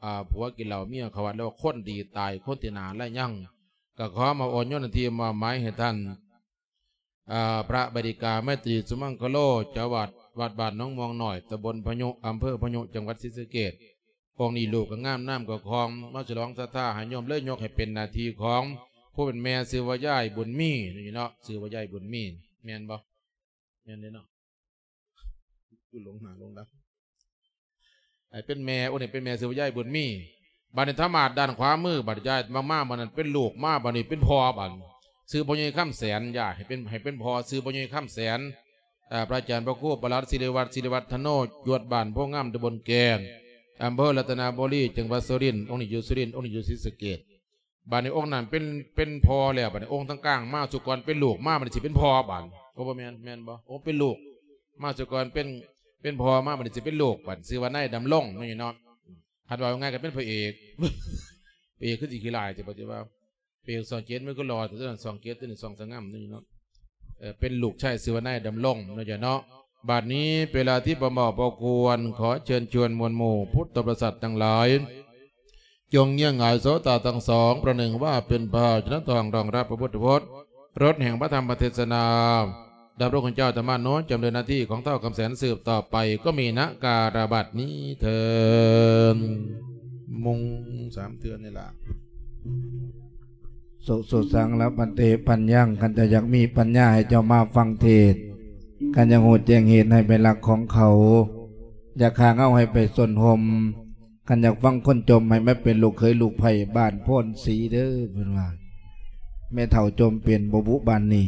ອ່າ ຜົວກິນເຫຼົ້າເມຍເຂົ້າວັດ ແລ້ວຄົນດີຕາຍ ຄົນທີ່ໜ້າລາຍຍັງ ກໍຂໍມາໂອນໂຍນໜ້າທີ່ມອບໝາຍໃຫ້ທ່ານ ອ່າ ພະບັນລິກາ ໄມຕີ ສຸມັງຄະໂລ ເຈົ້າອາວາດວັດບ້ານໜອງມ່ວງນ້ອຍ ຕຳບົນພະຍຸ ອຳເພີພະຍຸ ຈັງຫວັດສີສະເກດ. ອົງນີ້ຮູບກໍງາມ ນາມກໍຄ່ອງ ມາສະຫຼອງສັດທາໃຫ້ໂຍມ ເລີຍຍົກໃຫ້ເປັນໜ້າທີ່ຂອງຜູ້ເປັນແມ່ ຊື່ວ່າຍາຍບຸນມີ ນີ້ເນາະ ຊື່ວ່າຍາຍບຸນມີ ແມ່ນບໍ່? ແມ່ນເດ້ເນາະ ຄືຫຼົງໜ້າຫຼົງຫຼັງ ໃຫ້ເປັນແມ່ ໂອ້ ນີ້ເປັນແມ່ຊື່ວ່າຍາຍບຸນມີ. ບັດນີ້ທາມາດດ້ານຂວາມື ບັດຍາຍມາ ມາບັດນັ້ນເປັນລູກ ມາບັດນີ້ເປັນພໍ່ ບັດຊື່ພໍ່ໃຫຍ່ຄຳແສນ ຢາກໃຫ້ເປັນ ໃຫ້ເປັນພໍ່ ຊື່ພໍ່ໃຫຍ່ຄຳແສນ. ເອີ ພະອາຈານພະຄູປະຫຼັດ ສິລິວັດ ສິລິວັດທະໂນ ຢູ່ວັດບ້ານໂພງາມ ຕຳບົນແກນ ອຳເພີລັດຕະນະບູລີ ຈັງຫວັດສຸລິນ. ອົງນີ້ຢູ່ສຸລິນ ອົງນີ້ຢູ່ສີສະເກດ. ບັດນີ້ອົງນັ້ນເປັນ ເປັນພໍ່ແລ້ວ ບັດນີ້ອົງທາງກາງມາສຸກ່ອນເປັນລູກ ມາບັດນີ້ຊິເປັນພໍ່ ບັດ ໂອ້ ບໍ່ແມ່ນ ແມ່ນບໍ່? ໂອ້ ເປັນລູກ ມາສຸກ່ອນເປັນ ເປັນພໍ່ ມາບັດນີ້ຊິເປັນລູກ ບັດຊື່ວ່ານາຍດຳລົງ ນີ້ເນາະ. ຄັນເວົ້າງ່າຍກໍເປັນພະເອກ ພະເອກຄືຊິຂີ້ຮ້າຍ ຊິບໍ່ ຊິວ່າ ເປັນຊ່ອງເຈັດ ມັນກໍຫຼໍ່ ແຕ່ຊ່ອງເຈັດ ຕົວນີ້ຊ່ອງສະຫງ່ຳນີ້ເນາະ. ເອີ ເປັນລູກຊາຍຊື່ວ່ານາຍດຳລົງເນາະ ເຈົ້າເນາະ. ບັດນີ້ເປັນເວລາທີ່ບໍ່ເໝາະບໍ່ຄວນ ຂໍເຊີນຊວນມວນໝູ່ພຸດທະບໍລິສັດທັງຫຼາຍ ຈົ່ງເງື້ອງາຍໂສຕາທັງສອງ ປະໜຶ່ງວ່າເປັນພາຊະນະທອງຮອງຮັບພະພຸດທະພົດ ລົດແຫ່ງພະທຳມະເທດສະນາ ດຳລົງເຈົ້າອາດຕະມາໂນ ຈຳເນີນໜ້າທີ່ຂອງທ້າວຄຳແສນສືບຕໍ່ໄປ ກໍມີນະກາລະບັດນີ້ເທີ້ນ. ມຸງສາມເທື່ອນີ້ລະ. ໂສ ໂສສັງ ລະພັນເຕ ປັນຍັງ ຄັນເຈົ້າຢາກມີປັນຍາ ໃຫ້ເຈົ້າມາຟັງເທດ ຄັນຢາກຮູ້ແຈ້ງເຫດ ໃຫ້ໄປລັກຂອງເຂົາ ຢາກຂ້າເຫງົາ ໃຫ້ໄປຊົນຮົ່ມ ຄັນຢາກຟັງຄົນຈົ່ມ ໃຫ້ມາເປັນລູກເຂີຍລູກໃພ້ບ້ານໂພນສີເດີ້ ເພິ່ນວ່າ ແມ່ເຖົ້າຈົ່ມເປັນບໍ່ບຸບ້ານນີ້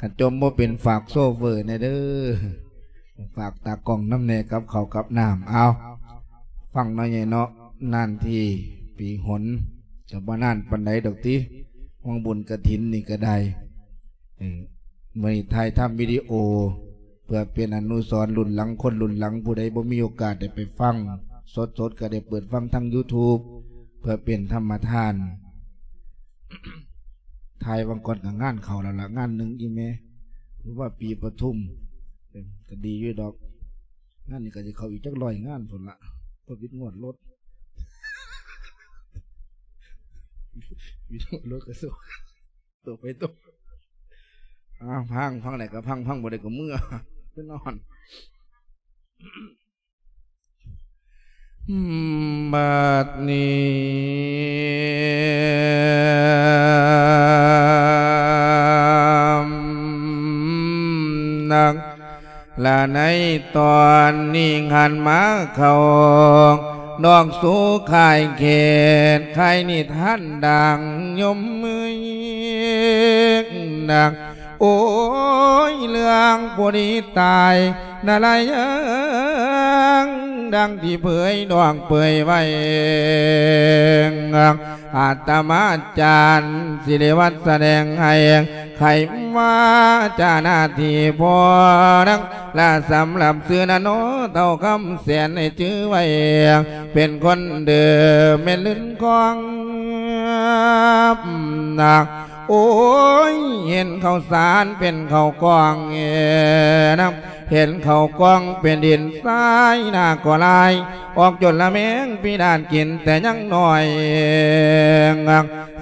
ຄັນຈົ່ມບໍ່ເປັນຝາກໂຊເຟີແດ່ເດີ້ ຝາກຕາກ້ອງນຳແດ່ກັບເຂົ້າກັບນ້ຳ. ເອົາ ຟັງເນາະໃຫຍ່ເນາະ ນານທີປີຫົນ ກໍບໍ່ນານປານໃດດອກຕິ ຫວັງບຸນກະຖິນນີ້ກໍໄດ້. ເອີ ມື້ນີ້ຖ່າຍທຳວິດີໂອ ເພື່ອເປັນອະນຸສອນລຸ້ນຫຼັງ ຄົນລຸ້ນຫຼັງ ຜູ້ໃດບໍ່ມີໂອກາດໄດ້ໄປຟັງສົດໆ ກໍໄດ້ເປີດຟັງທາງຢູທູບ ເພື່ອເປັນທຳມະທານ. ຖ່າຍຫວ່າງກ່ອນກໍງານເຂົ້າແລ້ວລະ ງານໜຶ່ງອີ່ແມ່ ຫຼືວ່າປີປະທຸມ ເອີ ກໍດີຢູ່ດອກ. ງານນີ້ກໍຊິເຂົ້າອີກຈັກຮ້ອຍງານພຸ້ນລະ ເພາະວິດງວດລົດ ວິດງວດລົດກະໂຊ ຕົກໄປຕົກ. ອ້າວ ພັງ ພັງໄດ້ກໍພັງ ພັງບໍ່ໄດ້ກໍເມືອໄປນອນ. ບັດນີ້ນະ ລະໃນຕອນນີ້ຫັນມາເຂົ້າ ດອກສູ່ຄ້າຍເຂດ ຄ້າຍນິທານດັ່ງຍົມເອີຍນະ. ໂອ້ຍ ເລື່ອງຜູ້ດີຕາຍນະລະຍັງ ດັ່ງທີ່ເຜີຍດອກເປີຍໄວ້ ອາດຕະມາຈານສິລິວັດສະແດງໃຫ້ ໄຂມາຈາໜ້າທີ່ພໍ່ນາງລະ ສຳລັບຊື່ນະໂນ ເຖົ້າຄຳແສນໃຫ້ຈື່ໄວ້ ເປັນຄົນເດີມແມ່ນລື່ນຄອງນາ. ໂອ້ຍ ເຫັນເຂົ້າສານເປັນເຂົ້າກ້ອງເນາະ ເຫັນເຂົ້າກ້ອງເປັນດິນຊາຍ ໜ້າກໍລາຍ ອອກຈົນລະແມງພິນາດກິນແຕ່ຍັງນ້ອຍ.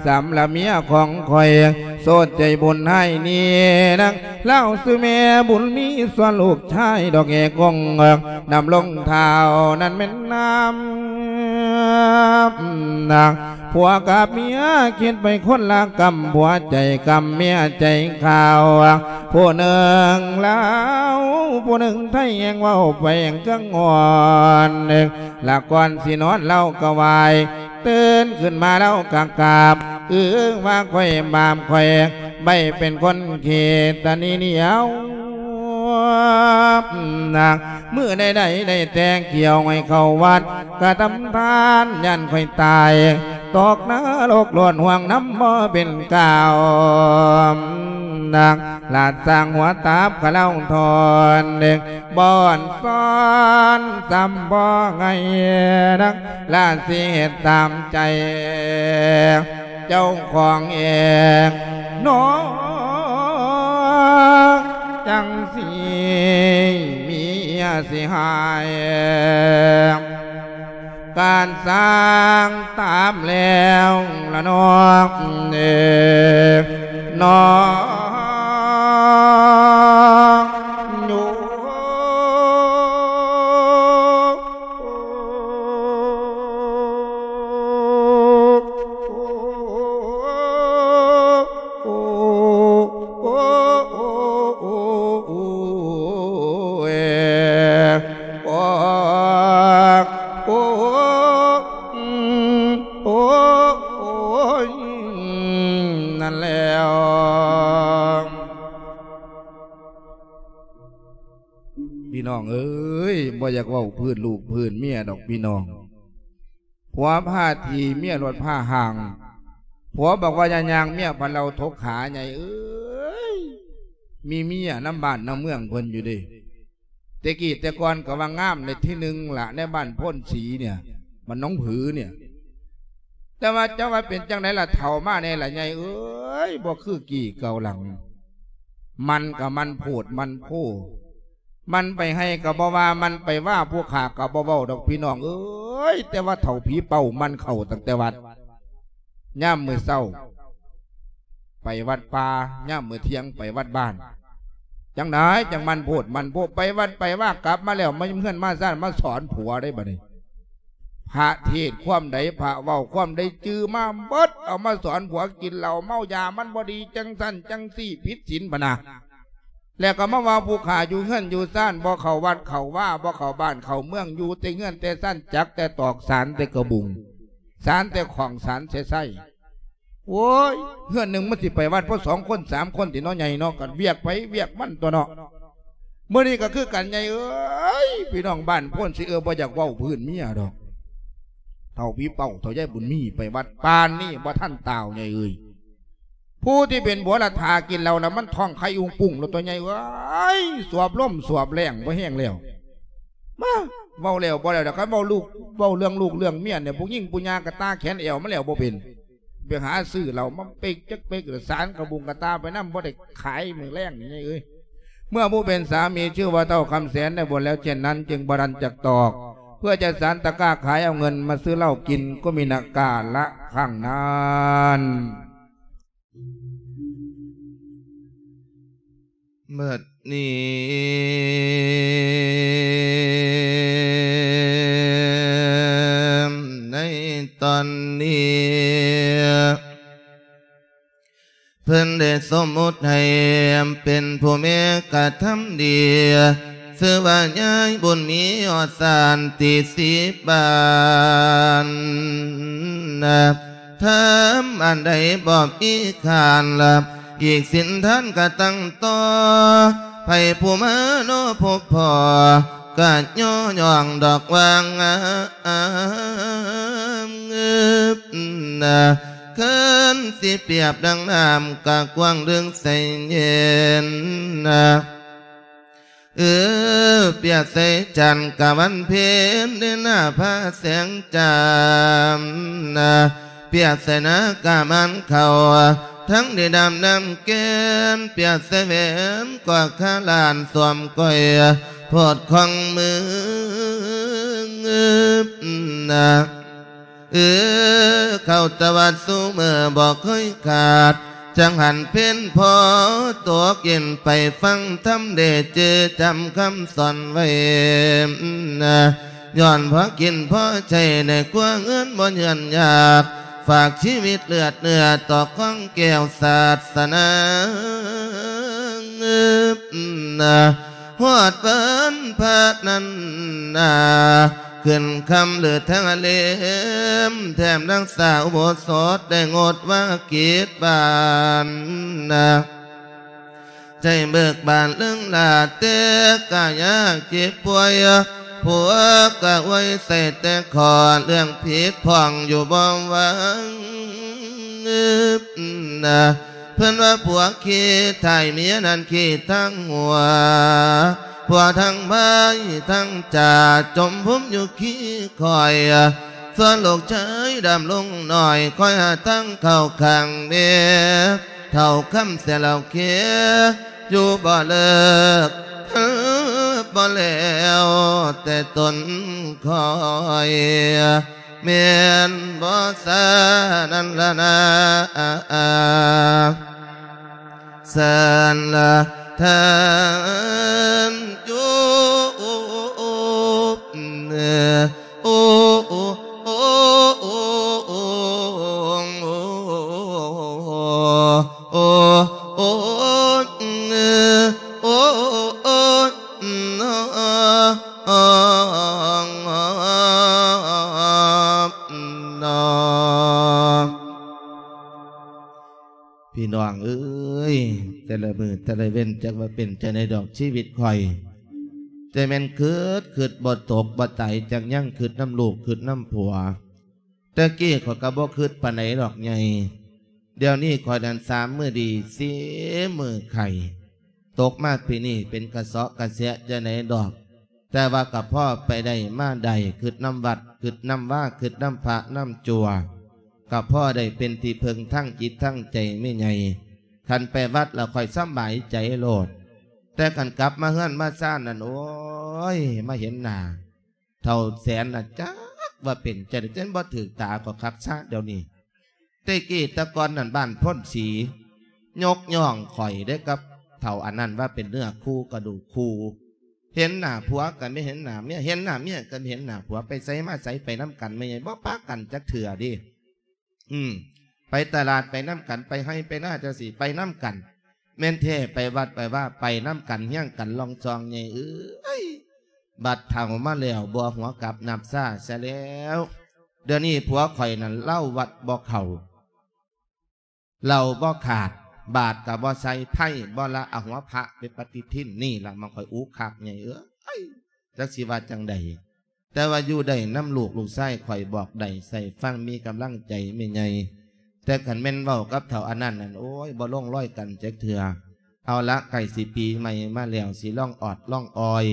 ສຳລັບເມຍຂອງຂ້ອຍ ໂສດໃຈບຸນໃຫ້ນີ້ນາງ ລາວຊື່ແມ່ບຸນມີ ສ່ວນລູກຊາຍດອກເອກົງ ດຳລົງທ້າວນັ້ນແມ່ນນາມ ນາງ ຜົວກັບເມຍຄິດໄປຄົນລະກຳ ຜົວໃຈກຳເມຍໃຈຂາວ ຜູ້ໜຶ່ງລາວ ຜູ້ໜຶ່ງໄທ ແຮ່ງເວົ້າໄປແຮ່ງເຄື່ອງອ່ອນ ລະກ່ອນຊິນອນລາວກໍໄຫວ້ ຕື່ນຂຶ້ນມາລາວກໍກາບ ອື ວ່າຂ້ອຍບາບຂ້ອຍ ໄປເປັນຄົນຂີ້ຕະໜີໜຽວ ນາງ ມື້ໃດໆ ໄດ້ແຕ່ກ່ຽວໃຫ້ເຂົ້າວັດ ກະທຳທານ ຢ້ານຂ້ອຍຕາຍ ຕົກນະລົກໂລດ ຫ່ວງນຳບໍ່ເປັນກ່າວ ນາງ ລາດສ້າງຫົວຕາບຂະເລົາທອນ ບ່ອນຊ້ອນຊ້ຳບໍ່ໄງ ນາງ ລາດຊິເຮັດຕາມໃຈ ເຈົ້າຂອງເອງເນາະ ຈັ່ງຊິເມຍຊິຫາຍ ການສ້າງຕາມແລ້ວລະນອກເນ ນອກຢູ່. ນັ້ນແລ້ວ ພີ່ນ້ອງເອີຍ ບໍ່ຢາກເວົ້າພື້ນລູກພື້ນເມຍດອກພີ່ນ້ອງ. ຜົວພາຖີ່ ເມຍລົດພາຫ່າງ. ຜົວບອກວ່າຢ່າຍ່າງ ເມຍພັນເລົ່າທົກຂາ ໃຫຍ່ເອີຍ. ມີເມຍນຳບ້ານນຳເມືອງເພິ່ນຢູ່ເດ້. ແຕ່ກີ້ແຕ່ກ່ອນກໍວ່າງາມໃນທີໜຶ່ງລະ ໃນບ້ານໂພນສີເນີ້ຍ ບ້ານໜອງຜືເນີ້ຍ. ແຕ່ວ່າຈະວ່າເປັນຈັ່ງໃດລະ ເຖົ້າມາແດ່ລະໃຫຍ່ເອີຍ ບໍ່ຄືກີ້ເກົ່າຫຼັງ. ມັນກໍມັນໂພດມັນໂພ. ມັນໄປໄຮ່ກໍບໍ່ວ່າ ມັນໄປວ່າຜູ້ຂ້າກໍບໍ່ເວົ້າດອກພີ່ນ້ອງເອີຍ. ແຕ່ວ່າເຖົ້າຜີເປົ້າມັນເຂົ້າຕັ້ງແຕ່ວັດ ຍາມມື້ເຊົ້າໄປວັດປ່າ ຍາມມື້ທ່ຽງໄປວັດບ້ານ. ຈັ່ງໃດຈັ່ງມັນໂພດມັນໂພ ໄປວັດໄປວ່າ ກັບມາແລ້ວມາເຮືອນມາຊານ ມາສອນຜົວໄດ້ບັດນີ້. ພະເທດຄວາມໃດ ພະເວົ້າຄວາມໃດ ຈື່ມາເບິດ ເອົາມາສອນຜົວ ກິນເຫຼົ້າເມົາຢາ ມັນບໍ່ດີ ຈັ່ງຊັ້ນຈັ່ງຊີ້ ຜິດສິນ ພະນະ. ແລ້ວກໍມາວ່າຜູ້ຂ້າຢູ່ເຮືອນຢູ່ຊານ ບໍ່ເຂົ້າວັດເຂົ້າວາ ບໍ່ເຂົ້າບ້ານເຂົ້າເມືອງ ຢູ່ແຕ່ເຮືອນແຕ່ຊານ ຈັກແຕ່ຕອກ ສານແຕ່ກະບຸງ ສານແຕ່ຂ້ອງ ສານແຕ່ໄຊ. ໂອ້ຍ ເຮືອນໜຶ່ງມັນຊິໄປວັດພໍສອງຄົນສາມຄົນຕິເນາະ ໃຫຍ່ເນາະ ກໍວຽກໃຜວຽກມັນຕົວະເນາະ. ມື້ນີ້ກໍຄືກັນໃຫຍ່ເອີຍ ພີ່ນ້ອງບ້ານໂພນສີເອີຍ ບໍ່ຢາກເວົ້າພື້ນເມຍດອກ. ເຖົ້າຜີເປົ້າ ເຖົ້າຍາຍບຸນມີໄປວັດ ປານນີ້ບໍ່ທັນຕາວໃຫຍ່ເອີຍ. ຜູ້ທີ່ເປັນຜົວລະຖ້າກິນເຫຼົ້າລະ ມັນທ້ອງໄຂ່ອຸງປຸງໂລດຕົວະໃຫຍ່ເອີຍ. ສວບລົມສວບແລ້ງບໍ່ແຮງແລ້ວ. ມາ ເວົ້າແລ້ວບໍ່ແລ້ວດອກ ຄັນເວົ້າລູກ ເວົ້າເລື່ອງລູກເລື່ອງເມຍນີ້ ຜູ້ຍິງຜູ້ຍ່າງກະຕາແຂນແອວມາແລ້ວບໍ່ເປັນ. ໄປຫາຊື້ເຫຼົ້າມາເປັກຈັກເປັກ ສານກະບຸງກະຕາໄປນຳ ບໍ່ໄດ້ຂາຍມື້ແລງນີ້ເອີຍ. ເມື່ອຜູ້ເປັນສາມີຊື່ວ່າເຖົ້າຄຳແສນໄດ້ບົນແລ້ວເຊັ່ນນັ້ນ ຈຶ່ງບໍ່ທັນຈັກຕອກ ເພື່ອຈະສານຕະກ້າຂາຍເອົາເງິນມາຊື້ເຫຼົ້າກິນ ກໍມີນະກາລະຄັ້ງນັ້ນ. ບັດນີ້ ໃນຕອນນີ້ ເພິ່ນໄດ້ສົມມຸດໃຫ້ເປັນຜູ້ແມ່ກະທຳດີ ຊື່ວ່າຍາຍບຸນມີ ຮອດຊານທີສິບບ້ານ. ທຳອັນໃດບໍ່ມີຂານລະ ອີກສິນທານກະຕັ້ງຕໍ່ ໃຜຜູ້ມາເນາະພົບພໍ້ ກະຍໍຍ້ອງດອກວ່າງາມ. ເຄີນຊິປຽບດັ່ງນ້ຳ ກະກວ້າງເລິກໃສເຢັນ. ເອີ ປຽບໃສ່ຈັນກະວັນເພັນ ເດືອນຫ້າພາແສງຈ້າມນະ ປຽບໃສ່ນາກະໝານເຂົ້າ ທັງໄດ້ດຳນ້ຳແກ່ນ ປຽບໃສ່ແຫວນກວ່າຄາລ້ານ ສວມກ້ອຍໂພດຂອງມືນະ. ເອີ ເຂົ້າຕະວັດຊູເມືອບໍ່ເຄີຍຂາດ ຈັ່ງຫັນເພັນພໍຕົກເຢັນ ໄປຟັງທຳໄດ້ຈື່ຈຳຄຳສອນໄວ້. ຍ້ອນພໍກິນພໍໃຊ້ໃນຄົວເຮືອນບໍ່ເຫຍື້ອນຍາກ ຝາກຊີວິດເລືອດເນື້ອຕໍ່ຂອງແກ້ວສາສະໜາ. ຮອດວັນພະນັ້ນນາ ຂຶ້ນຄ່ຳຫຼືທາງເຫຼັມ ແຖມຮັກສາອຸໂບສົດ ໄດ້ງົດວາກິດບ້ານນາ. ໃຈເບີກບານເລິງລາ ແຕ່ກະຍາກເຈັບປ່ວຍ ຜົວກະອວຍໃສ່ແຕ່ຂໍ້ ເລື່ອງຜິດຜ່ອງຢູ່ບໍ່ຫວັງ. ເພິ່ນວ່າຜົວຂີ້ທ້າຍເມຍນັ້ນຂີ້ທາງຫົວ ຜົວທັງບາຍທັງຈາ ຈົ່ມພູມຢູ່ຂີ້ຂ້ອຍ ສ່ວນລູກຊາຍດຳລົງໜ້ອຍ ຄອຍຫາທາງເຂົ້າຂ້າງແມ່ ເຖົ້າຄຳເສຍເລົ່າເຄ ຢູ່ບໍ່ເລີກ ບໍ່ແລ້ວແຕ່ຕົນຂ້ອຍ ແມ່ນບໍ່ສານັ້ນລະນາ ສານລະທ່ານຢູ່ ໂອ້ ໂອ້ ໂອ້ ໂອ້ ພີ່ນ້ອງເອີຍ ແຕ່ລະມື້ແຕ່ລະເວັນ ຈັກວ່າເປັນຈັ່ງໃດດອກຊີວິດຂ້ອຍ ແຕ່ແມ່ນຄຶດ ຄຶດບໍ່ຕົກບໍ່ຕາຍ ຈັກຍັງຄຶດນຳລູກ ຄຶດນຳຜົວ. ແຕ່ກີ້ຂ້ອຍກໍບໍ່ຄຶດປານໃດດອກໃຫຍ່ ດຽວນີ້ຂ້ອຍນັ້ນສາມມື້ດີ ສີ່ມື້ໄຂ້ ຕົກມາປີນີ້ເປັນກະເຊາະກະແຊະຈັ່ງໃດດອກ ແຕ່ວ່າກໍພໍໄປໄດ້ມາໄດ້ ຄຶດນຳວັດ ຄຶດນຳວາ ຄຶດນຳພະນຳຈົວ ກໍພໍໄດ້ເປັນທີ່ເພິ່ງທາງຈິດທາງໃຈແມ່ໃຫຍ່. ຄັນໄປວັດແລ້ວຂ້ອຍສະບາຍໃຈໂລດ ແຕ່ຄັນກັບມາເຮືອນມາຊານນັ້ນ ໂອ້ຍ ມາເຫັນໜ້າ ເຖົ້າແສນນະ ຈັກວ່າເປັນຈັ່ງໃດ ຈົນບໍ່ຖືກຕາກໍຄັກຊະດຽວນີ້. ແຕ່ກີ້ແຕ່ກ່ອນນັ້ນ ບ້ານໂພນສີຍົກຍ້ອງຂ້ອຍເດ້ກັບເຖົ້າອັນນັ້ນວ່າເປັນເນື້ອຄູ່ກະດູກຄູ່ ເຫັນໜ້າຜົວກໍໄມ່ເຫັນໜ້າເມຍ ເຫັນໜ້າເມຍກໍໄມ່ເຫັນໜ້າຜົວ ໄປໃສມາໃສໄປນຳກັນ ແມ່ໃຫຍ່ບໍ່ປະກັນຈັກເທື່ອເດ້. ອືມ ໄປຕະຫຼາດໄປນຳກັນ ໄປໄຮ່ໄປນາຈັ່ງຊີ້ໄປນຳກັນ ແມ່ນແທ້ໄປວັດໄປວາໄປນຳກັນ ຮຽງກັນລອງຊອງໃຫຍ່ເອີຍ. ບັດເຖົ້າມາແລ້ວບໍ່ຫົວກັບນັບຊາຊະແລ້ວ ດຽວນີ້ຜົວຂ້ອຍນັ້ນເຫຼົ້າວັດບໍ່ເຂົ້າ ເຫຼົ້າບໍ່ຂາດ ບາດກໍບໍ່ໃສ່ ໄພ້ບໍ່ລະ ເອົາຫົວພະໄປປະຕິທິນ ນີ້ລະມັນຂ້ອຍອຸຄັກໃຫຍ່ເອີຍ ຈັກຊິວ່າຈັ່ງໃດ. ແຕ່ວ່າຢູ່ໄດ້ນຳລູກ ລູກຊາຍຂ້ອຍບອກໄດ້ໃສ່ຟັງ ມີກຳລັງໃຈແມ່ໃຫຍ່. ແຕ່ຄັນແມ່ນເວົ້າກັບເຖົ້າອັນນັ້ນນັ້ນ ໂອ້ຍ ບໍ່ລົງລອຍກັນຈັກເທື່ອ. ເອົາລະ ໃກ້ຊິປີໃໝ່ມາແລ້ວ ຊິລອງອອດລອງອອຍ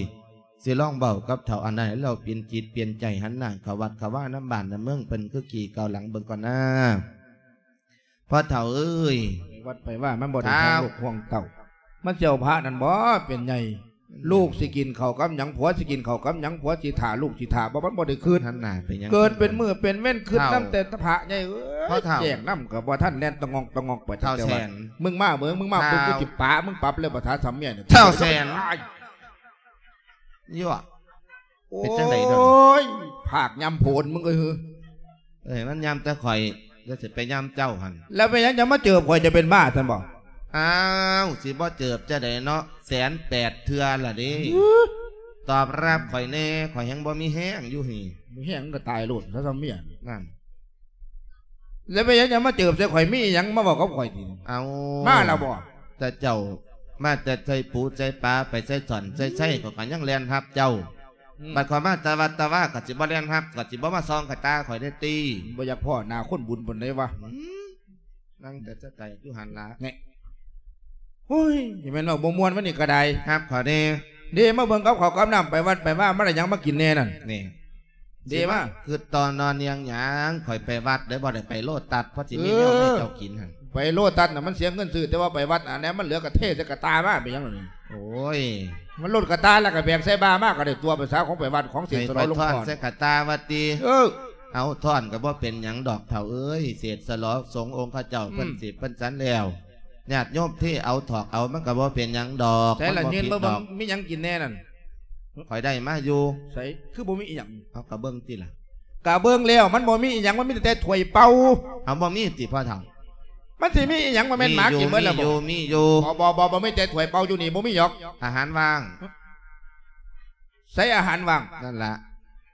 ຊິລອງເວົ້າກັບເຖົ້າອັນນັ້ນໃຫ້ລາວປ່ຽນຈິດປ່ຽນໃຈ ຫັນໜ້າເຂົ້າວັດເຂົ້າວານຳບ້ານນຳເມືອງເພິ່ນຄືກີ່ເກົ່າຫຼັງເບິ່ງກ່ອນນາ. ພໍ່ເຖົ້າເອີຍ ໄປວັດໄປວາມັນບໍ່ໄດ້ ທ້າວ ຫ່ວງລູກຫ່ວງເຕົ້າ ມັນຊິເອົາພະນັ້ນບໍ່ເປັນໃຫຍ່. ອືມ ລູກຊິກິນເຂົ້າກັບຫຍັງ ຜົວຊິກິນເຂົ້າກັບຫຍັງ ຜົວຊິຖ້າລູກຊິຖ້າບໍ່ ມັນບໍ່ໄດ້ຄິດ ຫັນໜ້າໄປຫຍັງ ເກີດເປັນມື້ເປັນເວັນຄິດ ເຖົ້າ ນຳແຕ່ພະໃຫຍ່ເອີຍ ເຖົ້າ ແຈ້ງນຳກໍບໍ່ທັນ ແລ່ນຕະງອກຕະງອກໄປ ເຖົ້າແສນ ມຶງມາເບິ່ງ ມຶງມາປຸບ ເຖົ້າ ກູຊິປະ ມຶງປັບແລ້ວບໍ່ຖ້າສຳເມຍ ເຖົ້າແສນ ໂອ້ຍ ເປັນຈັ່ງໃດດອກ ໂອ້ຍ ພາກຍຳໂພນມຶງເອີຍ. ເອີຍ ມັນຍຳແຕ່ຂ້ອຍ ແລ້ວຊິໄປຍຳເຈົ້າຫັ້ນ ແລ້ວເປັນຫຍັງຈະມາເຈີບຂ້ອຍ ຈະເປັນບ້າຊັ້ນບໍ່? ອ້າວ ຊິບໍ່ເຈີບຈັ່ງໃດເນາະ ແສນແປດເທື່ອລະເດ້. ຕອບຮັບຂ້ອຍແດ່ ຂ້ອຍແຮ່ງບໍ່ມີແຮງຢູ່ນີ້ ມີແຮງກໍຕາຍໂລດ ຖ້າສຳເມຍນັ້ນ. ແລ້ວເປັນຫຍັງຈະມາເຈີບໃສ່ຂ້ອຍ ມີອີ່ຫຍັງມາເວົ້າກັບຂ້ອຍຕິ? ເອົາ ມາແລ້ວບໍ່? ແຕ່ເຈົ້າມາແຕ່ໃສ່ປູໃສ່ປາ ໄປໃສ່ຊ່ອນໃສ່ໄຊ ຂ້ອຍກໍຍັງແລ່ນຮັບເຈົ້າ. ອືມ ບັດຂ້ອຍມາແຕ່ວັດແຕ່ວາ ກໍຊິບໍ່ແລ່ນຮັບ ກໍຊິບໍ່ມາສ່ອງກະຕາຂ້ອຍໄດ້ຕິ. ບໍ່ຢາກພໍ້ໜ້າຄົນບຸນປານໃດວະ. ອືມ ນັ່ງແຕ່ສະໄກຢູ່ຫັ້ນລະ ແນ່. ໂອ້ຍ ຊິແມ່ນເວົ້າບໍ່ມ່ວນວະນີ້ກໍໄດ້. ຮັບຂ້ອຍແດ່ ເດ້ ມາເບິ່ງກັບເຂົ້າກັບນ້ຳ ໄປວັດໄປວາ ມາໄດ້ຫຍັງມາກິນແດ່ນັ້ນ ນີ້. ເດ້ມາ ຊິມາຄິດຕໍ່ນອນນຽງຫຍັງ ຂ້ອຍໄປວັດເດ້ ບໍ່ໄດ້ໄປໂລຕັດ ເພາະຊິມີແນວໃຫ້ເຈົ້າກິນຫັ້ນ. ເອີ ໄປໂລຕັດນະ ມັນເສຍເງິນຊື້ ແຕ່ວ່າໄປວັດອັນນີ້ມັນເຫຼືອກະເທໃສ່ກະຕ່າມາ ເປັນຫຍັງລະນີ້? ໂອ້ຍ ມັນລົ້ນກະຕ່າແລ້ວກະແບກໃສ່ບ່າມາກໍໄດ້ຕົວະ ພາສາຂອງໄປວັດຂອງເສກສະຫຼອງ ໃຫ້ຂ້ອຍທ້ອນໃສ່ກະຕ່າວ່າຕິ? ເອີ ເອົາທ້ອນກໍບໍ່ເປັນຫຍັງດອກເຖົ້າເອີຍ ເສກສະຫຼອງສົງອົງຂະເຈົ້າ ອືມ ເພິ່ນສິບເພິ່ນສັນແລ້ວ ຍາດໂຍມເທເອົາຖອກເອົາ ມັນກໍບໍ່ເປັນຫຍັງດອກ ໃສລະ ມັນບໍ່ຜິດດອກ. ມີຫຍັງກິນແດ່ນັ້ນ? ຂ້ອຍໄດ້ມາຢູ່. ໃສ ຄືບໍ່ມີອີ່ຫຍັງ? ເອົາ ກະເບິ່ງຕິລະ. ກະເບິ່ງແລ້ວມັນບໍ່ມີອີ່ຫຍັງ ມັນມີແຕ່ຖ້ວຍເປົ່າ. ເອົາ ບໍ່ມີຕິພໍ່ເຖົ້າ? ມັນຊິມີອີ່ຫຍັງ ບໍ່ແມ່ນໝາກິນເບິດແລ້ວບໍ່? ມີຢູ່ ມີຢູ່ ບໍ່ ບໍ່ ບໍ່ ບໍ່ມີແຕ່ຖ້ວຍເປົ່າຢູ່ນີ້ ບໍ່ມີດອກ. ອາຫານວ່າງ. ໃສອາຫານວ່າງ? ນັ້ນລະ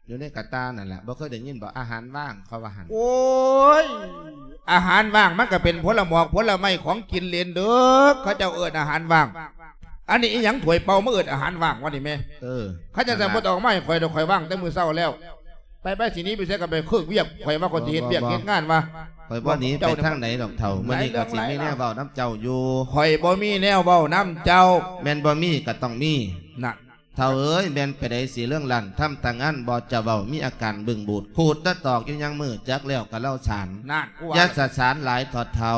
ຢູ່ໃນກະຕ່ານັ້ນລະ ບໍ່ເຄີຍໄດ້ຍິນບໍ່ ອາຫານວ່າງ ເຂົາວ່າຫັ້ນ. ໂອ້ຍ ອາຫານວ່າງມັນກໍເປັນຜົນລະໝອກຜົນລະໄມ້ ຂອງກິນເຫຼັນເດີ ເຂົາເຈົ້າເອີ້ນອາຫານວ່າງ. ອັນນີ້ອີ່ຫຍັງ ຖ້ວຍເປົ່າ ມາເອີ້ນອາຫານວ່າງວະນີ້ແມ່? ເອີ ຄັນຈັ່ງຊັ້ນ ນັ້ນລະ ບໍ່ຕ້ອງເອົາມາໃຫ້ຂ້ອຍດອກ ຂ້ອຍວ່າງແຕ່ມື້ເຊົ້າແລ້ວ. ໄປ ໄປ ຊິໜີໄປໃສກໍໄປເຄີກວຽກ ຂ້ອຍວ່າຂ້ອຍຊິເຮັດວຽກເຮັດງານວ່າ. ຂ້ອຍບໍ່ໜີໄປທາງໃດດອກເຖົ້າ ມື້ນີ້ກໍຊິມີແນວເວົ້ານຳເຈົ້າຢູ່. ຂ້ອຍບໍ່ມີແນວເວົ້ານຳເຈົ້າ. ແມ່ນບໍ່ມີກໍຕ້ອງມີ. ນັ້ນ ເຖົ້າເອີຍ ແມ່ນໄປໃດຊິເລື່ອງລັນ ທຳຕາງານບໍ່ຈະເວົ້າ ມີອາການບຶ້ງບູດ ຂູດຕະຕອກຢູ່ຍັງມື້ ຈັກແລ້ວກໍເລົ່າສານ. ນັ້ນ ຢ່າສະສານຫຼາຍເຖາະເຖົ້າ.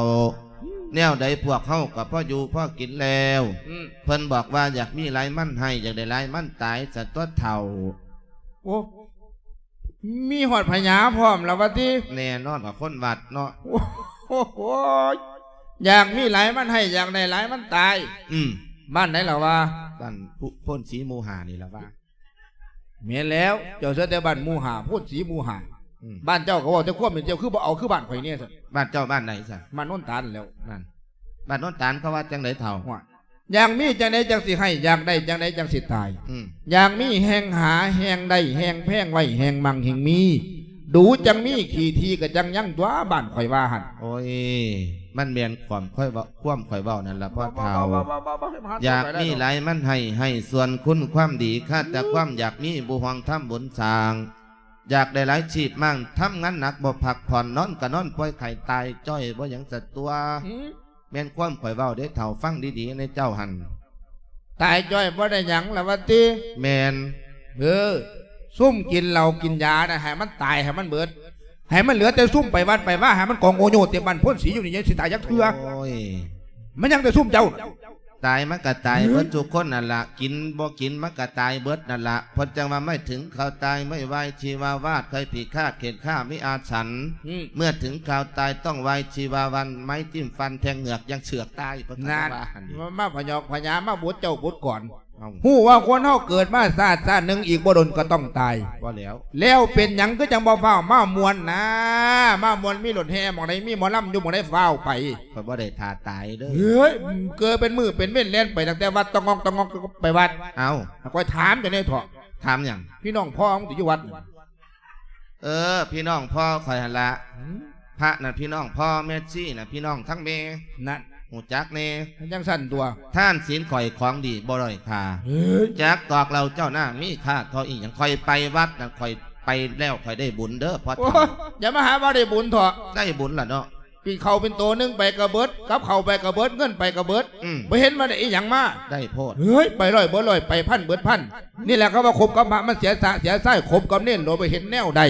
ແນວໃດພວກເຮົາກໍພໍຢູ່ພໍກິນແລ້ວ. ອືມ ເພິ່ນບອກວ່າ ຢາກມີຫຼາຍມັນໃຫ້ ຢາກໄດ້ຫຼາຍມັນຕາຍ ຊັ້ນຕົວະເຖົ້າ. ໂອ້ ມີຮອດພະຍາພ້ອມລະວະຕິ? ແນ່ນອນວ່າຄົນວັດເນາະ. ໂອ້ໂຫ ຢາກມີຫຼາຍມັນໃຫ້ ຢາກໄດ້ຫຼາຍມັນຕາຍ. ອືມ ບ້ານໃດລະວະ? ບ້ານໂພນສີໝູ່ຫ້ານີ້ລະວະ. ແມ່ນແລ້ວ ເຈົ້າເສຍແຕ່ບ້ານໝູ່ຫ້າ ໂພນສີໝູ່ຫ້າ. ອືມ ບ້ານເຈົ້າກໍເວົ້າແຕ່ຄວາມເປັນ ເຈົ້າຄືບໍ່ເອົາຄືບ້ານຂ້ອຍແດ່ຊັ້ນ? ບ້ານເຈົ້າບ້ານໃດຊັ້ນ? ບ້ານໂນນຕານແລ້ວ. ນັ້ນ ບ້ານໂນນຕານເຂົາວ່າຈັ່ງໃດເຖົ້າ? ໂອ້ຍ ຢາກມີຈັ່ງໃດຈັ່ງຊິໃຫ້ ຢາກໄດ້ຈັ່ງໃດຈັ່ງຊິຕາຍ. ອືມ ຢາກມີແຮ່ງຫາ ແຮ່ງໄດ້ ແຮ່ງແພງໄວ້ ແຮ່ງມັ່ງແຮ່ງມີ ດູຈັ່ງມີ ຂີ້ຖີ່ກໍຈັ່ງຍັງຕົວະ ບ້ານຂ້ອຍວ່າຫັ້ນ. ໂອ້ຍ ມັນແມ່ນຄວາມຂ້ອຍເວົ້າ ຄວາມຂ້ອຍເວົ້ານັ້ນລະພໍ່ເຖົ້າ. ຢາກມີຫຼາຍມັນໃຫ້ ໃຫ້ສ່ວນຄຸນຄວາມດີ ຂາດແຕ່ຄວາມຢາກມີ ບໍ່ຫວັງທຳບຸນສ້າງ. ຢາກໄດ້ຫຼາຍຊີບມາກ ທຳງານໜັກບໍ່ພັກຜ່ອນ ນອນກໍນອນປ່ວຍໄຂ້ຕາຍຈ້ອຍ ບໍ່ຫຍັງສະຕົວະ. ອືມ ແມ່ນຄວາມຂ້ອຍເວົ້າເດ້ເຖົ້າ ຟັງດີໆໃນເຈົ້າຫັ້ນ. ຕາຍຈ້ອຍບໍ່ໄດ້ຫຍັງລະວະຕິ? ແມ່ນ. ເອີ ຊຸມກິນເຫຼົ້າກິນຢານະ ໃຫ້ມັນຕາຍ ໃຫ້ມັນເບິດ ໃຫ້ມັນເຫຼືອແຕ່ຊຸມໄປວັດໄປວາ ໃຫ້ມັນກອງໂອໂຍເຕັມບ້ານໂພນສີຢູ່ນີ້ ຍັງຊິຕາຍຈັກເທື່ອ. ໂອ້ຍ ມັນຍັງແຕ່ຊຸມເຈົ້າ. ຕາຍມັນກໍຕາຍເບິດທຸກຄົນນັ້ນລະ ກິນບໍ່ກິນມັນກໍຕາຍເບິດນັ້ນລະ. ເພິ່ນຈັ່ງວ່າ ໄມ້ເຖິງຄາວຕາຍ ໄມ້ວາຍຊີວາວາດ ໄຂ້ພິຄາດເຂັນຂ້າມີອາສັນ. ອືມ ເມື່ອເຖິງຄາວຕາຍຕ້ອງວາຍຊີວາວັນ ໄມ້ຖິ້ມຟັນແທງເຫງືອກ ຍັງເຊືອກຕາຍ ເພິ່ນກໍວ່າຫັ້ນ. ມາ ມາພະຍອກພະຍາມາບົດເຈົ້າບົດກ່ອນ. ເອົ້າ ຮູ້ວ່າຄົນເຮົາເກີດມາຊາດ ຊາດໜຶ່ງ ອີກບໍ່ດົນກໍຕ້ອງຕາຍ. ບໍ່ແລ້ວ ແລ້ວເປັນຫຍັງຄືຈັ່ງບໍ່ຟ້າວມາມ່ວນນາ? ມາມ່ວນ ມີລົດແຫ່ໝ່ອງໃດ ມີໝໍລຳຢູ່ໝ່ອງໃດ ຟ້າວໄປ. ຂ້ອຍບໍ່ໄດ້ຖ້າຕາຍເດີ້. ເຮີ້ຍ ເກີດເປັນມື້ເປັນເວັນ ແລ່ນໄປຕັ້ງແຕ່ວັດ ຕະງອກຕະງອກໄປວັດ. ເອົ້າ ຂ້ອຍຖາມເຈົ້າແດ່ເຖາະ. ຖາມຫຍັງ? ພີ່ນ້ອງພໍ່ມຶງຕິຢູ່ວັດ? ເອີ ພີ່ນ້ອງພໍ່ຂ້ອຍຫັ້ນລະ. ຫືມ? ພະນັ້ນພີ່ນ້ອງພໍ່ ແມ່ຊີນະພີ່ນ້ອງທາງແມ່. ນັ້ນ ຮູ້ຈັກແດ່. ມັນຈັ່ງຊັ້ນຕົວະ. ທານສິນຂ້ອຍຂອງດີບໍ່ດ້ອຍຄ່າ. ເຮີ້ຍ ຈັກຕອກເຫຼົ້າເຈົ້ານາມີຄ່າເທົ່າອີ່ຫຍັງ. ຂ້ອຍໄປວັດນະ ຂ້ອຍໄປແລ້ວຂ້ອຍໄດ້ບຸນເດີ້ພໍ່. ໂອ້ ຢ່າມາຫາວ່າໄດ້ບຸນເຖາະ. ໄດ້ບຸນລະເນາະ. ກິນເຂົ້າເປັນໂຕໜຶ່ງໄປກໍເບິດ ກັບເຂົ້າໄປກໍເບິດ ເງິນໄປກໍເບິດ. ອືມ ບໍ່ເຫັນວ່າໄດ້ອີ່ຫຍັງມາ. ໄດ້ໂພດ. ເຮີ້ຍ ໄປຮ້ອຍເບີດຮ້ອຍ ໄປພັນເບີດພັນ. ນີ້ແຫຼະເຂົາວ່າຄົບກັບພະມັນເສຍສະເສຍຊາຍ ຄົບກັບເນນໂລດບໍ່ເຫັນແນວໃດ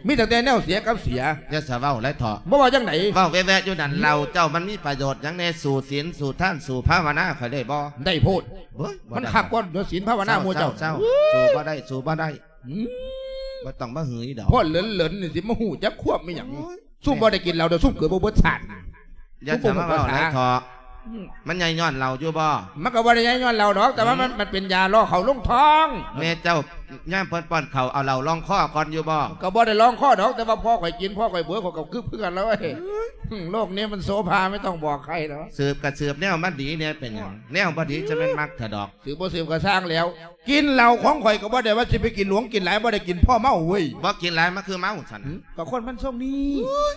ມີຕັ້ງແຕ່ແນວເສຍກັບເສຍ. ຢ່າສະເວົ້າຫຼາຍເຖາະ. ບໍ່ເວົ້າຈັ່ງໃດ? ເວົ້າແວ່ໆຢູ່ນັ້ນ. ເຫຼົ້າເຈົ້າມັນມີປະໂຫຍດຫຍັງແດ່? ສູ້ສິນ ສູ້ທານ ສູ້ພາວະນາຂ້ອຍໄດ້ບໍ່? ໄດ້ໂພດ. ເວີ້ຍ ມັນຄັກກວ່າເດີ ສິນພາວະນາໝູ່ເຈົ້າ. ເຊົາໆໆ ເຊົາ. ສູ້ບໍ່ໄດ້ ສູ້ບໍ່ໄດ້. ອືມ ບໍ່ຕ້ອງມາຫືີດອກ. ພວກເຫຼີນໆນີ້ຊິມາຮູ້ຈັກຄວາມອີ່ຫຍັງ? ໂອ້ຍ ຊຸມບໍ່ໄດ້ກິນເຫຼົ້າເດີ ຊຸມເກີດບໍ່ເບິດຊາດ. ຢ່າສະມາເວົ້າຫຼາຍເຖາະ. ອືມ ມັນໃຫຍ່ຍ້ອນເຫຼົ້າຢູ່ບໍ່? ມັນກໍບໍ່ໄດ້ໃຫຍ່ຍ້ອນເຫຼົ້າດອກ ແຕ່ວ່າມັນ ອືມ ມັນເປັນຢາຫຼໍ່ເຂົ້າລົງທ້ອງ. ແມ່ເຈົ້າຍາມເພິ່ນປ້ອນເຂົ້າ ເອົາເຫຼົ້າລອງຄໍກ່ອນຢູ່ບໍ່? ກໍບໍ່ໄດ້ລອງຄໍດອກ ແຕ່ວ່າພໍຂ້ອຍກິນ ພໍຂ້ອຍເບີ ຂ້ອຍກໍຄຶບຄືກັນແລ້ວເວີຍ. ໂລກນີ້ມັນໂສພາ ໄມ່ຕ້ອງບອກໃຄດອກ. ສືບກໍສືບແນວມັນດີແດ່ ເປັນຫຍັງ? ເອີ ແນວບໍ່ດີຈະແມ່ນມັກແທ້ດອກ. ສືບບໍ່ສືບກໍຊ່າງແລ້ວ. ກິນເຫຼົ້າຂອງຂ້ອຍກໍບໍ່ໄດ້ວ່າຊິໄປກິນຫຼວງກິນຫຼາຍ ບໍ່ໄດ້ກິນພໍເມົາເວີຍ. ບໍ່ກິນຫຼາຍມັນຄືເມົາຊັ້ນ. ຫືມ ກໍຄົນມັນຊົງນີ້. ໂອ້ຍ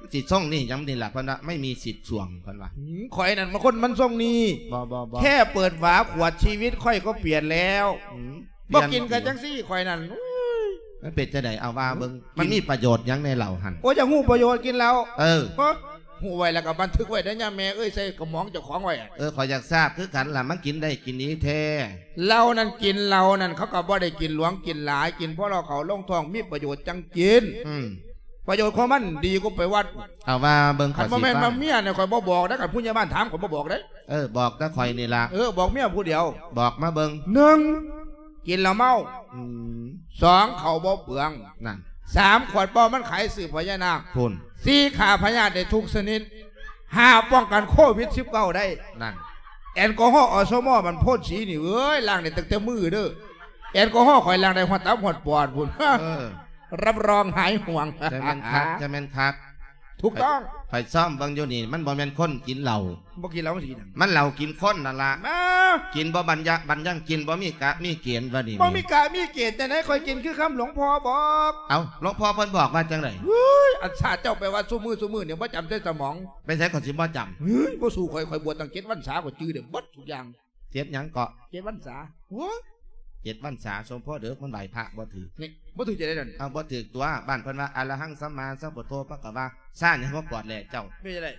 ມັນຊິຊົງນີ້ຫຍັງນີ້ລະ ເພິ່ນວ່າ ໄມ່ມີສິດຊ່ວງ ເພິ່ນວ່າ. ຫືມ ຂ້ອຍນັ້ນມັນຄົນມັນຊົງນີ້. ບໍ່ໆໆ ແຄ່ເປີດຝາຂວດ ຊີວິດຂ້ອຍກໍປ່ຽນແລ້ວ. ຫືມ ບໍ່ກິນກໍຈັ່ງຊີ້ຂ້ອຍນັ້ນ. ໂອ້ຍ ມັນເປັນຈັ່ງໃດ? ເອົາວ່າເບິ່ງ. ມັນມີປະໂຫຍດຫຍັງແດ່ເຫຼົ້າຫັ້ນ? ໂອ້ຍ ຢາກຮູ້ປະໂຫຍດກິນເຫຼົ້າ. ເອີ ຮະ ຮູ້ໄວ້ແລ້ວກໍບັນທຶກໄວ້ເດີ ຍາແມ່ເອີຍ ໃສ່ກະໝອງເຈົ້າຂອງໄວ້. ເອີ ຂ້ອຍຢາກຊາບຄືກັນລະ ມັນກິນໄດ້ກິນດີແທ້. ເຫຼົ້ານັ້ນ ກິນເຫຼົ້ານັ້ນ ເຂົາກໍບໍ່ໄດ້ກິນຫຼວງກິນຫຼາຍ ກິນພໍເຂົ້າລົງທ້ອງ ມີປະໂຫຍດຈັ່ງກິນ. ອືມ ປະໂຫຍດຂອງມັນດີກວ່າໄປວັດ. ເອົາວ່າເບິ່ງ. ຄັນບໍ່ແມ່ນວ່າເມຍນີ້ ຂ້ອຍບໍ່ບອກເດ້ ຄັນຜູ້ໃຫຍ່ບ້ານຖາມ ຂ້ອຍບໍ່ບອກເດ້. ເອີ ບອກແຕ່ຂ້ອຍນີ້ລະ. ເອີ ບອກເມຍຜູ້ດຽວ. ບອກມາເບິ່ງ. ໜຶ່ງ ກິນແລ້ວເມົາ. ອືມ ສອງ ເຂົ້າບໍ່ເປືອງ. ນັ້ນ ສາມ ຂວດເປົ່າມັນຂາຍຊື້ພະຍານາກ. ພຸ້ນ ສີ່ ຂ້າພະຍາດໄດ້ທຸກຊະນິດ. ຫ້າ ປ້ອງກັນໂຄວິດສິບເກົ້າໄດ້. ນັ້ນ ແອນກໍຮໍ ອສມ ມັນໂພນສີນີ້ເອີຍ ລ້າງໄດ້ຕັ້ງແຕ່ມືເດີ. ແອນກໍຮໍຂ້ອຍລ້າງໄດ້ຮອດຕັບຮອດປອດພຸ້ນ. ເອີ ຮັບຮອງຫາຍຫ່ວງ. ຈະແມ່ນຄັກ ຈະແມ່ນຄັກ. ຖືກຕ້ອງ. ຂ້ອຍຊອມເບິ່ງຢູ່ນີ້ ມັນບໍ່ແມ່ນຄົນກິນເຫຼົ້າ. ບໍ່ກິນເຫຼົ້າມັນຊິກິນຫຍັງ? ມັນເຫຼົ້າກິນຄົນນັ້ນລະ. ມາ ກິນບໍ່ບັນຍະ ບັນຍັງກິນ ບໍ່ມີກະມີເກນວ່ານີ້. ບໍ່ມີກະມີເກນຈັ່ງໃດ? ຂ້ອຍກິນຄືຄຳຫຼວງພໍ່ບອກ. ເອົ້າ ຫຼວງພໍ່ເພິ່ນບອກວ່າຈັ່ງໃດ? ເຮີ້ຍ ອັນຊາເຈົ້າໄປວັດຊຸມື້ ຊຸມື້ນີ້ບໍ່ຈຳໃສ່ສະໝອງ. ໄປໃສຂ້ອຍຊິບໍ່ຈຳ? ເຮີ້ຍ ບໍ່ສູ້ຂ້ອຍ ຂ້ອຍບວດຕັ້ງເຈັດວັນສາ ຂ້ອຍຈື່ໄດ້ເບິດທຸກຢ່າງ. ເຈັດຫຍັງເກາະ? ເຈັດວັນສາ. ໂອ້ຍ ເຈັດວັນສາ ສົມພໍເດີ ມັນໄຫວ້ພະບໍ່ຖືກ. ນີ້ ບໍ່ຖືກຈັ່ງໃດນັ້ນ? ເອົາ ບໍ່ຖືກຕົວະ. ບ້ານເພິ່ນວ່າ ອະລະຫັງສຳມາສຳພຸດໂທພະຄະວາ ຊ້າຫຍັງມາກອດແລເຈົ້າ. ເປັນຈັ່ງໃດ?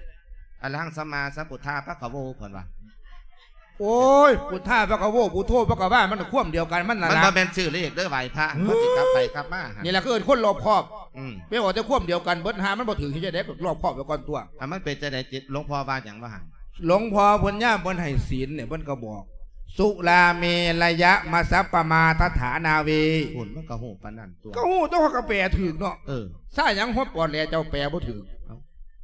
ອະລະຫັງສຳມາສຳພຸດທາພະຄະໂວ ເພິ່ນວ່າ. ໂອ້ຍ ພຸດທະ ພະຄະໂວ ພຸດໂທ ພະຄະວາ ມັນຄວາມດຽວກັນ ມັນນັ້ນລະ ມັນບໍ່ແມ່ນຊື່ເລກເດີ ໄຫວ້ພະ ມັນຊິກັບໄປກັບມາ ນີ້ລະ ເອີ້ນຄົນລອບຄອບ ອືມ ໄປເວົ້າແຕ່ຄວາມດຽວກັນເບິດ ຫາມັນບໍ່ຖືກເຮັດຈັ່ງໃດ ກໍລອບຄອບໄວ້ກ່ອນຕົວະ. ອ່າ ມັນເປັນຈັ່ງໃດ ຫຼວງພໍ່ວ່າຫຍັງວ່າຫັ້ນ? ຫຼວງພໍ່ເພິ່ນຍາມເພິ່ນໃຫ້ສິນນີ້ ເພິ່ນກໍບອກ ສຸລາເມລະຍະມັດສະປະມາທັດຖານາເວ ພຸ້ນ ມັນກໍຮູ້ປານນັ້ນຕົວະ ກໍຮູ້ຕົວະ ຂ້ອຍກໍແປຖືກເນາະ. ເອີ ຊາຫຍັງຫົວປອດແຫຼ ເຈົ້າແປບໍ່ຖືກ. ເອົ້າ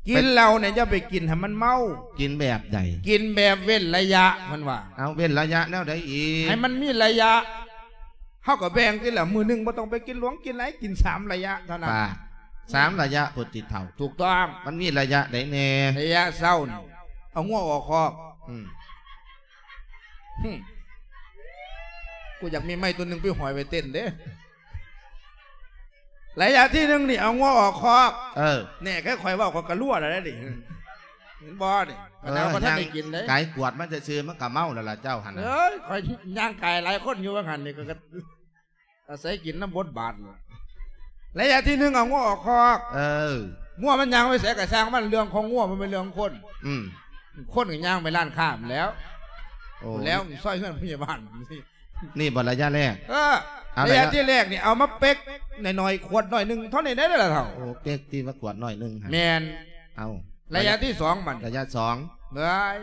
ກິນເຫຼົ້ານີ້ຢ່າໄປກິນໃຫ້ມັນເມົາ. ກິນແບບໃດ? ກິນແບບເວັ້ນໄລຍະ ເພິ່ນວ່າ. ເອົາ ເວັ້ນໄລຍະແນວໃດອີກ? ໃຫ້ມັນມີໄລຍະ ເຮົາກໍແບ່ງຕິລະ ມື້ໜຶ່ງບໍ່ຕ້ອງໄປກິນຫຼວງກິນຫຼາຍ ກິນສາມໄລຍະເທົ່ານັ້ນ. ປາດ ສາມໄລຍະພຸ້ນຕິເຖົ້າ. ຖືກຕ້ອງ. ມັນມີໄລຍະໃດແດ່? ໄລຍະເຊົ້ານີ້ ເອົາງົວອອກຄອກ. ອືມ ຫຶ ກູຢາກມີໄມ້ຕົວໜຶ່ງໄປຫ້ອຍໄວ້ເຕັ້ນເດ້. ໄລຍະທີໜຶ່ງນີ້ ເອົາງົວອອກຄອກ. ເອີ ແນ່ ຄືຂ້ອຍເວົ້າ ຂ້ອຍກໍລົວແລ້ວເດ້ນີ້ ເຫັນບໍ່ນີ້? ເອີ ມັນເອົາບໍ່ທັນໄດ້ກິນເດ້ ກາຍກວດມັນຊື່ໆ ມັນກໍເມົາແລ້ວລະເຈົ້າຫັ້ນນະ. ເອີຍ ຂ້ອຍຍ່າງກາຍຫຼາຍຄົນຢູ່ວ່າຫັ້ນນີ້ ກໍ ກໍອາໄສກິນນຳບົດບາດ. ໄລຍະທີໜຶ່ງ ເອົາງົວອອກຄອກ. ເອີ ງົວມັນຍ່າງໄປໃສກໍຊ່າງມັນ ເລື່ອງຂອງງົວ ມັນເປັນເລື່ອງຂອງຄົນ. ອືມ ຄົນກໍຍ່າງໄປຮ້ານຄ້າພຸ້ນແລ້ວ. ໂອ້ ແລ້ວຊອຍເຮືອນພະຍາບານ. ນີ້ບໍ່ໄລຍະແລກ? ເອີ ໄລຍະທີແລກນີ້ ເອົາມາເປັກໜ້ອຍໆ ຂວດໜ້ອຍໜຶ່ງເທົ່ານີ້ໄດ້ລະເຖົ້າ. ໂອ້ ເປັກຕິວ່າຂວດໜ້ອຍໜຶ່ງຫັ້ນ. ແມ່ນ. ເອົາ ໄລຍະທີສອງບັດ ໄລຍະສອງ ເອີຍ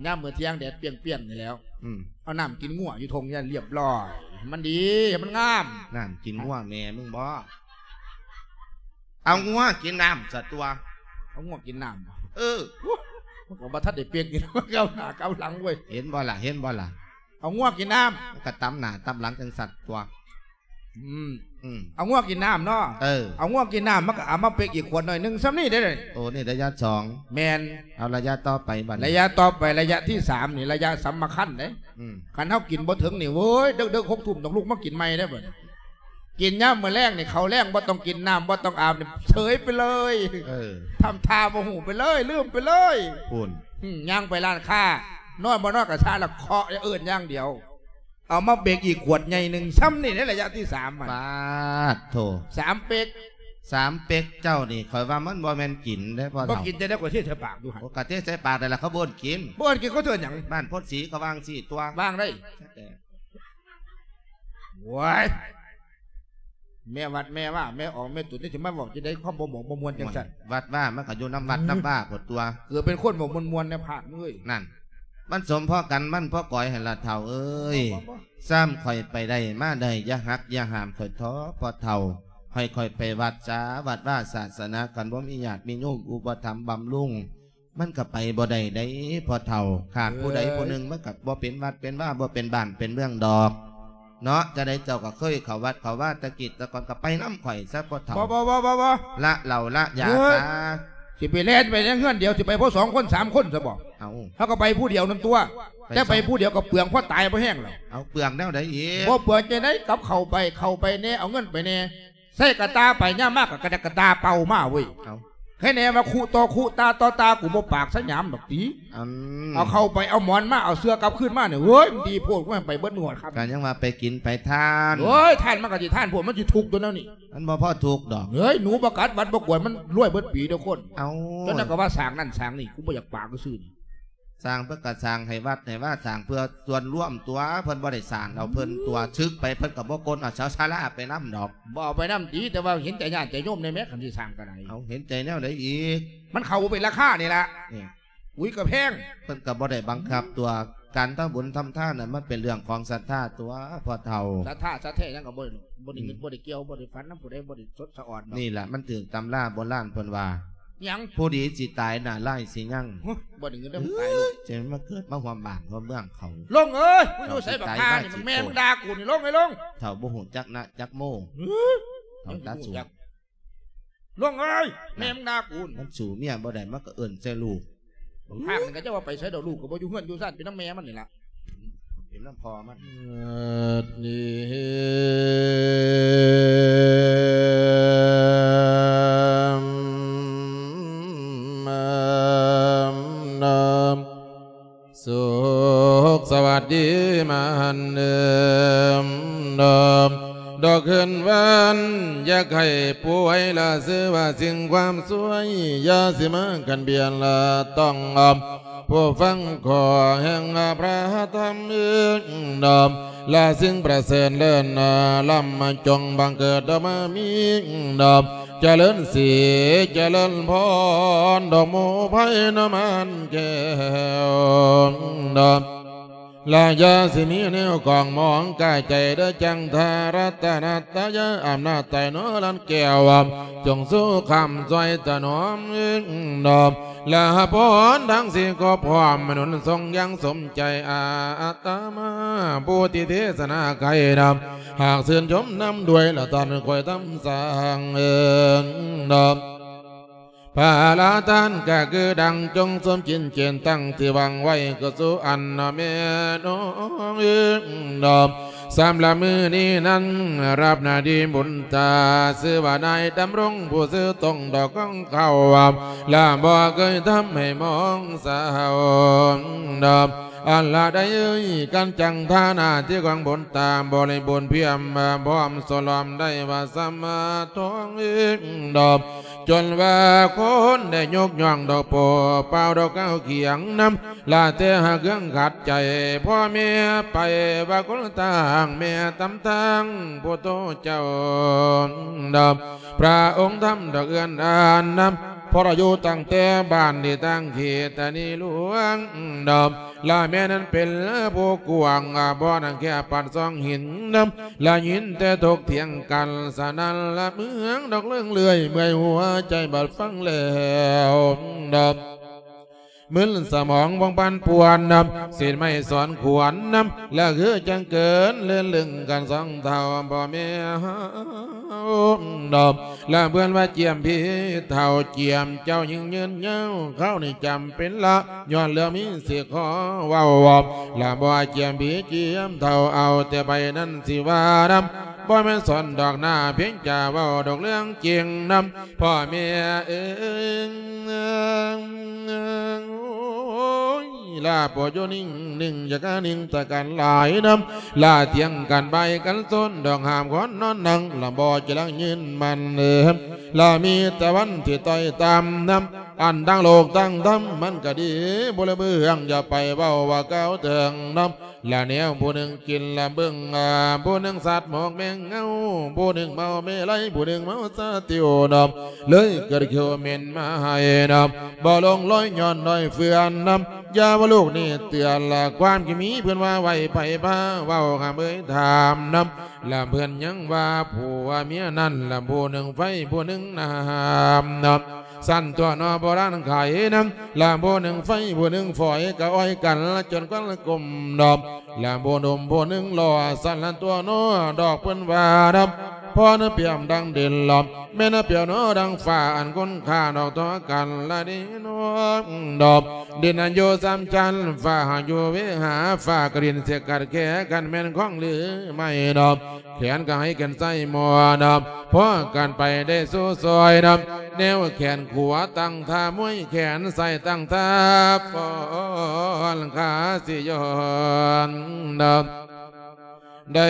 ຍາມມື້ທ່ຽງແດດປຽງໆ ນີ້ແລ້ວ ອືມ ເອົານ້ຳກິນງົວຢູ່ທົ່ງນີ້ລຽບລ້ອຍ ມັນດີ ມັນງາມ. ນ້ຳກິນງົວແມ່ມຶງບໍ? ເອົາງົວກິນນ້ຳຊະຕົວະ. ເອົາງົວກິນນ້ຳ? ເອີ ມັນກໍບໍ່ທັນໄດ້ເປັກຢູ່ ເກົາໜ້າເກົາຫຼັງເວີຍ. ເຫັນບໍ່ລະ ເຫັນບໍ່ລະ? ເອົາງົວກິນນ້ຳ ມັນກໍຕຳໜ້າຕຳຫຼັງຈັ່ງຊັ້ນຕົວະ. ອືມ ອືມ ເອົາງົວກິນນ້ຳເນາະ. ເອີ ເອົາງົວກິນນ້ຳ ມັນກໍເອົາມາເປັກອີກຂວດໜ້ອຍໜຶ່ງ ສ່ຳນີ້ເດ້. ໂອ້ ນີ້ໄລຍະສອງ. ແມ່ນ. ເອົາໄລຍະຕໍ່ໄປບັດນີ້ ໄລຍະຕໍ່ໄປ ໄລຍະທີສາມນີ້ ໄລຍະສຳຄັນເດ້. ອືມ ຄັນເຮົາກິນບໍ່ເຖິງນີ້ ໂອ້ຍ ເດິກໆ ຫົກທຸ່ມຕ້ອງລຸກມາກິນໃໝ່ເດ້ບັດນີ້. ກິນຍາມມື້ແລງນີ້ ເຂົ້າແລງບໍ່ຕ້ອງກິນ ນ້ຳບໍ່ຕ້ອງອາບນີ້ ເສີຍໄປເລີຍ. ເອີ ທຳທ່າບໍ່ຮູ້ໄປເລີຍ ລືມໄປເລີຍ. ພຸ້ນ ຫຶ ຍ່າງໄປຮ້ານຄ້າ ນອນບໍ່ນອນກໍຊາລະເຄາະ ຢ່າເອີ້ນຢ່າງດຽວ. ເອົາມາເປັກອີກຂວດໃຫຍ່ໜຶ່ງ ສ່ຳນີ້ໃນໄລຍະທີສາມຫັ້ນ. ປາດໂທ້ ສາມເປັກ ສາມເປັກເຈົ້ານີ້ ຂ້ອຍວ່າມັນບໍ່ແມ່ນກິນເດ້ພໍ່ເຖົ້າ. ບໍ່ກິນຈັ່ງໃດ ກໍເທໃສ່ປາກຢູ່ຫັ້ນ. ໂອ້ ກໍເທໃສ່ປາກໄດ້ລະ ເຂົາບໍ່ເອີ້ນກິນ. ບໍ່ເອີ້ນກິນ ເຂົາເອີ້ນຫຍັງ? ບ້ານໂພນສີເຂົາວ່າຈັ່ງຊີ້ຕົວະ. ວ່າຈັ່ງໃດ? ໂອ້ຍ ແມ່ວັດແມ່ວ່າ ແມ່ອອກແມ່ຕຸນ ຈະມາເວົ້າຈັ່ງໃດ ຄວາມບໍ່ໝອກບໍ່ມ່ວນຈັ່ງຊັ້ນ. ວັດວ່າມັນກໍຢູ່ນຳວັດນຳວ່າພຸ້ນຕົວະ. ເກີດເປັນຄົນບໍ່ມ່ວນໆ ໃນພາກເອີຍ. ນັ້ນ ມັນສົມພໍກັນ ມັນພໍກອຍຫັ້ນລະເຖົ້າເອີຍ. ບໍ່ ບໍ່ ບໍ່ ຊ້ຳຂ້ອຍໄປໄດ້ມາໄດ້ ຢ່າຫັກຢ່າຫ້າມຂ້ອຍເຖາະພໍ່ເຖົ້າ. ໃຫ້ຂ້ອຍໄປວັດສາ ວັດວາສາສະໜາ ຄັນບໍ່ມີຍາດມີໂຍມອຸປະຖຳບຳລຸງ ມັນກໍໄປບໍ່ໄດ້ເດ້ພໍ່ເຖົ້າ. ຂາດຜູ້ໃດ ເອີຍ ຜູ້ໜຶ່ງ ມັນກໍບໍ່ເປັນວັດເປັນວາ ບໍ່ເປັນບ້ານເປັນເມືອງດອກເນາະ. ຈັ່ງໃດເຈົ້າກໍເຄີຍເຂົ້າວັດເຂົ້າວາແຕ່ກີ້ແຕ່ກ່ອນ ກໍໄປນຳຂ້ອຍຊະພໍ່ເຖົ້າ. ບໍ່ ບໍ່ ບໍ່ ບໍ່ ບໍ່ ລະເຫຼົ້າລະຢາ ເອີຍ ຊະ. ຊິໄປແລ່ນໄປໃນເຮືອນດຽວ ຊິໄປພໍສອງຄົນສາມຄົນຊະບໍ? ເອົາ ເຮົາກໍໄປຜູ້ດຽວນັ້ນຕົວະ. ແຕ່ໄປຜູ້ດຽວກໍເປືອງ ພໍຕາຍບໍ່ແຮງແລ້ວ. ເອົາ ເປືອງແນວໃດອີກ? ບໍ່ເປືອງຈັ່ງໃດ ກັບເຂົ້າໄປ ເຂົ້າໄປແດ່ ເອົາເງິນໄປແດ່ ໃສ່ກະຕ່າໄປ ຍາມມາກໍກະດະກະຕາເປົ່າມາເວີຍ. ເອົາ ໃຄແນ່ວ່າຄຸຕໍ່ຄຸ ຕາຕໍ່ຕາ ກູບໍ່ປາກສະຫຍາມດອກຕິ. ອືມ ເອົາເຂົ້າໄປ ເອົາໝອນມາ ເອົາເສື່ອກັບຄືນມານີ້ ເວີຍ ມັນດີໂພດ ມັນໄປເບິດມື້ຮອດຄ່ຳ. ກໍຍັງວ່າໄປກິນໄປທານ. ເອີຍ ທານມັນກໍຊິທານໂພດ ມັນຊິທຸກຕົວແນວນີ້. ມັນບໍ່ພໍທຸກດອກ. ເຮີ້ຍ ໜູບໍ່ກັດວັດບໍ່ກວນ ມັນລວຍເບິດປີເດີ້ຄົນ. ເອົ້າ ຕົວນັ້ນກໍວ່າສ້າງນັ້ນສ້າງນີ້ ກູບໍ່ຢາກປາກຊື່ໆ. ສ້າງເພິ່ນກໍສ້າງໃຫ້ວັດໃຫ້ວາ ສ້າງເພື່ອສ່ວນລວມຕົວະ ເພິ່ນບໍ່ໄດ້ສ້າງເອົາເພິ່ນຕົວະ. ອືມ ສຶກໄປເພິ່ນກໍບໍ່ກົນເອົາເສົາສາລາໄປນຳດອກ. ບໍ່ເອົາໄປນຳຕິ ແຕ່ວ່າເຫັນໃຈຍາດໃຈໂຍມແດ່ແມ້ ຄັນຊິສ້າງກໍໄດ້. ເອົາ ເຫັນໃຈແນວໃດອີກ? ມັນເຂົ້າບໍ່ເປັນລາຄານີ້ລະ. ນີ້ ອຸຍ ກໍແພງ. ເພິ່ນກໍບໍ່ໄດ້ບັງຄັບຕົວະ ການທຳບຸນທຳທານນັ້ນ ມັນເປັນເລື່ອງຂອງສັດທາຕົວະພໍ່ເຖົ້າ. ສັດທາສັດແທ້ຫຍັງກໍບໍ່ໄດ້ ບໍ່ໄດ້ ອືມ ບໍ່ໄດ້ກ່ຽວ ບໍ່ໄດ້ຝັນນຳຜູ້ໃດ ບໍ່ໄດ້ສົດສະອອດດອກ. ນີ້ລະ ມັນຖືກຕຳລາໂບລານເພິ່ນວ່າ ຫຍັງ? ຜູ້ດີຊິຕາຍ ໜ້າຮ້າຍຊິຍັງ. ຫື ບໍ່ໄດ້ເງິນເດ້ ມັນຕາຍໂລດ. ເອີຍ ຈະມາເກີດມາຮ່ວມບ້ານຮ່ວມເມືອງເຂົາ. ລົງເອີຍ ມຶງຢູ່ໃສບັກຫ່ານີ້ ແມ່ມຶງດ່າກູນີ້ ລົງເອີຍ ລົງ. ເຖົ້າບໍ່ຮູ້ຈັກນະຈັກໂມ. ຫື ເຖົ້າຕາສູງ. ລົງເອີຍ ແມ່ມຶງດ່າກູ. ມັນສູ້ເມຍບໍ່ໄດ້ ມັນກໍເອີ້ນໃສ່ລູກ. ບັກພາກນີ້ກໍຈະວ່າໄປໃສດອກ ລູກກໍບໍ່ຢູ່ເຮືອນຢູ່ຊານ ໄປນຳແມ່ມັນນີ້ລະ ໄປນຳພໍ່ມັນ. ສຸກສະຫວັດດີມາຫັນເດີມ ດອກຄືນວັນ ຢາກໃຫ້ປ່ວຍລະຊື່ວ່າ ສິ່ງຄວາມຊ່ວຍ ຢ່າຊິມາກັນບຽດລະຕ້ອງ ຜູ້ຟັງຂໍແຫ່ງພະທຳເອີງດອມ ລະສິ່ງປະເສີດເລີດນາ ລຳມາຈົ່ງບັງເກີດດອກມາມີດອມ ຈະເລີນສີຈະເລີນພອນ ດອກໝູ່ໄພນະມານແກ້ວດອມ ລະຢ່າຊິມີແນວກອງມອງກາຍໃຈເດີ ຈັນທາລັດຕະນະຕະຍາ ອຳນາດໃຕ້ເນາະລັນແກ້ວ ຈົ່ງສູ່ຄ້ຳຊ່ວຍຖະໜອມເອີງດອມ ລະພອນທັງສີ່ກໍພ້ອມໜູນສົ່ງຢ່າງສົມໃຈ ອາດຕະມາຜູ້ທີ່ເທສະນາໄກນຳ ຫາກຊື່ນຊົມນຳດ້ວຍ ລະທ່ານຄ່ອຍທຳສ້າງເອີງດອມ ພະລາທ່ານກະຄືດັ່ງ ຈົ່ງສົມຈິດເຈນຕັ້ງທີ່ຫວັງໄວ້ ກໍສູ່ອັນນະແມ່ນ້ອງເອີງດອມ ສຳລັບມື້ນີ້ນັ້ນ ຮັບໜ້າທີ່ບຸນຕາ ຊື່ວ່ານາຍດຳລົງ ຜູ້ຊື່ຕົງດອກຂອງເຂົາ ລະບໍ່ເຄີຍທຳໃຫ້ມອງເສົ້າດອມ ອັນລະໃດເອີຍ ການຈັງຖານະທີ່ຂອງບຸນຕາ ບໍລິບູນພຽມ ພ້ອມສະຫຼອມໄດ້ວ່າສຳມາທອງເອງດອມ ຈົນວ່າຄົນໄດ້ຍົກຍ້ອງດອກໂປ ເປົ່າດອກກ້າວຂຽງນຳ ລະແຕ່ຫາເຄື່ອງຂັດໃຈ ພໍ່ແມ່ໄປວ່າຄົນຕ່າງແມ່ຕຳທາງ ພຸດໂທເຈົ້າດອມ ພະອົງທຳດອກເອື້ອນອ່ານນຳ ເພາະລະຢູ່ຕັ້ງແຕ່ບ້ານທີ່ຕັ້ງເຂດຕານີຫຼວງດອມ ລະແມ່ນັ້ນເປັນຜູ້ກວ້າງ ບໍ່ໜັງແຄບປານຊ່ອງຫີນນຳ ລະຍິນແຕ່ຖົກຖຽງກັນ ສະນັ້ນລະເມືອງດອກເລື່ອງເລື່ອຍ ເມື່ອຍຫົວໃຈບັດຟັງແລ້ວດອມ ມຶນສະໝອງວອງປັນປ່ວນນຳ ສິນໄມ້ສອນຂວັນນຳ ລະຄືຈັ່ງເກີນເລີນລຶງກັນສອງເທົ່າພໍ່ແມ່ເຮົາດອມ ລະເພິ່ນວ່າຈຽມພີ່ເຖົ້າ ຈຽມເຈົ້າຍິ່ງຍືນຍາວ ເຂົານີ້ຈຳເປັນລະ ຍ້ອນເລື່ອງມີຊິຂໍເວົ້າ ລະບໍ່ວ່າຈຽມພີ່ຈຽມເຖົ້າ ເອົາແຕ່ໃບນັ້ນຊິວ່ານຳ ບໍ່ແມ່ນສອນດອກໜ້າ ພຽງຈະເວົ້າດອກເລື່ອງຈິງນຳ ພໍ່ແມ່ເອີຍ ໂອ້ຍ ລາໂປດຢູ່ນິ່ງໆ ຢ່າກະນິ່ງຕະກັນຫຼາຍນຳ ລາຖຽງກັນບາຍກັນໂຊນ ດອກຫາມຄອນນອນນັ່ງ ລະບໍ່ຈະລັງຍືນໝັ້ນເອີ ລາມີຕາວັນທີ່ຕ້ອຍຕ່ຳນຳ ອັນທັງໂລກທັງທຳ ມັນກະດີບໍ່ລະເບື້ອງ ຢ່າໄປເວົ້າວ່າກ່າວເຖິງນຳ ລະແນວຜູ້ໜຶ່ງກິນລະເບິ່ງ ຜູ້ໜຶ່ງສັດໝອກແມງເງົາ ຜູ້ໜຶ່ງເມົາເມໄລ ຜູ້ໜຶ່ງເມົາສາຕິວນຳ ເລີຍເກີດເຂວເໝັນມາໃຫ້ນຳ ບໍ່ລົງລອຍຍ້ອນລອຍເຟືອນນຳ ຢ່າວ່າລູກນີ້ເຕືອນລະ ຄວາມທີ່ມີເພິ່ນວ່າໄວ້ໃຜພາເວົ້າຫາເອີຍຖາມນຳ ລະເພິ່ນຍັງວ່າຜົວເມຍນັ້ນລະ ຜູ້ໜຶ່ງໄຟຜູ້ໜຶ່ງນ້ຳນຳ ຊັ້ນຕົວະເນາະ ໂບລານໄຂນຳ ລະຜູ້ໜຶ່ງໄຟຜູ້ໜຶ່ງຝອຍ ກະອ້ອຍກັນລະຈົນຄວັນກົມດອມ ລະຜູ້ໜຸ່ມຜູ້ໜຶ່ງຫຼໍ່ ຊັ້ນລະຕົວະເນາະ ດອກເພິ່ນວ່າດອມ ພໍນະປຽບດັ່ງດິນລອມ ແມ່ນະປຽບເນາະດັ່ງຟ້າ ອັນຄຸນຄ່ານອກຕໍ່ກັນລະເດເນາະດອມ ດິນອັນຢູ່ສາມຊັ້ນ ຟ້າຫາກຢູ່ເວຫາ ຟ້າກະດິນຊິກັດແຄ ຄັນແມ່ນຂອງຫຼືໄມ້ດອມ ແຂນກະໃຫ້ແຂນໃສ່ໝໍ້ນຳ ພໍກັນໄປໄດ້ສູ່ຊອຍນຳ ແນວແຂນຂວາຕັ້ງທ່າມວຍ ແຂນຊ້າຍຕັ້ງທ່າຟ້ອນ ຂາຊິຍ້ອນນຳ ໄດ້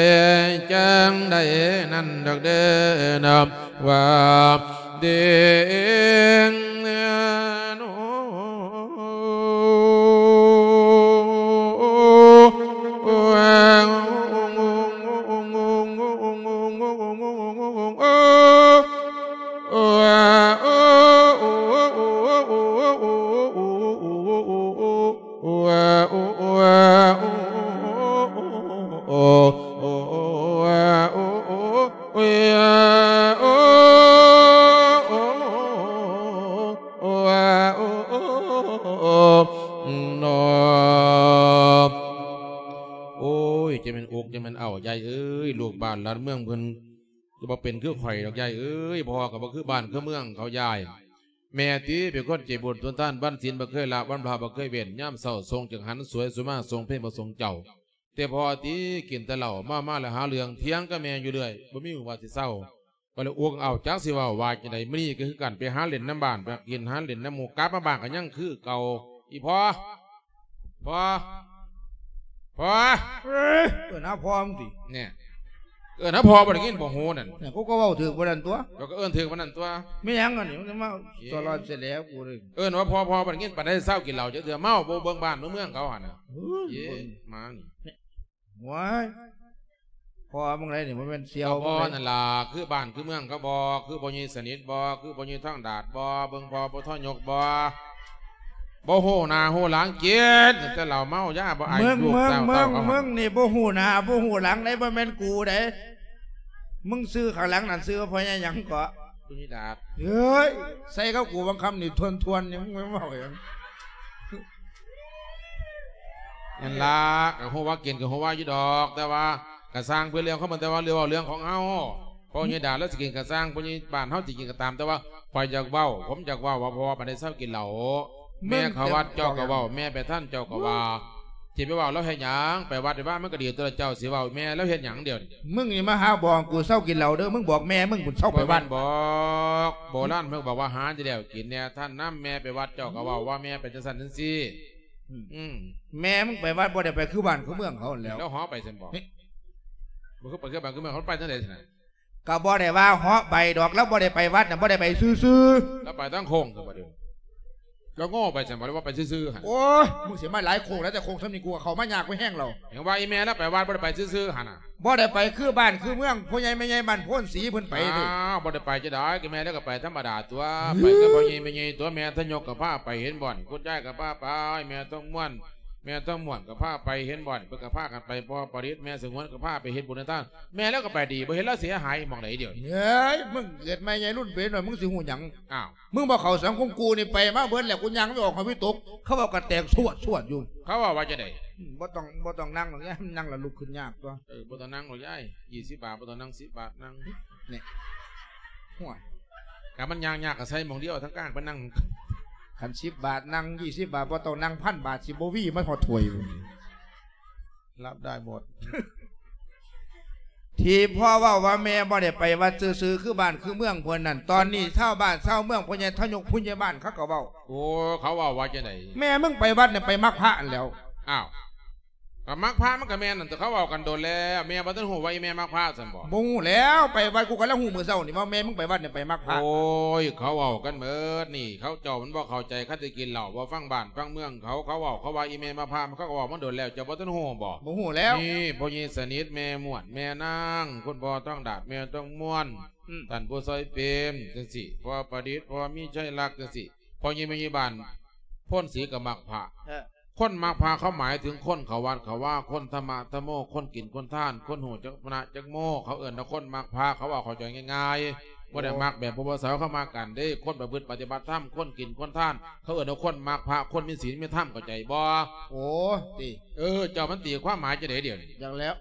ຈັ່ງໃດນັ້ນດອກເດີນຳ ວ່າເດ ໂອ້ຍ ຈະແມ່ນອົກຈະແມ່ນເອົ້າ ຍາຍເອີຍ ລູກບ້ານຫຼານເມືອງເພິ່ນ ຈະບໍ່ເປັນຄືຂ້ອຍດອກ ຍາຍເອີຍ ພໍ່ກະບໍ່ຄືບ້ານຄືເມືອງເຂົາ ຍາຍ ແມ່ຕິເປັນຄົນໃຈບຸນສຸນທານ ວັນສິນບໍ່ເຄີຍລະ ວັນພະບໍ່ເຄີຍເວັ້ນ ຍາມເຊົ້າສົ່ງຈັງຫັນ ສວຍສຸມາສົ່ງເພງບໍ່ສົ່ງເຈົ້າ ແຕ່ພໍ່ຕິກິນແຕ່ເຫຼົ້າ ເມົາມາແລ້ວຫາເລື່ອງ ຖຽງກັບແມ່ຢູ່ເລື້ອຍ ບໍ່ມີມື້ວ່າຊິເຊົາ ກໍເລີຍອົກເອົ້າ ຈັກຊິເວົ້າວ່າຈັ່ງໃດ ມື້ນີ້ກໍຄືກັນ ໄປຫາຫຼິ້ນນຳບ້ານ ໄປກິນຫາຫຼິ້ນນຳໝູ່ ກັບມາບ້ານກໍຍັງຄືເກົ່າ ອີ່ພໍ່ ພໍ່ ພໍ່ ເອີ້ຍ ເອີ້ນຫາພໍ່ມຶງຕິ ແນ່ ເອີ້ນຫາພໍ່ບໍ່ໄດ້ຍິນບໍ່ຫູນັ້ນ. ນັ້ນ ກູກໍເວົ້າຖືກປານນັ້ນຕົວະ. ເຈົ້າກໍເອີ້ນຖືກປານນັ້ນຕົວະ. ແມ່ນຫຍັງອັນນີ້ ມັນມາ ເອີ ສະຫຼອດເສຍແລ້ວກູເລີຍ. ເອີ້ນວ່າພໍ່ ພໍ່ບໍ່ໄດ້ຍິນປານໃດ ເຊົາກິນເຫຼົ້າຈັກເທື່ອ. ເມົາບໍ່ເບິ່ງບ້ານເມືອງເຂົາຫັ້ນນະ. ເອີ ເອີ ເບິ່ງ ໝານີ້. ໂອ້ຍ ພໍ່ມຶງໃດນີ້ ບໍ່ແມ່ນສ່ຽວ ພໍ່ນັ້ນລະ ຄືບ້ານຄືເມືອງເຂົາບໍ່? ຄືພໍ່ໃຫຍ່ສະໜິດບໍ່? ຄືພໍ່ໃຫຍ່ທອງດາດບໍ່? ເບິ່ງພໍ່ບໍ່ ທະຍົກບໍ່? ບໍ່ຮູ້ໜ້າຮູ້ຫຼັງ ກິນແຕ່ເຫຼົ້າເມົາຢາ ບໍ່ອາຍລູກເຕົ້າເຕົ້າເຂົາ. ມຶງນີ້ບໍ່ຮູ້ໜ້າບໍ່ຮູ້ຫຼັງເດ້ ບໍ່ແມ່ນກູເດ້. ມຶງຊື່ຂ້າງຫຼັງນັ້ນຊື່ວ່າພໍ່ໃຫຍ່ຫຍັງເກາະ? ຜູ້ໃຫຍ່ດາດ. ເອີຍ ໃສ່ກັບກູບາງຄຳນີ້ທວນໆ ຍັງເວົ້າຫຍັງ. ນັ້ນລະ ກໍຮູ້ວ່າກິນກໍຮູ້ວ່າຢູ່ດອກ ແຕ່ວ່າກໍຊ່າງເພິ່ນເລື່ອງຂອງເພິ່ນ ແຕ່ວ່າເລື່ອງເວົ້າເລື່ອງຂອງເຮົາ. ພໍ່ໃຫຍ່ດາດລາວຊິກິນກໍຊ່າງ ພໍ່ໃຫຍ່ບ້ານເຮົາຊິກິນກໍຕາມ ແຕ່ວ່າຂ້ອຍຢາກເວົ້າ ຜົມຢາກເວົ້າວ່າ ພໍ່ປານໃດເຊົາກິນເຫຼົ້າ. ແມ່ເຂົ້າວັດເຈົ້າກໍເວົ້າ ແມ່ໄປທຳເຈົ້າກໍວ່າ ຊິໄປເວົ້າລາວເຮັດຫຍັງ? ໄປວັດໄປວາມັນກໍດີຕົວະ ເຈົ້າຊິເວົ້າແມ່ລາວເຮັດຫຍັງດຽວນີ້? ມຶງນີ້ມາຫາບອກກູເຊົາກິນເຫຼົ້າເດີ ມຶງບອກແມ່ມຶງພຸ້ນເຊົາໄປວັດ. ບໍ່ແມ່ນບອກ ໂບລານເພິ່ນບອກວ່າ ຫາຢູ່ແລ້ວກິນແນ່ ທ່ານນຳແມ່ໄປວັດ ເຈົ້າກໍເວົ້າວ່າແມ່ໄປຈັ່ງຊັ້ນຈັ່ງຊີ້. ອືມ ອືມ ແມ່ມຶງໄປວັດບໍ່ໄດ້ໄປຄືບ້ານຄືເມືອງເຂົາຫັ້ນແຫຼ້ວ. ແລ້ວເຮົາໄປຊັ້ນບໍ່? ບໍ່ຄືໄປຄືບ້ານຄືເມືອງເຂົາ ໄປຈັ່ງໃດຊັ້ນນະ? ກໍບໍ່ໄດ້ວ່າເຮາະໄປດອກ ລາວບໍ່ໄດ້ໄປວັດນະ ບໍ່ໄດ້ໄປຊື່ໆ. ລາວໄປທາງໂຄ້ງຊັ້ນບໍ່ເດີ? ລາວໂງ່ໄປຊັ້ນບໍ່ ຫຼືວ່າໄປຊື່ໆຫັ້ນ? ໂອ້ຍ ມຶງຊິມາຫຼາຍໂຄ້ງແລ້ວ ແຕ່ໂຄ້ງສ່ຳນີ້ ກູກໍເຂົ້າມາຍາກໄປແຮງແລ້ວ. ຫຍັງວ່າອີ່ແມ່ລາວໄປວັດ ບໍ່ໄດ້ໄປຊື່ໆຫັ້ນນະ? ບໍ່ໄດ້ໄປຄືບ້ານຄືເມືອງ ພໍ່ໃຫຍ່ແມ່ໃຫຍ່ບ້ານໂພນສີເພິ່ນໄປເດ້. ອ້າວ ບໍ່ໄດ້ໄປຈັ່ງໃດ ກໍແມ່ລາວກໍໄປທຳມະດາຕົວະ. ອືມ ໄປກັບພໍ່ໃຫຍ່ແມ່ໃຫຍ່ຕົວະ ແມ່ທະຍົກກໍພາໄປ ເຫັນບໍ່ນີ້ ຄຸນຍາຍກໍພາໄປ ແມ່ທອງມ່ວນ ແມ່ທອງມ່ວນກໍພາໄປ ເຫັນບໍ່ນີ້ ເພິ່ນກໍພາກັນໄປ ພໍ່ປະດິດ ແມ່ສະຫງວນກໍພາໄປເຮັດບຸນເຮັດທານ. ແມ່ລາວກໍໄປດີ ບໍ່ເຫັນລາວເສຍຫາຍໝ່ອງໃດດຽວ. ເອີຍ ມຶງເກີດໃໝ່ໃຫຍ່ລຸ້ນເປັນໜ້ອຍ ມຶງຊິຮູ້ຫຍັງ? ອ້າວ ມຶງບໍ່ເຂົ້າສັງຄົມ ກູນີ້ໄປມາເບິດແລ້ວ ກູຍ່າງໄປອອກຫ້ອງວິຕົກ ເຂົາເວົ້າກັນແຕກຊວດໆຢູ່. ເຂົາເວົ້າວ່າຈັ່ງໃດ? ອືມ ບໍ່ຕ້ອງ ບໍ່ຕ້ອງນັ່ງດອກຍາຍ ນັ່ງແລ້ວລຸກຂຶ້ນຍາກຕົວະ. ເອີ ບໍ່ຕ້ອງນັ່ງດອກຍາຍ ຊາວບາດ ບໍ່ຕ້ອງນັ່ງ ສິບບາດນັ່ງ. ນີ້ ໂອ້ຍ ກະມັນຍ່າງຍາກກໍໃສ່ໝ່ອງດຽວ ທາງກາງໄປນັ່ງ. ຄັນສິບບາດນັ່ງ ຊາວບາດ ບໍ່ຕ້ອງນັ່ງ ພັນບາດ ຊິບໍ່ວີມາຮອດຖ້ວຍ. ຮັບໄດ້ໝົດ. ທີ່ພໍ່ເວົ້າວ່າແມ່ບໍ່ໄດ້ໄປວັດຊື່ໆ ຄືບ້ານຄືເມືອງເພິ່ນນັ້ນ ຕອນນີ້ຊາວບ້ານຊາວເມືອງ ພໍ່ໃຫຍ່ທະຍົກ ຜູ້ໃຫຍ່ບ້ານ ເຂົາກໍເວົ້າ. ໂອ້ ເຂົາເວົ້າວ່າຈັ່ງໃດ? ແມ່ມຶງໄປວັດນີ້ໄປມັກພະຫັ້ນແຫຼ້ວ. ອ້າວ ກໍມັກພະມັນກໍແມ່ນນັ້ນ ແຕ່ເຂົາເວົ້າກັນດົນແລ້ວ ແມ່ບໍ່ທັນຮູ້ວ່າອີ່ແມ່ມັກພະຊັ້ນບໍ່? ບໍ່ຮູ້ແລ້ວ ໄປວັດ ກູກໍລະຮູ້ມື້ເຊົ້ານີ້ວ່າແມ່ມຶງໄປວັດນີ້ໄປມັກພະ. ໂອ້ຍ ເຂົາເວົ້າກັນໝົດນີ້ ເຂົາເຈົ້າມັນບໍ່ເຂົ້າໃຈ ຄັນໄດ້ກິນເຫຼົ້າ ບໍ່ຟັງບ້ານຟັງເມືອງເຂົາ ເຂົາເວົ້າ ເຂົາວ່າອີ່ແມ່ມັກພະ ເຂົາກໍເວົ້າມາດົນແລ້ວ ເຈົ້າບໍ່ທັນຮູ້ບໍ່? ບໍ່ຮູ້ແລ້ວ. ນີ້ ພໍ່ໃຫຍ່ສະໜິດ ແມ່ມ່ວນ ແມ່ນາງ ຄຸນພໍ່ທອງດາດ ແມ່ທອງມ່ວນ ອືມ ທ່ານຜູ້ຊ່ອຍເປັນຈັ່ງຊີ້ ພໍ່ປະດິດ ພໍ່ມີໄຊລັກຈັ່ງຊີ້ ພໍ່ໃຫຍ່ແມ່ໃຫຍ່ບ້ານໂພນສີກໍມັກພະ. ເອີ ຄົນມັກພະເຂົາໝາຍເຖິງຄົນເຂົ້າວັດເຂົ້າວາ ຄົນທຳມະທຳໂມ ຄົນກິນຄົນທານ ຄົນຮູ້ຈັກພະນະຈັກໂມ ເຂົາເອີ້ນວ່າຄົນມັກພະ. ເຂົາເວົ້າເຂົ້າໃຈງ່າຍໆ ບໍ່ໄດ້ມັກແບບພວກພວກເຮົາເຂົາມັກກັນເດ້. ຄົນປະພຶດປະຕິບັດທຳ ຄົນກິນຄົນທານ ເຂົາເອີ້ນວ່າຄົນມັກພະ ຄົນມີສິນມີທຳ ເຂົ້າໃຈບໍ່? ໂອ້ ຕິ ເອີ ເຈົ້າມັນຕີຄວາມໝາຍຈັ່ງໃດດຽວນີ້? ຈັ່ງແລ້ວ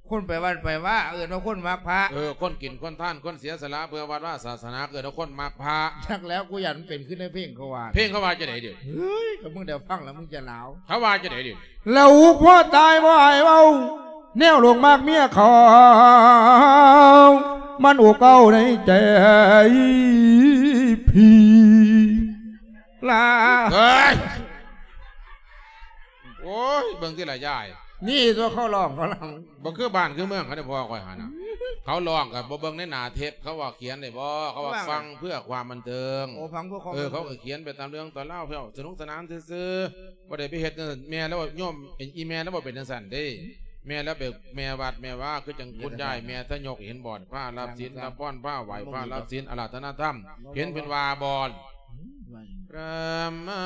ຄົນໄປວັດໄປວາ ເອີ້ນວ່າຄົນມັກພະ. ເອີ ຄົນກິນຄົນທານ ຄົນເສຍສະຫຼະເພື່ອວັດວາສາສະໜາ ເອີ້ນວ່າຄົນມັກພະ. ຈັກແລ້ວ ກູຢ້ານມັນເປັນຄືໃນເພງເຂົາວ່າ. ເພງເຂົາວ່າຈັ່ງໃດດຽວ? ເຮີ້ຍ ກໍມຶງໄດ້ຟັງແລ້ວມຶງຈະໜາວ. ເຂົາວ່າຈັ່ງໃດດຽວ? ລາວອຸກພໍຕາຍບໍ່ໃຫ້ເວົ້າ ແນວລູກມັກເມຍເຂົາ ມັນອຸກເກົ້າໃນໃຈພີ່ ລາ. ເຮີ້ຍ ໂອ້ຍ ເບິ່ງຕິລະຍາຍ ນີ້ຕົວະເຂົາຮ້ອງ ເຂົາຮ້ອງ ບໍ່ຄືບ້ານຄືເມືອງເຂົາເດ້ ພໍ່ຂ້ອຍຫັ້ນນະ. ເຂົາຮ້ອງກໍບໍ່ເບິ່ງໃນໜ້າເທັບ ເຂົາວ່າຂຽນໄດ້ບໍ່? ເຂົາວ່າຟັງເພື່ອຄວາມບັນເທີງ. ໂອ້ ຟັງເພື່ອຄວາມ ເອີ ບັນເທີງ ເຂົາກໍຂຽນໄປຕາມເລື່ອງຕາມລາວ ເພື່ອສະໜຸກສະໜານຊື່ໆ ບໍ່ໄດ້ໄປເຮັດແນວນັ້ນ. ແມ່ລາວ ໂຍມ ອີ່ແມ່ລາວບໍ່ເປັນຈັ່ງຊັ້ນເດ້. ແມ່ລາວເປັນແມ່ວັດແມ່ວາ ຄືຈັ່ງຄຸນຍາຍ ແມ່ທະຍົກ ເຫັນບໍ່? ພາຮັບສິນ ຮັບພອນ ພາໄຫວ້ ພາຮັບສິນ ອາລາທະນາທຳ ເຫັນເພິ່ນວ່າບໍ່? ລະມາ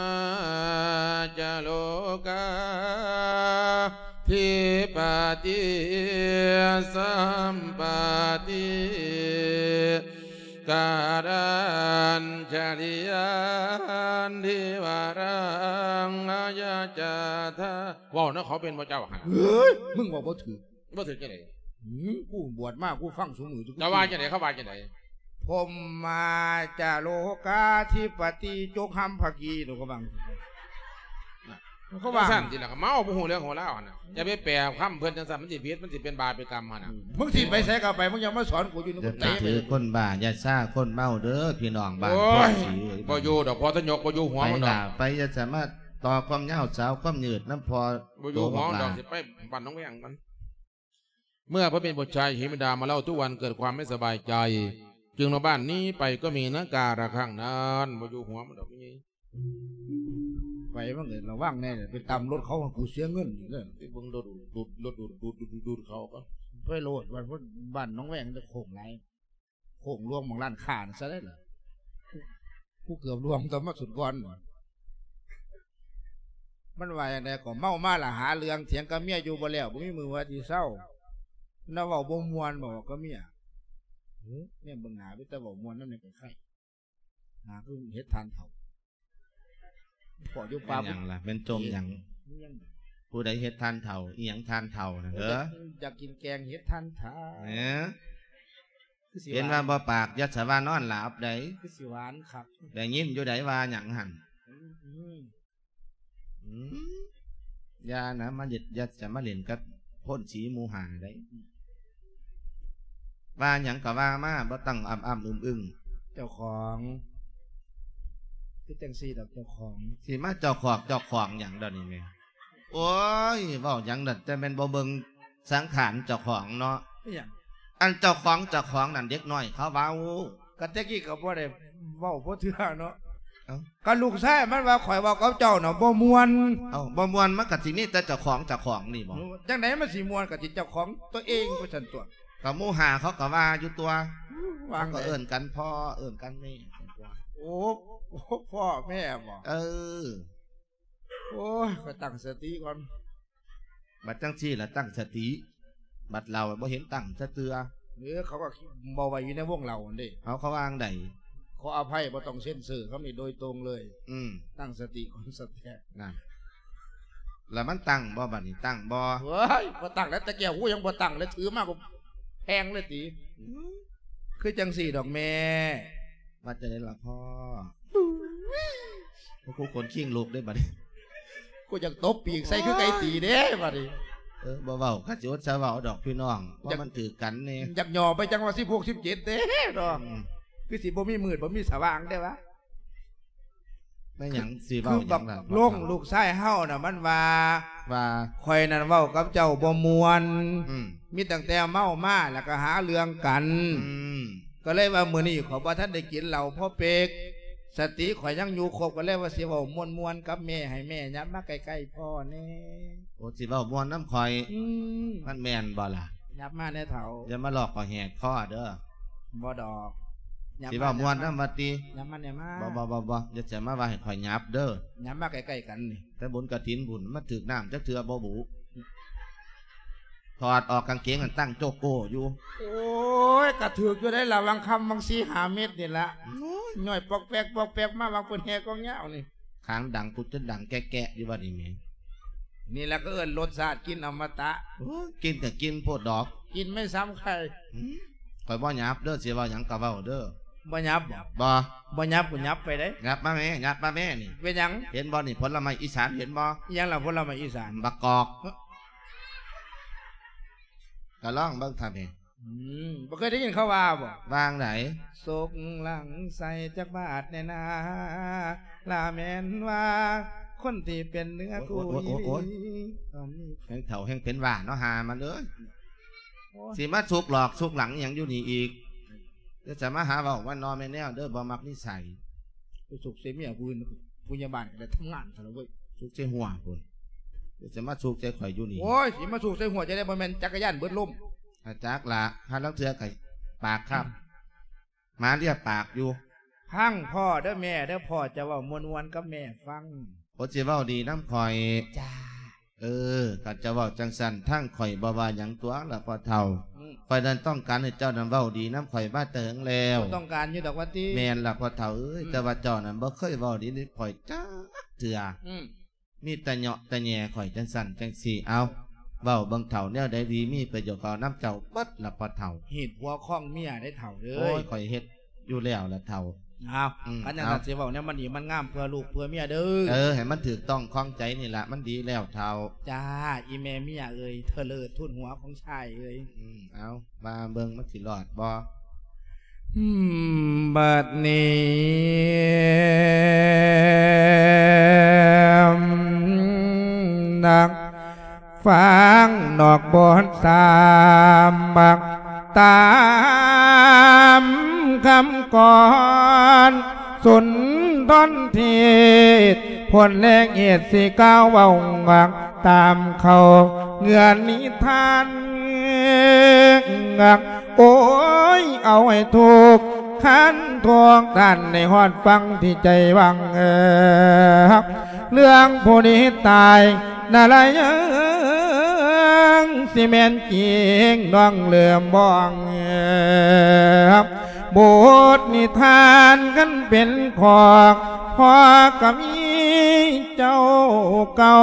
ຈະໂລກາທິປະຕິ ສຳປະຕິກາລັນຈະລິຍັນທິວະລັງອາຍະຈາທາ. ເວົ້ານຳເຂົາເປັນບໍ່ເຈົ້າຫັ້ນ? ເຮີ້ຍ ມຶງເວົ້າບໍ່ຖືກ. ບໍ່ຖືກຈັ່ງໃດ? ຫື ກູບວດມາ ກູຟັງຊຸມື້. ເຈົ້າວ່າຈັ່ງໃດ? ເຂົາວ່າຈັ່ງໃດ? ພົມມາຈະໂລກາທິປະຕິ ຈົກຫຳພະກີໂຕກະບັງ. ເຂົາວ່າຊັ້ນຕິລະ ກໍເມົາ ບໍ່ຮູ້ເລື່ອງຮູ້ລາວຫັ້ນນະ. ຢ່າໄປແປຄຳເພິ່ນຈັ່ງຊັ້ນ ມັນຊິຜິດ ມັນຊິເປັນບາບເປັນກຳຫັ້ນນະ. ອືມ ມຶງຊິໄປໃສກໍໄປ ມຶງຢ່າມາສອນກູຢູ່ນີ້. ຢ່າໄປຖືຄົນບ້າ ຢ່າຊາຄົນເມົາເດີພີ່ນ້ອງບ້ານໂພນສີເອີຍ. ບໍ່ຢູ່ດອກ ພໍ່ທະຍົກ ບໍ່ຢູ່ຫົວມັນດອກ. ໄປ ຢ່າສາມາດຕໍ່ຄວາມຍາວສາວຄວາມຍືດນຳພໍ່ ບໍ່ຢູ່ຫົວມັນດອກ. ຊິໄປບ້ານໜອງແວງມັນ เมื่อพระเป็นบุตรชายเห็นบิดามาเล่าทุกวันเกิดความไม่สบายใจ จึงนอกบ้านหนีไปก็มีนะกาละครั้งนั้น บ่อยู่หัวมันดอกนี่ ไปมันก็ระวังแน่ ไปตำรถเขา กูเสียเงินอีกแล้ว ไปเบิ่งรถดูด รถดูด ดูด ดูด ดูดเขาก็ ไปโลด บ้าน บ้านหนองแวงจะโค้งหลาย โค้งหลวงหม่องร้านค้านั่นซะได้ล่ะ ผู้เกือบล่วงตอนมาสุดก่อน มันว่าจั่งใดก็เมามาละหาเรื่องเถียงกับเมียอยู่บ่แล้ว บ่มีมื้อว่าสิเซา แล้วเว้าบ่ม่วน บอกกับเมีย เฮ้ย เนี่ยเบิ่งหน้าเป็นตาเว้าม่วนนำเนี่ยก็ไค หน้าคือเห็ดถ่านเฒ่า พออยู่ป่า แม่นหยังล่ะ แม่นจมหยัง ผู้ใดเห็ดถ่านเฒ่า อีหยังถ่านเฒ่าน่ะ เออ อยากกินแกงเห็ดถ่านเฒ่า เออ คือสิ เห็นว่าบ่ปาก อย่าสะว่านอนหลับใด คือสิหวานคัก ได้ยินอยู่ใดว่าหยังหั่น อืม อืม อย่านะ มาเล่น อย่าจะมาเล่นกับพ่นสีหมู่ห้าได้ ว่าหยังก็ว่ามา บ่ต้องอ้ำๆอึ้งๆ เจ้าของ คือจั่งซี้ดอกเจ้าของ สิมาเจ้าของ เจ้าของหยังดอกนี่แม่ โอ้ย เว้าหยังนั่น แต่แม่นบ่เบิ่งสังขารเจ้าของเนาะ อิหยัง อันเจ้าของ เจ้าของนั่นเด็กน้อยเขาเว้า ก็แต่กี้ก็บ่ได้เว้าพอเทื่อเนาะ เอ้า ก็ลูกชายมันว่าข้อยเว้ากับเจ้าน่ะบ่ม่วน เอ้า บ่ม่วนมันก็สิมีแต่เจ้าของ เจ้าของนี่บ่ จั่งใดมันสิม่วน ก็สิเจ้าของตัวเองว่าซั่นตั่ว ก็หมู่ห้าเขาก็ว่าอยู่ตั่ว ว่า เขาก็ ไง เอิ้นกันพ่อ เอิ้นกันแม่ โอ้ โอ้ พ่อแม่บ่ เออ โอ้ย ก็ตั้งสติก่อน บัดจั่งซี้ล่ะตั้งสติ บัดเล่าบ่เห็นตั้งซะเทื่อ เออ เขาก็บ่ไว้อยู่ในวงเล่าหั่นเด้ เอา เขาว่าจั่งใด ขออภัย บ่ต้องเซ็นเซอร์ คำนี้โดยตรงเลย อืม ตั้งสติก่อน สแตก นั่น แล้วมันตั้งบ่บัดนี้ ตั้งบ่ เฮ้ย บ่ตั้งแล้ว แต่แก้วหูยังบ่ตั้งเลย ถือมาก็แพงเลยติ อืม คือจั่งซี้ดอกแม่ ว่าจั่งใดล่ะพ่อ โอ้โห ขนคิงลุกเด้บัดนี้ กูอยากตบปีกใส่คือไก่ตีเด้บัดนี้ เออ บ่เว้า คันสิอดสาเว้าดอกพี่น้อง เพราะ อยาก มันถือกันนี่ อยากหย่อไปจังว่าสิบหก สิบเจ็ดเด้เนาะ อืม คือสิบ่มีมืดบ่มีสว่างเด้วะ แม่นหยังสิเว้าหยังล่ะ คือบักลงลูกชายเฮาน่ะ มันว่า ว่า ข้อยนั่นเว้ากับเจ้าบ่ม่วน อืม มีตั้งแต่เมามาแล้วก็หาเรื่องกัน อืม ก็เลยว่ามื้อนี้ข้อยบ่ทันได้กินเหล้าพอเป๊ก สติข้อยยังอยู่ครบ ก็เลยว่าสิเว้าม่วนๆกับแม่ ให้แม่ยับมาใกล้ๆพ่อแน่ โอ้ สิเว้าม่วนนำข้อย อืม มันแม่นบ่ล่ะ ยับมาแน่เฒ่า อย่ามาหลอกข้อยแหกคอเด้อ บ่ดอก ยับ สิเว้าม่วนนำว่าติ ยับมาแน่มา บ่ บ่ บ่ บ่ อย่าจะมาว่าให้ข้อยยับเด้อ ยับมาใกล้ๆกันนี่ แต่บุญกฐินบุญ มาถืกน้ำจักเทื่อบ่บุ ถอดออกกางเกงนั่นตั้งโจโก้อยู่ โอ้ย กะถืกอยู่ได้ละ วังค่ำวังสี่ห้าเม็ดนี่ละ โอ้ย ย่อยปอกแปกปอกแปกมา วังเพิ่นแห่กองยาวนี่ ขางดังปุดจนดังแกะๆอยู่บัดนี้แหม นี่ละก็เอิ้นรสชาติกินอมตะ โอ้ย กินก็กินโพดดอก กินไม่ซ้ำใคร อืม ข้อยบ่หยาบเด้อ สิเว้าหยังก็เว้าเด้อ บ่หยาบบ่ บ่ บ่หยาบ กูหยาบไปเด้ หยาบมาแม่ หยาบมาแม่นี่ เป็นหยัง เห็นบ่นี่ ผลไม้อีสาน เห็นบ่ อิหยังล่ะผลไม้อีสาน บักกอก ก็ลองเบิ่งท่านนี่ อืม บ่เคยได้ยินเขาว่าบ่ ว่าจั่งใด ศกหลังใส่จักบาทแน่นา ลาแม่นว่า คนที่เป็นเนื้อคู่ โอ๊ย โอ๊ย โอ๊ย อีหลี โอ๊ย ตอนนี้ แฮงเฒ่าแฮงเป็นหว้าเนาะ หามันเอ้ย โอ๊ย สิมาสุกหลอกสุกหลังอิหยังอยู่นี่อีก เดี๋ยวจะมาหาเว้าว่านอแม่แนวเด้อ บ่มักนิสัย ไปสุกใส่เมียผู้อื่น ผู้ใหญ่บ้านก็ได้ทำงานซะแล้วเว้ย สุกใส่หัวพุ้น เดี๋ยวจะมาสุกใส่ข่อยอยู่นี่ โอ๊ย สิมาสุกใส่หัวจะได้ บ่แม่นจักรยานเบิดลม อาจักละ หาลางเทื่อก็ปากคาบ หมาเลียปากอยู่ ฟังพ่อเด้อแม่เด้อ พ่อจะเว้าม่วนๆกับแม่ฟัง โอ้ สิเว้าดีนำข่อย จ้า เออ คันเจ้าเว้าจั่งซั้น ทางข่อยบ่ว่าหยังตั๊วล่ะพ่อเฒ่า อืม ข่อยนั้นต้องการให้เจ้านั้นเว้าดีนำข่อยมาแต่เหิงแล้ว บ่ต้องการอยู่ดอกว่าติ แม่นล่ะพ่อเฒ่าเอ้ย อืม แต่ว่าเจ้านั้นบ่เคยเว้าดีนำข่อยจักเทื่อ อืม มีแต่เหยาะแต่แหย่ข่อยจั่งซั้นจั่งซี้ เอ้า เว้าเบิ่งเฒ่า แนวใดดีมีประโยชน์ เว้านำเจ้าเบิดล่ะพ่อเฒ่า ฮีดผัวคองเมียได้เฒ่าเอ้ย โอ้ย ข่อยเฮ็ดอยู่แล้วล่ะเฒ่า เอ้า อืม คันจั่งซั้น เอ้า สิเว้าแนวมันดีมันงามเพื่อลูกเพื่อเมียเด้อ เออ ให้มันถูกต้องคองใจนี่ล่ะ มันดีแล้วเฒ่า จ้า อีแม่เมียเอ้ย เทอเลิศทุนหัวของชายเอ้ย อืม เอ้า ว่าเบิ่งมันสิรอดบ่ อืม บัดนี้ นัก ປາງນອກບົດສາມ ຕາມຄຳກອນສຸນທອນເທດ ຜົນແລກເຫດຊິກ່າວເວົ້າ ຕາມເຂົ້າເງື່ອນນິທານ ໂອ້ຍ ເອົາໃຫ້ທຸກທ່ານທຸກທ່ານ ໄດ້ຮອດຟັງທີ່ໃຈຫວັງ ເລື່ອງຜູ້ນີ້ຕາຍນະລາຍ ຊິແມ່ນຈິງນ້ອງເລີ່ມບອກ ບົດນິທານຄັນເປັນຂອງພໍ່ກະມີເຈົ້າເກົ່າ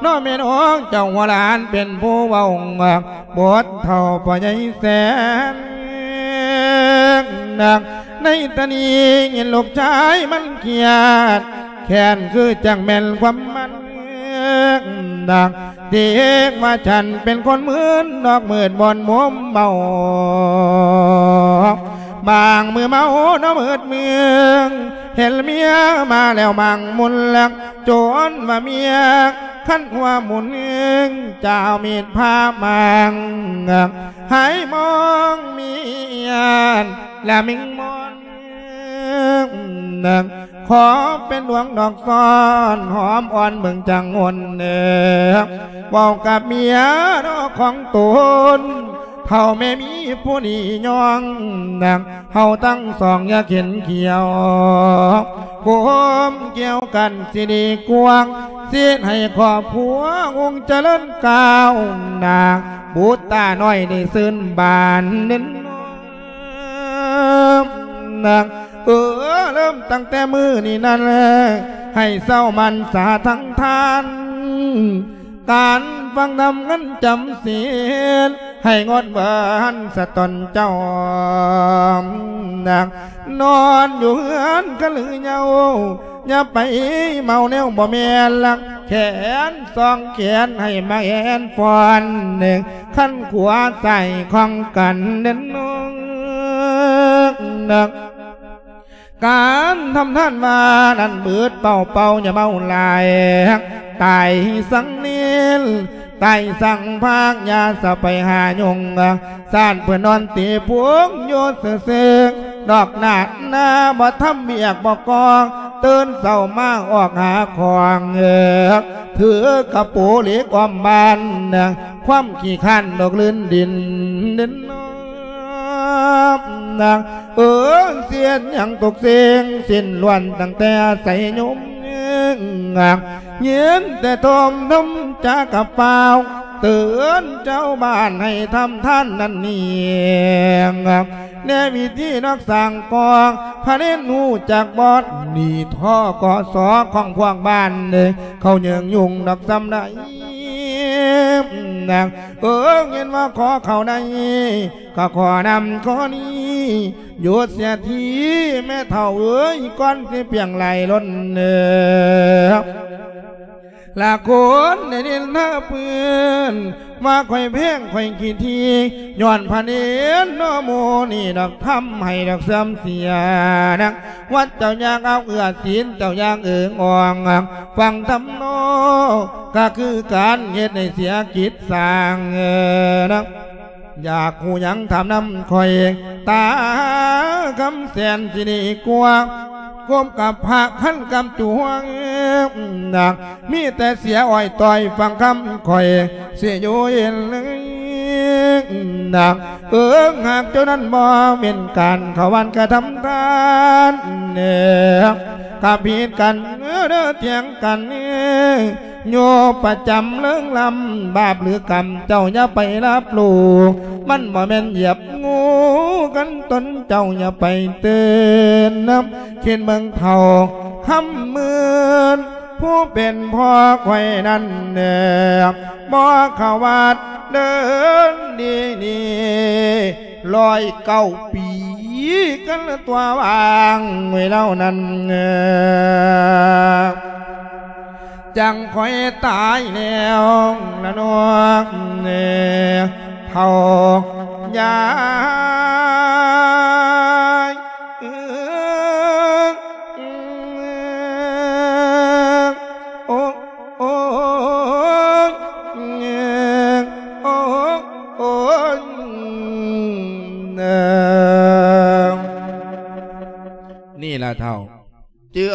ເນາະແມ່ນອົງເຈົ້າຫົວຫຼານເປັນຜູ້ເວົ້າ ບົດເຖົ້າພໍ່ໃຫຍ່ແສນ ໃນຕານີ້ເຫັນລູກຊາຍມັນຄຽດ ແຄ້ນຄືຈັ່ງແມ່ນຄວາມມັນ ເດັກວ່າສັນເປັນຄົນມຶນ ນອກມືດບ່ອນມົມເມົາ ບາງມື້ເມົານອກມືດເມືອງ ເຫັນເມຍມາແລ້ວມັງມຸນລັກ ຈົນວ່າເມຍຄັນຫົວໝູນ ຈະເອົາມີດຜ່າມາງ ໃຫ້ມອງເມຍ ລະມິງມອນ ຂໍເປັນດວງດອກຊ້ອນ ຫອມອ່ອນເບິ່ງຈັງຫົນ ເວົ້າກັບເມຍເນາະຂອງຕົນ ເຖົ້າແມ່ມີຜູ້ນີ້ຍ້ອງ ເຮົາທັງສອງຢ່າເຂັນຂຽວ ຄວາມກ່ຽວກັນຊິດີກວ່າ ຊິເຮັດໃຫ້ຄອບຄົວຮຸ່ງຈະເລີນກ້າວໜ້າ ບຸດຕານ້ອຍໄດ້ຊື່ນບານເນັ້ນ ເອີ ເລີ່ມຕັ້ງແຕ່ມື້ນີ້ນັ້ນ ໃຫ້ເຊົາໝັ້ນສາທັງທ່ານ ການຟັງທຳເງິນຈຳສິນ ໃຫ້ງົດເວັ້ນສະຕົນເຈົ້າ ນອນຢູ່ເຮືອນກະລືເຍົາ ຢ່າໄປເມົາແນວບໍ່ແມ່ນລັກ ແຂນສອງແຂນໃຫ້ມາແອນຟອນ ຄັນຂວາຊ້າຍຂອງກັນເດີນ້ອງ ການທຳທານວ່ານັ້ນບືດເປົ່າໆ ຢ່າເມົາຫຼາຍ ຕາຍສັງເນນ ຕາຍສັງພາກ ຢ່າສະໄປຫາຫຍຸ້ງ ຊາດເພິ່ນນອນຕີພຸງຢູ່ຊື່ໆ ນອກໜ້າໜ້າບໍ່ທຳວຽກບໍ່ກໍ່ ຕື່ນເຊົ້າມາອອກຫາຂອງ ເອີ ຖືກະໂປເຫຼັກອ້ອມບ້ານ ຄວາມຂີ້ຄ້ານດອກລື່ນດິນ ດິນ ເອີ ເສຍຫຍັງທຸກສິ່ງສິ້ນລ້ວນ ຕັ້ງແຕ່ອາໄສຍົມ ຍິນແຕ່ໂທມນຳຈາກະປາວ ເຕືອນເຈົ້າບ້ານໃຫ້ທຳທານນັ້ນນີ້ ແນວິທີນອກສ້າງກອງ ພະເນນຮູ້ຈັກບໍ່ ໜີທໍ່ກໍສອຂອງພວກບ້ານ ເຂົາເຍີງຍຸງດອກສ່ຳໃດ ເອີ ເຫັນວ່າຂໍເຂົ້າໃນ ກໍຂໍນຳຂໍ້ນີ້ ຢຸດເສຍທີແມ່ເຖົ້າເອີຍ ກ່ອນຊິປ່ຽງຫຼາຍລົ້ນເອີ ລະຄົນໄດ້ນິນທາເພິ່ນ ວ່າຂ້ອຍແພງຂ້ອຍຂີ້ຖີ່ ຍ້ອນພະເນນເນາະໝູ່ນີ້ດອກ ທຳໃຫ້ດອກເສື່ອມເສຍນະ ວັດເຈົ້າຢ່າເອົາເອື້ອ ສິນເຈົ້າຢ່າເອີງອ່ອງ ຟັງທຳເນາະ ກໍຄືການເຮັດໃຫ້ເສຍກິດສ້າງນະ ຢາກຮູ້ຫຍັງຖາມນຳຂ້ອຍ ຕາຄຳແສນຊິດີກວ່າ ຄົບກັບພະຄັນກຳຈວງ ມີແຕ່ເສຍອ້ອຍຕ້ອຍ ຟັງຄຳຂ້ອຍຊິຢູ່ເຫັນ ເອີງຫາກເຈົ້ານັ້ນບໍ່ເປັນການເຂົ້າວັດກະທຳທານ ກະຜິດກັນເດີ ຖຽງກັນ ໂຍປະຈຳເລີງລຳ ບາບຫຼືກຳເຈົ້າຢ່າໄປຮັບຮູ້ ມັນບໍ່ແມ່ນຢຽບງູ ກັນຕົນເຈົ້າຢ່າໄປຕື່ນ ຄິດເບິ່ງເຖົ້າຄຳໝື່ນ ຜູ້ເປັນພໍ່ຂ້ອຍນັ້ນແນບ ບໍ່ເຂົ້າວັດເດີນດີນີ້ ຮ້ອຍເກົ້າປີກັນຕົວວາງໄວ້ເຫຼົ່ານັ້ນ ຈັ່ງຂ້ອຍຕາຍແລ້ວລະນ້ອງເອີ ເຖົ້າຍາຍ ໂອ້ ໂອ້ຍ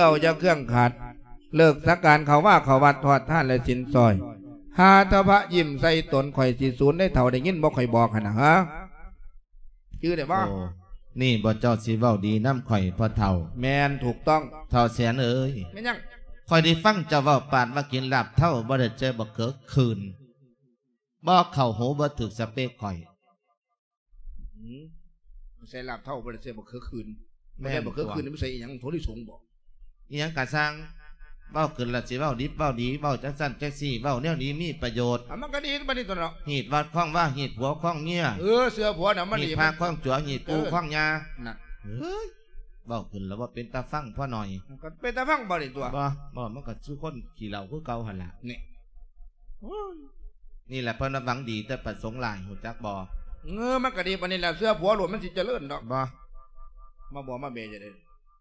ເຈົ້າຢ່າເຄື່ອງຂັດ ເລີກສັກການເຂົ້າວາເຂົ້າວັດ ທອດທານແລະສິນສອຍ ຫາແຕ່ພະຍິ້ມໃສ່ຕົນ ຂ້ອຍຊິສູນໃດເຖົ້າ ໄດ້ຍິນບໍ່ຂ້ອຍບອກຫັ້ນນະ ຫາ ຈື່ໄດ້ບໍ່? ໂອ້ ນີ້ບໍ່ເຈົ້າຊິເວົ້າດີນຳຂ້ອຍພໍ່ເຖົ້າ? ແມ່ນ ຖືກຕ້ອງ. ເຖົ້າແສນເອີຍ ແມ່ນຫຍັງ? ຂ້ອຍໄດ້ຟັງເຈົ້າເວົ້າປານວ່າກິນລາບເທົາບໍ່ໄດ້ໃສ່ບັກເຂືອຄືນ ບໍ່ເຂົ້າຫູ ບໍ່ຖືກສະເປກຂ້ອຍ. ອືມ ໃສ່ລາບເທົາບໍ່ໄດ້ໃສ່ບັກເຂືອຄືນ. ແມ່ນ ບໍ່ໄດ້ບັກເຂືອຄືນ ຕົວະ ມັນໃສ່ອີ່ຫຍັງ? ຖົ່ວລິສົງບໍ? ອີ່ຫຍັງກະຊ່າງ ເວົ້າຂຶ້ນລະຊິເວົ້າດິບເວົ້າດີ ເວົ້າຈັ່ງຊັ້ນຈັ່ງຊີ້ ເວົ້າແນວດີມີປະໂຫຍດ. ອ່ະ ມັນກະດີປານນີ້ຕົວະເນາະ. ຮີດວັດຄອງວາ ຮີດຜົວຄອງເມຍ. ເອີ ເຊື່ອຜົວນະມັນດີ. ຮີດພະຄອງຈົວ ຮີດປູ່ ເອີ ຄອງຍ່າ. ນັ້ນ ເອີຍ ເວົ້າຂຶ້ນລະບໍ່ເປັນຕາຟັງພໍໜ້ອຍ. ມັນກະເປັນຕາຟັງບໍ່ນີ້ຕົວະ? ບໍ່ ບໍ່ ມັນກະຄືຄົນຂີ້ເຫຼົ້າຄືເກົ່າຫັ້ນລະ. ນີ້ ໂອ້ຍ ນີ້ແຫຼະເພິ່ນວ່າຫວັງດີແຕ່ປະສົງຮ້າຍ ຮູ້ຈັກບໍ່? ເອີ ມັນກະດີປານນີ້ແຫຼະ ເຊື່ອຜົວໂລດ ມັນຊິຈະເລີນດອກ. ບໍ່ ມາບໍ່ມາເບຈັ່ງໃດ?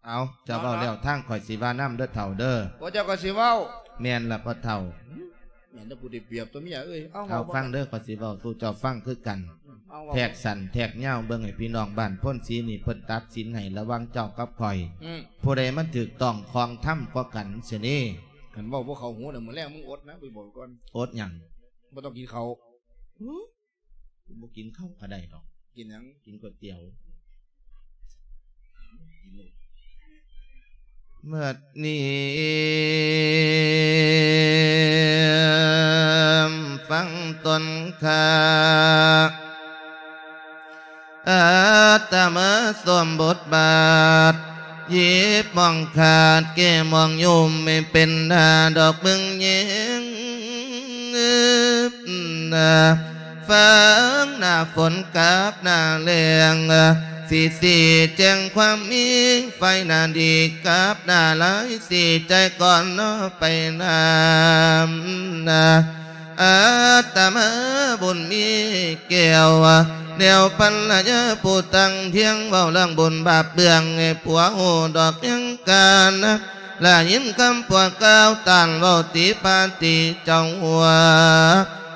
ເອົາ ເຈົ້າເວົ້າແລ້ວ ເນາະ ທາງຂ້ອຍຊິວ່ານຳເດີເຖົ້າເດີ. ໂອ້ ເຈົ້າກໍຊິເວົ້າ? ແມ່ນລະພໍ່ເຖົ້າ. ແມ່ນແຕ່ຜູ້ໄດ້ປຽບຕົວະເມຍເອີຍ. ເອົາ ເອົາ ເວົ້າ ຟັງເດີ ຂ້ອຍຊິເວົ້າສູ່ເຈົ້າຟັງຄືກັນ. ເອົາ ເວົ້າ ແທກສັ້ນແທກຍາວເບິ່ງໃຫ້ພີ່ນ້ອງບ້ານໂພນສີນີ້ເພິ່ນຕັດສິນໃຫ້ລະຫວ່າງເຈົ້າກັບຂ້ອຍ. ອືມ ຜູ້ໃດມັນຖືກຕ້ອງຄອງທຳກວ່າກັນຊະນີ້. ຄັນເວົ້າບໍ່ເຂົ້າຫູນະ ມື້ແລງມຶງອົດນະ ຂ້ອຍບອກກ່ອນ. ອົດຫຍັງ? ບໍ່ຕ້ອງກິນເຂົ້າ. ຫື ບໍ່ກິນເຂົ້າກະໄດ້ດອກ. ກິນຫຍັງ? ກິນກ໋ວຍຕຽວ. ກິນໂລດ. ເມື່ອນີ້ຟັງຕົນຂ້າ ອາດຕະມາສວມບົດບາດ ຫຍິບໝ້ອງຂາດແກ້ໝ້ອງຍຸ່ມ ໃຫ້ເປັນໜ້າດອກເບິ່ງແຍງ ຟັງໜ້າຝົນກັບໜ້າແລ້ງ ຊິຊີ້ແຈງຄວາມມີ ຝ່າຍໜ້າດີກັບໜ້າລາຍ ຊີ້ແຈງກ່ອນເນາະໄປນຳ ອາດຕະມາບຸນມີແກ້ວ ແນວພັນລະຍາຜູ້ຕັ້ງທຽງ ເວົ້າເລື່ອງບຸນບາບເບື້ອງ ໃຫ້ຜົວຮູ້ດອກຍັງການ ລະຍິນຄຳຜົວກ່າວ ຕ້ານເວົ້າຕິພາຕິເຈົ້າຫົວ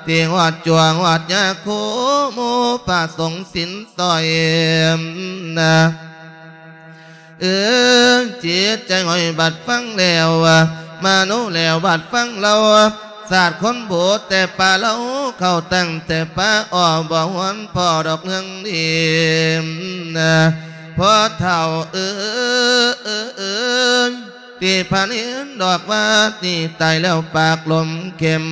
ທີ່ຮອດຈົວຮອດຍາຄູ ໝູ່ພະສົງສິນສອຍນະ. ເອີ ຈິດໃຈຫ້ອຍບັດຟັງແລ້ວ ມະໂນແລ້ວບັດຟັງເລົ່າ ສາດຄົນບູດແຕ່ປາເລົ່າ ເຂົ້າຕັ້ງແຕ່ປາອໍ ບໍ່ຫວນພໍດອກເລື່ອງດີນະ ພໍ່ເຖົ້າເອີຍ. ທີ່ພະເນນດອກວ່າ ນີ້ຕາຍແລ້ວປາກລົມເຂັມ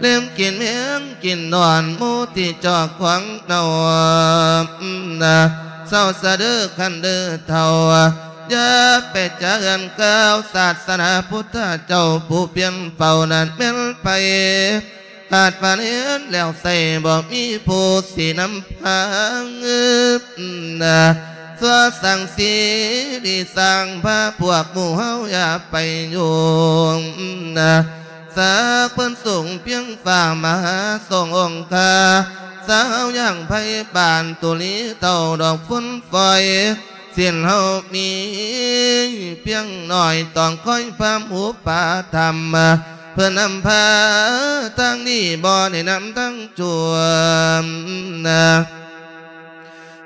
ເລັມກິນແມງກິນນອນ ໝູ່ທີ່ຈອກຂວາງເນົ່ານະ ເຊົາຊະເດີຄັນເດີເຖົ້າ ຢ່າໄປຈາເຮືອນກ່າວ ສາສະໜາພຸດທະເຈົ້າ ຜູ້ປ່ຽນເປົ່ານັ້ນແມ່ນໃຜ? ຂາດພະເນນແລ້ວໃສ ບໍ່ມີຜູ້ຊິນຳພາ ຊົ່ວສ້າງສີດີສ້າງພາ ພວກໝູ່ເຮົາຢ່າໄປຫຍຸ້ງ ສັກເພິ່ນສູງພຽງຟ້າ ມະຫາຊົງອົງຄາ ສາວຢ່າງໄພບານ ຕຸລີເຕົ້າດອກຝຸ່ນຝອຍ ສິນເຮົາມີພຽງໜ້ອຍ ຕ້ອງຄອຍພາມອຸປະຖຳ ເພື່ອນຳພາທາງດີ ບໍ່ແນະນຳທາງຊົ່ວນະ.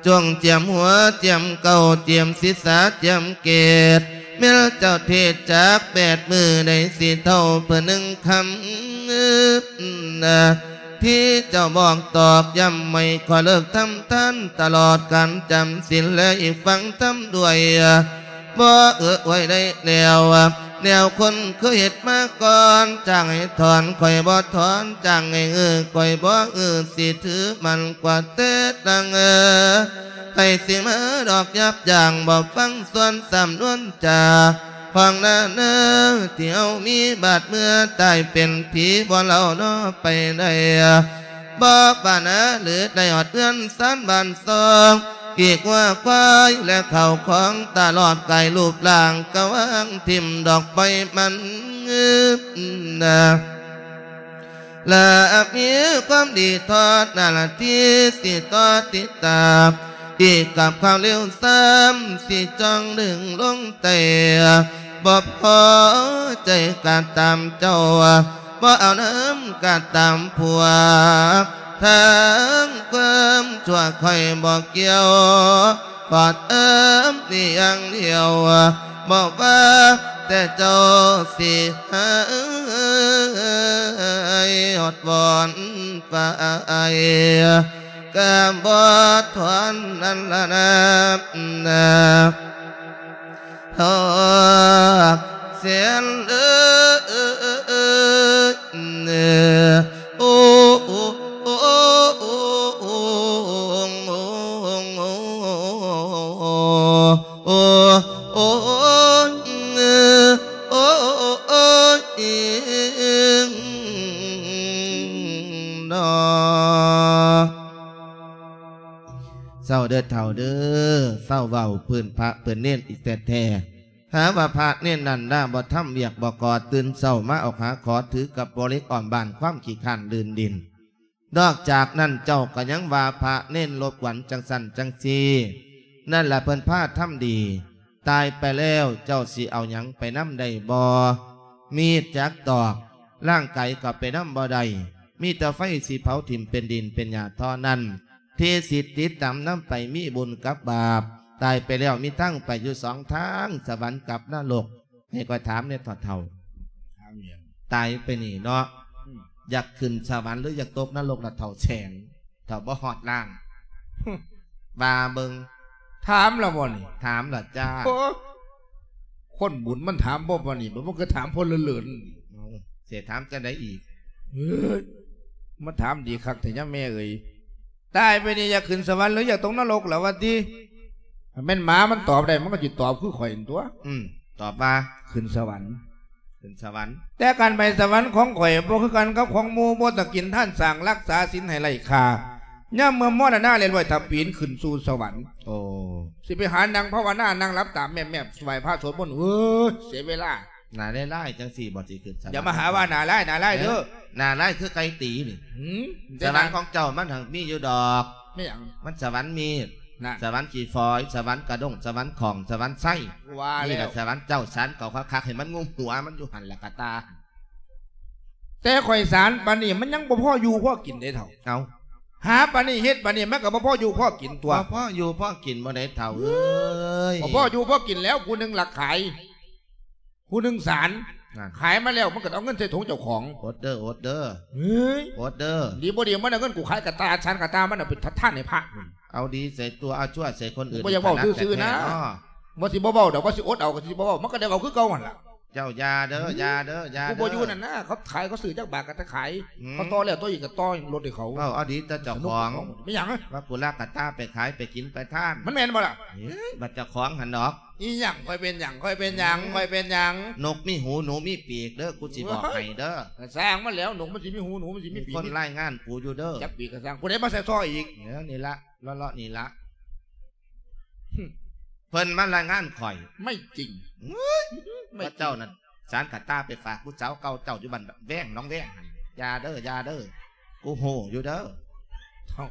ຈົ່ງຈຽມຫົວຈຽມເກົ້າ ຈຽມສິດສາຈຽມເກດ ແມ່ນເຈົ້າເທດຈັກແປດມື້ ໄດ້ສິເທົ່າເພິ່ນໜຶ່ງຄຳນະ. ທີ່ເຈົ້າບອກຕອກຢ້ຳໃຫ້ ຂໍເລີກທຳທານຕະຫຼອດການຈຳສິນ ແລະ ອີກຟັງທຳດ້ວຍ ບໍ່ເອື້ອອວຍໄດ້ແລ້ວ ແນວຄົນເຄີຍເຮັດມາກ່ອນ ຈ້າງໃຫ້ຖອນຂ້ອຍບໍ່ຖອນ ຈ້າງໃຫ້ອື້ອຂ້ອຍບໍ່ອື້ອ ຊິຖືໝັ້ນກວ່າແຕ່ຕັ້ງ ໃຜຊິມາດອກຫຍາບຢ່າງ ບໍ່ຟັງສ່ວນສຳນວນຈາ ຂອງນານາ ທີ່ເຮົາມີບາດເມື່ອຕາຍເປັນຜີບໍ່ເລົ່າເນາະໄປໄດ້ ບໍ່ປານາຫຼືໄດ້ຮອດເຮືອນຊານບ້ານຊ່ອງ ກີກງົວຄວາຍ ແລະ ເຂົ້າຂອງຕະຫຼອດກາຍຮູບຮ່າງກະວາງຖິ້ມດອກໄມ້ມັນງືບນາ ລະມີຄວາມດີທອດໜ້າລະທີ່ ຊິຕໍ່ຕິດຕາມ ອີກກັບຄວາມເລວຊ້ຳ ຊິຈ້ອງດຶງລົງແຕ່ ບໍ່ພໍໃຈກະຕາມເຈົ້າ ບໍ່ເອົານຳກະຕາມພວກ ທາງຄວາມຊົ່ວຂ້ອຍບໍ່ກ່ຽວ ກອດເອີ້ມນີ້ຢ່າງດຽວ ບໍ່ວ່າ ແຕ່ເຈົ້າຊິໃຫ້ອດວອນໄປ ກະບໍ່ທອນນັ້ນລະນາ ຮອກແສນເອີຍ ໂອ້ ໂອ້ ໂອ້ ໂອ້ ໂອ້ ໂອ້ ໂອ້ຍ ໂອ້ຍ ເນາະ. ເຊົາເດີເຖົ້າເດີ ເຊົາເວົ້າພື້ນພະເພິ່ນເນນອີກແທ້ໆ. ຫາວ່າພະເນນນັ້ນນາບໍ່ທຳວຽກບໍ່ກໍ່ ຕື່ນເຊົ້າມາອອກຫາຂໍຖືກັບບໍ່ເຫຼັກອ້ອມບ້ານ ຄວາມຂີ້ຄ້ານລື່ນດິນ. ນອກຈາກນັ້ນເຈົ້າກໍຍັງວ່າພະເນນລົບກວນຈັ່ງຊັ້ນຈັ່ງຊີ້. ນັ້ນລະເພິ່ນພາທຳດີ. ຕາຍໄປແລ້ວເຈົ້າຊິເອົາຫຍັງໄປນຳໄດ້ບໍ່? ມີດຈັກຕອກ, ຮ່າງກາຍກໍໄປນຳບໍ່ໄດ້, ມີແຕ່ໄຟຊິເຜົາຖິ້ມເປັນດິນເປັນຫຍ້າທໍ່ນັ້ນ. ທີ່ຊິຕິດຕາມນຳໄປມີບຸນກັບບາບ. ຕາຍໄປແລ້ວມີທາງໄປຢູ່ສອງທາງ, ສະຫວັນກັບນະລົກ. ໃຫ້ຂ້ອຍຖາມແດ່ເຖົ້າໆ. ຖາມຫຍັງ? ຕາຍໄປນີ້ເນາະ, ອືມ ຢາກຂຶ້ນສະຫວັນ ຫຼື ຢາກຕົກນະລົກລະເຖົ້າແສງ? ເຖົ້າບໍ່ຮອດລ້ານ ວ່າເບິ່ງ. ຖາມລະບໍ່ນີ້? ຖາມລະຈ້າ. ໂອ້ ຄົນບຸນມັນຖາມບໍ່ປານນີ້ ມັນຄືຖາມຄົນເລີນໆ. ເອົ້າ ເສຖາມຈັ່ງໃດອີກ? ເອີຍ ມາຖາມດີຄັກແທ້ຍາແມ່ເອີຍ. ຕາຍໄປນີ້ຢາກຂຶ້ນສະຫວັນ ຫຼື ຢາກຕົກນະລົກລະວ່າຕິ? ແມ່ນໝາມັນຕອບໄດ້ ມັນກໍຊິຕອບຄືຂ້ອຍຫັ້ນຕົວະ. ອືມ ຕອບວ່າ ຂຶ້ນສະຫວັນ. ຂຶ້ນສະຫວັນ. ແຕ່ການໄປສະຫວັນຂອງຂ້ອຍບໍ່ຄືກັນກັບຂອງໝູ່, ບໍ່ຕ້ອງກິນທານສ້າງ ຮັກສາສິນໃຫ້ໄຮ້ຄ່າ. ຍາມເມື່ອມໍລະນະເລັດລ້ອຍ ຖ້າປີນຂຶ້ນສູ່ສະຫວັນ. ໂອ້ ຊິໄປຫານັ່ງພາວະນາ ນັ່ງຫຼັບຕາແມບໆ ໄຫວ້ພະສວດມົນ ເອີຍ ເສຍເວລາ. ໜ້າລາຍໆ ຈັ່ງຊີ້ບໍ່ຊິຂຶ້ນສະຫວັນ? ຢ່າມາຫາວ່າໜ້າລາຍ ໜ້າລາຍເດີ. ເອີ ໜ້າລາຍຄືໄກ່ຕີນີ້. ຫືມ? ສະຫວັນຂອງເຈົ້າມັນຫາກມີຢູ່ດອກ. ແມ່ນຫຍັງ? ມັນສະຫວັນມີດ. ນັ້ນ ສະຫວັນຂີ້ຝອຍ, ສະຫວັນກະດົ້ງ, ສະຫວັນຂອງ, ສະຫວັນໄຊ. ວ່າແລ້ວ ນີ້ລະສະຫວັນເຈົ້າ, ສານເຂົາຄັກໆ ໃຫ້ມັນງຸ້ມຫົວມັນຢູ່ຫັ້ນລະກະຕາ. ແຕ່ຂ້ອຍສານປານນີ້ມັນຍັງບໍ່ພໍຢູ່ພໍກິນເດ້ເຖົ້າ. ເອົ້າ ຫາປານນີ້ເຮັດປານນີ້ມັນກໍບໍ່ພໍຢູ່ພໍກິນຕົວະ. ບໍ່ພໍຢູ່ພໍກິນບໍ່ໄດ້ເຖົ້າເອີຍ. ບໍ່ພໍຢູ່ພໍກິນແລ້ວ ຜູ້ໜຶ່ງລັກຂາຍ ຜູ້ໜຶ່ງສານ ນັ້ນ ຂາຍມາແລ້ວມັນກໍເອົາເງິນໃສ່ຖົງເຈົ້າຂອງ. ອົດເດີ ອົດເດີ ເຮີ້ຍ ອົດເດີ. ດີບໍ່ດີມັນເອົາເງິນກູຂາຍກະຕ່າ ສານກະຕ່າ ມັນເອົາໄປທະທານໃຫ້ພະ. ເອົາດີໃສ່ຕົວ ເອົາຊົ່ວໃສ່ຄົນອື່ນ. ບໍ່ຢາກເວົ້າຊື່ໆນະ. ວ່າຊິບໍ່ເວົ້າດອກ ວ່າຊິອົດເອົາກໍຊິບໍ່ເວົ້າ ມັນກໍໄດ້ເວົ້າຄືເກົ່າຫັ້ນລະ. ເຈົ້າຢ່າເດີ ອືມ ຢ່າເດີ ຢ່າເດີ. ຜູ້ບໍ່ຢູ່ນັ້ນນະ ເຂົາຂາຍ ເຂົາຊື້ຈັກບາດກໍຕະຂາຍ. ອືມ ເຂົາຕໍ່ແລ້ວຕໍ່ອີກກໍຕໍ່ລົດໃຫ້ເຂົາ. ເວົ້າເອົາດີແຕ່ເຈົ້າຂອງ. ແມ່ນຫຍັງ? ວ່າກູລັກກະຕ່າໄປຂາຍໄປກິນໄປທານ. ມັນແມ່ນບໍ່ລະ? ເອີຍ ບັດເຈົ້າຂອງຫັ້ນດອກ. ອີຫຍັງ? ຂ້ອຍເປັນຫຍັງ? ຂ້ອຍເປັນຫຍັງ? ອືມ ຂ້ອຍເປັນຫຍັງ? ນົກມີຫູ ໜູມີປີກເດີ ກູຊິບອກໃຫ້ເດີ. ກະຊ່າງມັນແລ້ວ ນົກມັນຊິມີຫູ ໜູມັນຊິມີປີກ. ມີຄົນລາຍງານກູຢູ່ເດີ. ຈັກປີກກະຊ່າງ ຜູ້ໃດມາໃສ່ຊໍອີກ? ເອີ ນີ້ລະ ເລາະໆນີ້ລະ. ເພິ່ນມາລາຍງານຂ້ອຍ. ໄມ່ຈິງ. ເອີຍ ໄມ່ຈິງ. ເຈົ້ານັ້ນ ສານກະຕ່າໄປຝາກຜູ້ສາວເກົ່າເຈົ້າຢູ່ບ້ານແວງ ໜອງແວງຫັ້ນ. ຢ່າເດີ ຢ່າເດີ ກູຮູ້ຢູ່ເດີ. ເຖົ້າ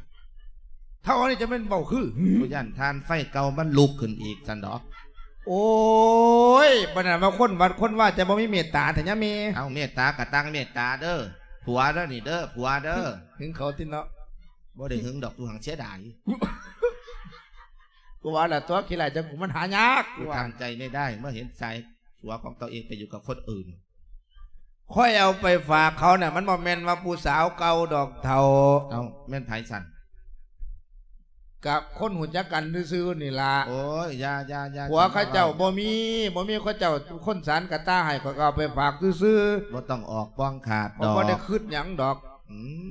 ເຖົ້າອັນນີ້ຈະແມ່ນເວົ້າຄື ກູຢ້ານຖ່ານໄຟເກົ່າມັນລຸກຂຶ້ນອີກຊັ້ນດອກ. ໂອ້ຍ ປານນັ້ນວ່າຄົນວັດຄົນວາຈະບໍ່ມີເມດຕາແທ້ຍາແມ່. ເອົາ ເມດຕາກະຕັ້ງເມດຕາເດີ. ຜົວເດີນີ້ເດີ ຜົວເດີ. ຫຶງເຂົາຕິເນາະ. ບໍ່ໄດ້ຫຶງດອກ ຕູຫາກເສຍດາຍ. ກູວ່າລະຕົວະ ຂີ້ຮ້າຍຈັງກູມັນຫາຍາກ. ກູທຳໃຈໄມ່ໄດ້ ເມື່ອເຫັນສາຍ ຜົວຂອງຕົວເອງໄປຢູ່ກັບຄົນອື່ນ. ຂ້ອຍເອົາໄປຝາກເຂົານະ ມັນບໍ່ແມ່ນວ່າຜູ້ສາວເກົ່າດອກເຖົ້າ. ເອົ້າ ແມ່ນໃຜຊັ້ນ? ກະຄົນຮູ້ຈັກກັນຊື່ໆນີ້ລະ. ໂອ້ຍ ຢ່າ ຢ່າ ຢ່າ. ຜົວເຂົາເຈົ້າບໍ່ມີ ບໍ່ມີ ເຂົາເຈົ້າຄົນສານກະຕ່າໃຫ້ ຂ້ອຍກໍເອົາໄປຝາກຊື່ໆ. ບໍ່ຕ້ອງອອກປ່ອງຂາດດອກ. ຂ້ອຍບໍ່ໄດ້ຄຶດຫຍັງດອກ. ອືມ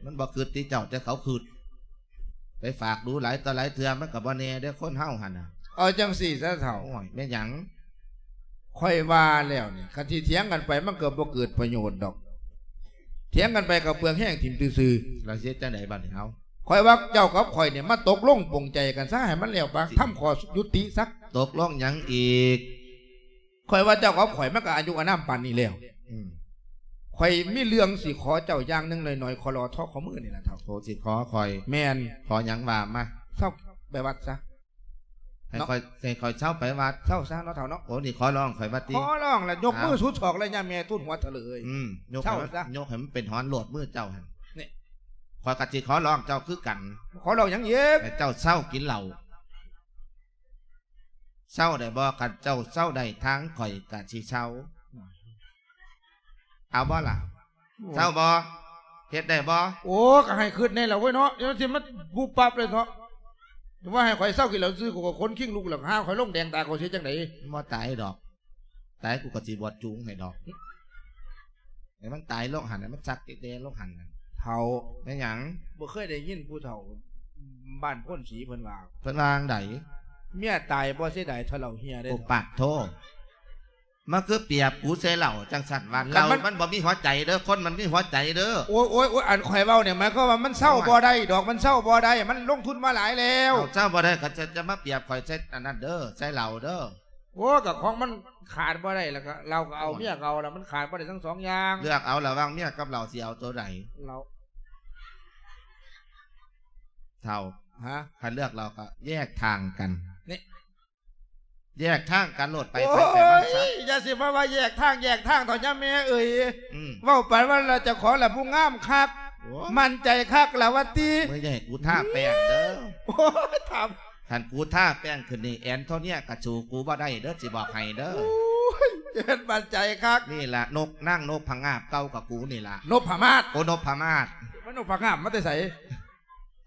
ມັນບໍ່ຄຶດຕິເຈົ້າ ແຕ່ເຂົາຄຶດ. ໄປຝາກດູຫຼາຍຕໍ່ຫຼາຍເທື່ອ ມັນກໍບໍ່ແນ່ເດີ ຄົນເຮົາຫັ້ນນະ. ເອົາຈັ່ງຊີ້ຊະເຖົ້າ. ໂອ້ຍ ແມ່ນຫຍັງ? ຂ້ອຍວ່າແລ້ວນີ້ ຄັນຊິຖຽງກັນໄປ ມັນກໍບໍ່ເກີດປະໂຫຍດດອກ. ຖຽງກັນໄປກໍເປືອງແຮງຖິ້ມຊື່ໆ. ແລ້ວຊິເຮັດຈັ່ງໃດບັດນີ້ເຮົາ? ຂ້ອຍວ່າເຈົ້າກັບຂ້ອຍນີ້ ມາຕົກລົງປົງໃຈກັນຊະ ໃຫ້ມັນແລ້ວປະ. ທຳຂໍ້ຍຸຕິຊະ. ຕົກລົງຫຍັງອີກ? ຂ້ອຍວ່າເຈົ້າກັບຂ້ອຍມັນກໍອາຍຸອານາມປານນີ້ແລ້ວ. ອືມ ຂ້ອຍມີເລື່ອງຊິຂໍເຈົ້າຢ່າງໜຶ່ງໜ້ອຍໆ ຂໍລໍທໍຂໍມືນີ້ລະເຖົ້າ. ໂອ້ ຊິຂໍຂ້ອຍ? ແມ່ນ. ຂໍຫຍັງວ່າມາ. ເຊົາໄປວັດຊະ. ໃຫ້ຂ້ອຍ ໃຫ້ຂ້ອຍເຊົາໄປວັດ? ເຊົາຊະເນາະເຖົ້າເນາະ. ໂອ້ ນີ້ຂໍຮ້ອງຂ້ອຍວ່າຕິ? ຂໍຮ້ອງລະ ຍົກມືສຸດສອກເລີຍ ຍາແມ່ທູນຫົວເຖົ້າເລີຍ. ອືມ ຍົກໃຫ້ມັນ ເຈົ້າຊະ ຍົກໃຫ້ມັນເປັນຫອນໂລດມືເຈົ້າຫັ້ນ. ນີ້ ຂ້ອຍກໍຊິຂໍຮ້ອງເຈົ້າຄືກັນ. ຂໍຮ້ອງຫຍັງອີກ? ໃຫ້ເຈົ້າເຊົາກິນເຫຼົ້າ. ເຊົາໄດ້ບໍ່? ຄັນເຈົ້າເຊົາໄດ້ທາງຂ້ອຍກະຊິເຊົາ. ເອົາບໍ່ລະ? ໂອ້ຍ ເຊົາບໍ່? ເຮັດໄດ້ບໍ່? ໂອ້ ກໍໃຫ້ຄິດແດ່ລະເວີຍເນາະ, ຢ່າຊິມາປຸບປັບເລີຍເນາະ. ວ່າໃຫ້ຂ້ອຍເຊົາກິນເຫຼົ້າຊື່ ຂ້ອຍກໍຂົນຄີງລຸກແລ້ວ, ຫາຂ້ອຍລົງແດງຕາ ຂ້ອຍຊິເຮັດຈັ່ງໃດ? ບໍ່ຕາຍດອກ. ຕາຍກູກໍຊິບວດຈູງໃຫ້ດອກ. ໃຫ້ມັນຕາຍລົງຫັ້ນນະ, ມັນຊັກແດ່ໆລົງຫັ້ນນະ. ເຖົ້າ ແມ່ນຫຍັງ? ບໍ່ເຄີຍໄດ້ຍິນຜູ້ເຖົ້າບ້ານໂພນສີເພິ່ນວ່າ ເພິ່ນວ່າຈັ່ງໃດ? ເມຍຕາຍບໍ່ເສຍດາຍເທົ່າເຫຼົ້າເຮຍເດ້. ໂອ້ ປາດໂທ ມັນຄືປຽບກູໃສ່ເຫຼົ້າຈັ່ງຊັ້ນວະ. ຄັນມັນ ເຫຼົ້າມັນບໍ່ມີຫົວໃຈເດີ້, ຄົນມັນມີຫົວໃຈເດີ້. ໂອ້ຍ ໂອ້ຍ ໂອ້ຍ ອັນຂ້ອຍເວົ້ານີ້ ໝາຍຄວາມວ່າມັນເຊົາ ໂອ້ຍ ບໍ່ໄດ້ດອກ, ມັນເຊົາບໍ່ໄດ້, ມັນລົງທຶນມາຫຼາຍແລ້ວ. ເອົາ ເຊົາບໍ່ໄດ້ກໍຈະ ຈະມາປຽບຂ້ອຍໃສ່ອັນນັ້ນເດີ້, ໃສ່ເຫຼົ້າເດີ້. ໂອ້ ກໍຂອງມັນຂາດບໍ່ໄດ້ ແລ້ວກໍເຫຼົ້າກໍເອົາ ໂອ້ຍ ເມຍກໍເອົາ ແລ້ວມັນຂາດບໍ່ໄດ້ທັງສອງຢ່າງ. ເລືອກເອົາລະຫວ່າງເມຍກັບເຫຼົ້າ ຊິເອົາໂຕໃດ? ເຫຼົ້າ. ເຖົ້າ ຮະ? ຄັນເລືອກເຫຼົ້າກໍແຍກທາງກັນ. ນີ້ ແຍກທາງກັນໂລດ ໄປ ໂອ້ຍ ໄປ ໄປມັນຊະ. ຢ່າຊິມາວ່າແຍກທາງ ແຍກທາງເຖາະຍາແມ່ເອີຍ. ອືມ ເວົ້າປານວ່າລະເຈົ້າຂອງລະຜູ້ງາມຄັກ ໂອ້ຍ ໝັ້ນໃຈຄັກລະວ່າຕິ. ມຶງຢ່າໃຫ້ກູທາແປ້ງເດີ້. ໂອ້ຍ ຖາມ ຄັນກູທາແປ້ງຂຶ້ນນີ້ ແອນໂທເນຍກໍສູ້ກູບໍ່ໄດ້ເດີ້ ຊິບອກໃຫ້ເດີ້. ໂອ້ຍ ເຈັດໝັ້ນໃຈຄັກ. ນີ້ລະນົກ ນາງນົບພະງາບເກົ່າກັບກູນີ້ລະ. ນົບພະມາດ. ໂອ້ ນົບພະມາດ. ມັນນົບພະງາບມາແຕ່ໃສ?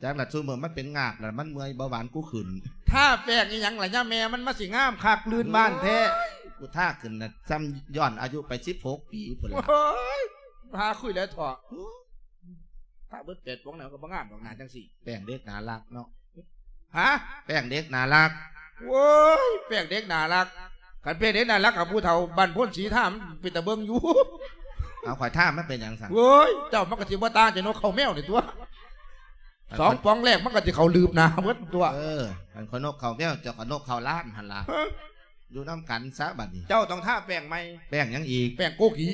ຈັກລະ ຊຸມື້ມັນເປັນງາບລະ ມັນເມື່ອຍເບົາຫວານກູຂຶ້ນ. ທາແປ້ງອີ່ຫຍັງລະຍາແມ່ມັນ ມາຊິງາມຄັກລື່ນບ້ານແທ້. ໂອ້ຍ ກູທາຂຶ້ນນະ ຊ່ຳຍ້ອນອາຍຸໄປສິບຫົກປີພຸ້ນລະ. ໂອ້ຍ ຫາຄຸຍແລ້ວເຖາະ. ໂອ້ຍ ທາເບິດແປດປອງແລ້ວກໍບໍ່ງາມດອກໜ້າຈັ່ງຊີ້. ແປ້ງເດັກໜ້າຮັກເນາະ. ຮະ? ແປ້ງເດັກໜ້າຮັກ. ໂອ້ຍ ແປ້ງເດັກໜ້າຮັກ. ຄັນແປ້ງເດັກໜ້າຮັກກັບຜູ້ເຖົ້າບ້ານໂພນສີທາ ມັນເປັນຕາເບິ່ງຢູ່. ເອົາ ຂ້ອຍທາມັນເປັນຫຍັງຊັ້ນ? ໂອ້ຍ ເຈົ້າມັນກໍຊິບໍ່ຕ່າງຈາກນົກເຂົ້າແມວນີ້ຕົວະ. ອັນ ສອງປອງແລກມັນກໍຊິເຂົ້າລືບໜ້າເບິດຕົວະ. ເອີ ອັນຂ້ອຍນົກເຂົ້າແມວ ເຈົ້າກໍນົກເຂົ້າລ້ານຫັ້ນລະ. ຮະ? ຢູ່ນຳກັນຊະບັດນີ້. ເຈົ້າຕ້ອງທາແປ້ງໃໝ່. ແປ້ງຫຍັງອີກ? ແປ້ງໂກກີ.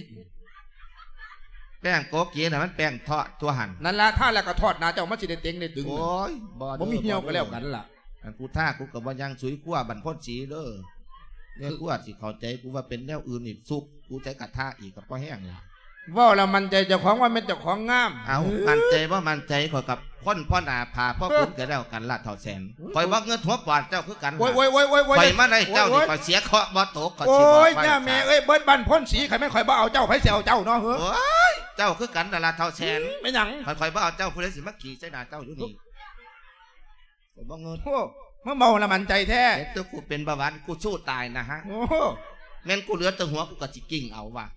ແປ້ງໂກກີນະ ມັນແປ້ງທອດຕົວຫັ້ນ. ນັ້ນລະ ທາແລ້ວກໍທອດໜ້າເຈົ້າ ມັນຊິໄດ້ເຕັງໄດ້ຕຶງ. ໂອ້ຍ ບໍ່ເດີ້ ບໍ່ມີຫ່ຽວກໍແລ້ວກັນລະ. ອັນກູທາ ກູກໍບໍ່ຍ່າງສຸຍຄົວບັນພົນສີເດີ້. ແມ່ຄົວຊິເຂົ້າໃຈກູວ່າເປັນແນວອື່ນອີກ ສຸກກູໃສ່ກະທະອີກກໍພໍແຮງລະ. ເວົ້າລະໝັ້ນໃຈເຈົ້າຂອງວ່າແມ່ນເຈົ້າຂອງງາມ. ເອົ້າ ໝັ້ນໃຈບໍ່ໝັ້ນໃຈ ຂ້ອຍກັບຄົນພໍໜ້າຜາພໍບຸນກໍແລ້ວກັນລະ ເຖົ້າແສນ. ໂອ້ຍ ຂ້ອຍບໍ່ເງິດຫົວປອດເຈົ້າຄືກັນ. ໂອ້ຍ ໂອ້ຍ ໂອ້ຍ ໂອ້ຍ ໂອ້ຍ ຂ້ອຍມາໄດ້ເຈົ້ານີ້ ໂອ້ຍ ຂ້ອຍເສຍເຄາະບໍ່ຕົກ ຂ້ອຍ ໂອ້ຍ ຊິບອກວ່າ ຍ່າແມ່ເອີຍ ເບິດບ້ານໂພນສີ ໃຜແມ່ນຂ້ອຍບໍ່ເອົາເຈົ້າ ໃຜຊິເອົາເຈົ້າເນາະ ເຮີ້ຍ? ໂອ້ຍ ເຈົ້າຄືກັນນັ້ນລະ ເຖົ້າແສນ. ອືມ ແມ່ນຫຍັງ? ຄັນຂ້ອຍບໍ່ເອົາເຈົ້າ ຜູ້ໃດຊິມາຂີ້ໃສ່ໜ້າເຈົ້າຢູ່ນີ້? ຂ້ອຍບໍ່ເງິດ. ໂອ້ ມາເວົ້າລະໝັ້ນໃຈແທ້. ເຮັດຕົວກູເປັນເບົາຫວານ ກູສູ້ຕາຍນະຮະ. ໂອ້ ແມ່ນກູເຫຼືອແຕ່ຫົວ ກູກໍຊິກິ້ງເອົາວ່າ.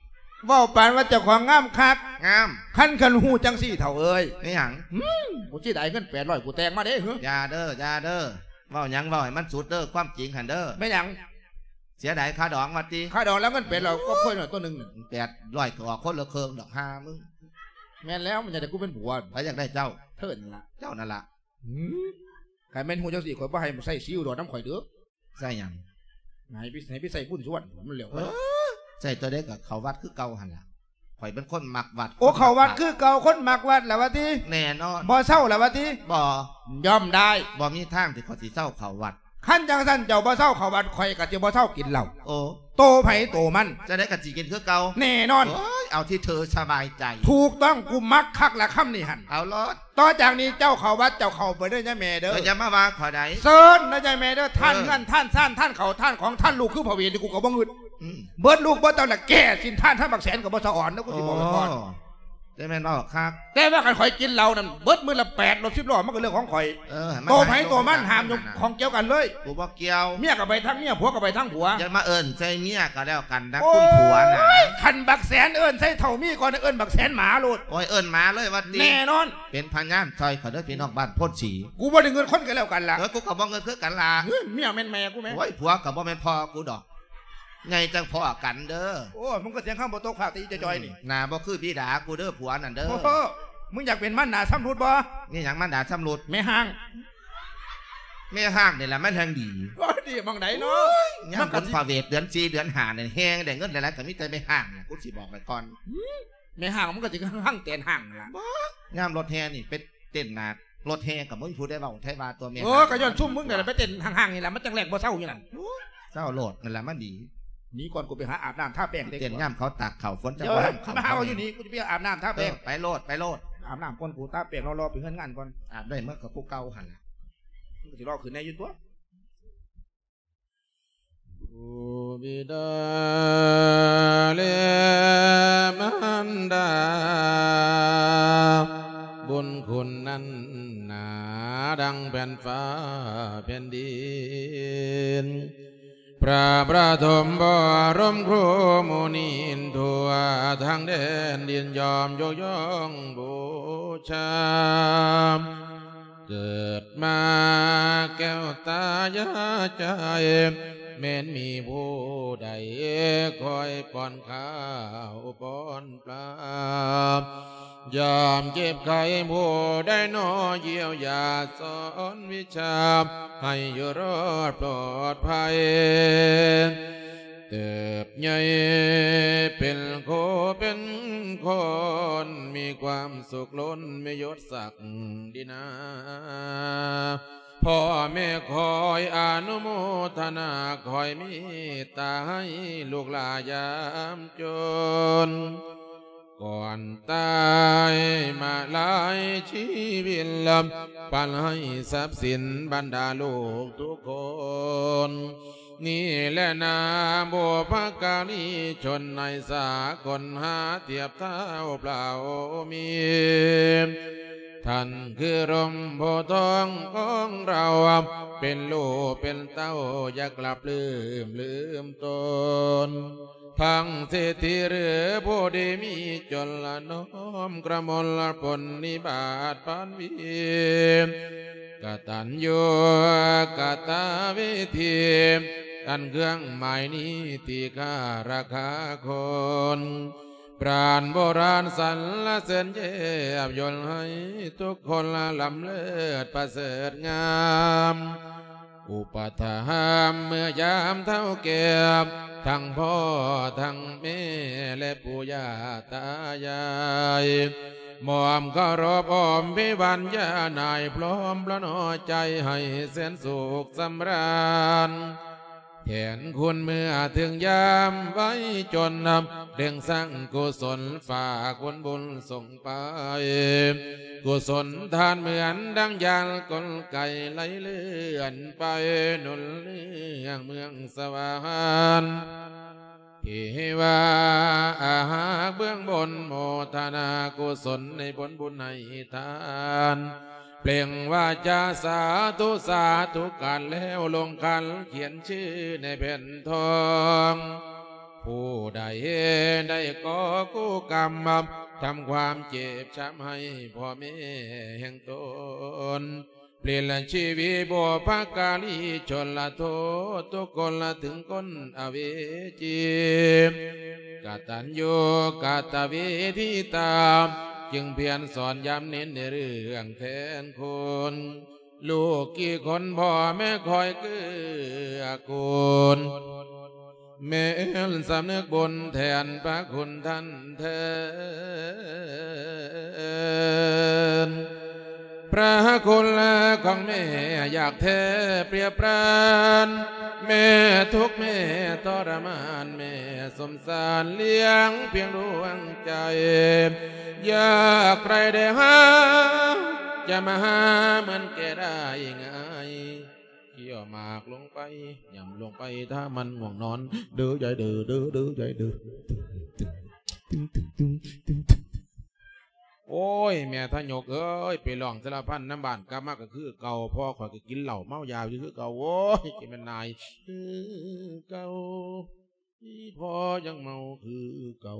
ເວົ້າປານວ່າເຈົ້າຂອງງາມຄັກ. ງາມ. ຄັນ ຄັນຮູ້ຈັ່ງຊີ້ເຖົ້າເອີຍ. ແມ່ນຫຍັງ? ອືມ ກູເສຍດາຍເງິນແປດຮ້ອຍ ກູແຕ່ງມາເດ້. ເຮີ້ຍ ຢ່າເດີ້ ຢ່າເດີ້. ເວົ້າຫຍັງເວົ້າໃຫ້ມັນສຸດເດີ້ ຄວາມຈິງຫັ້ນເດີ້. ແມ່ນຫຍັງ? ເສຍດາຍຄ່າດອງວ່າຕິ. ຄ່າດອງແລ້ວເງິນແປດຮ້ອຍ ໂອ້ຍ ກໍເຄີຍໜ້ອຍຕົວໜຶ່ງ. ແປດຮ້ອຍ ກໍອອກຄົນລະເຄິ່ງດອກ ຫາມຶງ. ແມ່ນແລ້ວ ມັນຢາກໄດ້ກູເປັນຜົວ. ໃຜຢາກໄດ້ເຈົ້າ? ເທີນລະ. ເຈົ້ານັ້ນລະ. ຫືມ ຄັນແມ່ນຮູ້ຈັ່ງຊີ້ ຂ້ອຍບໍ່ໃຫ້ໃຊ້ສີອຸດອນນຳຂ້ອຍເດີ້. ໃຊ້ຫຍັງ? ໃຫ້ໄປ ໃຫ້ໄປໃຊ້ບຸນສຸວັນ ມັນແລ້ວໄປ. ເອີ ໃຊ້ຕົວໃດກໍເຂົ້າວັດຄືເກົ່າຫັ້ນລະ. ຂ້ອຍເປັນຄົນມັກວັດ. ໂອ້ ເຂົ້າວັດຄືເກົ່າ ຄົນມັກວັດລະວ່າຕິ. ແນ່ນອນ. ບໍ່ເຊົາລະວ່າຕິ. ບໍ່. ຍອມໄດ້. ບໍ່ມີທາງທີ່ຂ້ອຍຊິເຊົາເຂົ້າວັດ. ຄັນຈັ່ງຊັ້ນເຈົ້າບໍ່ເຊົາເຂົ້າວັດ ຂ້ອຍກໍຊິບໍ່ເຊົາກິນເຫຼົ້າ. ໂອ້ ໂຕໃຜໂຕມັນ. ຈັ່ງໃດກໍຊິກິນຄືເກົ່າ. ແນ່ນອນ. ໂອ້ຍ ເອົາທີ່ເທີສະບາຍໃຈ. ຖືກຕ້ອງ ກູມັກຄັກລະຄຳນີ້ຫັ້ນ. ເອົາໂລດ. ຕໍ່ຈາກນີ້ເຈົ້າເຂົ້າວັດ ເຈົ້າເຂົ້າໄປເດີ້ຍາແມ່ເດີ້. ເອີ ຢ່າມາວ່າຂ້ອຍໃດ. ເຊີນເດີ້ຍາແມ່ເດີ້. ເອີ ທ່ານເຮືອນ ທ່ານຊານ ທ່ານເຂົ້າ ທ່ານຂອງ ທ່ານລູກ ຄືພະເວນນີ້ ກູກໍບໍ່ງຶດ. ອືມ ເບິດລູກເບິດເຕົ້າລະແກ່ສິນ ທ່ານ ທ່ານບັກແສນກໍບໍ່ສະອອນເດີ້ ກູຊິບອກໄວ້ກ່ອນ. ໂອ້ ແຕ່ແມ່ນເວົ້າຄັກ. ແຕ່ວ່າຄັນຂ້ອຍກິນເຫຼົ້ານັ້ນ ເບິດມື້ລະແປດລົດສິບລໍ້ ມັນກໍເລື່ອງຂອງຂ້ອຍ. ເອີ ໃຫ້ມັນ ໂຕໃຜໂຕມັນ ຫ້າມຢູ່ຂອງກ່ຽວກັນເລີຍ. ກູບໍ່ກ່ຽວ. ເມຍກໍໄປທາງເມຍ ຜົວກໍໄປທາງຜົວ. ຢ່າມາເອີ້ນໃສ່ເມຍກໍແລ້ວກັນນະ ໂອ້ຍ ຄຸນຜົວນະ. ຄັນບັກແສນເອີ້ນໃສ່ເຖົ້າມີກ່ອນ ເອີ້ນບັກແສນໝາໂລດ. ໂອ້ຍ ເອີ້ນໝາເລີຍວ່າຕິ. ແນ່ນອນ. ເປັນພະຍານຊ່ອຍຂ້ອຍເດີ້ ພີ່ນ້ອງບ້ານໂພນສີ. ກູບໍ່ໄດ້ເງິດຄົນກໍແລ້ວກັນລະ. ເອີ ກູກໍບໍ່ເງິດຄືກັນລະ. ເອີ ເມຍແມ່ນແມ່ກູແມ. ໂອ້ຍ ຜົວກໍບໍ່ແມ່ນພໍ່ກູດອກ. ໃຫຍ່ຈັ່ງພໍ້ກັນເດີ້. ໂອ້ ມຶງກໍສຽງຄຳບໍ່ຕົກພາກແຕ່ອີ່ຈອຍໆນີ້. ອືມ ໜ້າບໍ່ຄືບິດາກູເດີ້ ຜົວນັ້ນເດີ້. ໂອ້ ມຶງຢາກເປັນມານດາຊຳລຸດບໍ່? ມີຫຍັງມານດາຊຳລຸດ? ແມ່ຮ້າງ. ແມ່ຮ້າງນີ້ລະມັນແຮ່ງດີ. ໂອ້ຍ ດີໝ່ອງໃດເນາະ? ໂອ້ຍ ຍາມບຸນພະເວດເດືອນສີ່ເດືອນຫ້ານີ້ ແຮ່ໄດ້ເງິນຫຼາຍໆ ກໍມີແຕ່ແມ່ຮ້າງນະ ກູຊິບອກໄວ້ກ່ອນ. ແມ່ຮ້າງມັນກໍຊິຮັ່ງແຕນຮ້າງນັ້ນລະ. ຍາມລົດແຫ່ນີ້ໄປເຕັ້ນໜ້າ ລົດແຫ່ກໍບໍ່ມີຜູ້ໃດເວົ້າໃຜວ່າຕົວແມ່. ເອີ ກໍຍ້ອນຊຸມມຶງນັ້ນລະໄປເຕັ້ນຫ້າງໆນີ້ລະ ມັນຈັ່ງແລ່ນບໍ່ເຊົາຢູ່ນັ້ນ. ໂອ້ຍ ເຊົາໂລດ ນັ້ນລະມັນດີ. ໜີກ່ອນ ກູໄປຫາອາບນ້ຳທາແປງເຕັກ. ເຕັ້ນຍາມເຂົາຕາກເຂົ້າ ຝົນຈະບໍ່ຫ້າມເຂົ້າ. ມາຫາເຮົາຢູ່ນີ້ ກູຈະໄປອາບນ້ຳທາແປງ. ເອີ ໄປໂລດ ໄປໂລດ. ອາບນ້ຳກ່ອນ ກູຕາກແປງລໍໆ ໄປເຮືອນງານກ່ອນ. ອາບໄດ້ເໝິດກໍຄືເກົ່າຫັ້ນລະ. ມັນກໍຊິລໍຂຶ້ນແດ່ຢູ່ຕົວະ. บิดาและมารดา บุญคุณนั้นหนาดังแผ่นฟ้าแผ่นดิน พระประถมบรมครูมุนีทั่วทั้งแดนดินยอมยกย่องบูชา เกิดมาแก้วตายาใจ แม้นมีผู้ใดคอยป้อนข้าวป้อนปลา ยามเจ็บไข้ผู้ใดหนอเยียวยาสอนวิชา ให้อยู่รอดปลอดภัย เติบใหญ่เป็นโคเป็นคน มีความสุขล้นมียศศักดินา พ่อแม่คอยอนุโมทนา คอยเมตตาให้ลูกหลานยามจน ก่อนตายมาหลายชีวิต ปันให้ทรัพย์สินบรรดาลูกทุกคน นี่แหละนาบุพการีชนในสากล หาเทียบเท่าพระองค์มี ท่านคือร่มโพธิ์ทองของเรา เป็นลูกเป็นเต้าอย่ากลับลืมลืมตน ทั้งเศรษฐีหรือผู้ดีมีจนละน้อมกระมวลปรนนิบาตปานวี กตัญญูกตเวที อันเครื่องหมายนี้ที่ข้าราคาคน ปราณโบราณสรรเสริญเยียบยนต์ให้ทุกคนล้ำเลิศประเสริฐงาม อุปถัมภ์เมื่อยามเฒ่าแก่ ทั้งพ่อทั้งแม่และปู่ย่าตายาย มอบเคารพอ้อมพิวานญาณายพร้อมพระนอใจให้แสนสุขสำราญ แทนคุณเมื่อถึงยามไว้จนนำ เร่งสร้างกุศลฝากผลบุญส่งไป กุศลทานเหมือนดังยานกลไกไหลเลื่อนไป หนุนเรื่องเมืองสวรรค์ เทวาอาหากเบื้องบนโมทนากุศลในผลบุญให้ทาน เปล่งวาจาสาธุสาธุการแล้วลงขันเขียนชื่อในแผ่นทอง ผู้ใดได้ก่อกู้กรรม ทำความเจ็บช้ำให้พ่อแม่แห่งตน เปลี่ยนชีวิตบุพการีชนละโทษทุกคนละถึงคนอเวจี กตัญญูกตเวทิตา จึงเพียรสอนย้ำเน้นในเรื่องแทนคุณ ลูกกี่คนพ่อแม่คอยเกื้อกูล แม่นสำนึกบุญแทนพระคุณท่านแทน พระคุณของแม่อยากแท้เปรียบปราน แม่ทุกข์แม่ทรมาน แม่สมสารเลี้ยงเพียงดวงใจ ยากไร้ได้หา จะมาหาเหมือนแกได้ง่าย เคี้ยวหมากลงไป หย่ำลงไป ถ้ามันง่วงนอน เด้อยายเด้อ เด้อ เด้อยายเด้อ โอ้ย แม่ทะยกเอ้ย ไปร้องสารพันนำบ้าน กลับมาก็คือเก่า พ่อข้อยก็กินเหล้าเมายาอยู่คือเก่า โอ้ย จะแม่นนาย คือเก่า อีพ่อยังเมาคือเก่า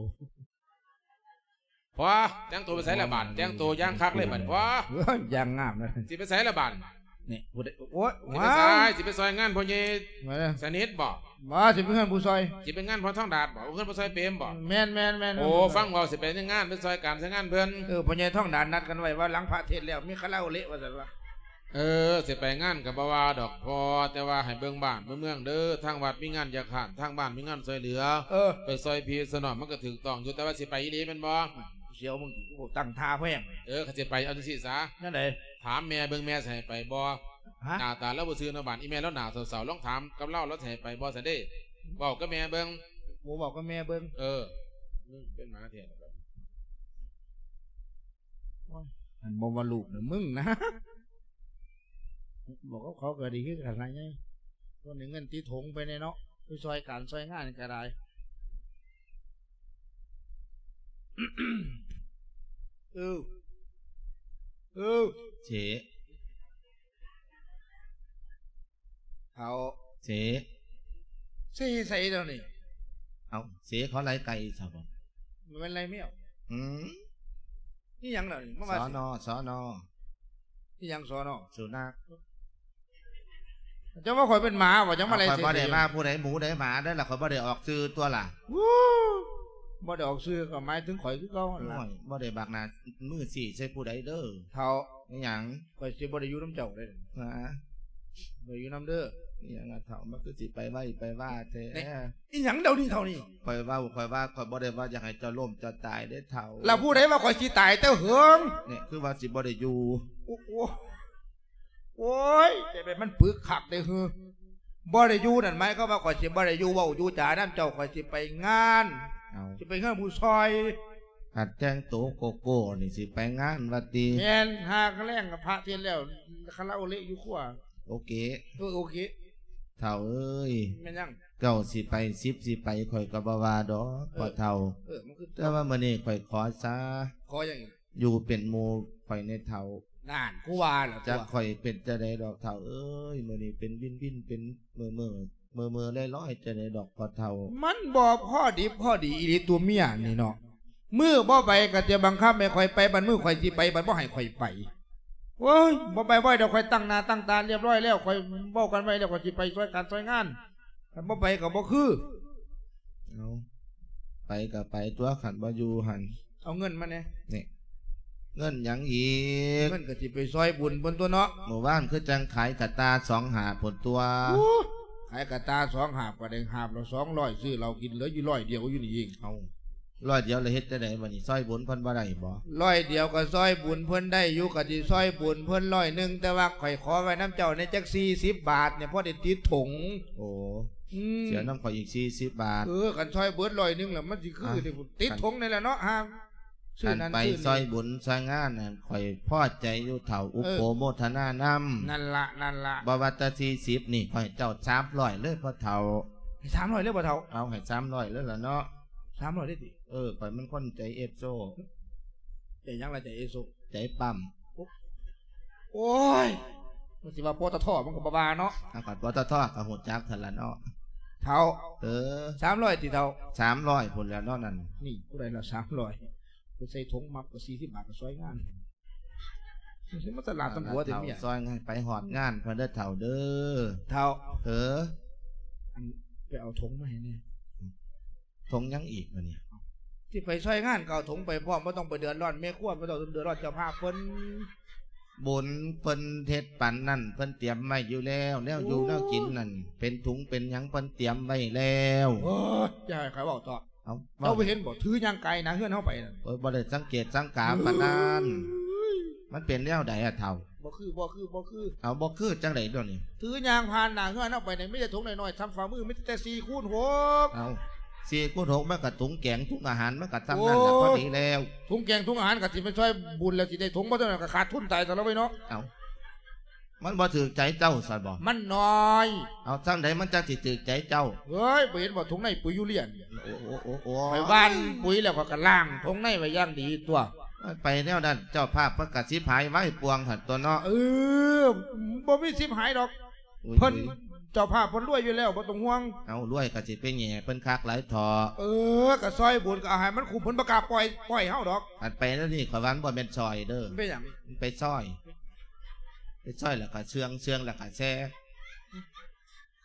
พ่อ แต่งตัวไปไสละบาด แต่งตัวอย่างคักเลยบาด พ่อ เอ้ย อย่างงามเลย สิไปไสละบาด นี่ ผู้ใด โอ๊ย สิไปไส ว้าย สิไปซอยงานพ่อใหญ่ มาเลย สนิทบ่ บ่ สิไปเฮือนผู้ซอย สิไปงานพ่อทองดาดบ่ เฮือนพ่อซอยเปรมบ่ แม่นๆๆๆ โอ้ ฟังเว้าสิไปในงาน ไปซอยการซอยงานเพิ่น เออ พ่อใหญ่ทองดาดนัดกันไว้ว่าหลังพระเทศน์แล้วมีคาราโอเกะว่าซั่นวะ เออ สิไปงานก็บ่ว่าดอกพ่อ แต่ว่าให้เบิ่งบ้านเบิ่งเมืองเด้อ ทางวัดมีงานอยากหาน ทางบ้านมีงานซอยเหลือ เออ ไปซอยพี่ซะหน่อยมันก็ถูกต้องอยู่ แต่ว่าสิไปอีหลีแม่นบ่ เสี่ยวมึง กูตั้งท่าแพง เออ คันสิไปเอาจั่งซี้ซะ แนวใด ถามแม่เบิ่ง แม่สิให้ไปบ่ ฮะ หน้าตาลาวบ่ซื่อเนาะ บ้านอีแม่ลาวหน้าเศร้าๆ ลองถามกับลาว ลาวสิให้ไปบ่ซั่นเด้ เว้ากับแม่เบิ่ง โอ้ เว้ากับแม่เบิ่ง เออ มึงเป็นหมาแท้ โอ๊ย อันบ่ว่าลูกน่ะ มึงนะ บอกกับเขาก็ดีคือกันล่ะไง คนได้เงินติดถงไปแน่เนาะ ໄປຊ່ອຍການຊ່ອຍງານກໍໄດ້. ເອີ ເອີ ເສ ເຖົ້າ ເສ ເສໃສດຽວນີ້? ເອົ້າ ເສເຂົາໄລ່ໄກ່ຊະບໍ່? ມັນໄລ່ແມວ. ອືມ ອີຫຍັງດຽວນີ້? ມາວ່າ ສນ ສນ ອີຫຍັງ ສນ? ສຸນັກ. ເຈົ້າວ່າຂ້ອຍເປັນໝາບໍ່? ເຈົ້າມາໄລ່ ເອົາ ຂ້ອຍບໍ່ໄດ້ວ່າຜູ້ໃດໝູໃດໝາເດີ້ລະ, ຂ້ອຍບໍ່ໄດ້ອອກຊື່ຕົວລະ. ບໍ່ໄດ້ອອກຊື່ກໍໝາຍເຖິງຂ້ອຍຄືເກົ່າຫັ້ນລະ. ໂອ້ຍ ບໍ່ໄດ້ບັກໜ້າມືຊີ້ໃສ່ຜູ້ໃດເດີ້ ເຖົ້າ. ອີຫຍັງ? ຂ້ອຍຊິບໍ່ໄດ້ຢູ່ນຳເຈົ້າເດ້. ຫາ? ບໍ່ໄດ້ຢູ່ນຳເດີ້. ອີຫຍັງລະເຖົ້າ? ມັນຄືຊິໄປໄວໄປວາແທ້. ອີຫຍັງດຽວນີ້ເຖົ້ານີ້? ຂ້ອຍເວົ້າ ຂ້ອຍວ່າ ຂ້ອຍບໍ່ໄດ້ວ່າຢາກໃຫ້ເຈົ້າລົ້ມເຈົ້າຕາຍເດ້ເຖົ້າ. ລະຜູ້ໃດວ່າຂ້ອຍຊິຕາຍແຕ່ເຫິງ? ນີ້ຄືວ່າຊິບໍ່ໄດ້ຢູ່. ໂອ້ ໂອ້ຍ ແຕ່ແມ່ນມັນປຶກຄັກເດ້ຫື. ບໍ່ໄດ້ຢູ່ນັ້ນໝາຍຄວາມວ່າຂ້ອຍຊິບໍ່ໄດ້ຢູ່ເວົ້າຢູ່ຈານຳເຈົ້າ, ຂ້ອຍຊິໄປງານ. ເອົ້າ ຊິໄປເຮືອນຜູ້ຊ່ອຍ. ອັນແຕ່ງໂຕໂກໂກ້ນີ້ຊິໄປງານວ່າຕິ? ແມ່ນ, ຫາກະແລງພະເທດແລ້ວ ຄາລາໂອເລະຢູ່ຄົວ. ໂອເຄ ເອີ ໂອເຄ. ເຖົ້າເອີຍ ແມ່ນຫຍັງ? ເຈົ້າຊິໄປສິບຊິໄປ ຂ້ອຍກໍບໍ່ວ່າດອກ ເອີ ພໍ່ເຖົ້າ. ເອີ ມັນຄື ແຕ່ວ່າມື້ນີ້ຂ້ອຍຂໍຊະ. ຂໍຫຍັງອີກ? ຢູ່ເປັນໝູ່ຂ້ອຍແດ່ເຖົ້າ. ນັ້ນ ກູວ່າແລ້ວ ຈັກຂ້ອຍເປັນຈັ່ງໃດດອກເຖົ້າເອີຍ, ມື້ນີ້ເປັນວິນໆ ເປັນເມີໆ ເມີໆລອຍໆ ຈັ່ງໃດດອກພໍ່ເຖົ້າ. ມັນບໍ່ພໍດິບພໍດີອີ່ຫຼີຕົວເມຍນີ້ເນາະ. ມື້ບໍ່ໄປກໍຈະບັງຄັບໃຫ້ຂ້ອຍໄປ, ບັດມື້ຂ້ອຍຊິໄປ ບັດບໍ່ໃຫ້ຂ້ອຍໄປ. ໂອ້ຍ ບໍ່ໄປບໍ່ໄດ້ດອກ, ຂ້ອຍຕັ້ງໜ້າຕັ້ງຕາຮຽບຮ້ອຍແລ້ວ, ຂ້ອຍເວົ້າກັນໄວ້ແລ້ວ, ຂ້ອຍຊິໄປຊ່ອຍການຊ່ອຍງານ. ຄັນບໍ່ໄປກໍບໍ່ຄື. ເອົາ ໄປກໍໄປຕົວະ ຄັນບໍ່ຢູ່ຫັ້ນ. ເອົາເງິນມາແດ່. ນີ້ ເງິນຫຍັງອີກ? ເງິນກໍຊິໄປຊ່ອຍບຸນເພິ່ນຕົວະເນາະ. ມື້ວານຄືຈັ່ງຂາຍກະຕ່າສອງຫ້າພຸ້ນຕົວະ. ໂອ້ ຂາຍກະຕ່າສອງຫ້າກໍໄດ້ຫ້າບລະສອງຮ້ອຍ ຊື້ເຫຼົ້າກິນ ເຫຼືອຢູ່ຮ້ອຍດຽວຢູ່ນີ້ເອງ. ເອົາ ຮ້ອຍດຽວລະເຮັດຈັ່ງໃດບັດນີ້? ຊ່ອຍບຸນເພິ່ນບໍ່ໄດ້ບໍ? ຮ້ອຍດຽວກໍຊ່ອຍບຸນເພິ່ນໄດ້ຢູ່, ກໍຊິຊ່ອຍບຸນເພິ່ນຮ້ອຍໜຶ່ງ, ແຕ່ວ່າຂ້ອຍຂໍໄວ້ນຳເຈົ້າແດ່ຈັກສີ່ສິບບາດນີ້ ພໍໄດ້ຕິດຖົງ. ໂອ້ ອືມ ເສຍນຳຂ້ອຍອີກສີ່ສິບບາດ. ເອີ ຄັນຊ່ອຍເບິດຮ້ອຍໜຶ່ງລະ ມັນຊິຄື ອ່ະ ຕິດຖົງນີ້ແຫຼະເນາະ. ຫາ ຊື້ນັ້ນ ອັນໄປ ຊື້ນີ້ ຊ່ອຍບຸນຊ່ອຍງານນັ້ນ ຂ້ອຍພໍໃຈຢູ່ເຖົ້າ. ເອີ ອະນຸໂມທະນານຳ. ນັ້ນລະ ນັ້ນລະ. ບໍ່ວ່າແຕ່ສີ່ສິບນີ້ ຂ້ອຍໃຫ້ເຈົ້າສາມຮ້ອຍເລີຍພໍ່ເຖົ້າ. ໃຫ້ສາມຮ້ອຍເລີຍພໍ່ເຖົ້າ? ເອົາ ໃຫ້ສາມຮ້ອຍເລີຍລະເນາະ. ສາມຮ້ອຍເລີຍຕິ? ເອີ ຂ້ອຍມັນຄົນໃຈເອສໂຊ. ໃຈຫຍັງລະ ໃຈເອສໂຊ? ໃຈປ້ຳ. ໂອ້ ໂອ້ຍ ມັນຊິວ່າ ປຕທ ມັນກໍບໍ່ວ່າເນາະ. ອາ ຄັນ ປຕທ ກໍຮູ້ຈັກຫັ້ນລະເນາະເຖົ້າ. ເອີ ສາມຮ້ອຍຕິເຖົ້າ? ສາມຮ້ອຍພຸ້ນແຫຼະເນາະນັ້ນ. ນີ້ຜູ້ໃດລະສາມຮ້ອຍ? ໄປໃສ່ຖົງມັບກໍສີ່ສິບບາດກໍຊ່ອຍງານ. ມັນສະຫຼາດຕຳຫຼວດເດ້ເມຍ. ຊ່ອຍງານໄປຮອດງານເພິ່ນເດີເຖົ້າເດີ. ເຖົ້າ ເອີ ອັນ ໄປເອົາຖົງມາໃຫ້ແດ່. ຖົງຫຍັງອີກບາດນີ້? ຊິໄປຊ່ອຍງານກໍເອົາຖົງໄປພ້ອມ, ບໍ່ຕ້ອງໄປເດືອດຮ້ອນແມ່ຄົວ, ບໍ່ຕ້ອງເດືອດຮ້ອນເຈົ້າພາບເພິ່ນ. ບຸນເພິ່ນເຮັດປັນນັ້ນ ເພິ່ນຕຽມໄວ້ຢູ່ແລ້ວ, ແນວຢູ່ແນວກິນນັ້ນ ເປັນຖົງເປັນຫຍັງເພິ່ນຕຽມໄວ້ແລ້ວ. ໂອ້ຍ ຢ່າໃຫ້ຂ້ອຍເວົ້າເຖາະ. ເອົາ ເຈົ້າບໍ່ເຫັນບໍ? ຖືຍ່າງກາຍໜ້າເຮືອນເຮົາໄປນັ້ນ. ໂອ້ຍ ບໍ່ໄດ້ສັງເກດສັງກາປານນັ້ນ. ເອີຍ ມັນເປັນແນວໃດອະເຖົ້າ? ບໍ່ຄື ບໍ່ຄື ບໍ່ຄື. ເອົາ ບໍ່ຄືຈັ່ງໃດດຽວນີ້? ຖືຍ່າງຜ່ານໜ້າເຮືອນເຮົາໄປນີ້ ມີແຕ່ຖົງນ້ອຍໆ ສ່ຳຝ່າມື, ມີແຕ່ສີ່ຄູນຫົກ. ເອົາ ສີ່ຄູນຫົກ ມັນກໍຖົງແກງ ຖົງອາຫານ ມັນກໍສ່ຳນັ້ນລະ. ໂອ້ຍ ພໍດີແລ້ວ. ຖົງແກງ ຖົງອາຫານ ກໍຊິໄປຊ່ອຍບຸນແລ້ວ ຊິໄດ້ຖົງບໍ່ເທົ່ານັ້ນ ກໍຂາດທຶນຕາຍຕະລະເວີຍເນາະ. ເອົາ ມັນບໍ່ຖືກໃຈເຈົ້າຊັ້ນບໍ? ມັນນ້ອຍ. ເອົາ ຈັ່ງໃດມັນຈັ່ງຊິຖືກໃຈເຈົ້າ? ເອີຍ ບໍ່ເຫັນບໍ່ຖົງໃນປຸຍຢູເຣຍ? ໂອ້ ໂອ້ ໂອ້ ໂອ້ ໂອ້ ຂ້ອຍຫວ່ານປຸຍແລ້ວ ຂ້ອຍກໍລ້າງຖົງໃນໄວ້ຢ່າງດີຕົວະ. ໄປແນວນັ້ນ ເຈົ້າພາບເພິ່ນກໍສິບຫາຍໄວ້ປວງຫັ້ນຕົວະເນາະ. ເອີ ບໍ່ມີສິບຫາຍດອກ. ໂອ້ຍ ເພິ່ນ ໂອ້ຍ ເຈົ້າພາບເພິ່ນລວຍຢູ່ແລ້ວ ບໍ່ຕ້ອງຫ່ວງ. ເອົາ ລວຍກໍຊິໄປແຫຍ່ເພິ່ນຄັກຫຼາຍເຖາະ. ເອີ ກໍຊ່ອຍບຸນ ກໍເອົາໃຫ້ມັນຄຸ້ມ, ເພິ່ນບໍ່ກ້າປ່ອຍ ປ່ອຍເຮົາດອກ. ອັນໄປແນວນີ້ ຂ້ອຍວ່າມັນບໍ່ແມ່ນຊ່ອຍເດີ້. ເປັນຫຍັງ? ໄປຊ່ອຍ ໄປຊ່ອຍແລ້ວກໍເຊື່ອງ, ເຊື່ອງແລ້ວກໍແຊ.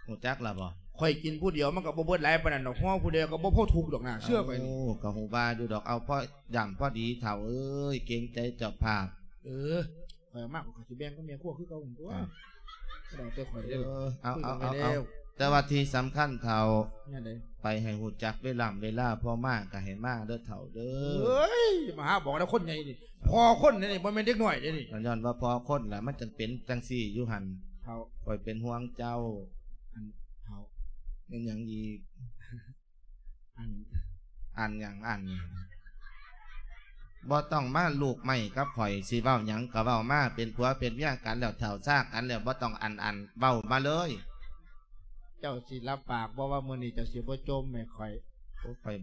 ຮູ້ຈັກລະບໍ່? ຂ້ອຍກິນຜູ້ດຽວມັນກໍບໍ່ເບິດຫຼາຍປານນັ້ນດອກ, ຫໍ່ຜູ້ດຽວກໍບໍ່ພໍທຸກດອກນາ, ເຊື່ອຂ້ອຍນີ້. ໂອ້ ກໍຮູ້ວ່າຢູ່ດອກ, ເອົາພໍຢ່າງພໍດີເຖົ້າເອີຍ, ເກງໃຈເຈົ້າພາບ. ເອີ ຂ້ອຍເອົາມາ ຂ້ອຍກໍຊິແບ່ງກັບແມ່ຄົວຄືເກົ່າຫັ້ນຕົວະ. ອ່າ ແຕ່ຂ້ອຍເດີ. ເອີ ເອົາ ເອົາ ເອົາ ແລ້ວ ແຕ່ວ່າທີ່ສຳຄັນເຖົ້າ ແນວໃດ? ໄປໃຫ້ຮູ້ຈັກເວລາເວລາ, ພໍມາກໍໃຫ້ມາເດີເຖົ້າເດີ. ເອີຍ ມາຫາບອກແນວຄົນໃຫຍ່ນີ້. ພໍ່ຄົນນີ້ ບໍ່ແມ່ນເດັກນ້ອຍເດ້ນີ້. ກໍຍ້ອນວ່າພໍ່ຄົນລະ ມັນຈຶ່ງເປັນຈັ່ງຊີ້ຢູ່ຫັ້ນ. ເຖົ້າ ຂ້ອຍເປັນຫ່ວງເຈົ້າ. ອັນ ເຖົ້າ ແມ່ນຫຍັງອີກ? ອັນ ອັນຫຍັງ? ອັນ ບໍ່ຕ້ອງມາລູກໄມ້ກັບຂ້ອຍ, ຊິເວົ້າຫຍັງກໍເວົ້າມາ, ເປັນຜົວເປັນເມຍກັນແລ້ວ, ເຖົ້າຊາກັນແລ້ວ, ບໍ່ຕ້ອງອັນ ອັນ ເວົ້າມາເລີຍ. ເຈົ້າຊິຮັບປາກບໍ່ວ່າມື້ນີ້ເຈົ້າຊິບໍ່ຈົ່ມໃຫ້ຂ້ອຍ? ໂອ້ ຂ້ອຍ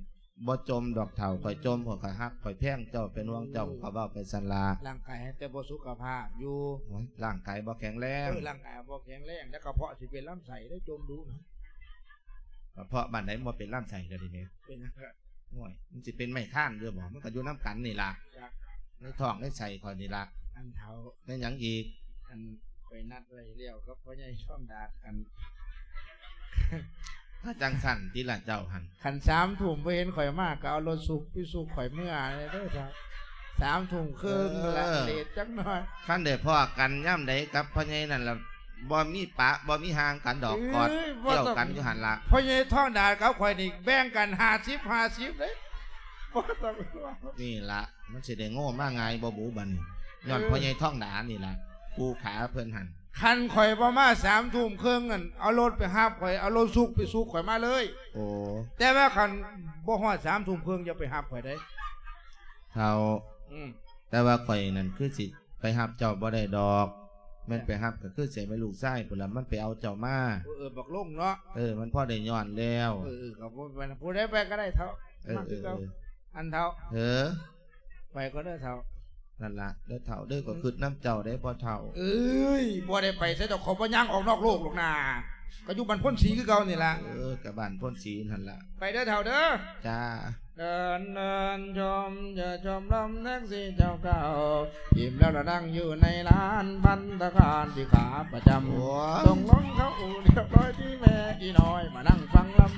ບໍ່ຈົ່ມດອກເຖົ້າ, ຂ້ອຍຈົ່ມ ຂ້ອຍກໍຮັກ ຂ້ອຍແພງເຈົ້າ ເປັນຫ່ວງເຈົ້າ ຂ້ອຍເວົ້າໄປຊັ້ນລະ. ຮ່າງກາຍໃຫ້ແຕ່ບໍ່ສຸຂະພາບຢູ່. ໂອ້ຍ ຮ່າງກາຍບໍ່ແຂງແຮງ. ເອີ ຮ່າງກາຍບໍ່ແຂງແຮງ ແລ້ວກະເພາະຊິເປັນລຳໄສ້ເດ້ ຈົ່ມດູນະ. ກະເພາະບ້ານໃດບໍ່ເປັນລຳໄສ້ລະດຽວນີ້? ເປັນຫຍັງ? ໂອ້ຍ ມັນຊິເປັນໄມ້ຄ້ານຢູ່ບໍ່? ມັນກໍຢູ່ນຳກັນນີ້ລະ ໃນທ້ອງໃນໄສ້ຂ້ອຍນີ້ລະ. ອັນເຖົ້າ ແມ່ນຫຍັງອີກ? ອັນຂ້ອຍນັດໄວ້ແລ້ວກັບພໍ່ໃຫຍ່ທອງດາດ ອັນ ຖ້າຈັ່ງຊັ້ນຕິລະເຈົ້າຫັ້ນ. ຄັນສາມທຸ່ມບໍ່ເຫັນຂ້ອຍມາ ກໍເອົາລົດສຸກໄປສຸກຂ້ອຍເມືອເດີເຖົ້າ. ສາມທຸ່ມເຄິ່ງ ເອີ ລະເລດຈັກໜ້ອຍ. ຄັນໄດ້ພໍ້ກັນຍາມໃດກັບພໍ່ໃຫຍ່ນັ້ນລະ ບໍ່ມີປະ ບໍ່ມີຫ່າງກັນດອກ ເອີຍ ກອດ ບໍ່ຕ້ອງ ກ່ຽວກັນຢູ່ຫັ້ນລະ. ພໍ່ໃຫຍ່ທອງດາດກັບຂ້ອຍນີ້ແບ່ງກັນຫ້າສິບຫ້າສິບເດ້ ບໍ່ຕ້ອງຫ່ວງ. ນີ້ລະ ມັນຊິໄດ້ໂງ່ມາງ່າຍບໍ່ບຸບັດນີ້ ຍ້ອນ ເອີ ພໍ່ໃຫຍ່ທອງດາດນີ້ລະ ປູຂາເພິ່ນຫັ້ນ. ຄັນຂ້ອຍບໍ່ມາສາມທຸ່ມເຄິ່ງນັ້ນ ເອົາລົດໄປຮັບຂ້ອຍ ເອົາລົດສຸກໄປສຸກຂ້ອຍມາເລີຍ. ໂອ້ ແຕ່ວ່າຄັນບໍ່ຮອດສາມທຸ່ມເຄິ່ງ ຢ່າໄປຮັບຂ້ອຍເດ້ ເຖົ້າ. ອືມ ແຕ່ວ່າຂ້ອຍນັ້ນຄືຊິ ໄປຮັບເຈົ້າບໍ່ໄດ້ດອກ ແມ່ນໄປຮັບກໍຄືເສຍແມ່ລູກຊາຍພຸ້ນລະ ມັນໄປເອົາເຈົ້າມາ. ເອີ ເອີ ບັກລົງເນາະ. ເອີ ມັນພໍໄດ້ຍ້ອນແລ້ວ. ເອີ ເອີ ກໍບໍ່ເປັນ ຜູ້ໃດໄປກໍໄດ້ເຖົ້າ. ເອີ ມາຄືເກົ່າ ເອີ ອັນເຖົ້າ ເອີ ໄປກໍໄດ້ເຖົ້າ. ນັ້ນລະເດີເຖົ້າເດີ ກໍຄຶດນຳເຈົ້າໄດ້ພໍ່ເຖົ້າ. ເອີຍ ບໍ່ໄດ້ໄປໃສດອກ ເຂົາບໍ່ຍ່າງອອກນອກໂລກດອກນາ ກໍຢູ່ບ້ານໂພນສີຄືເກົ່ານີ້ລະ. ເອີ ກໍບ້ານໂພນສີຫັ້ນລະ ໄປເດີເຖົ້າເດີ. ຈ້າ. ເດີນເດີນຊົມ ຈະຊົມລຳແທັກຊີເຈົ້າເກົ່າ ຖິ້ມແລ້ວລະນັ່ງຢູ່ໃນລານພັດຕາຄານທີ່ຂາປະຈຳ. ໂອ້ຍ ສົ່ງລອງເຂົ້າອູ່ລຽບຮ້ອຍທີ່ແມ່ອີນ້ອຍມານັ່ງຟັງລຳ.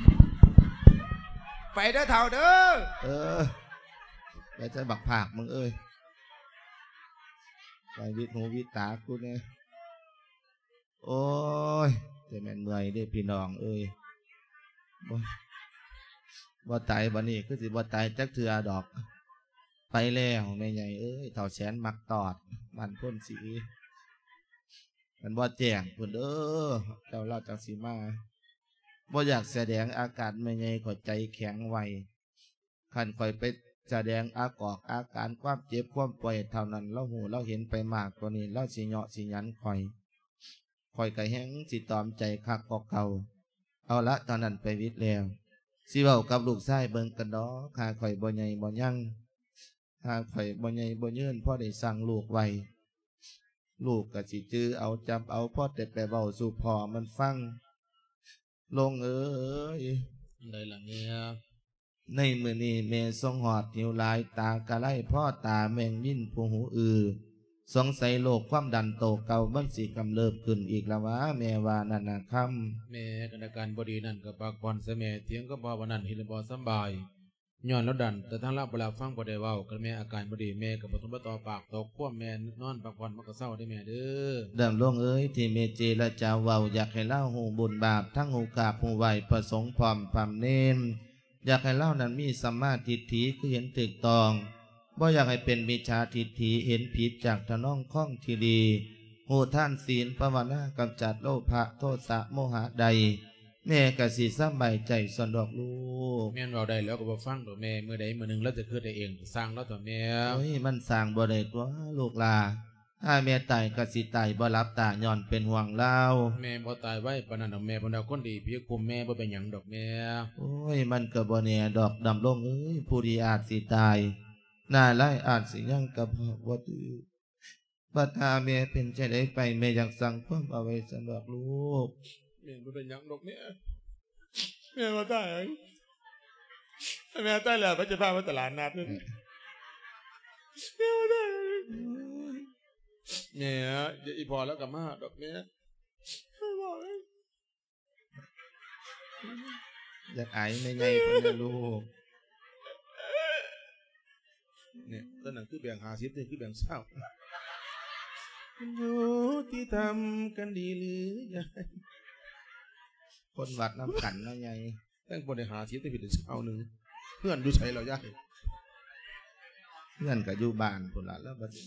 ໄປເດີເຖົ້າເດີ. ເອີ ໄປໃສບັກພາກມຶງເອີຍ ໄປວິດຫູວິດຕາກູແດ່. ໂອ້ຍ ແຕ່ແມ່ນເມື່ອຍເດ້ພີ່ນ້ອງເອີຍ ບໍ່ ບໍ່ຕາຍບັດນີ້ ຄືຊິບໍ່ຕາຍຈັກເທື່ອດອກ. ໄປແລ້ວແມ່ໃຫຍ່ເອີຍ ເຖົ້າແສນມັກຕອດ ບ້ານໂພນສີ ມັນບໍ່ແຈ້ງພຸ້ນເດີ ເຈົ້າລາວຈັ່ງຊິມາ. ບໍ່ຢາກສະແດງອາການແມ່ໃຫຍ່ ຂ້ອຍໃຈແຂງໄວ. ຄັນຂ້ອຍໄປສະແດງອາກອກອາການຄວາມເຈັບຄວາມປ່ວຍເທົ່ານັ້ນ ລາວຮູ້ລາວເຫັນໄປມາກກວ່ານີ້ ລາວຊິເຍາະຊິຫຍັນຂ້ອຍ ຂ້ອຍກໍແຮ່ງຊິຕອມໃຈຄັກກວ່າເກົ່າ. ເອົາລະ ຕອນນັ້ນໄປວິດແລ້ວ ຊິເວົ້າກັບລູກຊາຍເບິ່ງກັນດອກ ຫາຂ້ອຍບໍ່ໃຫຍ່ບໍ່ຍັງ ຫາຂ້ອຍບໍ່ໃຫຍ່ບໍ່ຍືນ ພໍໄດ້ສັ່ງລູກໄວ້ ລູກກໍຊິຈື່ເອົາຈຳເອົາ ພໍແຕ່ໄປເວົ້າສູ່ພໍ່ມັນຟັງ. ລົງເອີຍ ອັນໃດລະແມ່? ໃນມື້ນີ້ແມ່ຊົງຮອດຫິວຫຼາຍ ຕາກະໄລພໍຕາແມງວິນຜູ້ຫູອື້ ສົງໄສໂລກຄວາມດັນໂຕເກົ່າມັນຊິກຳເລີບຂຶ້ນອີກລະຫວາ ແມ່ວ່ານັ້ນນະຄຳ. ແມ່ ຄັນອາການບໍ່ດີນັ້ນກໍພັກຜ່ອນຊະແມ່ ຖຽງກັບພໍ່ວ່ານັ້ນເຫັນແລ້ວບໍ່ສຳບາຍ ຍ້ອນລາວດັນ ແຕ່ທາງລາວບໍ່ຮັບຟັງ ບໍ່ໄດ້ເວົ້າກັນແມ່ ອາການບໍ່ດີ ແມ່ກໍບໍ່ຕ້ອງມາຕໍ່ປາກຕໍ່ຄວາມ ແມ່ນອນພັກຜ່ອນມັນກໍເຊົາເດີແມ່ເດີ. ດຳລົງເອີຍ ທີ່ແມ່ເຈລະຈາເວົ້າ ຢາກໃຫ້ລາວຮູ້ບຸນບາບ ທັງຮູ້ກາບຮູ້ໄຫວ້ພະສົງພ້ອມພຳເນນ ຢາກໃຫ້ລາວນັ້ນມີສຳມາທິດຖິ ຄືເຫັນຖືກຕ້ອງ ບໍ່ຢາກໃຫ້ເປັນມິດສາທິດຖິ ເຫັນຜິດຈາກທຳນອງຄອງທີ່ດີ ຮູ້ທານ ສີນ ພາວະນາ ກຳຈັດໂລພະ ໂທສະ ໂມຫະໄດ້ ແມ່ກໍຊິສະບາຍໃຈຊັ້ນດອກລູກ. ແມ່ນເວົ້າໄດ້ ລາວກໍບໍ່ຟັງດອກແມ່ ມື້ໃດມື້ໜຶ່ງລາວຈະຄິດໄດ້ເອງ ຊ່າງລາວເຖາະແມ່. ໂອ້ຍ ມັນສ້າງບໍ່ໄດ້ຕົວະລູກຫຼ້າ ຖ້າແມ່ຕາຍກໍຊິຕາຍບໍ່ຫຼັບຕາ ຍ້ອນເປັນຫ່ວງລາວ. ແມ່ບໍ່ຕາຍໄວປານນັ້ນດອກແມ່ ເພິ່ນວ່າຄົນດີຜີຄຸມແມ່ ບໍ່ເປັນຫຍັງດອກແມ່. ໂອ້ຍ ມັນກໍບໍ່ແນ່ດອກ ດຳລົງເອີຍ ຜູ້ດີອາດຊິຕາຍ ໜ້າລາຍອາດຊິຍັງກໍບອກບໍ່ຖືກ. ບັດຫາແມ່ເປັນຈັ່ງໃດໄປ ແມ່ຢາກສັ່ງຄວາມເອົາໄວ້ຊັ້ນດອກລູກ. ແມ່ບໍ່ເປັນຫຍັງດອກແມ່ ແມ່ບໍ່ຕາຍ. ແມ່ຕາຍແລ້ວ ໃຜຈະພາໄປຕະຫຼາດນັດ? ແມ່ບໍ່ຕາຍ. ແມ່ ດຽວອີ່ພໍ່ລາວກໍມາດອກແມ່. ຢາກອາຍແມ່ໃຫຍ່ເພິ່ນເດີລູກ. ນີ້ ຕອນນັ້ນຄືແບ່ງຫ້າສິບ ນີ້ຄືແບ່ງຊາວ. ມັນຍຸຕິທຳກັນດີຫຼືຍາຍ? ຄົນວັດນຳກັນເນາະຍາຍ. ແຕ່ງບໍ່ໄດ້ຫ້າສິບ ແຕ່ຜິດຊາວໜຶ່ງ. ເຮືອນຢູ່ໃສລະຍາຍ? ເຮືອນກໍຢູ່ບ້ານພຸ້ນລະ ແລ້ວບັດນີ້.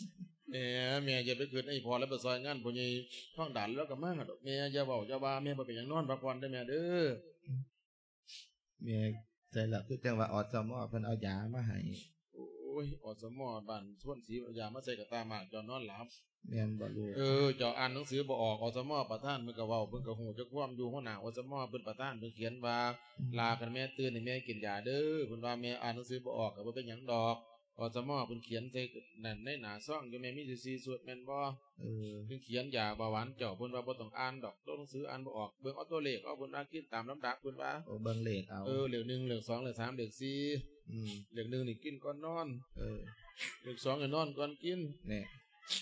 ແມ່ ແມ່ຢ່າໄປຄິດໃຫ້ພໍ່ລະ ໄປຊ່ອຍງານພໍ່ໃຫຍ່ທອງດາດ ລາວກໍມາດອກ. ແມ່ຢ່າເວົ້າຢ່າວ່າ ແມ່ບໍ່ເປັນຫຍັງ ນອນພັກຜ່ອນເດີແມ່ເດີ. ແມ່ໃສລະ ຄືຈັ່ງວ່າ ອສມ ເພິ່ນເອົາຢາມາໃຫ້. ໂອ້ ໂອ້ຍ ອສມ ບ້ານໂພນສີ ຢ່າມາໃສ່ກະຕ່າໝາກ ເຈົ້ານອນຫຼັບ. ແມ່ນບໍ່ລູກ? ເອີ ເຈົ້າອ່ານໜັງສືບໍ່ອອກ ອສມ ປະທານເພິ່ນກໍເວົ້າ ເພິ່ນກໍຮູ້ຈັກຄວາມຢູ່ ຫົວໜ້າ ອສມ ເພິ່ນປະທານ ເພິ່ນຂຽນວ່າ ອືມ ຫຼ້າ ຄັນແມ່ຕື່ນໃຫ້ແມ່ກິນຢາເດີ ເພິ່ນວ່າແມ່ອ່ານໜັງສືບໍ່ອອກ ກໍບໍ່ເປັນຫຍັງດອກ ອສມ ເພິ່ນຂຽນໃສ່ນັ້ນ ໃນໜ້າຊອງຢູ່ ແມ່ມີຢູ່ສີ່ຊຸດແມ່ນບໍ່? ເອີ ເພິ່ນຂຽນຢາເບົາຫວານເຈົ້າ ເພິ່ນວ່າບໍ່ຕ້ອງອ່ານດອກ ໂຕໜັງສືອ່ານບໍ່ອອກ ເບິ່ງເອົາໂຕເລກເອົາ ເພິ່ນວ່າກິນຕາມລຳດັບ ເພິ່ນວ່າ ໂອ້ ເບິ່ງເລກເອົາ ເອີ ເລກໜຶ່ງ ເລກສອງ ເລກສາມ ເລກສີ່ ອືມ ເລກໜຶ່ງນີ້ກິນກ່ອນນອນ ເອີ ເລກສອງໃຫ້ນອນກ່ອນກິນ ແນ່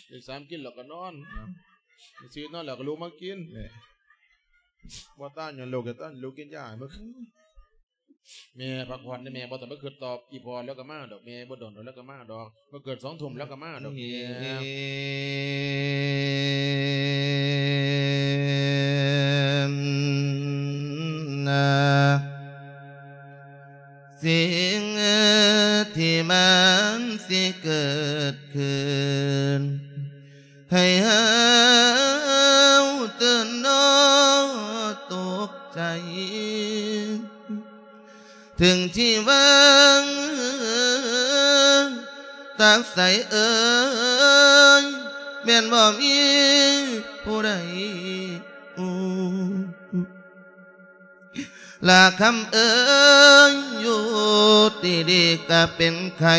ເລກສາມກິນແລ້ວກໍນອນ ເນາະ ເລກສີ່ນອນແລ້ວກໍລຸກມາກິນ ແນ່ ບໍ່ຕາຍຍ້ອນລູກ ແຕ່ຕາຍຍ້ອນລູກກິນຢາໃຫ້ເບິ່ງ. ແມ່ພັກຜ່ອນເດີແມ່ ບໍ່ຕ້ອງໄປຄິດຕໍ່ ອີ່ພໍ່ແລ້ວກໍມາດອກແມ່ ບໍ່ດົນດອກແລ້ວກໍມາດອກ ມາເກີດສອງທຸ່ມແລ້ວກໍມາດອກແມ່. ສິ່ງທີ່ມັນຊິເກີດຂຶ້ນ ໃຫ້ເຮົາຕື່ນນອນຕົກໃຈ ເຖິງທີ່ວ່າງຕັກໃສເອີຍ ແມ່ນບໍ່ມີຜູ້ໃດຮູ້. ລະຄຳເອີຍ ຢູ່ດີໆກະເປັນໄຂ້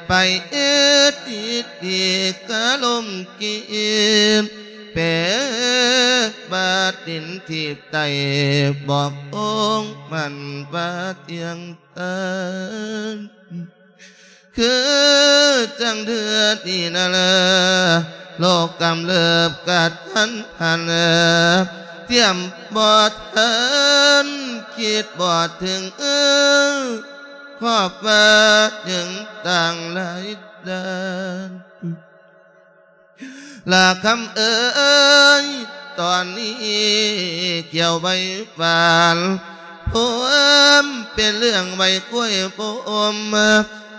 ໄປເອດດີໆກະລົມກີບ ແປບາດດິນທີບໄຕ ບອກອົງໝັ້ນວ່າທ່ຽງຕາຍ ຄືຈັ່ງເທື່ອນີ້ນັ້ນ ໂລກກຳເລີບກະທັນຫັນ ຕຽມບໍ່ທັນຄິດບໍ່ເຖິງ ຄອບວ່າເຖິງຕ່າງຫຼາຍດ້ານ ລະຄຳເອີຍ ຕອນນີ້ກ່ຽວໃບຫວານ ພວມເປັນເລື່ອງໃບກ້ວຍບົ່ມ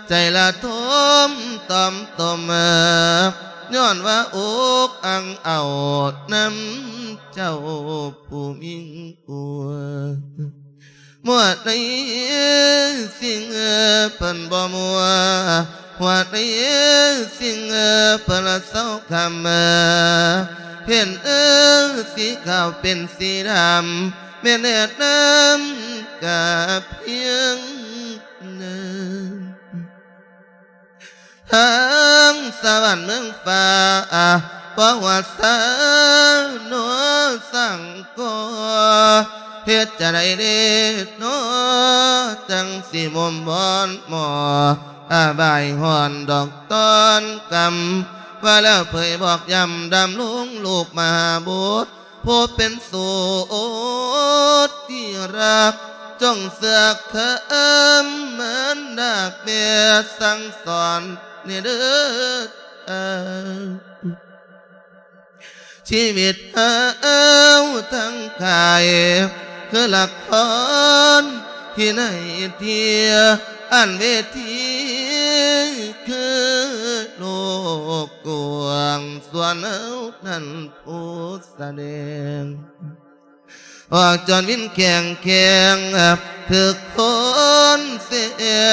ໃຈລະທົມຕອມຕົມ ຍ້ອນວ່າອົກອັ່ງເອົານຳເຈົ້າຜູ້ມີກວ່າ ໝວດໃນສິ່ງເພິ່ນບໍ່ມົວ ໝວດໃນສິ່ງເພິ່ນລະເຊົາຄຳ ເຫັນເອີ ສີຂາວເປັນສີດຳ ແມ່ນແນະນຳກະພຽງນັ້ນ ທາງສະຫວັນເມືອງຟ້າ ບໍ່ວ່າສາໂນສັງກໍ ເຮັດຈະໃດເດເນາະ ຈັ່ງຊິໝຸ່ມບ່ອນໝໍ ອາບາຍຮ້ອນດອກຕອນກຳ ວ່າແລ້ວເຜີຍບອກຢ້ຳດຳລົງລູກມະຫາບຸດ ຜູ້ເປັນສູດທີ່ຮັກ ຈົ່ງເຊື່ອຄຳມານດາແມ່ສັ່ງສອນນີ້ເດີ ຊີວິດເຮົາທັງກາຍ ຄືລະຄອນທີ່ໃນເທຍ ອັນເວທີຄືໂລກກວ້າງ ສ່ວນເຮົານັ້ນຜູ້ສະແດງ ອອກຈອນວິນແຂງແຂງ ຖືກຄົນແສ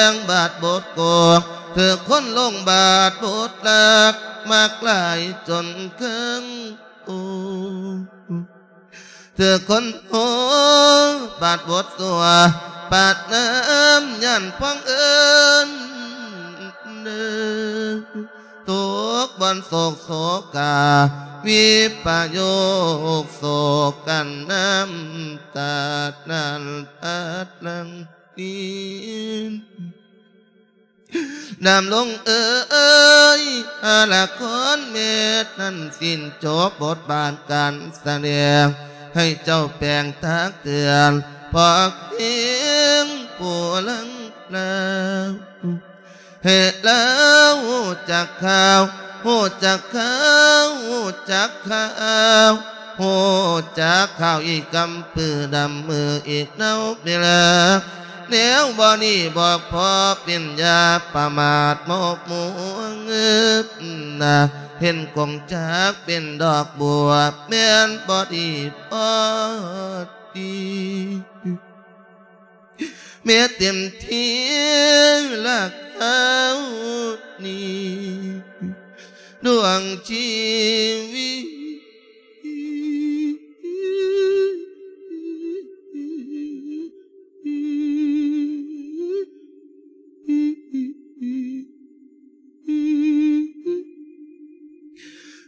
ງບາດບົດໂກກ ຖືກຄົນລົງບາດບົດລັກ ມັກຫຼາຍຈົນເຄິ່ງໂອ ຖືກຄົນໂຫບາດບົດຊົ່ວ ປາດນ້ຳຢ້ານພວງເອີ້ນ ຕົກບ່ອນໂສກໂສກາ ວິປະໂຍກໂສກກັນ ນ້ຳຕານັ້ນພາດຫຼັງນີ້ ດຳລົງເອີຍ ລະຄອນແມ່ນັ້ນສິ້ນຈົບບົດບາດການສະແດງ ໃຫ້ເຈົ້າແປງຕັກເຕືອນ ພອກພຽງຜູ້ລັງລາວ ເຮັດລາວຮູ້ຈັກຂ່າວ ຮູ້ຈັກຂ່າວ ຮູ້ຈັກຂ່າວ ຮູ້ຈັກຂ່າວອີກກຳປືດຳມືອີກເນົາເວລາ ແນວບໍ່ດີບໍ່ພໍເປັນ ຢ່າປະໝາດໝົກໝວງນາ ເຫັນກົງຈັກເປັນດອກບົວ ແມ່ນບໍ່ດີພໍດີ ແມ່ເຕັມທີ່ລະເຂົາ ງຊີວິດ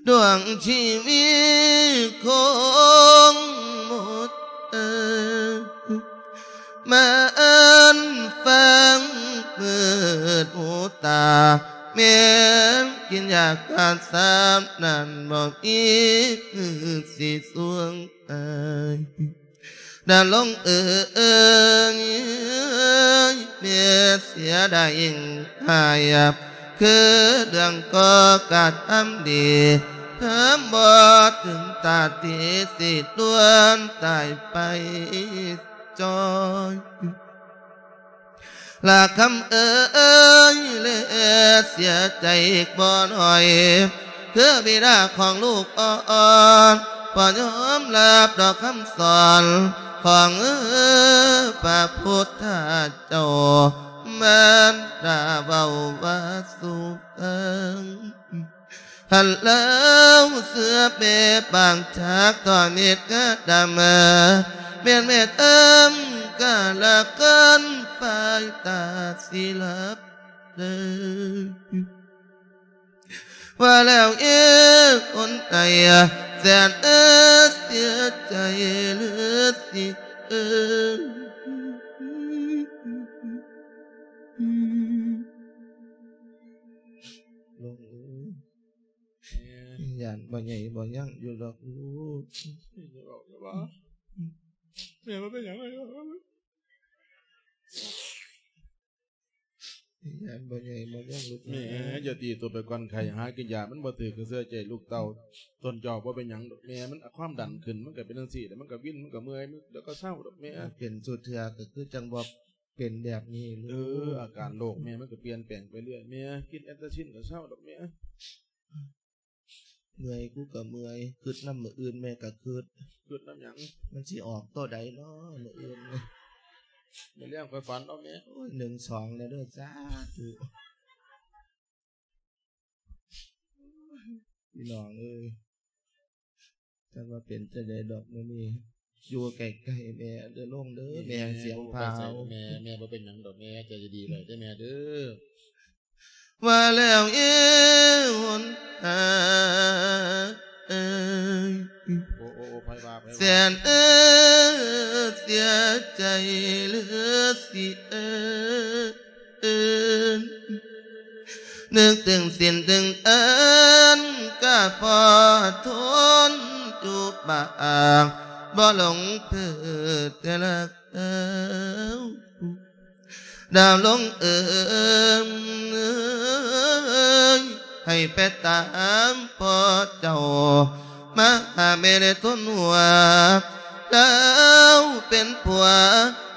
ດວງຊີວິດຄົງໝົດເອີຍ ມາເອີ້ນຟັງມືດຫູຕາ ແມ່ນກິນຢາກາສາບນັ້ນ ບໍ່ມີຄືຊິສວງເອີຍ ດາລົງເອີຍ ແມ່ເສຍດາຍຍິ່ງຫາຍ ຄືເລື່ອງກໍ່ກະທຳດີ ທຳບໍ່ເຖິງຕາທີ່ຊິດ່ວນຕາຍໄປຈ່ອຍ ລະຄຳເອີຍ ແລະເສຍໃຈອີກບໍ່ໜ້ອຍ ຄືບິດາຂອງລູກອ່ອນ ບໍ່ຍອມຮັບດອກຄຳສອນຂອງພະພຸດທະເຈົ້າ ມານດາເວົ້າວ່າສູ່ຟັງ ຫັ້ນແລ້ວເສືອແມ່ປາງຈາກຕໍ່ມິດກະດຳ ແມ່ນແມ່ເອີມກະລະກັນຝ່າຍຕາສິລັບເດີ ວ່າແລ້ວເອ ຄົນໃດແສນເອີ ເສຍໃຈເຫຼືອສິເອີ ລຸງເອີຍ ແມ່ ຢ້ານບໍ່ໃຫຍ່ບໍ່ຍັງຢູ່ດອກລູກ ຢ່າເວົ້າ ຢ່າເວົ້າ ແມ່ບໍ່ເປັນຫຍັງເລີຍ ຢ້ານບໍ່ໃຫຍ່ບໍ່ຍັງລູກ ແມ່ ຢ່າຕີຕົວໄປກ່ອນ ໄຂ້ຫາກິນຢາມັນບໍ່ຖືກກະເຊື່ອໃຈລູກເຕົ້າ ຕົນເຈົ້າບໍ່ເປັນຫຍັງດອກແມ່ ມັນຄວາມດັນຂຶ້ນ ມັນກະເປັນຈັ່ງຊີ້ແຫຼະ ມັນກະວິນ ມັນກະເມື່ອຍ ມັນ ດຽວກະເຊົາດອກແມ່ ເປັນສູ່ເທື່ອກະຄືຈັ່ງບໍ່ເປັນແບບນີ້ລູກ ເອີ ອາການໂລກແມ່ມັນກະປ່ຽນແປງໄປເລື້ອຍແມ່ ກິນແອັນຕາຊິນກະເຊົາດອກແມ່. ເມື່ອຍ ກູກະເມື່ອຍ ຄຶດນຳມື້ອື່ນແມ່ກະຄຶດ ຄຶດນຳຫຍັງ? ມັນຊິອອກໂຕໃດນໍມື້ອື່ນນີ້? ມື້ແລງຂ້ອຍຝັນເອົາແມ່ ໂອ້ຍ ໜຶ່ງສອງແດ່ເດີ ສາທຸ ພີ່ນ້ອງເອີຍ ຈັກວ່າເປັນຈັ່ງໃດດອກມື້ນີ້ ຢູ່ໃກ້ໆແມ່ເດີ ລົງເດີ ແມ່ ແມ່ສຽງພາວ ແມ່ ແມ່ບໍ່ເປັນຫຍັງດອກແມ່ ໃຈດີໆໄວ້ເດີແມ່ເດີ. ວ່າແລ້ວເອ ຫົນຫາເອີຍ ໂອ້ ໂອ້ ໂອ້ ໃຜວ່າ ໃຜວ່າ ແສນເອີຍ ເສຍໃຈເຫຼືອສິເອີຍ ນຶກເຖິງສິນເຖິງອັນ ກະພໍທົນຢູ່ບາງ ບໍ່ຫຼົງເພີແຕ່ລະ ດາວລົງເອີຍ ໃຫ້ໄປຕາມພໍ່ເຈົ້າ ມາຫາແມ່ໄດ້ທົນຫົວ ດາວເປັນຜົວ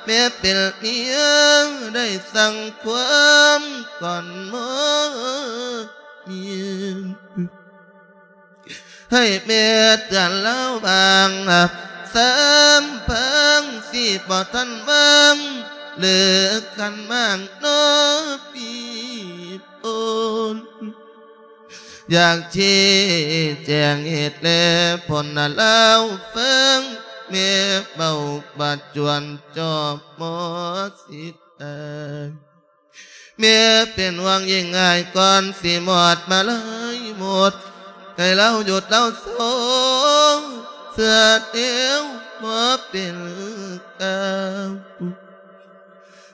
ແມ່ເປັນເມຍ ໄດ້ສັ່ງຄວາມກ່ອນໝົດ ໃຫ້ແມ່ເຕືອນລາວບາງ ສາມພັງ ຊິບໍ່ທັນວາງ ເລີກກັນມາງນໍພີ່ໂອນ ຢາກຊີ້ແຈງເຫດແລະຜົນໃຫ້ລາວຟັງ ແມ່ເວົ້າບາດຈວນຈອບໝໍສິດເອີຍ. ແມ່ເປັນຫວັງຍິ່ງອາຍ ກ່ອນຊິໝົດມາລາຍໝົດ ໃຫ້ລາວຢຸດລາວເຊົາ ເສຍແນວບໍ່ເປັນກາວ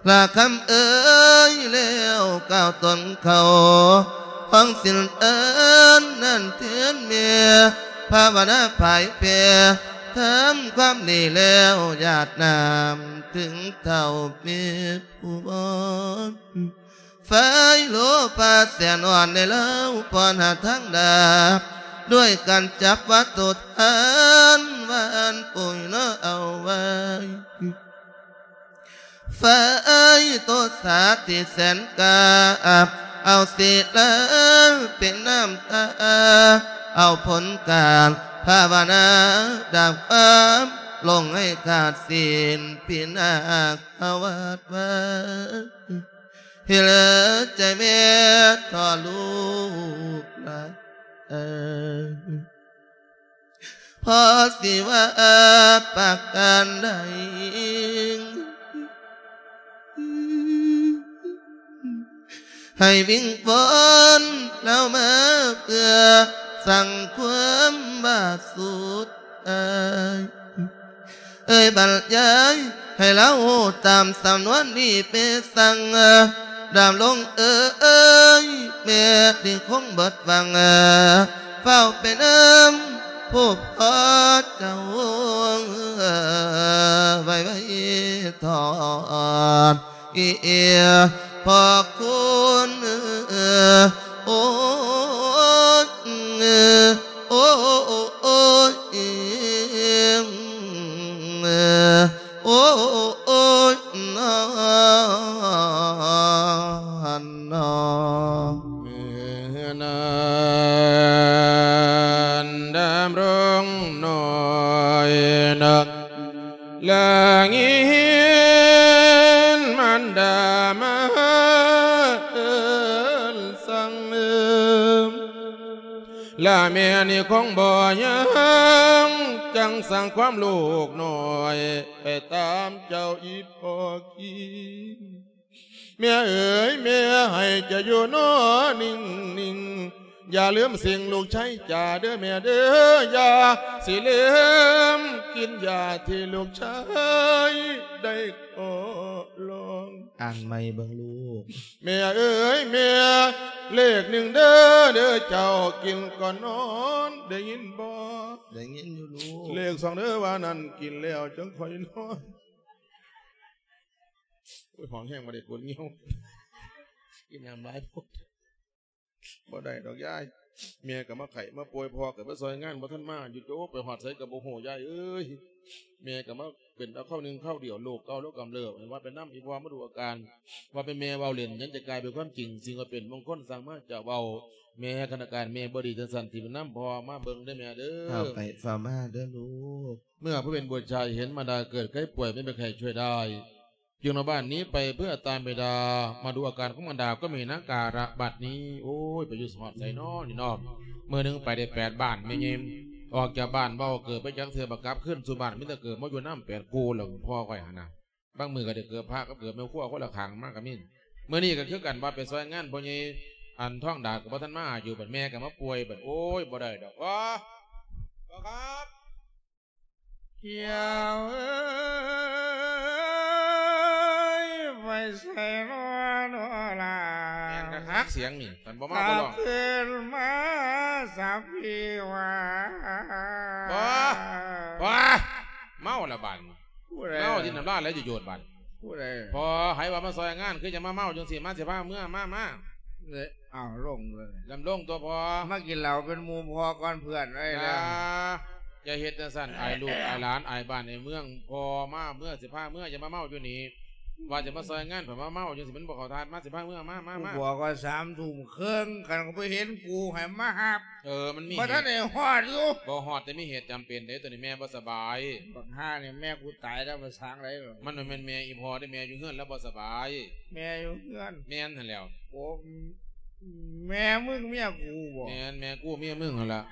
ລະຄຳເອີຍ ແລ້ວກ້າວຕົນເຂົ້າຫ້ອງສິນເອີນນັ້ນແທນແມ່ ພາວະນາພາຍແຜ່ ທຳຄວາມດີແລ້ວຢາດນ້ຳເຖິງເຕົ້າແມ່ ຜູ້ບອນ ໄຟໂລພາແສນອ່ອນໃນລາວ ປ້ອນຫາທາງດາບ ດ້ວຍການຈັບວັດຖຸທານ ຫວານປຸຍເນາະເອົາໄວ້ ໄຟໂຕສາທີ່ແສນກາບ ເອົາສິລາເປັນນ້ຳຕາ ເອົາຜົນການພາວະນາ ດາບຄວາມຫຼົງໃຫ້ຂາດສິ້ນ ພິນາກ ອາວາດວາ ເຮັດໃຫ້ໃຈແມ່ທໍລູກຫຼາຍ ເອີ ພໍຊິວ່າປະການໃດ ໃຫ້ວິງວອນລາວມາເພື່ອສ້າງຄວາມບາດສຸດອາຍ ເອີຍບັນຍາຍໃຫ້ລາວຮູ້ຕາມສຳນວນນີ້ເປສັງ ດຳລົງເອີຍ ແມ່ທີ່ຄົງເບິດຫວັງ ຟ້າວໄປນຳຜູ້ພໍ່ເຈົ້າ ໄວໆຖອດ ອີ ພໍ່ຄຸນ ໂອ້ຍ ໂອ້ຍ ໂອ້ຍ ນອນ ນອນ ເມື່ອນັ້ນດຳລົງນ້ອຍນະ ລະຍິນມານດາມາເອີ້ນສັ່ງ ລະແມ່ນີ້ຄົງບໍ່ຍັງ ຈັ່ງສັ່ງຄວາມລູກນ້ອຍ ໄປຕາມເຈົ້າອີ່ພໍ່ກິນ. ແມ່ເອີຍ ແມ່ໃຫ້ເຈົ້າຢູ່ນອນນິ່ງໆ ຢ່າລືມສິ່ງລູກຊາຍຈາເດີແມ່ເດີ ຢ່າຊິລືມກິນຢາທີ່ລູກຊາຍໄດ້ຂໍລອງ. ອ່ານໃໝ່ເບິ່ງລູກ. ແມ່ເອີຍ ແມ່ ເລກໜຶ່ງເດີ ເດີເຈົ້າກິນກ່ອນນອນ ໄດ້ຍິນບໍ່? ໄດ້ຍິນຢູ່ລູກ. ເລກສອງເດີ ວ່ານັ້ນກິນແລ້ວຈັ່ງຄ່ອຍນອນ. ໂອ້ຍ ຫ້ອງແຮງບໍ່ໄດ້ ປວດງຽວ ກິນນ້ຳຫຼາຍໂພດ. ບໍ່ໄດ້ດອກຍາຍ ແມ່ກໍມາໄຂ້ມາປ່ວຍ ພໍ່ກໍໄປຊ່ອຍງານ ບໍ່ທັນມາຢູ່ ໂຈ ໄປຮອດໃສກໍບໍ່ຮູ້ ຍາຍເອີຍ. ແມ່ກໍມາເປັນເອົາຄາວໜຶ່ງຄາວດຽວ ໂລກເກົ່າລາວກຳເລີບ ໃຫ້ວ່າໄປນຳອີ່ພໍ່ມາດູອາການ ວ່າເປັນແມ່ເວົ້າເລ່ນ ຍັງຈະກາຍເປັນຄວາມຈິງ ສິ່ງວ່າເປັນມົງຄົນ ສ້າງມາຈະເວົ້າ. ແມ່ ຄັນອາການແມ່ບໍ່ດີຈັ່ງຊັ້ນ ຊິໄປນຳພໍ່ມາເບິ່ງເດີແມ່ເດີ. ເຂົ້າໄປເຝົ້າມາເດີລູກ. ເມື່ອຜູ້ເປັນບຸດຊາຍເຫັນມາດາເກີດໄຂ້ປ່ວຍ ແມ່ນບໍ່ມີໃຜຊ່ວຍໄດ້ ຈຶ່ງນຳບ້ານໜີໄປເພື່ອຕາມມາດາ ມາດູອາການຂອງມາດາກໍມີນາງກາລະບັດນີ້. ໂອ້ຍ ໄປຢູ່ຮອດໃສນໍນີ້ນໍ. ມື້ໜຶ່ງໄປໄດ້ແປດບ້ານແມ່ຍິງ ອອກຈາກບ້ານບໍ່ເກີບໄປຈັກເທື່ອ ບໍ່ກັບຄືນສູ່ບ້ານ ມີແຕ່ເກີບມາຢູ່ນຳແປດຄູ່ ແລ້ວພໍ່ຂ້ອຍຫັ້ນນະ. ບາງມື້ກໍໄດ້ເກີບພະກັບເກີບແມ່ຄົວຄົນລະຂ້າງມາກໍມີ. ມື້ນີ້ກໍຄືກັນ ວ່າໄປຊ່ອຍງານພໍ່ໃຫຍ່ ອັນທອງດາກໍບໍ່ທັນມາຢູ່ ບັດແມ່ກໍມາປ່ວຍ ບັດ ໂອ້ຍ ບໍ່ໄດ້ດອກ. ພໍ່ ພໍ່ຄັບ. ກ່ຽວເອີຍ ໄປໃສນໍ ນໍລະ? ແມ່ນຄັກໆ ສຽງນີ້ ຄັນບໍ່ມາບໍ່ຮ້ອງ. ເຂົ້າຄືນມາສາພີ່ວ່າ. ບໍ່ ບໍ່ ເມົາລະບາດນີ້. ຜູ້ໃດ? ເມົາທີ່ນ້ຳລາໄຫຼໂຍດໆບາດ. ຜູ້ໃດ? ພໍ່ ໃຜວ່າມາຊ່ອຍງານ ຄືຈະມາເມົາຈັ່ງຊີ້ ມາຊິພາເມືອ ມາ ມາ. ເອີ ເອົາ ລົງເລີຍ ດຳລົງຕົວພໍ່ ມາກິນເຫຼົ້າເປັນໝູ່ພໍ່ກ່ອນເພື່ອນໄວ້ແລ້ວ. ຢ່າເຮັດຈັ່ງຊັ້ນ ອາຍລູກອາຍຫຼານ ອາຍບ້ານອາຍເມືອງ. ພໍ່ມາເມືອ ຊິພາເມືອ ຢ່າມາເມົາຢູ່ນີ້. ວ່າຈະມາຊ່ອຍງານ ເພິ່ນມາເມົາຈັ່ງຊີ້ ມັນບໍ່ເຂົ້າທ່າ. ມາ ຊິພາເມືອ ມາ ມາ ມາ ມາ. ບອກວ່າສາມທຸ່ມເຄິ່ງ ຄັນບໍ່ເຫັນກູໃຫ້ມາຮັບ. ເອີ ມັນມີ ບໍ່ທັນໄດ້ຮອດຢູ່. ບໍ່ຮອດ ແຕ່ມີເຫດຈຳເປັນເດ້ ໂຕນີ້ແມ່ບໍ່ສະບາຍ. ບັກຫ່ານີ້ແມ່ກູຕາຍແລ້ວ ພາສາງໃດ. ມັນບໍ່ແມ່ນແມ່ອີ່ພໍ່ເດ້ ແມ່ຢູ່ເຮືອນ ລາວບໍ່ສະບາຍ. ແມ່ຢູ່ເຮືອນ. ແມ່ນຫັ້ນແຫຼ້ວ. ໂອ້ ແມ່ມຶງເມຍກູບໍ? ແມ່ນ ແມ່ກູເມຍມຶງຫັ້ນລະ.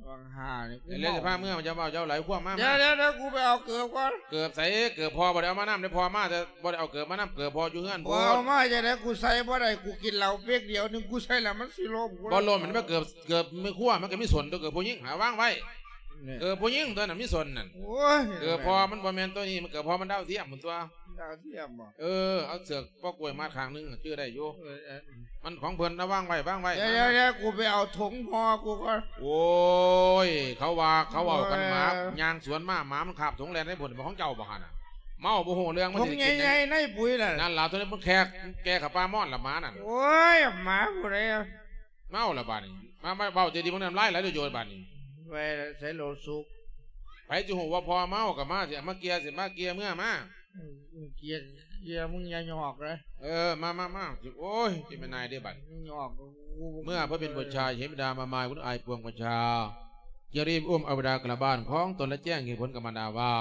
ບັກຫ່ານີ້ ແລ້ວຊິພາເມືອ ເຈົ້າເວົ້າເຈົ້າຫຼາຍຄວາມມາ. ດຽວໆໆ ກູໄປເອົາເກີບກ່ອນ. ເກີບໃສ? ເກີບພໍ່ບໍ່ໄດ້ເອົາມານຳເດ້. ພໍ່ມາແຕ່ບໍ່ໄດ້ເອົາເກີບມານຳ. ເກີບພໍ່ຢູ່ເຮືອນພຸ້ນ. ບໍ່ເອົາມາຈັ່ງໃດ? ກູໃສ່ບໍ່ໄດ້. ກູກິນເຫຼົ້າເປັກດຽວໜຶ່ງ ກູໃສ່ແລ້ວມັນຊິລົ້ມ. ບໍ່ລົ້ມ ມັນເກີບ ເກີບແມ່ຄົວ ມັນກໍມີສົ້ນຕົວະ. ເກີບຜູ້ຍິງຫາວາງໄວ້. ເກີບຜູ້ຍິງຕົວນັ້ນມີສົ້ນນັ້ນ. ໂອ້ຍ ເກີບພໍ່ມັນບໍ່ແມ່ນຕົວນີ້. ມັນເກີບພໍ່ມັນດາວທຽມພຸ້ນຕົວະ. ດາວທຽມບໍ? ເອີ ເອົາເຊືອກ ປອກກ້ວຍມາຂ້າງໜຶ່ງ ຈື່ໄດ້ຢູ່. ເອີ ເອີ ມັນຂອງເພິ່ນນະ ວາງໄວ້ ວາງໄວ້. ດຽວໆ ດຽວໆ ກູໄປເອົາຖົງຫໍ່ກູກ່ອນ. ໂອ້ຍ ເຂົາວ່າ ເຂົາເວົ້າກັນ ເອີ ໝາຍ່າງສວນມາ ໝາມັນຄາບຖົງແລ່ນໃນພຸ້ນ. ບໍ່ຂອງເຈົ້າບໍ່ຫັ້ນນະ? ເມົາບໍ່ຮູ້ເລື່ອງ. ມັນຊິໄດ້ກິນ ຖົງໃຫຍ່ໆ ໃນປຸ໋ຍນັ້ນ. ນັ້ນລະ ຕົວນີ້ມັນແຂກ ແກ່ເຂົ້າປ່າມອນລະໝານັ້ນ. ໂອ້ຍ ໝາຜູ້ໃດ? ເມົາລະບາດນີ້. ມາ ມາເວົ້າດີໆ ເບິ່ງ ນ້ຳລາຍໄຫຼໂຍດໆບາດນີ້. ໄວ້ໃສ່ໂລດສຸກ. ໃຜຊິຮູ້ວ່າພໍ່ເມົາກໍມາ ຊິມາເກ່ຍ ຊິມາເກ່ຍເມືອມາ. ອືມ ເກຍ ເກຍ ມຶງຢ່າຫຍອກເດີ. ເອີ ມາ ມາ ມາ. ໂອ້ຍ ຊິແມ່ນນາຍເດ້ບັດ. ຫຍອກ ເມື່ອພະເປັນບຸດຊາຍເຫັນບິດາມາໝາຍວຸນອາຍປວງປະຊາ ຈຶ່ງໄດ້ອຸ້ມເອົາບິດາກັບລະບ້ານຂອງຕົນ ແລະ ແຈ້ງເຫດຜົນກັບມາດາວ່າ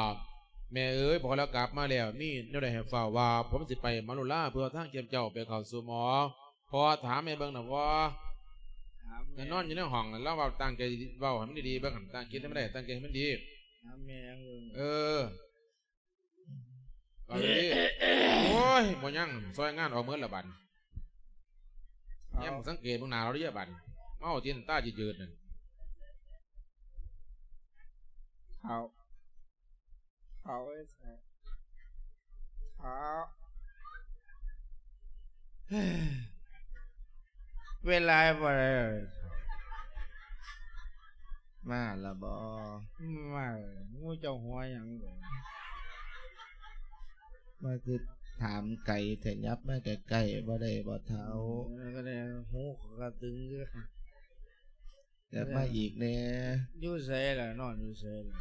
ແມ່ເອີຍ ພໍ່ລາວກັບມາແລ້ວ ມີແນວໃດໃຫ້ຟ້າວວ່າ ຜົມຊິໄປມາລຸລາເພື່ອທາງເກັບເຈົ້າໄປເຂົ້າສູ່ໝໍ. ພໍ່ຖາມແມ່ເບິ່ງນະພໍ່. ຖ ແຕ່ນອນຢູ່ໃນຫ້ອງນັ້ນ ລາວເວົ້າຕັ້ງໃຈເວົ້າໃຫ້ມັນດີໆ ເບິ່ງຫັ້ນ ຕັ້ງຈິດໃຫ້ມັນໄດ້ ຕັ້ງໃຈໃຫ້ມັນດີ ຖາມແມ່ເບິ່ງ ເອີ ເວົ້າດີໆ ໂອ້ຍ ບໍ່ຍັງ ຊ່ອຍງານອອກເໝິດລະບັດ ເອົາ ແນມສັງເກດເບິ່ງໜ້າລາວເດີບັດ ເມົາຕີນຕາຈືດໆນັ້ນ ເອົາ ເອົາ ເອົາ ເວລາບໍ່ໄດ້ ມາລະບໍ່? ມາ ໝູ່ເຈົ້າຫົວຫຍັງ? ມາຄືຖາມໄກແທ້ ຫຍັບມາໃກ້ໆ ບໍ່ໄດ້ບໍ່ເຖົ້າ? ເອີ ກໍໄດ້ ຫູຂ້ອຍກໍຕຶງຄືກັນ ຢາກມາອີກແດ່. ຢູ່ໃສລະ? ນອນຢູ່ໃສລະ?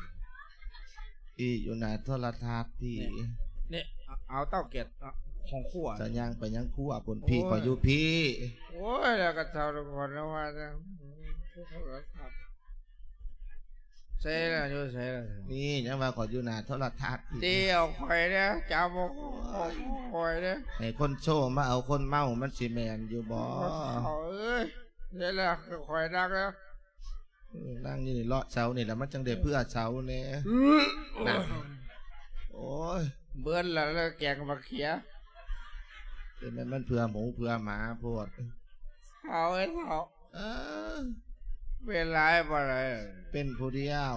ພີ້ ຢູ່ໜ້າໂທລະທັດພີ້. ນີ້ ເອົາເຕົາແກັດ ເອົາ ຫ້ອງຄົວ ຈະຍ່າງໄປຫຍັງຄົວພຸ້ນ? ໂອ້ຍ ພີ້ ຂ້ອຍຢູ່ພີ້. ໂອ້ຍ ແລ້ວກໍເຖົ້າແລ້ວ ຂ້ອຍລະວ່າ ໂທລະທັດ ໃສລະ? ຢູ່ໃສລະ? ນີ້ຍັງວ່າຂ້ອຍຢູ່ໜ້າໂທລະທັດພີ້. ດຽວຂ້ອຍເດີ ຈຳບໍ່ຂ້ອຍເດີ ໃຫ້ຄົນໂຊມາເອົາຄົນເມົາ ມັນຊິແມ່ນຢູ່ບໍ່? ໂອ້ຍ ເອີຍ ໃສລະ? ຂ້ອຍນັກແລ້ວ ເອີ ນັ່ງຢູ່ນີ້ ເລາະເສົານີ້ລະ ມັນຈັ່ງໄດ້ເພື່ອເສົາແດ່. ໂອ້ຍ ເບິດລະ ແລ້ວແກງບັກເຂືອ ເອີ ແມ່ນມັນເພື່ອໝູເພື່ອໝາໂພດ. ເຖົ້າເອີຍເຖົ້າ ເອີ ເປັນຫຼາຍບໍ່ໄດ້ ເປັນຜູ້ດຽວ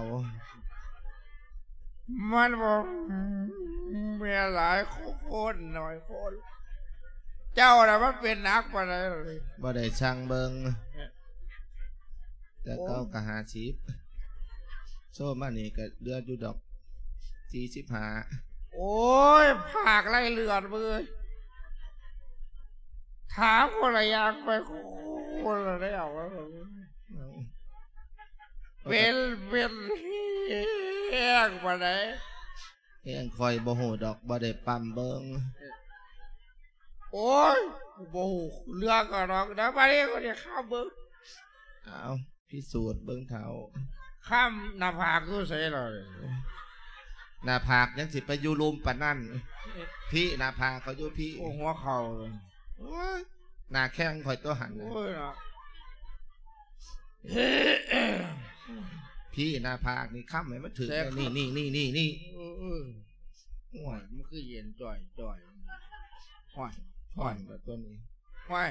ມັນບໍ່ແມ່ນຫຼາຍຄົນ ໜ້ອຍຄົນ ເຈົ້າລະມັນເປັນໜັກປານໃດ? ບໍ່ໄດ້ຊັ່ງເບິ່ງ ແຕ່ເກົ່າກໍຫ້າສິບ ໂຊມານີ້ກໍເຫຼືອຢູ່ດອກ ສີ່ສິບຫ້າ. ໂອ້ຍ ພາກໄລ່ເລືອດເວີຍ ຖາມຄົນລະຢ່າງໄປ ຄົນລະແນວ ເປັນ ເປັນແຮງປານໃດ? ແຮງຂ້ອຍບໍ່ຮູ້ດອກ ບໍ່ໄດ້ປ້ຳເບິ່ງ. ໂອ້ຍ ບໍ່ຮູ້ເລື່ອງກະດອກ ດຽວບາດນີ້ຂ້ອຍຊິຄຳເບິ່ງ. ເອົາ ພິສູດເບິ່ງເຖົ້າ ຄຳໜ້າຜາກຢູ່ໃສລະ? ໜ້າຜາກຍັງຊິໄປຢູ່ລຸ່ມປານນັ້ນ ພີ້ ໜ້າຜາກຂ້ອຍຢູ່ພີ້ ໂອ້ ຫົວເຂົ່າ ໂອ້ຍ ໜ້າແຂ້ງຂ້ອຍຕົວຫັ້ນ ໂອ້ຍເນາະ ພີ້ ໜ້າຜາກນີ້ຄຳໃຫ້ມັນຖືກ ແທ້ ນີ້ ນີ້ ນີ້ ນີ້ ນີ້ ເອີ ເອີ ໂອ້ຍ ມັນຄືເຢັນຈ່ອຍໆ ຫ້ອຍ ຮ້ອນແລ້ວຕົວນີ້ ຫ້ອຍ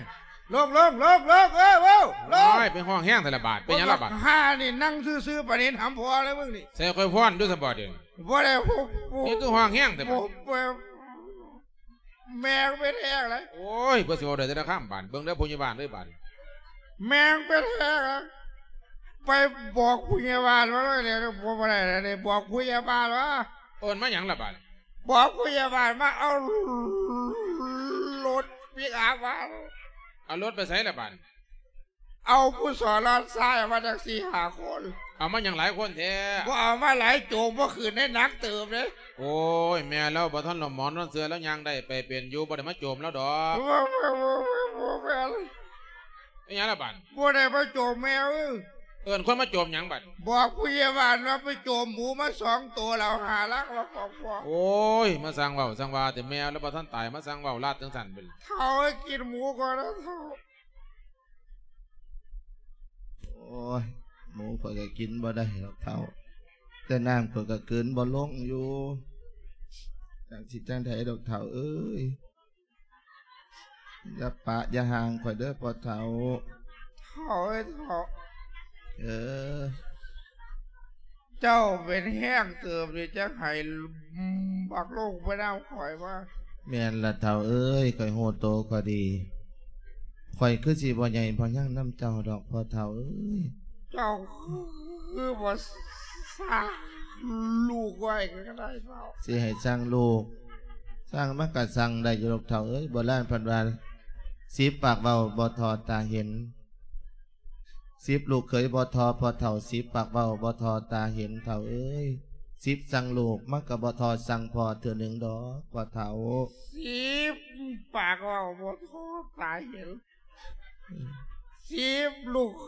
ລົງ ລົງ ລົງ ລົງ ເອີ ເອີ ລົງ ໂອ້ຍ ໄປຮ້ອງແຮງແທ້ລະບາດ ເປັນຫຍັງລະບາດ? ບັກຫ່ານີ້ນັ່ງຊື່ໆ ປານເຫັນຫຳພໍ່ເລີຍມຶງນີ້ ໃສ່ຂ້ອຍຟ້ອນຢູ່ຊັ້ນບໍ່ດຽວນີ້? ບໍ່ໄດ້ ບໍ່ ບໍ່ ນີ້ຄືຮ້ອງແຮງແທ້ບາດ ບໍ່ ບໍ່ ແມ່ງເປັນແຮງເລີຍ ໂອ້ຍ ເພິ່ນຊິເວົ້າໄດ້ແຕ່ລະຄຳບາດ ເບິ່ງເດີຜູ້ໃຫຍ່ບ້ານເດີບາດ ແມ່ງເປັນແຮງ ໄປບອກຜູ້ໃຫຍ່ບ້ານມາເລີຍ ບໍ່ ບໍ່ໄດ້ເລີຍ ບອກຜູ້ໃຫຍ່ບ້ານມາ ເອີ້ນມາຫຍັງລະບາດ? ບອກຜູ້ໃຫຍ່ບ້ານມາເອົາລົດປິກອັບມາ ເອົາລົດໄປໃສລະບາດ? ເອົາຜູ້ສອນລອດຊາຍມາຈັກສີ່ຫ້າຄົນ ເອົາມາຫຍັງຫຼາຍຄົນແທ້? ບໍ່ເອົາມາຫຼາຍໂຈມບໍ່ຂຶ້ນໄດ້ໜັກເຕີບເດ້ ໂອ້ຍ ແມ່ລາວບໍ່ທັນລະໝອນນອນເຊື່ອ ລາວຍ່າງໄດ້ໄປເປັນຢູ່ ບໍ່ໄດ້ມາໂຈມລາວດອກ ບໍ່ ບໍ່ ບໍ່ ບໍ່ ບໍ່ແມ່ນ ເປັນຫຍັງລະບາດ? ບໍ່ໄດ້ມາໂຈມແມ່ເອີຍ ເອີ້ນຄົນມາໂຈມຫຍັງບາດ? ບອກຜູ້ໃຫຍ່ບ້ານວ່າໄປໂຈມໝູມາສອງໂຕ ແລ້ວຫາຫຼັກມາຂອງພໍ່ ໂອ້ຍ ມາຊ່າງເວົ້າຊ່າງວ່າແຕ່ ແມ່ລາວບໍ່ທັນຕາຍ ມາຊ່າງເວົ້າລາດຈັ່ງຊັ້ນເປັນ ເຖົ້າ ໃຫ້ກິນໝູກ່ອນນະເຖົ້າ ໂອ້ຍ ໝູຂ້ອຍກໍກິນບໍ່ໄດ້ດອກເຖົ້າ ແຕ່ນ້ຳຂ້ອຍກໍກືນບໍ່ລົງຢູ່ ຈັກຊິຈັ່ງໃດດອກເຖົ້າເອີຍ ຢ່າປະຢ່າຫ່າງຂ້ອຍເດີພໍ່ເຖົ້າ ເຖົ້າເອີຍເຖົ້າ ເອີ ເຈົ້າເປັນແຮງເຕີບນີ້ ຈັກໃຫ້ບັກລົງໄປນຳຂ້ອຍມາ ແມ່ນລະເຖົ້າເອີຍ ຂ້ອຍຮູ້ໂຕຂ້ອຍດີ ຂ້ອຍຄືຊິບໍ່ໃຫຍ່ພໍຍັງນຳເຈົ້າດອກພໍ່ເຖົ້າເອີຍ ເຈົ້າຄືບໍ່ສ້າງລູກໄວ້ກໍໄດ້ເຖົ້າ ຊິໃຫ້ສ້າງລູກ ສ້າງມັນກໍສ້າງໄດ້ຢູ່ດອກເຖົ້າເອີຍ ໂບລານເພິ່ນວ່າ ສິບປາກເວົ້າບໍ່ທໍ່ຕາເຫັນ ສິບລູກເຂີຍບໍ່ທໍ່ພໍ່ເຖົ້າ ສິບປາກເວົ້າບໍ່ທໍ່ຕາເຫັນເຖົ້າເອີຍ ສິບສັ່ງລູກມັນກໍບໍ່ທໍ່ສັ່ງພໍ່ເທື່ອໜຶ່ງດອກພໍ່ເຖົ້າ ສິບປາກເວົ້າບໍ່ທໍ່ຕາເຫັນ ສິບລູກເ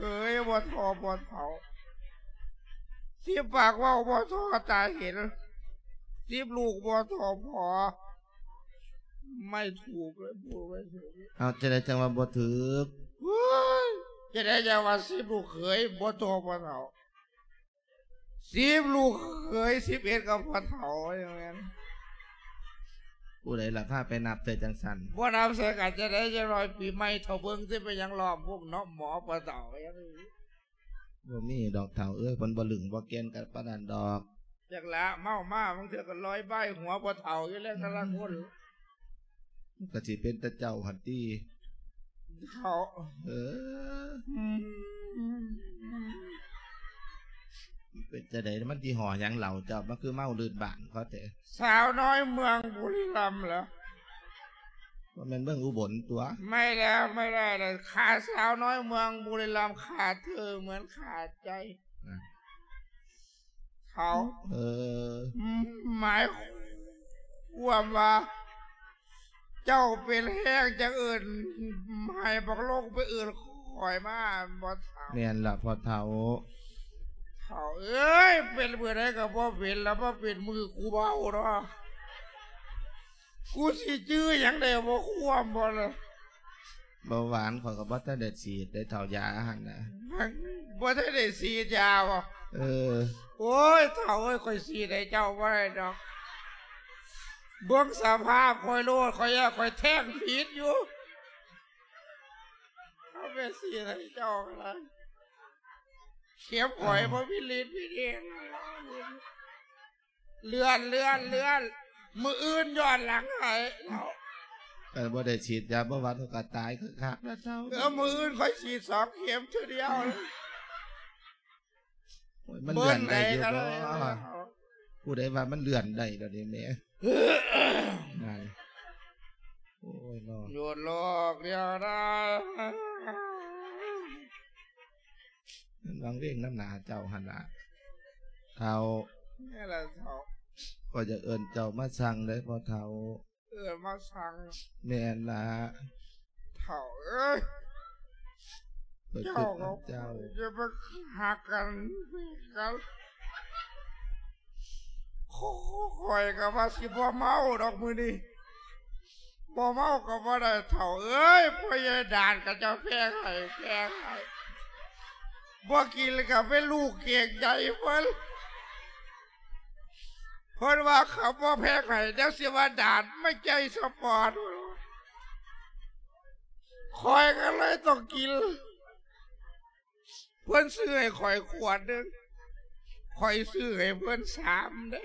ຂີຍບໍ່ທໍ່ພໍ່ເຖົ້າ ສິບປາກເວົ້າບໍ່ທໍ່ຕາເຫັນ ສິບລູກບໍ່ທໍ່ພໍ່ ໄມ່ຖືກເລີຍ ບໍ່ໄມ່ຖືກ ເອົາ ຈັ່ງໃດຈັ່ງວ່າບໍ່ຖືກ ເຮີ້ຍ ຈະໄດ້ຈັ່ງວ່າສິບລູກເຂີຍບໍ່ຕໍ່ພໍ່ເຖົ້າ ສິບລູກເຂີຍ ສິບເອັດກັບພໍ່ເຖົ້າ ວ່າຈັ່ງນັ້ນ. ຜູ້ໃດລະພາໄປນັບໃສ່ຈັ່ງຊັ້ນ? ບໍ່ນັບໃສ່ກັນຈະໄດ້ ຢ່າງໜ້ອຍປີໃໝ່ເຖົ້າເບິ່ງຊິເປັນຫຍັງ ລ້ອມວົງເນາະ ໝໍພໍ່ເຖົ້າ ບໍ່ມີດອກເຖົ້າເອີຍ ເພິ່ນບໍ່ລຶ້ງບໍ່ແກ່ນກັນປານນັ້ນດອກ. ຈັກລະ ເມົາມາບາງເທື່ອກໍລອຍບາຍຫົວພໍ່ເຖົ້າຢູ່ແລ້ວ ແຕ່ລະຄົນ. ມັນກໍຊິເປັນແຕ່ເຈົ້າຫັ້ນຕິ ເຖົ້າ. ເອີ ອືມ ເປັນຈັ່ງໃດ ມັນຍີ່ຫໍ້ຫຍັງເຫຼົ້າເຈົ້າ ມັນຄືເມົາລື່ນບ້ານເຂົາແທ້? ສາວນ້ອຍເມືອງບຸລີລັມເຫຼືອ? ບໍ່ແມ່ນເມືອງອຸບົນຕົວະ? ໄມ່ແລ້ວ ໄມ່ໄດ້ແລ້ວ ຂ້າສາວນ້ອຍເມືອງບຸລີລັມ ຂ້າເທີເໝືອນຂ້າໃຈ. ນະ ເຖົ້າ. ເອີ ໝາຍຄວາມວ່າ ເຈົ້າເປັນແຮງຈັ່ງເອີ້ນ ໃຫ້ບັກລົງໄປເອີ້ນຂ້ອຍມາ ບໍ່ເຖົ້າ? ແມ່ນລະພໍ່ເຖົ້າ. ເຖົ້າເອີຍ ເປັນມື້ໃດກໍບໍ່ເປັນລະ ມາເປັນມື້ກູເມົາເນາະ ກູຊິຈື່ຫຍັງໄດ້ບໍ່ ຄວາມບໍ່ລະ? ເບົາຫວານຂ້ອຍກໍບໍ່ທັນໄດ້ສີດໄດ້ເຖົ້າ ຢາຫັ້ນນະ. ບໍ່ທັນໄດ້ສີດຢາບໍ່? ເອີ. ໂອ້ຍ ເຖົ້າເອີຍ ຂ້ອຍສີດໃຫ້ເຈົ້າບໍ່ໄດ້ດອກ. ເບິ່ງສະພາບຂ້ອຍໂລດ ຂ້ອຍຢ້ານຂ້ອຍແທງຜິດຢູ່. ເອົາໄປສີດໃຫ້ເຈົ້າກໍໄດ້. ເຂັມຂ້ອຍ ເອີ ບໍ່ມີລິດມີເດດ. ເລື່ອນ ເລື່ອນ ເລື່ອນ ມື້ອື່ນຍ້ອນຫຼັງໃຫ້ເຖົ້າ. ເອີ ບໍ່ໄດ້ສີດຢາເບົາຫວານ ຂ້ອຍກໍຕາຍຄືຄັກແລ້ວເຖົ້າ. ເອີ ມື້ອື່ນຂ້ອຍສີດສອງເຂັມເທື່ອດຽວ. ໂອ້ຍ ມັນເລື່ອນໄດ້ຢູ່ບໍ່? ຜູ້ໃດວ່າມັນເລື່ອນໄດ້ດອກນີ້ແມ່? ນັ້ນ ໂອ້ຍເນາະ ຢຸດໂລກດຽວໄດ້. ມັນວັງເວງນຳໜ້າເຈົ້າຫັ້ນລະເຖົ້າ. ແມ່ນລະເຖົ້າ. ຂ້ອຍຢາກເອີ້ນເຈົ້າມາສັ່ງເດ້ພໍ່ເຖົ້າ. ເອີ້ນມາສັ່ງ? ແມ່ນລະເຖົ້າເອີຍ. ຂ້ອຍຄິດນຳເຈົ້າ. ເຈົ້າກັບຂ້ອຍຢ່າໄປຮັກກັນ ແຍກກັນ. ຂ້ອຍກໍວ່າຊິບໍ່ເມົາດອກມື້ນີ້. ບໍ່ເມົາກໍບໍ່ໄດ້ເຖົ້າເອີຍ. ພໍ່ໃຫຍ່ດານຂະເຈົ້າແພງໃຫ້ ແພງໃຫ້. ບໍ່ກິນກໍເປັນລູກເກງໃຈເພິ່ນ. ເພິ່ນວ່າຄັນບໍ່ແພງໃຫ້ ດຽວຊິວ່າດານມາໃຈສະປອດ. ຂ້ອຍກໍເລີຍຕ້ອງກິນ. ເພິ່ນຊື້ໃຫ້ຂ້ອຍຂວດໜຶ່ງ ຂ້ອຍຊື້ໃຫ້ເພິ່ນສາມເດ້.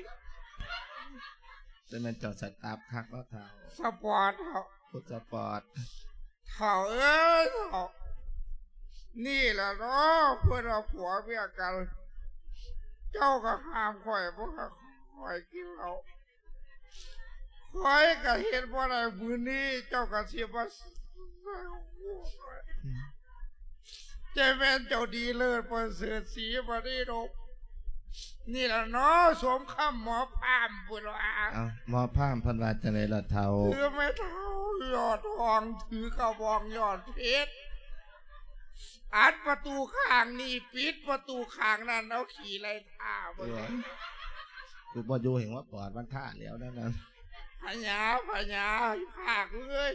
ຈັ່ງແມ່ນເຈົ້າສະຕາບຄັກເນາະເຖົ້າ. ສະປອດເຖົ້າ. ໂອ້ ສະປອດ. ເຖົ້າເອີຍເຖົ້າ, ນີ້ລະເນາະ ເພິ່ນວ່າຜົວເມຍກັນ, ເຈົ້າກໍຫ້າມຂ້ອຍບໍ່ໃຫ້ຂ້ອຍກິນເຫຼົ້າ. ຂ້ອຍກໍເຮັດບໍ່ໄດ້ມື້ນີ້ ເຈົ້າກໍຊິມາໃສ່ຫົວຂ້ອຍ. ອືມ ຈະແມ່ນເຈົ້າດີເລີດປະເສີດສີມະນີດົບ ນີ້ລະເນາະ ສົມຄຳໝໍພາມພຸ້ນວ່າ. ເອົ້າ ໝໍພາມເພິ່ນວ່າຈັ່ງໃດລະເຖົ້າ? ຄືແມ່ເຖົ້າຍອດທອງ ຖືກະບອງຍອດເພັດ ອັດປະຕູຂ້າງນີ້ ປິດປະຕູຂ້າງນັ້ນ ເອົາຂີ້ໄລ່ທ່າເບິ່ງ. ເອີ ຄືບໍ່ຢູ່ແຫ່ງວ່າປອດມັນທ່າແລ້ວນັ້ນນະ. ພະຍາ ພະຍາ ພາກເອີຍ.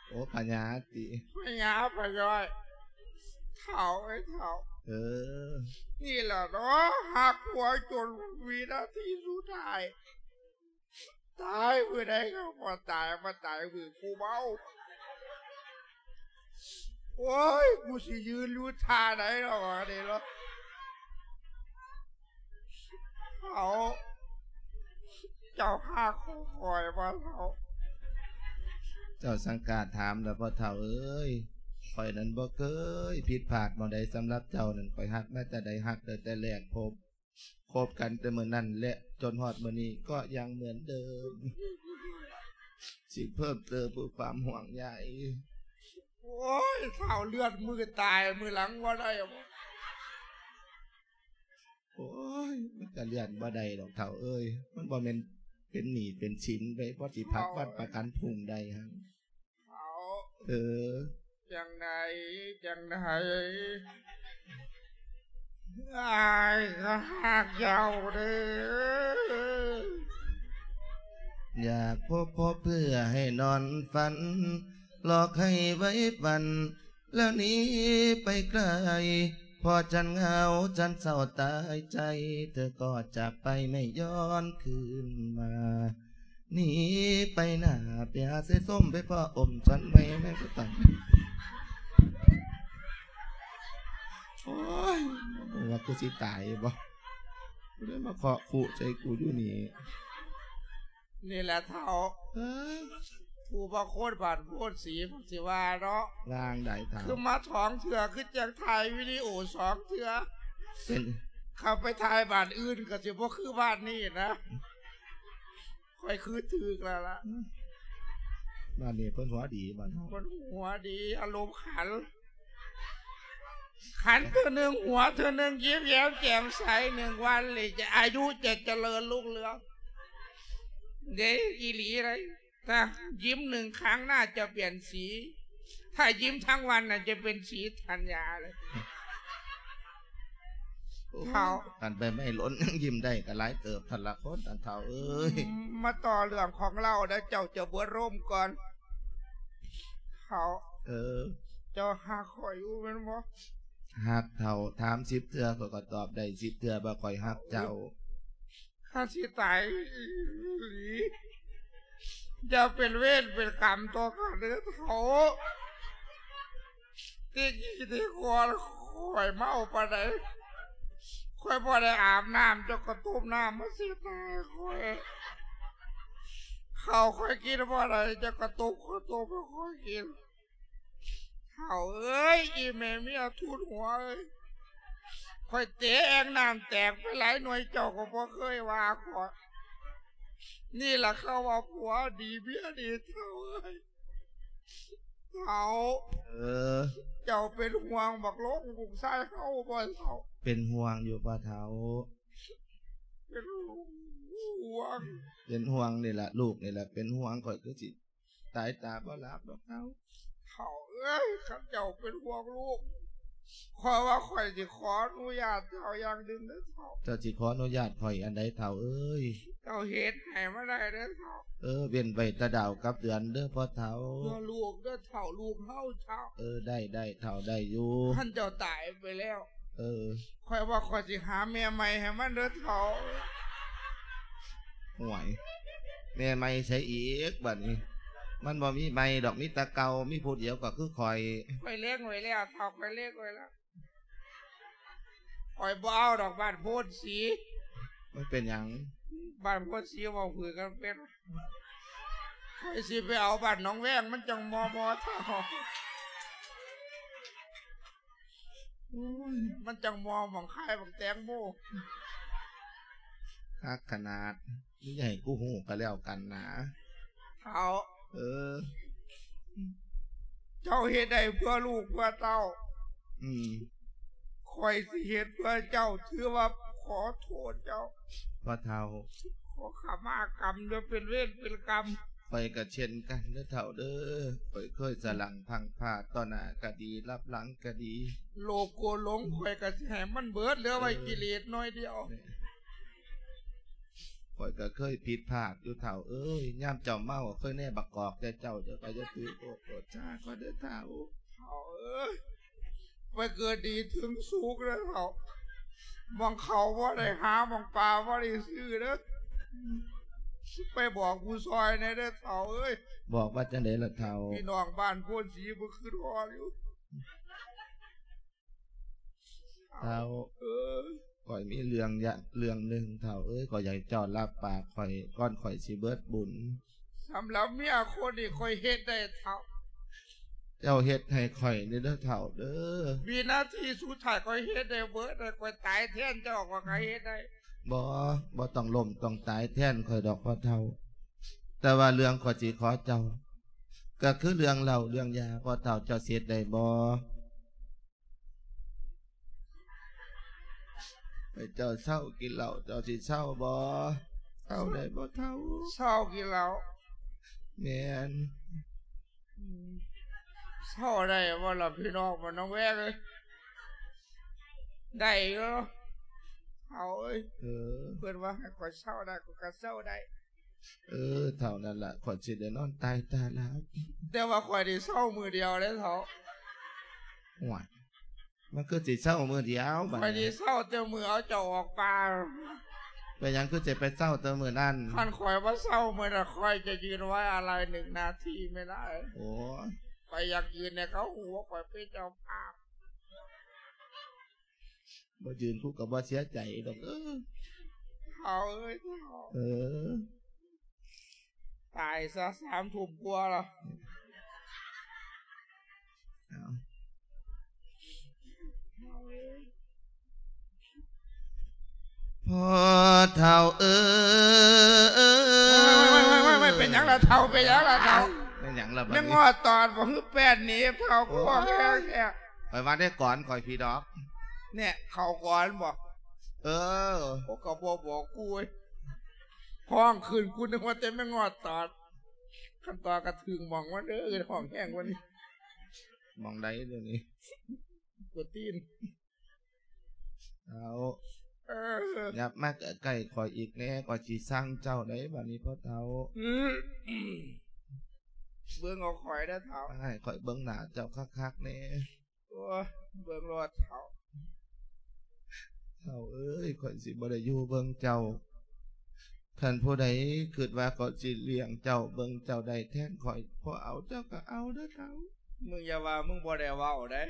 ໂອ້ ພະຍາຕິ ພະຍາ ພະຍອຍ ເຖົ້າເອີຍເຖົ້າ. ເອີ ນີ້ລະເນາະ ຮັກຜົວຈົນວິນາທີສຸດທ້າຍ. ຕາຍມື້ໃດກໍບໍ່ຕາຍ ມາຕາຍມື້ຜູ້ເມົາ. ໂອ້ຍ ກູຊິຢືນຢູ່ທ່າໃດເນາະ ບາດນີ້ເນາະ. ເຖົ້າ ເຈົ້າຫາກຂໍຂ້ອຍບໍ່ເຖົ້າ? ເຈົ້າສັງກາດຖາມແລ້ວບໍ່ເຖົ້າເອີຍ? ຂ້ອຍນັ້ນບໍ່ເຄີຍຜິດພາດໝ່ອງໃດສຳລັບເຈົ້ານັ້ນ. ຂ້ອຍຮັກມາແຕ່ໃດ ຮັກຕັ້ງແຕ່ແລກພົບ. ຄົບກັນແຕ່ມື້ນັ້ນ ແລະ ຈົນຮອດມື້ນີ້ກໍຍັງເໝືອນເດີມ. ຊິເພີ່ມເຕີມເພື່ອຄວາມຫ່ວງໃຍ. ໂອ້ຍ ທ້າວເລື່ອນ ມື້ຕາຍມື້ຫຼັງບໍ່ໄດ້ບໍ? ໂອ້ຍ ມັນກະເລື່ອນບໍ່ໄດ້ດອກເຖົ້າເອີຍ. ມັນບໍ່ແມ່ນເປັນໜີ້ເປັນສິນໄປ ພໍຊິພັກວັນປະກັນພົງໄດ້ຫັ້ນ. ເຖົ້າ ເອີ ຈັ່ງໃດ ຈັ່ງໃດ ອ້າຍກໍຮັກເຈົ້າເດີ. ຢາກພົບພໍເພື່ອໃຫ້ນອນຝັນ ຫຼອກໃຫ້ໄຫວຝັນ แล้วหนีไปไกล พอฉันเหงาฉันเศร้าตายใจ เธอก็จากไปไม่ย้อนคืนมา หนีไปหน้าไปหาเสส้มไปพ่ออมฉันไม่ไม่ก็ต้อง โอ้ย ว่ากูสิตายบ่ กูได้มาเคาะคุใส่กูอยู่นี่ นี่แหละเฒ่า เอ้อ ผู้บ่โคตรบาดโพดสี ผมสิว่าเนาะ ว่าจั่งใดเฒ่า คือมาสองเทื่อ คือจั่งถ่ายวิดีโอสองเทื่อ เป็น ขับไปถ่ายบ้านอื่นก็สิบ่คือบ้านนี้นะ ข้อยคือถืกแล้วล่ะ บ้านนี้เพิ่นหัวดี บ้านเฮา เพิ่นหัวดี อารมณ์ขัน ขันเทื่อหนึ่งหัวเทื่อหนึ่ง ยิ้มแย้มแจ่มใส หนึ่งวันเลยจะ อายุจะเจริญรุ่งเรือง เด้ อีหลีเลย ถ้ายิ้มหนึ่งครั้งหน้าจะเปลี่ยนสี ถ้ายิ้มทั้งวันน่ะจะเป็นสีธัญญาเลย โอ้ เฒ่า คันใบไม้หล่นยังยิ้มได้ก็หลายเติบ ท่านละคน ท่านเฒ่าเอ้ย มาต่อเรื่องของเฮาเด้อ เจ้าจะบ่ร่มก่อน เฒ่า เออ เจ้าฮักข้อยอยู่แม่นบ่ ฮักเฒ่า ถามสิบเทื่อ ข้อยก็ตอบได้สิบเทื่อว่าข้อยฮักเจ้า ข้าสิตายอีหลี อย่าเป็นเวรเป็นกรรมต่อข้าเด้อเฒ่า แต่กี้แต่ก่อนข้อยเมาปานใด ข้อยบ่ได้อาบน้ำ เจ้าก็ต้มน้ำมาเช็ดหน้าให้ข้อย ข้าวข้อยกินบ่ได้ เจ้าก็ต้มข้าวต้มให้ข้อยกิน เฒ่าเอ้ย อีแม่เมียทุนหัวเอ้ย ข้อยเตะแอ่งน้ำแตกไปหลายหน่วย เจ้าก็บ่เคยว่าข้อย นี่ล่ะเขาว่าผัวดีเมียดี เฒ่าเอ้ย เฒ่า เออ เจ้าเป็นห่วงบักหลงลูกชายเฮาบ่เฒ่า เป็นห่วงอยู่พ่อเฒ่า เป็นห่วง เป็นห่วงนี่ล่ะ ลูกนี่ล่ะเป็นห่วง ข้อยคือสิตายตาบ่หลับดอกเฒ่า เฒ่าเอ้ย คันเจ้าเป็นห่วงลูก ข้อยว่าข้อยสิขออนุญาตเจ้าอย่างหนึ่งเด้อเฒ่า เจ้าสิขออนุญาตข้อยอันใดเฒ่าเอ้ย เจ้าเฮ็ดให้มันได้เด้อเฒ่า เออ เว้นไว้แต่ดาวกับเดือนเด้อพ่อเฒ่า เพื่อลูกเด้อเฒ่า ลูกเฮาเฒ่า เออ ได้ ได้เฒ่า ได้อยู่ คันเจ้าตายไปแล้ว เออ ข้อยว่าข้อยสิหาแม่ใหม่ให้มันเด้อเฒ่า ห่วย แม่ใหม่ไสอีกบัดนี้ มันบ่มีใหม่ดอก มีแต่เก่า มีผู้เดียวก็คือข้อย ข้อยเล็งไว้แล้วเฒ่า ข้อยเล็งไว้แล้ว ข้อยบ่เอาดอกบ้านโพนสี มันเป็นหยัง บ้านโพนสีเว้าพื้นกันเป็น ข้อยสิไปเอาบ้านหนองแวง มันจั่งมอมอเฒ่า โอ้ย มันจั่งมอหม่องขายบักแตงโม คักขนาด มึงอย่าให้กูฮู้ก็แล้วกันนะ เฒ่า เออ เจ้าเฮ็ดได้เพื่อลูกเพื่อเต้า อืม ข้อยสิเฮ็ดเพื่อเจ้า ถือว่าขอโทษเจ้า พ่อเฒ่า ขอขมากรรมเด้อ เป็นเวรเป็นกรรม ข้อยก็เช่นกันเด้อเฒ่าเด้อ ข้อยเคยสะหลั้งพลั้งพลาด ต่อหน้าก็ดี ลับหลังก็ดี โลภโกรธหลง ข้อยก็สิให้มันเบิด เหลือไว้ เออ กิเลสหน่อยเดียว ข้อยก็เคยผิดพลาดอยู่เฒ่าเอ้ย ยามเจ้าเมาก็เคยแนบักกอกแต่เจ้า เจ้าก็อย่าถือโทษโกรธชาข้อยเด้อเฒ่า เฒ่าเอ้ย ไปเกิดดีถึงสุขเด้อเฒ่า หม่องเข้าบ่ได้หา หม่องปลาบ่ได้ซื้อเด้อ ไปบอกผู้ซ่อยแหน่เด้อเฒ่าเอ้ย บอกว่าจั่งใดล่ะเฒ่า พี่น้องบ้านโพนสีบ่คิดฮอดอยู่ เฒ่า เอ้ย ข้อยมีเรื่องยะ เรื่องหนึ่งเฒ่าเอ้ย ข้อยอยากให้เจ้ารับปากข้อย ก่อนข้อยสิเบิดบุญ สำหรับเมียคนนี้ข้อยเฮ็ดได้เฒ่า เจ้าเฮ็ดให้ข้อยนี่เด้อเฒ่าเด้อ วินาทีสุดท้ายข้อยเฮ็ดได้เบิด ข้อยตายแทนเจ้าข้อยก็เฮ็ดได้ บ่ บ่ต้องล้มต้องตายแทนข้อยดอกพ่อเฒ่า แต่ว่าเรื่องข้อยสิขอเจ้า ก็คือเรื่องเหล้าเรื่องยา พ่อเฒ่าเจ้าสิเฮ็ดได้บ่ ให้เจ้าเซากินเหล้า เจ้าสิเซาบ่ เซาได้บ่เฒ่า เซากินเหล้า แม่น อืม เซาได้บ่ล่ะพี่น้องบ้านหนองแวงเอ้ย ได้อยู่ เฒ่าเอ้ย เออ เพิ่นว่าให้ข้อยเซาได้ ข้อยก็เซาได้ เออ เท่านั้นล่ะ ข้อยสิได้นอนตายตาหลับ แต่ว่าข้อยได้เซามื้อเดียวเด้เฒ่า ໂອ້ຍ ມັນຄືຊິເຊົາມື້ດຽວບາດນີ້ ຂ້ອຍຊິເຊົາແຕ່ມື້ເອົາເຈົ້າອອກປ່າ. ເປັນຫຍັງຄືຊິໄປເຊົາແຕ່ມື້ນັ້ນ? ຄັນຂ້ອຍບໍ່ເຊົາມື້ນັ້ນ ຂ້ອຍຈະຢືນໄວ້ອາໄລໜຶ່ງນາທີແມ່ນຫຼາຍ. ໂອ້ຍ ຂ້ອຍຢາກຢືນໃຫ້ເຂົາຮູ້ວ່າຂ້ອຍເປັນເຈົ້າພາບ. ບໍ່ຢືນກູກໍບໍ່ເສຍໃຈດອກເດີ. ເຖົ້າເອີຍ ເຖົ້າ ເອີ ຕາຍຊະ ສາມທຸ່ມກວ່າລະ. ເອົາ ພໍ່ເຖົ້າເອີຍ ເປັນຫຍັງລະເຖົ້າ ເປັນຫຍັງລະເຖົ້າ? ເປັນຫຍັງລະບາດນີ້? ແມ່ງງອດຕອດບໍ່? ຄືແປ້ນໜີບເຖົ້າ ໂອ້ຍ ຄືວ່າແຮງແທ້. ຂ້ອຍວ່າໄດ້ກອນຂ້ອຍພີດອກ. ແນ່ ເຂົ້າກ່ອນບໍ່? ເອີ ໂອ້ ກໍບໍ່ບອກກູເວີຍ ຮ້ອງຂຶ້ນ ກູນຶກວ່າແຕ່ແມ່ງງອດຕອດ. ຄັນຕອດກໍຖືກໝ່ອງມັນເດີ ຮ້ອງແຮງກວ່ານີ້. ໝ່ອງໃດດຽວນີ້? ກວນຕີນ. ເຖົ້າ ເອີ ຫຍັບມາໃກ້ໆຂ້ອຍອີກແດ່ ຂ້ອຍຊິສັ່ງເຈົ້າໃດ໋ບາດນີ້ພໍ່ເຖົ້າ. ອື ເບິ່ງເອົາຂ້ອຍເດີເຖົ້າ ໃຫ້ຂ້ອຍເບິ່ງໜ້າເຈົ້າຄັກໆແດ່. ໂອ້ຍ ເບິ່ງໂລດເຖົ້າ. ເຖົ້າເອີຍ ຂ້ອຍຊິບໍ່ໄດ້ຢູ່ເບິ່ງເຈົ້າ. ຄັນຜູ້ໃດຄິດວ່າຂ້ອຍຊິລ້ຽງເຈົ້າ ເບິ່ງເຈົ້າໄດ້ແທນຂ້ອຍ ພໍເອົາເຈົ້າກໍເອົາເດີເຖົ້າ. ມຶງຢ່າວ່າມຶງບໍ່ໄດ້ເວົ້າເດ້.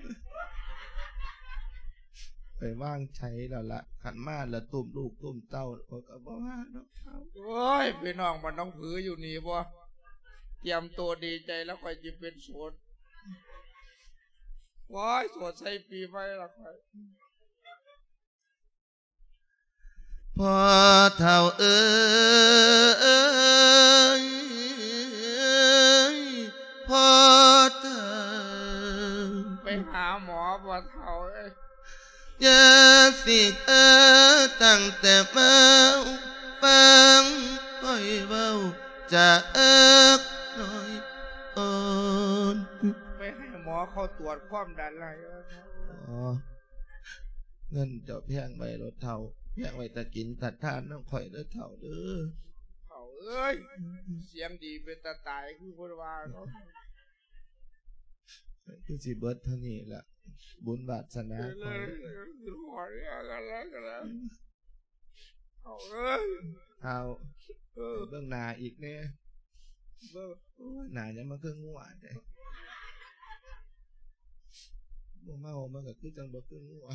ຂ້ອຍວາງໃຈແລ້ວລະ ຄັນມາລະຕຸ້ມລູກຕຸ້ມເຕົ້າ ຂ້ອຍກໍບໍ່ວ່າດອກເຖົ້າ. ໂອ້ຍ ພີ່ນ້ອງບ້ານໜອງຜືຢູ່ນີ້ບໍ່? ຕຽມໂຕດີໃຈແລ້ວ ຂ້ອຍຊິເປັນໂສດ. ໂອ້ຍ ໂສດໃສ່ປີໃໝ່ລະຂ້ອຍ. ພໍ່ເຖົ້າເອີຍ ພໍ່ເຖົ້າ ໄປຫາໝໍບໍ່ເຖົ້າເອີຍ? ຢ່າສິເອີ ຕັ້ງແຕ່ມາຟັງຂ້ອຍເວົ້າຈາເອິກໜ້ອຍອ່ອນ. ໄປໃຫ້ໝໍເຂົາຕວດຄວາມດັນໃຫ້. ອໍ ເງິນເຈົ້າແພງໄວ້ໂລດເຖົ້າ ແພງໄວ້ຕາກິນຕາທານນຳຂ້ອຍເດີເຖົ້າເດີ. ເຖົ້າເອີຍ ສຽງດີເປັນຕາຕາຍຄືເພິ່ນວ່າເນາະ. ຄືຊິເບິດເທົ່ານີ້ລະ ບຸນວາດສະໜາຂ້ອຍ. ເອີ ເຖົ້າເອີຍ ເຖົ້າ ເອີ ເບິ່ງໜ້າອີກແດ່. ເບິ່ງ ໂອ້ຍ ໜ້າຫຍັງມັນຄືງົວແທ້? ບໍ່ເມົາມັນກໍຄືຈັ່ງບໍ່ຄືງົວ.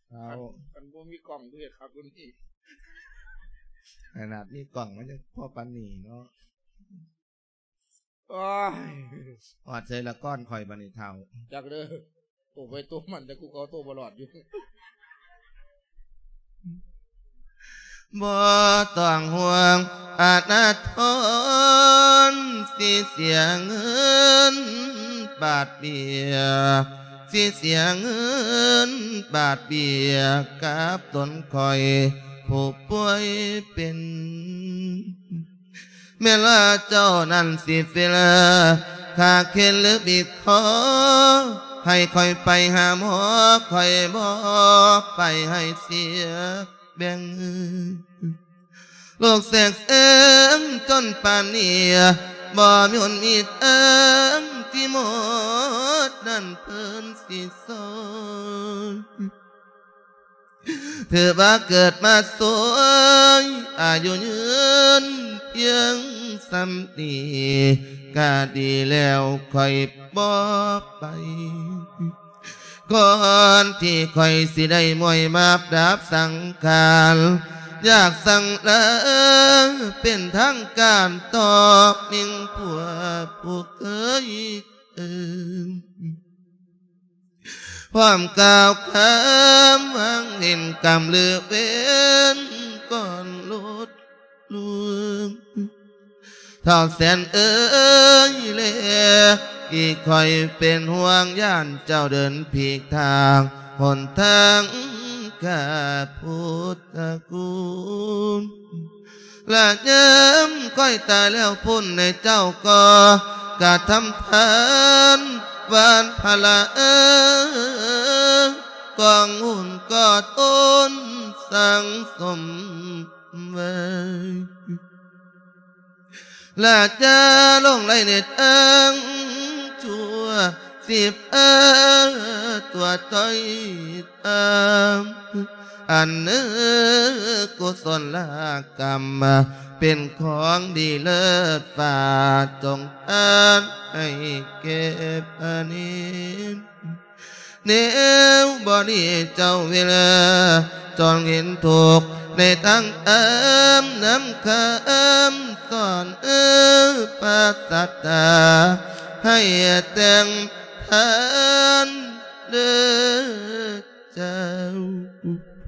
ເຖົ້າ ຄັນ ຄັນບໍ່ມີກ້ອງຄືເຮັດຄັກກວ່ານີ້. ຂະໜາດມີກ້ອງມັນຍັງພໍປານນີ້ເນາະ. ໂອ້ຍ ຮອດໃສລະກ່ອນຂ້ອຍບາດນີ້ເຖົ້າ? ຈັກເດີ ໂຕໄປໂຕມັນ ແຕ່ກູເຂົາໂຕບໍ່ລອດຢູ່. ບໍ່ຕ້ອງຫ່ວງອະນາທອນ ຊິເສຍເງິນບາດເບຍ ຊິເສຍເງິນບາດເບຍກັບຕົນຂ້ອຍຜູ້ປ່ວຍເປັນ. ແມ່ນວ່າເຈົ້ານັ້ນຊິເຟລ ຂ້າເຂັນຫຼືບີບຄໍ ໃຫ້ຂ້ອຍໄປຫາໝໍ ຂ້ອຍບໍ່ໄປໃຫ້ເສຍແບ່ງ. ໂລກແຊກເຊີງຈົນປານນີ້ ບໍ່ມີຫົນມີທາງທີ່ໝໍນັ້ນເພິ່ນຊິຊ່ອຍ. ຖືວ່າເກີດມາສວຍ ອາຍຸຍືນພຽງສ່ຳນີ້ ກະດີແລ້ວຂ້ອຍບໍ່ໄປ. ກ່ອນທີ່ຂ້ອຍຊິໄດ້ມວຍມາບດາບສັງຂານ ຢາກສັ່ງລາເປັນທາງການຕໍ່ມິ່ງຜົວຜູ້ເຄີຍເອີ້ນ. ພ້ອມກ່າວຄຳຫວັງເຫັນກຳຫຼືເວັນກ່ອນຫຼຸດລ່ວງ. ທ້າວແສນເອີຍແລ ອີ່ຂ້ອຍເປັນຫ່ວງຢ້ານເຈົ້າເດີນຜິດທາງ ຫົນທາງຂ້າພຸດທະຄຸນ. ລະຍາມຂ້ອຍຕາຍແລ້ວພຸ້ນໃນເຈົ້າກໍກະທຳທານຫວ່ານພະລາເອີ ກອງບຸນກໍຕົ້ນສັງສົມໄວ້. ລະຢ່າຫຼົງໄຫຼໃນທາງຊົ່ວ ສິບເອີຕົວຕ້ອຍຕ່ຳ ອັນເນີກຸສົນລະກຳ ເປັນຂອງດີເລີດຟ້າ ຈົ່ງອານໃຫ້ເກັບອານິນ ແນວບໍ່ດີເຈົ້າເວລາ ຈົ່ງເຫັນທຸກໃນທາງທຳນຳຄຳສອນ ເອີ ພະສັດທາ ໃຫ້ແຕ່ງທານເດີເຈົ້າ.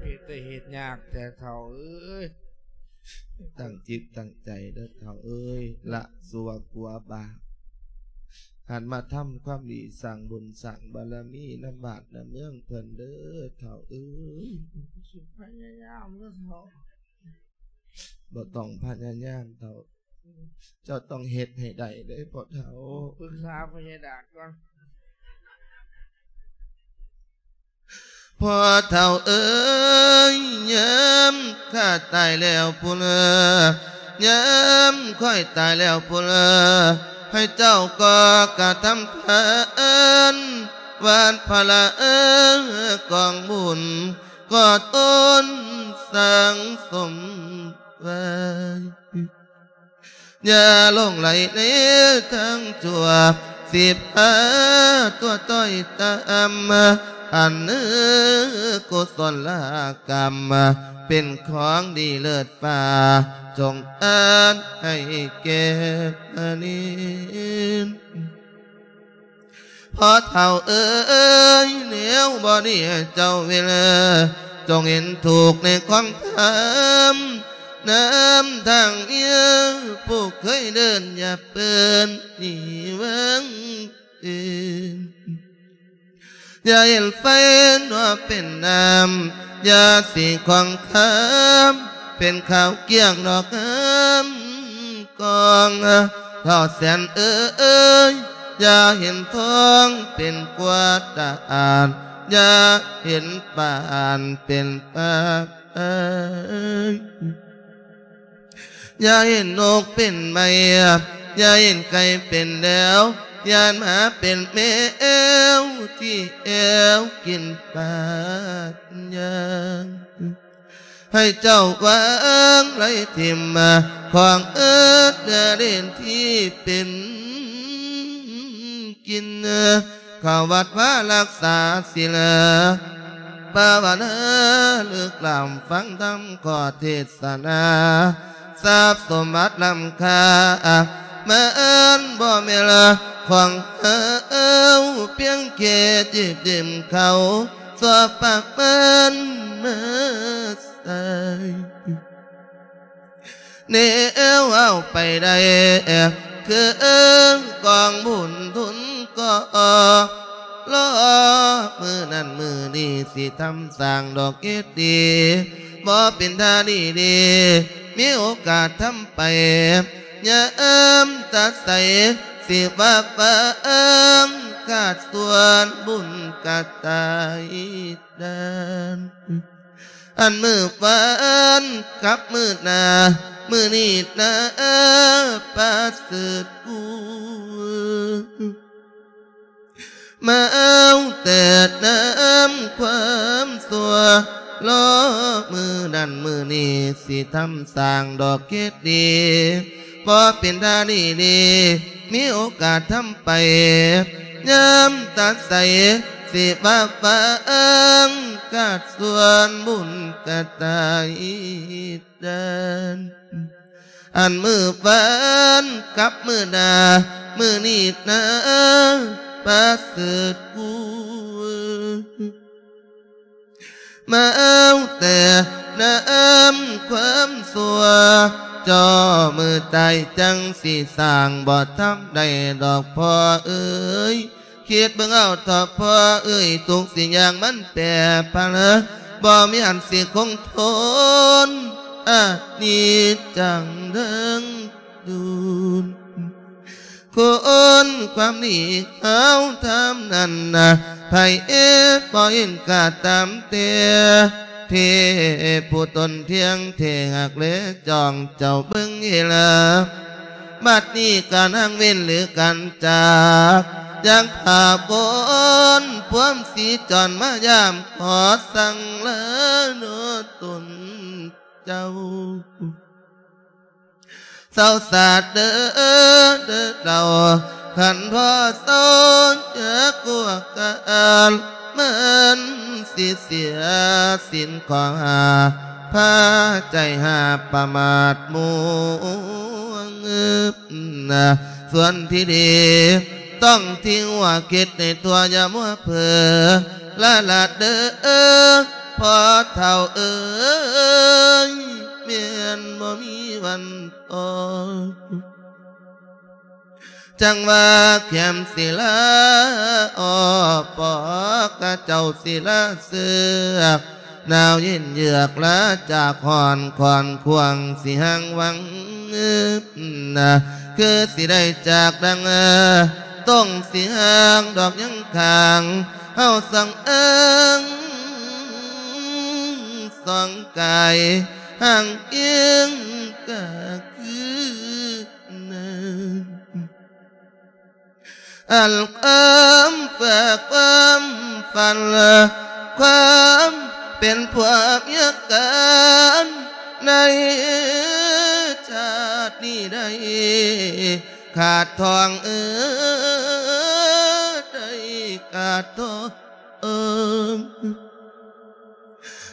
ເຮັດແຕ່ເຮັດຍາກແທ້ເຖົ້າເອີຍ. ຕັ້ງຈິດຕັ້ງໃຈເດີເຖົ້າເອີຍ ລະຊົ່ວກົວບາບ ຫັນມາທຳຄວາມດີ ສ້າງບຸນສ້າງບາລະມີນຳບ້ານນຳເມືອງເພິ່ນເດີເຖົ້າເອີຍ. ຊິພະຍາຍາມເດີເຖົ້າ. ບໍ່ຕ້ອງພະຍາຍາມເຖົ້າ ເຈົ້າຕ້ອງເຮັດໃຫ້ໄດ້ເດ້ພໍ່ເຖົ້າ. ປຶກສາພະຍາດາດກ່ອນ. ພໍ່ເຖົ້າເອີຍ ຍາມຂ້າຕາຍແລ້ວພຸ້ນ ຍາມຂ້ອຍຕາຍແລ້ວພຸ້ນ ໃຫ້ເຈົ້າກໍກະທຳທານ ວັດພະລາກອງບຸນ ກໍຕົນສັງສົມໄວ້. ຢ່າຫຼົງໄຫຼໃນທາງຊົ່ວ ສິບຫ້າຕົວຕ້ອຍຕ່ຳ ອັນເນີກຸສົນລະກຳ ເປັນຂອງດີເລີດຟ້າ ຈົ່ງອານໃຫ້ແກ່ອານິນ. ພໍ່ເຖົ້າເອີຍ ແນວບໍ່ດີເຈົ້າເວລາ ຈົ່ງເຫັນທຸກໃນຄວາມທຳ ນຳທາງເມຍ ຜູ້ເຄີຍເດີນຢ່າເປີນໜີເວີງອື່ນ. ຢ່າເຫັນໄຟນົວເປັນນ້ຳ ຢ່າສີຂອງຄຳ ເປັນຂາວກ້ຽງດອກງາມກອງ. ທ້າວແສນເອີຍ ຢ່າເຫັນທອງເປັນກວາດຕາອາດ ຢ່າເຫັນປານເປັນປາກອາຍ. ຢ່າເຫັນນົກເປັນໄມ້ ຢ່າເຫັນໄກ່ເປັນແດວ ຢ້ານໝາເປັນແມວ ທີ່ແອວກິນປາດຍ່າງ. ໃຫ້ເຈົ້າວາງໄຫຼຖິ້ມ ຂອງເອິດເນື້ອຫຼິ້ນທີ່ເປັນກິນ ເຂົ້າວັດວາລັກສາສິນ ພາວະນາເລິກລ້ຳ ຟັງທຳຂໍ້ເທດສະໜາ ຊັບສົມບັດລ້ຳຄ່າ ມັນບໍ່ແມ່ນຂອງເຮົາ ພຽງແຄ່ຈິບຢືມເຂົາ ຊົ່ວປະມານມາໃຊ້. ແນວເອົາໄປໄດ້ ຄືກອງບຸນທຶນກໍ ລໍມື້ນັ້ນມື້ນີ້ ຊິທຳສ້າງດອກເກດດີ ບໍ່ເປັນທ່າດີດີ ມີໂອກາດທຳໄປ ຍາມຕາໃສ ຊິວ່າຟັງ ຂາດສ່ວນບຸນກະຕາຍ ເດີນ ອັນມື້ວານກັບມື້ໜ້າ ມື້ນີ້ນາປະເສີດກູ ມາເອົາແຕ່ນຳຄວາມຊົ່ວ ລໍມື້ນັ້ນມື້ນີ້ ຊິທຳສ້າງດອກເກດດີ ບໍ່ເປັນທ່າດີດີ ມີໂອກາດທຳໄປ ຍາມຕາໃສ ຊິວ່າຟັງ ຂາດສ່ວນບຸນກະຕາຍເດີນ ອັນມື້ວານກັບມື້ໜ້າ ມື້ນີ້ນາປະເສີດກູ ມາເອົາແຕ່ນຳຄວາມຊົ່ວ ຈໍມື້ຕາຍຈັ່ງຊິສ້າງ ບໍ່ທຳໄດ້ດອກພໍ່ເອີຍ ຄິດເບິ່ງເອົາເຖາະພໍ່ເອີຍ ທຸກສິ່ງຢ່າງມັນແປຜັນ ບໍ່ມີອັນຊິຄົງທົນ ອະນິດຈັງເດີນ ດູນ ຄຸນຄວາມດີເຮົາທຳນັ້ນ ໃຜບໍ່ເຫັນກະຕາມແຕ່ ເທຜູ້ຕົນທ່ຽງແທ້ຮັກແລຈ້ອງ ເຈົ້າເບິ່ງເຫລະ ບັດນີ້ການຫາງເວັ້ນຫຼືການຈາກ ຢາກພາຄົນພວມສີຈອນມາຢາມ ຂໍສັ່ງລາໂນຕົນເຈົ້າ ເຊົາສາເດີ ເດີເຈົ້າ ຄັນພໍ່ເຊົາຈາກກວກການ ມັນຊິເສຍສິນຂໍ້ຫ້າ ພາໃຈຫາປະໝາດມົວງ ສ່ວນທີ່ດີ ຕ້ອງທີ່ຫົວຄິດໃຫ້ທົ່ວ ຢ່າມົວເຜີລະລະເດີ ພໍ່ເຖົ້າເອີຍ ແມ່ນບໍ່ມີວັນພໍ ຈັ່ງວ່າແຄມສິລາ ອໍ ປອກກະເຈົ້າສິລາເຊືອກ ໜາວເຢັນເຍືອກລາຈາກຮ້ອນ ຄອນຄວາງຊິຫາງວັງ ຄືຊິໄດ້ຈາກດັງ ຕົງຊິຫາງດອກຍັງຂ້າງ ເຮົາສ່ອງເອີງສ່ອງກາຍ ຫາງເອີງກະຄື ນັ້ນ ອັນຄວາມເພື່ອຄວາມຝັນ ຄວາມເປັນຜົວເມຍກັນ ໃນຊາດນີ້ໄດ້ຂາດທອງເອີ ໄດ້ຂາດທອງ ເອີ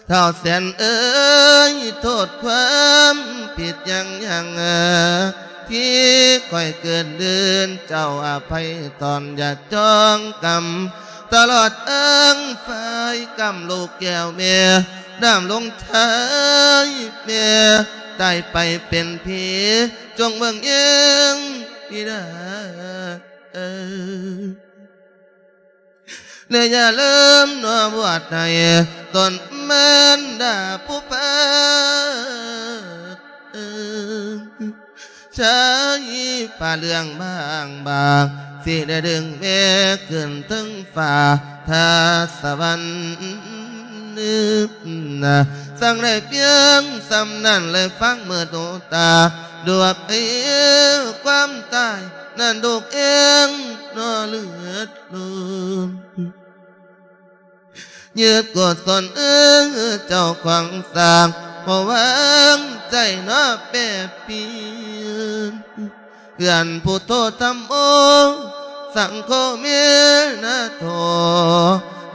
ທ້າວແສນເອີຍ ໂທດຄວາມຜິດຫຍັງຫຍັງ ທີ່ຂ້ອຍເກີນເດີນ ເຈົ້າອະໄພຕອນ ຢ່າຈອງກຳ ຕະຫຼອດເອີງຝ່າຍກຳລູກແກ້ວແມ່ ດຳລົງຊາຍແມ່ ຕາຍໄປເປັນຜີ ຈົ່ງເບິ່ງແຍງບິດາເອີຍ ແລະຢ່າລືມໜໍບວດໃຫ້ຕົນມານດາຜູ້ພາກ ເອີ ຊາຍຜ້າເຫຼືອງບາງບາງ ຊິໄດ້ດຶງແມ່ຂຶ້ນເທິງຟ້າ ຖ້າສະຫວັນ ນະ ສັ່ງໄດ້ພຽງສ່ຳນັ້ນ ແລະຟັງເມີດໂອຕາ ດວກເອວຄວາມຕາຍ ນັ້ນລູກເອງເນາະເລືອດລົມ ຍືດກົດສົນເອີ ເຈົ້າຂອງສ້າງ ບໍ່ວາງໃຈເນາະແປປ່ຽນ ເພື່ອນພຸດໂທທຳໂມ ສັງໂຄເມນະໂທ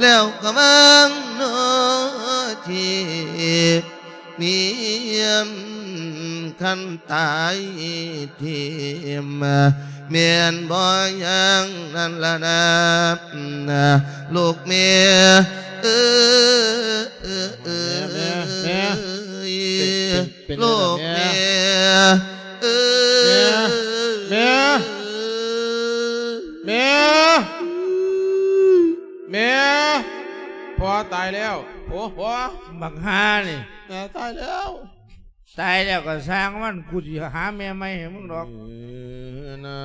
ແລ້ວກໍວາງເນາະທີ່ ມີອັນຄັນຕາຍຖິ້ມ ແມ່ນບໍ່ຢ່າງນັ້ນລະນະ ລູກແມ່ເອີຍ ແມ່ ແມ່ ແມ່ ເປັນ ເປັນ ເປັນ ລູກແມ່ ແມ່ເອີຍ ແມ່ ແມ່ ແມ່ ພໍ່ຕາຍແລ້ວ ໂອ້ ພໍ່ ບັກຫ່ານີ້ ແມ່ຕາຍແລ້ວ ຕາຍແລ້ວກໍຊ່າງມັນ ກູຊິຫາແມ່ໃໝ່ໃຫ້ມຶງດອກ ນາ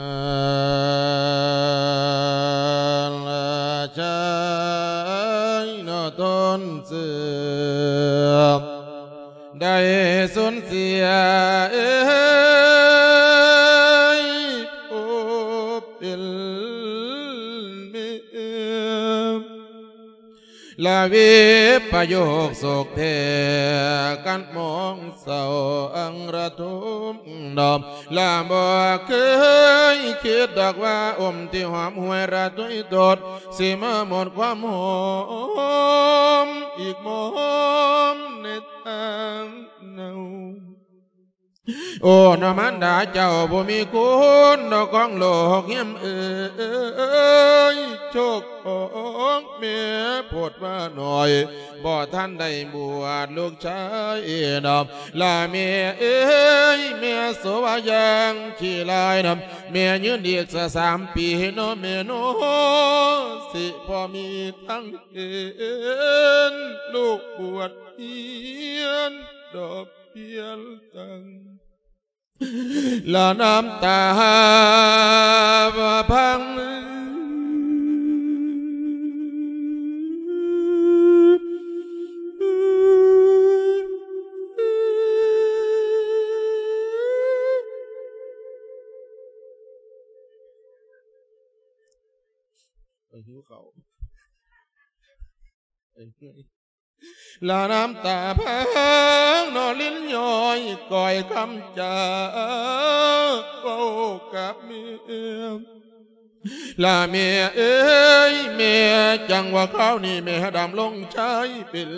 ລະຈາຍນະຕົນເສືອ ໄດ້ສູນເສຍເອີຍ ໂອ ເປັນແມ່ ລະວິປະໂຍກໂສກແທ້ ກັນມອງເສົ້າອັງລະທຸມດອມ ລະບໍ່ເຄີຍຄິດດອກວ່າ ອົມທີ່ຫອມຫວຍລະທຸຍໂທດ ຊິມາໝົດຄວາມຫອມອີກໝອມໃນທາງເນົ່າ. ໂອ ນະມານດາເຈົ້າບໍ່ມີຄຸນ ນະຂອງໂລກຮິມເອີຍ ໂຊກຂອງແມ່ໂພດວ່າໜ້ອຍ ບໍ່ທັນໄດ້ບວດລູກຊາຍດອກ ລະແມ່ເອີຍ ແມ່ໂສວ່າຢ່າງຂີ້ລາຍນຳ ແມ່ຍືນອີກສະສາມປີເນາະແມ່ເນາະ ຊິພໍມີທາງເຫັນລູກບວດຮຽນດອກ ປ່ຽນຈັ່ງ ລະນ້ຳຕາພັງ ຫິວເຂົ້າ ລະນ້ຳຕາພັງນອລິນຍ້ອຍ ກ້ອຍຄຳຈາເວົ້າກັບແມ່ ລະແມ່ເອີຍ ແມ່ ຈັ່ງວ່າຄາວນີ້ແມ່ດຳລົງໄຊເປັນ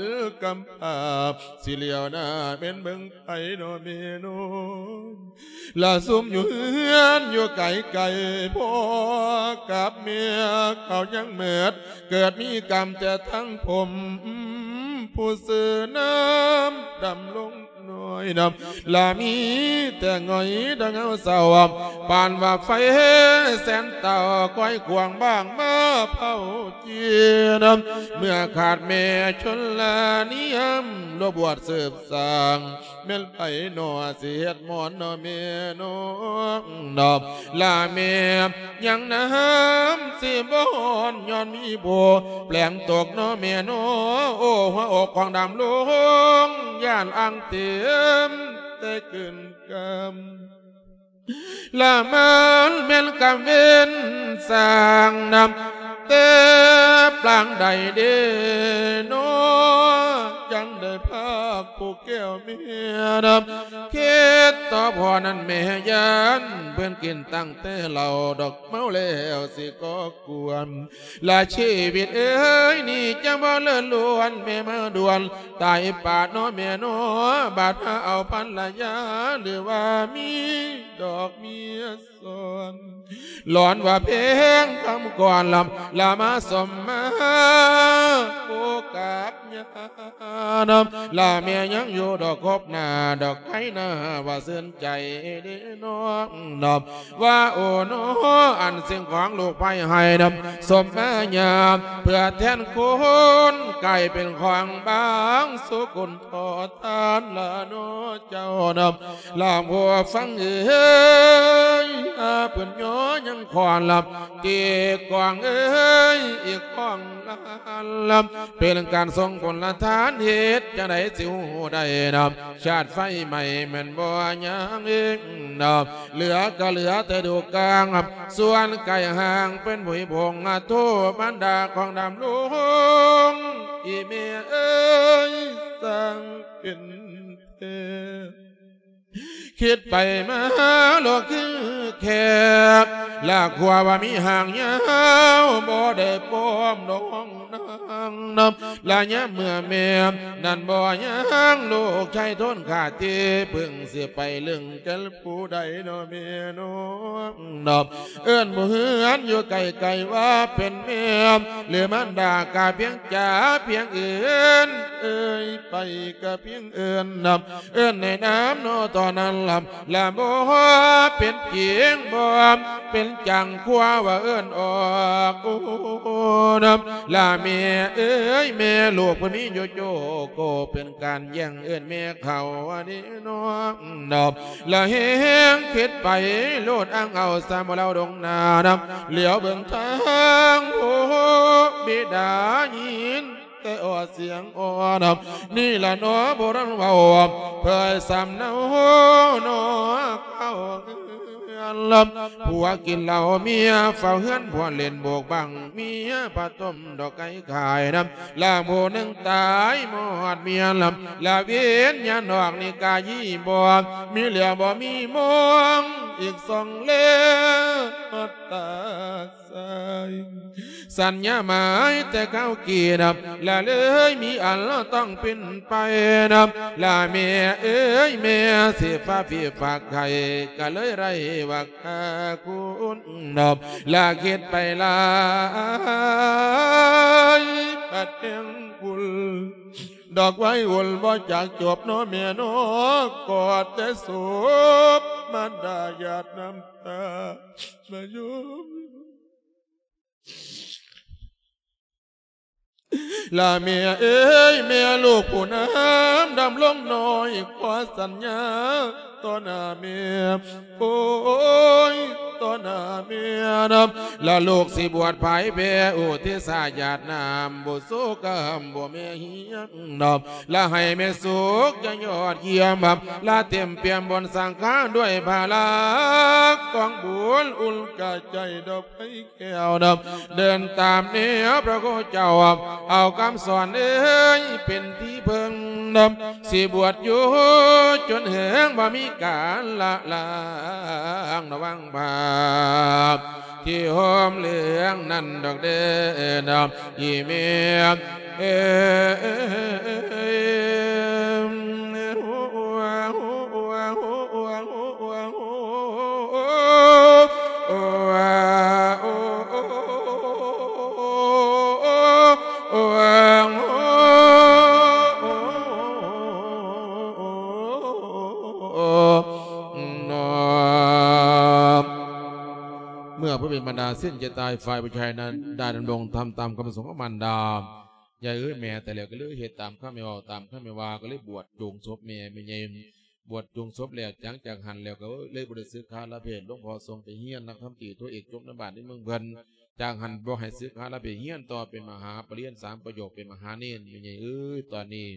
ກຳພ້າ ຊິຫຼຽວໜ້າແມ່ນເບິ່ງໃຜນໍແມ່ນໍ ລະຊຸມຢູ່ເຮືອນຢູ່ໄກໆ ພໍ່ກັບແມ່ເຂົາຍັງເໝິດ ເກີດມີກຳແຕ່ທັງຜົມ ຜູ້ຊື່ນາມດຳລົງນ້ອຍນຳ ລະມີແຕ່ຫງອຍດັງເງົາເສົ້າ ປານວ່າໄຟແສນເຕົາ ຄອຍຂວາງບ້າງມາເຜົາຈີນຳ ເມື່ອຂາດແມ່ຊົນລະນິຍາມ ລົບບວດສືບສ້າງ ແມ່ນໃຜນໍຊິເຮັດໝອນນໍແມ່ນໍ ລະແມ່ຍັງນ້ຳຊິບໍ່ຮ້ອນ ຍ້ອນມີໂບແປງຕົກນໍແມ່ນໍ ໂອ້ ຫົວອົກຂອງດຳລົງ ຢ້ານອ່າງເຕັມແຕ່ກືນກຳ ລະມັນແມ່ນກຳເວັນສ້າງນຳ ແຕ່ປາງໃດເດນໍ ຈັ່ງໄດ້ພາກຜູ້ແກ້ວເມຍນຳ ຄິດຕໍ່ພໍ່ນັ້ນແມ່ຢ້ານ ເພິ່ນກິນຕັ້ງແຕ່ເຫຼົ້າດອກ ເມົາແລ້ວຊິກໍ່ກວນ ລະຊີວິດເອີຍ ນີ້ຈະບໍ່ເລີດລ້ວນ ແມ່ມາດ່ວນ ຕາຍປາດນໍແມ່ນໍ ບາດຫາເອົາພັນລະຍາ ຫຼືວ່າມີດອກເມຍ ສອນ ຫຼອນວ່າເພງຄຳກ່ອນລຳ ລະມາສົມມາໂອກາດຍານຳ ລະແມ່ຍັງຢູ່ດອກຄົບໜ້າ ດອກໄຄໜ້າວ່າຊື່ນໃຈເດນ້ອງນຳ ວ່າໂອໂນ ອັນສິ່ງຂອງລູກໄພໃຫ້ນຳ ສົມມາຍາມ ເພື່ອແທນຄຸນ ກາຍເປັນຂອງບາງສຸກຸນ ຂໍທານລະເນາະເຈົ້ານຳ ລາຜູ້ຟັງເອີຍ ອາເພິ່ນຍໍຍັງຄອນລຳ ຕີກອງເອີຍ ອີກຂອງລານລຳ ເປັນການສົ່ງຜົນລະທານ ເຮັດຈັ່ງໃດຊິຮູ້ໄດ້ນຳ ຊາດໄຟໄໝ້ແມ່ນບໍ່ຍັງເອງນຳ ເຫຼືອກໍເຫຼືອແຕ່ດູກາງ ສ່ວນກາຍຮ່າງເປັນຜຸຍຜົງ ໂທບັນດາຂອງດຳລົງ ອີແມ່ເອີຍ ຊ່າງເປັນແທ້ ຄິດໄປມາໂລກຄືແຄບ ລະຂົວວ່າມີຫາງຍາວ ບໍ່ໄດ້ປ້ອມດອກນາງນຳ ລະຍາມເມື່ອແມ່ນັ້ນບໍ່ຍັງ ລູກຊາຍທົນຂາດທີ່ ເພິ່ງຊິໄປເລື່ອງແກ່ນ ຜູ້ໃດເນາະແມ່ນ້ອງເນາະ ເອີ້ນໝູ່ເຮືອນຢູ່ໃກ້ໆວ່າເປັນແມ່ ຫຼືມານດາກະພຽງຈາພຽງເອີ້ນ ເອີຍໄປກະພຽງເອີ້ນນຳ ເອີ້ນໃນນາມເນາະຕອນນັ້ນລຳ ລະບໍ່ເປັນຈິງ ບໍ່ເປັນຈັງ ຂົວວ່າເອີ້ນອອກ ໂອ້ ນຳ ລະແມ່ເອີຍ ແມ່ລູກເພິ່ນມີຢູ່ໂຈໂກ ເປັນການແຍ່ງເອີ້ນແມ່ເຂົາ ອັນນີ້ ນ້ອງນອບ ລະແຮງຄິດໄປໂລດ ອ່າງເອົາສາມເຫຼົ່າດົງໜ້ານຳ ຫຼຽວເບິ່ງທາງ ໂອ້ ບິດາຍິນແຕ່ອອດສຽງອ່ອນນຳ ນີ້ລະໜໍ ບໍ່ທັນເວົ້າ ເຜີຍສຳເນົາໜໍ ເຂົ້າເຮືອນລຳ ຜົວກິນເຫຼົ້າ ເມຍເຝົ້າເຮືອນ ຜົວຫຼິ້ນໂບກບັງ ເມຍປະຕົມດອກໄກ່ຂາຍນຳ ລາງຜູ້ໜຶ່ງຕາຍມອດເມຍລຳ ລະວິນຍານອອກນິກາຍບໍ່ ມີແລ້ວບໍ່ມີມອງ ອີກສອງເລດຕາຊາຍ ສັນຍາໝາຍແຕ່ເກົ່າກີ້ນຳ ລະເລີຍມີອັນຕ້ອງປິ່ນໄປນຳ ລະແມ່ເອີຍ ແມ່ຊິຝາກພີ່ຝາກໄຂ້ ກະເລີຍໄດ້ວ່າ ຫາຄຸນນອບ ລະຄິດໄປຫຼາຍ ປັດແຫ່ງບຸນ ດອກໄວວົນບໍ່ຈັກຈົບເນາະແມ່ເນາະ ກອດແຕ່ສົບ ມານດາຫຍາດນ້ຳຕາ ມາຢູ່ ລະແມ່ເອີຍ ແມ່ລູກຜູ້ນຳດຳລົງນ້ອຍ ຂໍສັນຍາຕໍ່ໜ້າແມ່ ໂອ້ຍ ຕໍ່ໜ້າແມ່ນຳ ລະລູກຊິບວດພາຍແຜ່ ອຸທິດສາຫຍາດນ້ຳ ບຸດໂສກະຫຳ ບໍ່ແມ່ຮຽງນອບ ລະໃຫ້ແມ່ສຸກຢ່າຍອດຢ້ຽມ ລະເຕັມປ່ຽມບົນສັງຂານດ້ວຍພາລະກອງບຸນ ນ ອຸ່ນກະໃຈດອກໄຟແກ້ວດອກ ເດີນຕາມແນວພະຄູເຈົ້າ ເອົາຄຳສອນເອີຍເປັນທີ່ເພິ່ງດອກ ຊິບວດຢູ່ຈົນເຖິງ ບໍ່ມີການລະລາງລະວັງບາບ ທີ່ໂຮມເລື່ອງນັ້ນດອກເດີ ອີ່ແມ່ເອີຍ. ເມື່ອຜູ້ເປັນມານດາສິ້ນໃຈຕາຍ ຝ່າຍຜູ້ຊາຍນັ້ນໄດ້ດຳລົງທຳຕາມຄຳປະສົງຂອງມານດາ. ຍາຍເອີຍ ແມ່ຕາຍແລ້ວ ກໍເລີຍເຮັດຕາມຄຳແມ່ເວົ້າ ຕາມຄຳແມ່ວ່າ ກໍເລີຍບວດໂຈງສົບແມ່ ແມ່ໃຫຍ່ ບວດໂຈງສົບແລ້ວ ຫຼັງຈາກຫັ້ນແລ້ວກໍເລີຍບໍ່ໄດ້ສຶກຂາລະເພດ. ຫຼວງພໍ່ສົ່ງໄປຮຽນນັກທຳຕີໂທເອກຈົບໃນບ້ານໃນເມືອງເພິ່ນ. ຈາກຫັ້ນບໍ່ໃຫ້ສຶກຂາລະເພດ ຮຽນຕໍ່ເປັນມະຫາປະລິນຍາສາມປະໂຫຍກ ເປັນມະຫາເນນ. ແມ່ໃຫຍ່ເອີຍ ຕອນນີ້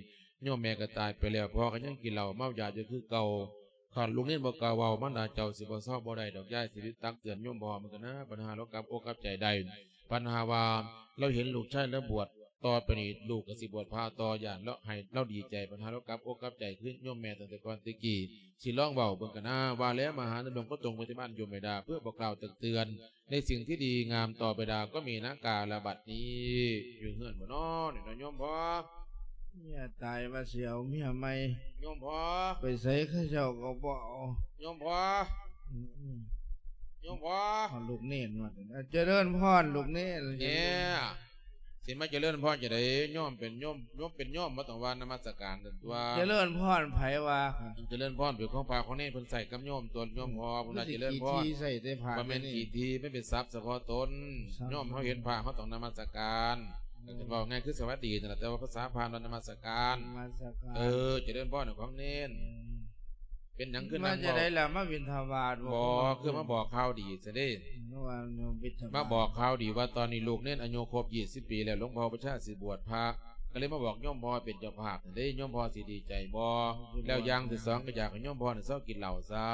ໂຍມແມ່ກໍຕາຍໄປແລ້ວ ພໍ່ກໍຍັງກິນເຫຼົ້າເມົາຢາຢູ່ຄືເກົ່າ. ຄັນລູກເນນບໍ່ກ້າເວົ້າ ມານດາເຈົ້າຊິບໍ່ເຊົາບໍ່ໄດ້ດອກ. ຍາຍຊິໄດ້ຕັກເຕືອນໂຍມພໍ່ເພິ່ນກັນນະ ບັດຫາລາວກັບອົກກັບໃຈໄດ້ ບັດຫາວ່າລາວເຫັນລູກຊາຍລາວບວດ ຕໍ່ໄປນີ້ລູກກໍຊິບວດພະຕໍ່ ຢ້ານລາວໃຫ້ລາວດີໃຈ ບັດຫາລາວກັບອົກກັບໃຈຄືໂຍມແມ່ຕັ້ງແຕ່ກ່ອນແຕ່ກີ້. ຊິລອງເວົ້າເບິ່ງກັນນະ ວ່າແລ້ວມະຫາດຳລົງກໍຕົງໄປທີ່ບ້ານໂຍມແມ່ດາ ເພື່ອບອກກ່າວຕັກເຕືອນ ໃນສິ່ງທີ່ດີງາມຕໍ່ໄປດາ ກໍມີນາງກາລະບັດນີ້ ຢູ່ເຮືອນບໍ່ນໍ ນີ້ເນາະໂຍມພໍ່? ເມຍຕາຍວ່າຊິເອົາເມຍໃໝ່ ໂຍມພໍ່ ໄປໃສເຂົາເຈົ້າກໍບໍ່ເອົາ ໂຍມພໍ່ ອືມ ໂຍມພໍ່ ເອົາລູກເນນມາ ເຈະເລີນພອນລູກເນນ ແນ່ ຊິມາຈະເລີນພອນຈັ່ງໃດ? ໂຍມເປັນໂຍມ ໂຍມເປັນໂຍມ ບໍ່ຕ້ອງວ່ານະມັດສະການຕົວະ. ຈະເລີນພອນໃຜວ່າ? ຈະເລີນພອນເປັນຂອງພະຂອງເນນ ເພິ່ນໃຊ້ກັບໂຍມຕົວະ ໂຍມພໍ່ ເພິ່ນວ່າຈະເລີນພອນ. ໃສ່ແຕ່ພະ ບໍ່ແມ່ນຂີ້ຖີ່ ມັນເປັນສັບສະເພາະຕົນ. ໂຍມເຮົາເຫັນພະ ເຮົາຕ້ອງນະມັດສະການ. ເວົ້າງ່າຍຄືສະຫວັດດີນັ້ນລະ ແຕ່ວ່າພາສາພານວ່ານະມັດສະການ. ເອີ ຈະເລີນພອນຂອງເນນ. ເປັນຫຍັງຄື ມາຈັ່ງໃດລະ ມາບິນທະບາດບໍ່? ບໍ່ ຄືມາບອກຂ່າວດີຊະເດ້. ມາບອກຂ່າວດີວ່າຕອນນີ້ລູກເນນອາຍຸຄົບຊາວປີແລ້ວ ຫຼວງພໍ່ປະຊາຊິບວດພະ ກໍເລີຍມາບອກໂຍມພໍ່ເປັນເຈົ້າພາບເດ້. ໂຍມພໍ່ຊິດີໃຈບໍ່? ແລ້ວຢ່າງທີສອງ ກໍຢາກໃຫ້ໂຍມພໍ່ນີ້ເຊົາກິນເຫຼົ້າຊະ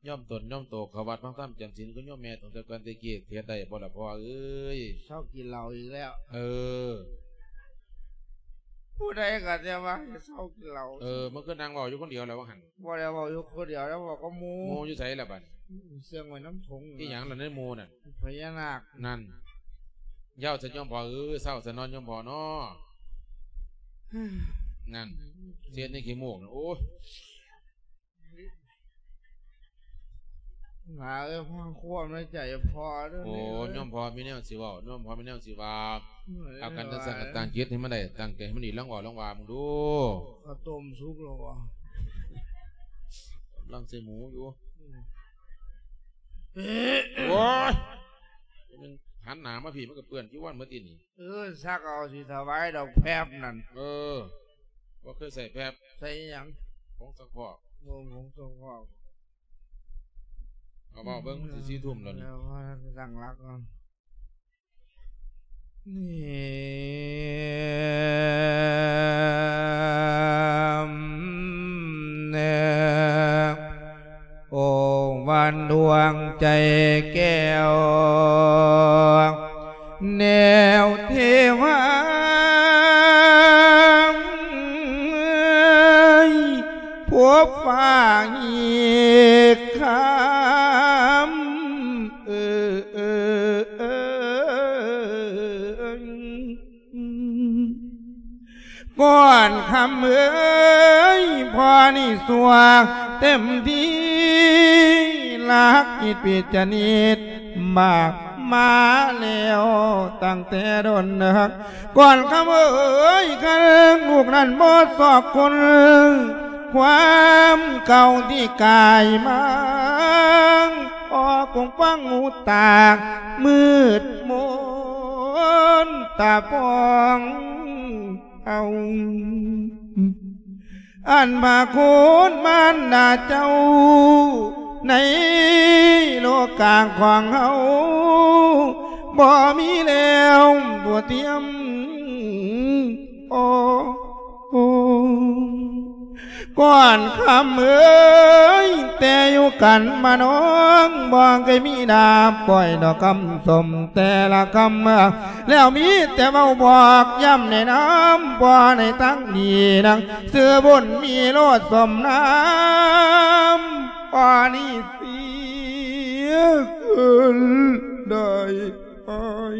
ຍອມຕົນຍອມໂຕເຂົ້າວັດຟັງທຳຈຳສິນຄືໂຍມແມ່ຕັ້ງແຕ່ກ່ອນແຕ່ກີ້. ເຮັດໄດ້ບໍ່ລະພໍ່ເອີຍ? ເຊົາກິນເຫຼົ້າອີກແລ້ວ. ເອີ ຜູ້ໃດກໍແຕ່ວ່າໃຫ້ເຊົາກິນເຫຼົ້າ. ເອີ ມັນຄືນັ່ງເວົ້າຢູ່ຄົນດຽວແລ້ວວ່າຫັ້ນ. ບໍ່ໄດ້ເວົ້າຢູ່ຄົນດຽວ ແລ້ວເວົ້າກັບໝູ່. ໝູ່ຢູ່ໃສລະບັດ? ເຊື່ອງໄວ້ນຳຖົງ. ອີຫຍັງລະໃນໝູ່ນັ້ນ? ພະຍານາກ. ນັ້ນ ເຊົາຊະໂຍມພໍ່ເອີຍ ເຊົາຊະເນາະໂຍມພໍ່ເນາະ. ນັ້ນ ເສດໃນຂີ້ມູກນະ ໂອ້ຍ. ຫຼາເອີຍ ຟັງຄວາມໃນໃຈພໍ່ເດີ. ໂອ້ ໂຍມພໍ່ມີແນວຊິເວົ້າ ໂຍມພໍ່ມີແນວຊິວ່າ. ເອີຍ ເອົາກັນ ຈັ່ງຊັ້ນກໍຕັ້ງຈິດໃຫ້ມັນໄດ້ ຕັ້ງໃຈໃຫ້ມັນດີ ລອງເວົ້າລອງວ່າເບິ່ງດູ. ເຂົ້າຕົ້ມສຸກແລ້ວບໍ່? ກຳລັງໃສ່ໝູຢູ່. ອືມ ໂອ້ຍ ມັນຫັນໜ້າມາພີ້ ມັນກໍເປື້ອນຈີວອນໝົດຕິນີ້. ເອີ ຊັກເອົາ ຊິຖວາຍດອກແຟບນັ້ນ. ເອີ ບໍ່ເຄີຍໃສ່ແຟບ. ໃສ່ຫຍັງ? ຜົງຊັກຟອກ. ໂອ້ ຜົງຊັກຟອກ. ເອົາເວົ້າເບິ່ງ ຊິສີ່ທຸ່ມແລ້ວນີ້. ເອີ ຕັ້ງຫຼັກກ່ອນ. ໂອ້ ວັນດວງໃຈແກ້ວ ແນວເທວາ ພົບຟ້າອີກຄຳ ເອີ ກ່ອນຄຳເອີຍ ພໍ່ນີ້ຊົ່ວເຕັມທີ່ ລັກອິດປິດຈະນິດ ບາກມາແລ້ວຕັ້ງແຕ່ດົນເນີກ. ກ່ອນຄຳເອີຍ ຄັນລູກນັ້ນບໍ່ຊອບຄົນ ຄວາມເກົ່າທີ່ກາຍມາ ອອກກົງຟັງຫູຕາ ມືດມົນຕາປອງເອົາ ອັນພະຄຸນມານດາເຈົ້າ ໃນໂລກາຂອງເຮົາ ບໍ່ມີແລ້ວຕົວທຽມ ໂອ້. ກ່ອນຄຳເອີຍ ແຕ່ຢູ່ກັນມານ້ອງ ບໍ່ເຄີຍມີໜ້າປ້ອຍດອກຄຳຊົມແຕ່ລະຄຳ ແລ້ວມີແຕ່ເວົ້າບອກຢ້ຳແນະນຳ ບໍ່ໃນທາງດີນາງ ຊື່ບຸນມີໂລດສົມນາມ ປານີສີເກີນໄດ້ອ້າຍ.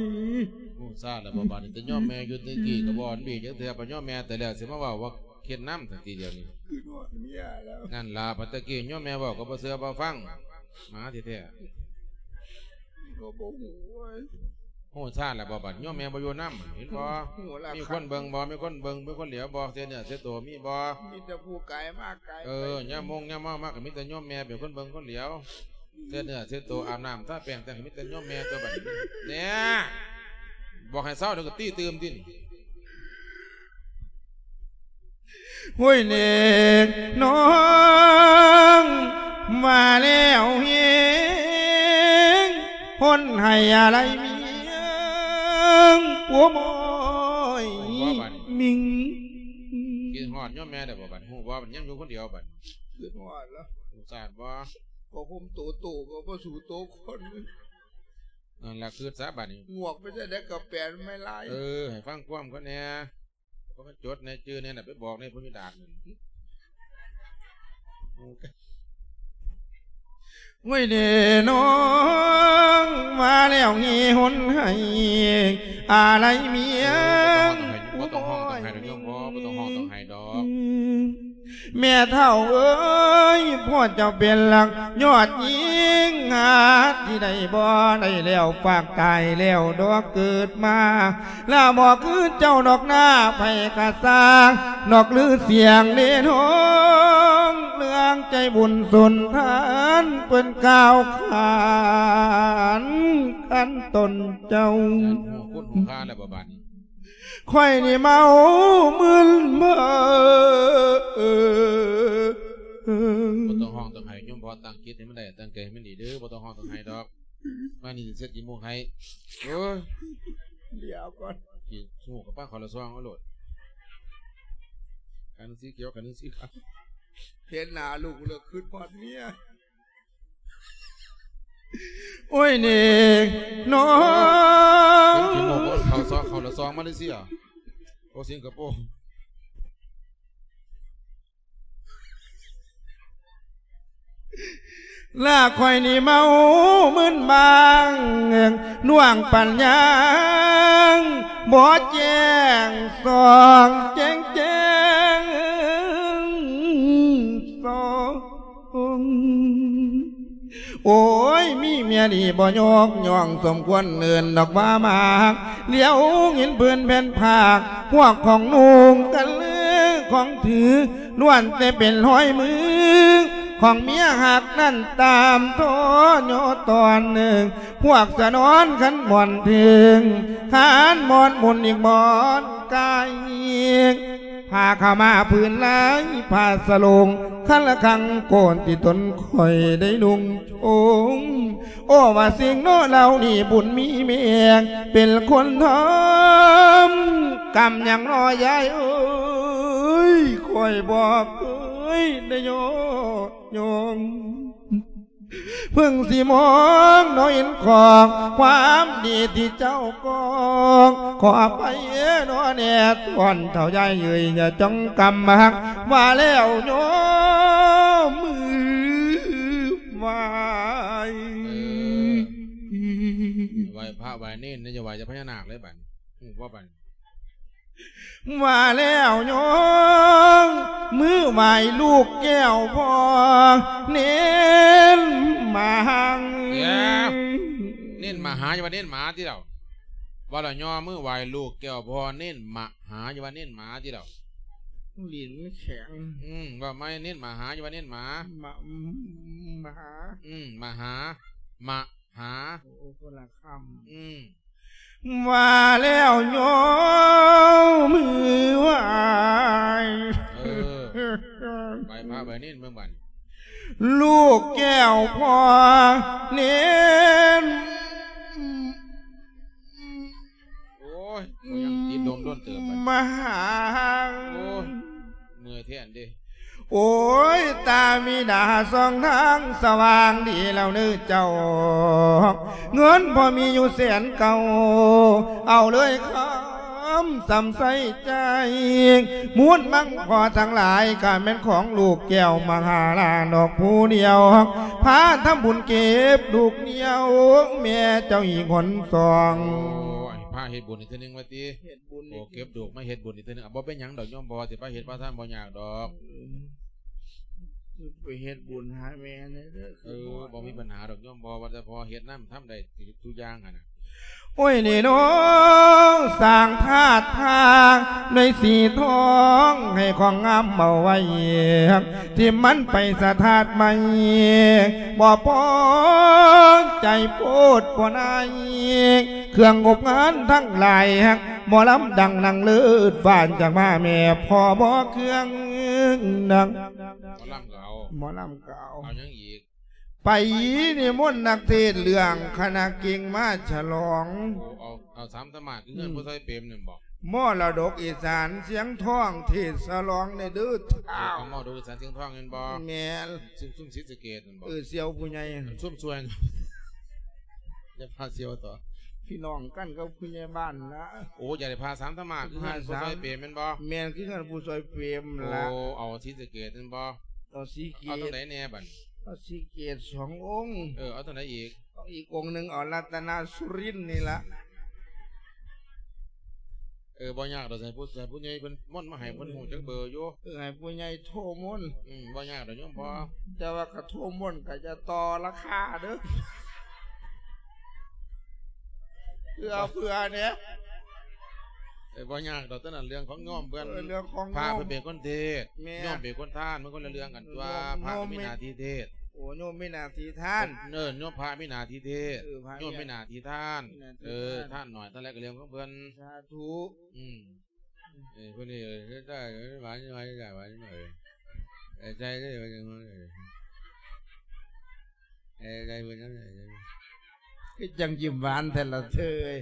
ໂອ້ ຊາແລ້ວບໍ່ບາດນີ້ ແຕ່ຍອມແມ່ຢູ່ແຕ່ກີ້ກໍບໍ່ອັນດີຈັກເທື່ອ ບັດຍອມແມ່ແຕ່ແລ້ວ ຊິມາເວົ້າວ່າ ເຮັດນຳທັງທີດຽວນີ້ ຄືນອນເມຍແລ້ວ ນັ້ນລະ ບັດຕະກີ້ໂຍມແມ່ເວົ້າກໍບໍ່ເຊື່ອບໍ່ຟັງ ໝາແທ້ໆ ກໍບໍ່ຮູ້ເວີຍ. ຮູ້ຊາແລ້ວບໍ່ບັດ ໂຍມແມ່ບໍ່ຢູ່ນຳ ເຫັນບໍ່? ມີຄົນເບິ່ງບໍ່? ມີຄົນເບິ່ງ ມີຄົນຫຼຽວບໍ່? ເສຍເນື້ອເສຍໂຕມີບໍ່? ມີແຕ່ຜູ້ກາຍມາກາຍໄປ ເອີ ຍາມມົງຍາມເມົາມາກໍມີແຕ່ໂຍມແມ່ເປັນຄົນເບິ່ງຄົນຫຼຽວ ເສຍເນື້ອເສຍໂຕ ອາບນ້ຳທາແປ້ງ ແຕ່ງໃຫ້ມີແຕ່ໂຍມແມ່ຕົວະບັດນີ້ ແນ່ ບອກໃຫ້ເຊົາ ດຽວກໍຕີຕື່ມຕິນີ້. ໂອ້ຍເນກນ້ອງ ວ່າແລ້ວເຮງ ຄົນໃຫ້ອາໄລເມຍງ ຜົວມອຍມິງ ຄິດຮອດໂຍມແມ່ໄດ້ບໍ່ບັດ ຮູ້ບໍ່ບັດ ຍັງຢູ່ຄົນດຽວບັດ ຄິດຮອດລະ ສົງສານບໍ່? ກໍຫົ່ມໂຕໂຕກໍບໍ່ສູ້ໂຕຄົນ ນັ້ນລະ ຄຶດຊະບາດນີ້ ງວກໄປຈັ່ງໃດກໍແປນໄມ້ລາຍ ເອີ ໃຫ້ຟັງຄວາມເຂົາແດ່ ເຂົາມາຈົດແດ່ ຈື່ແດ່ນະ ໄປບອກໃນພະຍາດາດນັ້ນ ໂອ້ຍເດ້ນ້ອງ ວ່າແລ້ວເຮຫົນໃຫ້ອາໄລເມຍງ ເອີ ບໍ່ຕ້ອງຮ້ອງ ບໍ່ຕ້ອງໄຫ້ດອກໂຍມ ບໍ່ ບໍ່ຕ້ອງຮ້ອງ ຕ້ອງໄຫ້ດອກ. ແມ່ເຖົ້າເອີຍ ພໍ່ເຈົ້າເປັນຫຼັກຍອດຍິງ ຫາທີ່ໄດ້ບໍ່ໄດ້ແລ້ວ ຝາກຕາຍແລ້ວດອກເກີດມາ ລະບໍ່ຄືເຈົ້າດອກນາ ໃຜກະຊ່າງດອກລືສຽງເດ້ນ້ອງ ເລື່ອງໃຈບຸນສຸນທານ ເພິ່ນກ່າວຂານກັນຕົນເຈົ້າ ຮູ້ຄຸນຮູ້ຄ່າແລ້ວບໍ່ບາດນີ້? ຂ້ອຍນີ້ເມົາມຶນເມີ ບໍ່ຕ້ອງຮ້ອງຕ້ອງໄຫ້ ໂຍມພໍ່ຕັ້ງຈິດໃຫ້ມັນໄດ້ ຕັ້ງໃຈໃຫ້ມັນດີເດີ້ ບໍ່ຕ້ອງຮ້ອງຕ້ອງໄຫ້ດອກ ມານີ້ຊິເຊັດຈີມູກໃຫ້ ໂອ້ຍ ດຽວກ່ອນ ຊິຮູ້ກັບປ້າຂໍລະຊອງເອົາໂລດ ຄັນໜຶ່ງສີຂຽວ ຄັນໜຶ່ງສີຂາວ ເຫັນໜ້າລູກແລ້ວຄຶດຮອດເມຍ. ໂອ້ຍເນກນ້ອງ ເປັນຂີ້ໂມກ ເຂົາຊອກ ເຂົາລະຊອງມາເລເຊຍ ໂອ້ ສິງກະໂປ ລະຂ້ອຍນີ້ເມົາມຶນບາງ ໜ່ວງປັນຍາງ ບໍ່ແຈ້ງສອງແຈ້ງແຈ້ງສອງ. ໂອ້ຍ ມີເມຍດີບໍ່ຍົກຍ້ອງ ສົມຄວນເອີ້ນດອກວ່າມາຮັກ ຫຼຽວເຫັນພື້ນແຜ່ນພາກ ພວກຂອງນຸ່ງກັນເລີຂອງຖື ລ້ວນແຕ່ເປັນຮອຍມື ຂອງເມຍຮັກນັ້ນຕາມທໍຍໍຕອນໜຶ່ງ ພວກສະໜອນຂັນໝອນເຖິງ ຂັນໝອນໝຸນອີກໝອນກາຍອີກ ຜ້າຂາວມ້າຜືນລາຍ ຜ້າສະໂຫຼງ ຄັນລະຄັງໂກນທີ່ຕົນຂ້ອຍໄດ້ນຸ່ງໂຈງ ໂອ້ ວ່າສິ່ງເນາະເຫຼົ່ານີ້ບຸນມີແມ່ເປັນຄົນທຳ ກຳຫຍັງເນາະຍາຍເອີຍ ຂ້ອຍບໍ່ເຄີຍໄດ້ຍ້ອງ ເພິ່ງຊິມອງນ້ອຍເຫັນຂອງຄວາມດີທີ່ເຈົ້າກອງ ຂໍອະໄພເນາະແນ່ ທ່ອນເຖົ້າຍາຍເອີຍ ຢ່າຈ້ອງກຳຮັກ ວ່າແລ້ວໂຍມມືໄຫວ້ ເອີ ໄຫວ້ພະໄຫວ້ເນນ ຢ່າໄຫວ້ແຕ່ພະຍານາກເລີຍບັດ ຮູ້ບໍ່ບັດ? ວ່າແລ້ວໂຍມມືໄຫວ້ລູກແກ້ວພໍ່ເນນມະຫາ ດຽວ ເນນມະຫາ ຢ່າວ່າເນນໝາຕິລາວ ວ່າແລ້ວໂຍມມືໄຫວ້ລູກແກ້ວພໍ່ເນນມະຫາ ຢ່າວ່າເນນໝາຕິລາວ ລີນມັນແຂງ ອືມ ວ່າໃໝ່ ເນນມະຫາ ຢ່າວ່າເນນໝາ ມະ ມະຫາ ອືມ ມະຫາ ມະຫາ ໂອ້ ຄົນລະຄຳ ອືມ ວ່າແລ້ວໂຍມມືໄຫວ້ ເອີ ໄຫວ້ພະໄຫວ້ເນນເບິ່ງບັດ ລູກແກ້ວພໍ່ເນນ ໂອ້ຍ ບໍ່ຍັງຕິດລົມດົນເຕີບບັດ ມະຫາ ໂອ້ຍ ເມື່ອຍແທ້ເດ້ ໂອ້ຍ ຕາມີໜ້າສອງທາງສະຫວ່າງດີແລ້ວເນີເຈົ້າ, ເງິນພໍ່ມີຢູ່ແສນເກົ້າ ເອົາເລີຍຄຳສຳໃສ່ໃຈ. ມູນມັງພໍ່ທັງຫຼາຍ ກະແມ່ນຂອງລູກແກ້ວມະຫາລາດອກຜູ້ດຽວ, ພາທຳບຸນເກັບລູກດຽວ ແມ່ເຈົ້າອີກຫົນສອງ. ໂອ້ຍ ພາເຮັດບຸນອີກເທື່ອໜຶ່ງວ່າຕິ. ເຮັດບຸນ ໂອ້ ເກັບລູກມາເຮັດບຸນອີກເທື່ອໜຶ່ງ. ອ່ະ ບໍ່ເປັນຫຍັງດອກໂຍມພໍ່ ຊິພາເຮັດພາທຳບໍ່ຍາກດອກ. ເອີ ໄປເຮັດບຸນຫາແມ່ແດ່ເດີ. ເອີ ບໍ່ມີບັນຫາດອກໂຍມພໍ່ ວ່າແຕ່ພໍ່ເຮັດນຳ ທຳໄດ້ທຸກຢ່າງຫັ້ນນະ. ໂອ້ຍ ນີ້ເນາະ ສ້າງທາດພາ ໜ່ວຍສີທອງ ໃຫ້ຂອງງາມເອົາໄວ້ ທີ່ມັນໄປສະທາດໃໝ່ ບໍ່ພໍໃຈໂພດພໍ່ນາຍ ເຄື່ອງງົບງານທັງຫຼາຍ ໝໍລຳດັງນາງເລີດ ຟານຈາກມາແມ່ພໍ່ບໍ່ເຄື່ອງນະ. ໝໍລຳກໍເອົາ ໝໍລຳກໍເອົາ ເອົາຫຍັງອີກ? ໄປນິມົນນັກເທດເລື່ອງຄະນະເກັ່ງມາສະຫຼອງ. ໂອ້ ເອົາ ເອົາສາມຕະໝາດ ຄືເຮືອນ ອືມ ຜູ້ຊ່ອຍເປມນັ້ນບໍ? ມໍລະດົກອີສານຊຽງທອງເທດສະຫຼອງແດ່ເດີທ້າວ. ເອົາມໍລະດົກອີສານຊຽງທອງແມ່ນບໍ? ແມ່ນ. ຊຸມ ຊຸມສີສະເກດນັ້ນບໍ? ເອີ ສ່ຽວຜູ້ໃຫຍ່ ຊຸມຊ່ວຍ ຢ່າພາສ່ຽວຕໍ່ ພີ່ນ້ອງກັນກັບຜູ້ໃຫຍ່ບ້ານລະ. ໂອ້ ຢາກໄດ້ຜ້າສາມຕະໝາດ ຄືເຮືອນຜູ້ຊ່ອຍເປມແມ່ນບໍ? ແມ່ນ ຄືເຮືອນຜູ້ຊ່ອຍເປມລະ. ໂອ້ ເອົາສີສະເກດແມ່ນບໍ? ເອົາສີເກດ. ເອົາຕົງໃດແດ່ບັດ? ເອົາສີເກດສອງອົງ. ເອີ ເອົາຕົງໃດອີກ? ເອົາອີກອົງໜຶ່ງ ເອົາລັດຕະນະສຸລິນນີ້ລະ. ເອີ ບໍ່ຍາກດອກ ໃຫ້ຜູ້ ໃຫ້ຜູ້ໃຫຍ່ເພິ່ນມົນມາໃຫ້ ເພິ່ນຮູ້ຈັກເບີຢູ່. ເອີ ໃຫ້ຜູ້ໃຫຍ່ໂທມົນ. ອືມ ບໍ່ຍາກດອກໂຍມພໍ່ ແຕ່ວ່າກະໂທມົນກະຢ່າຕໍ່ລາຄາເດີ ເພື່ອ ເພື່ອແດ່. ເອີ ບໍ່ຍາກດອກ ຕອນນັ້ນເລື່ອງຂອງໂຍມເພິ່ນ. ເອີ ເລື່ອງຂອງໂຍມ ພະເພິ່ນເປັນຄົນເທດ ແມ່ນ ໂຍມເປັນຄົນທານ ມັນຄົນລະເລື່ອງກັນຕົວະ. ໂຍມ ພະມີໜ້າທີ່ເທດ. ໂອ້ ໂຍມມີໜ້າທີ່ທານ. ເອີ ໂຍມ ພະມີໜ້າທີ່ເທດ. ເອີ ພະ ໂຍມມີໜ້າທີ່ທານ. ເອີ ທານໜ້ອຍທານຫຼາຍກະເລື່ອງຂອງເພິ່ນ. ສາທຸ. ອືມ ເອີ ເພິ່ນນີ້ ເອີ ໄດ້ ຫວານ ຫວານ ຫວານ ເອີ ໃສ່ເລີຍ ເອີ ໃສ່ເພິ່ນນຳ ຄືຈັ່ງຍິ້ມຫວານແທ້ລະເທີຍ.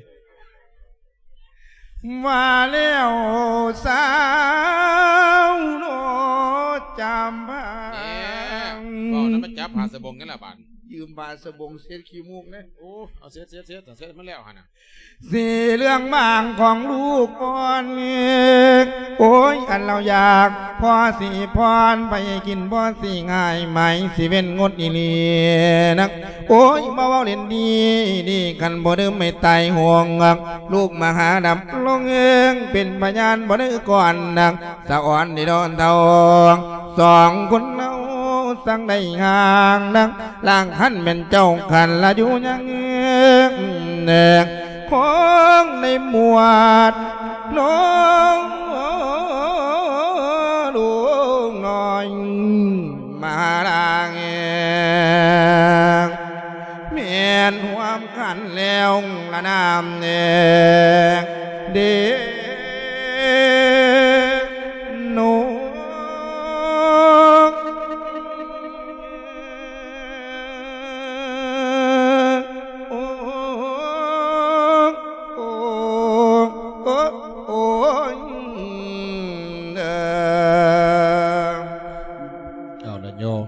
ມາແລ້ວສາວໂນຈຳພາ. ເວົ້ານຳ ມາຈັບຜ້າສະບົງກັນລະບາດ. ຢືມຜ້າສະບົງເຊັດຂີ້ມູກແດ່. ໂອ້ ເອົາເຊັດ ເຊັດ ເຊັດ ເຊັດມັນແລ້ວຫັ້ນນະ. ສີເຫຼືອງບາງຂອງລູກອ່ອນ ໂອ້ຍ ອັນລາວຢາກ ພໍສີພອນ ໃຜກິນພໍສີງ່າຍ ໝາຍຊິເວັ້ນງົດອີ່ຫຼີນະ. ໂອ້ຍ ມາເວົ້າຫຼິ້ນດີດີ ຄັນບໍ່ດື່ມໃຫ້ຕາຍໂຫງ ລູກມະຫາດັບລົງເອີງ ເປັນພະຍານບໍ່ໄດ້ກ່ອນນະ. ສະອອນດີດອນເທົ່າ ສອງຄົນເຮົາ ສັງໄດ້ຫ່າງນະ ລາງຄັນແມ່ນເຈົ້າຄັນລະຢູ່ຍັງ ຂອງໃນໝວດນ້ອງລູກນ້ອຍມາລາງ ແມ່ນຮ່ວມ ຄັນແລ້ວລະນາມແດ່ເດໂນ. ເອົາລະໂຍມ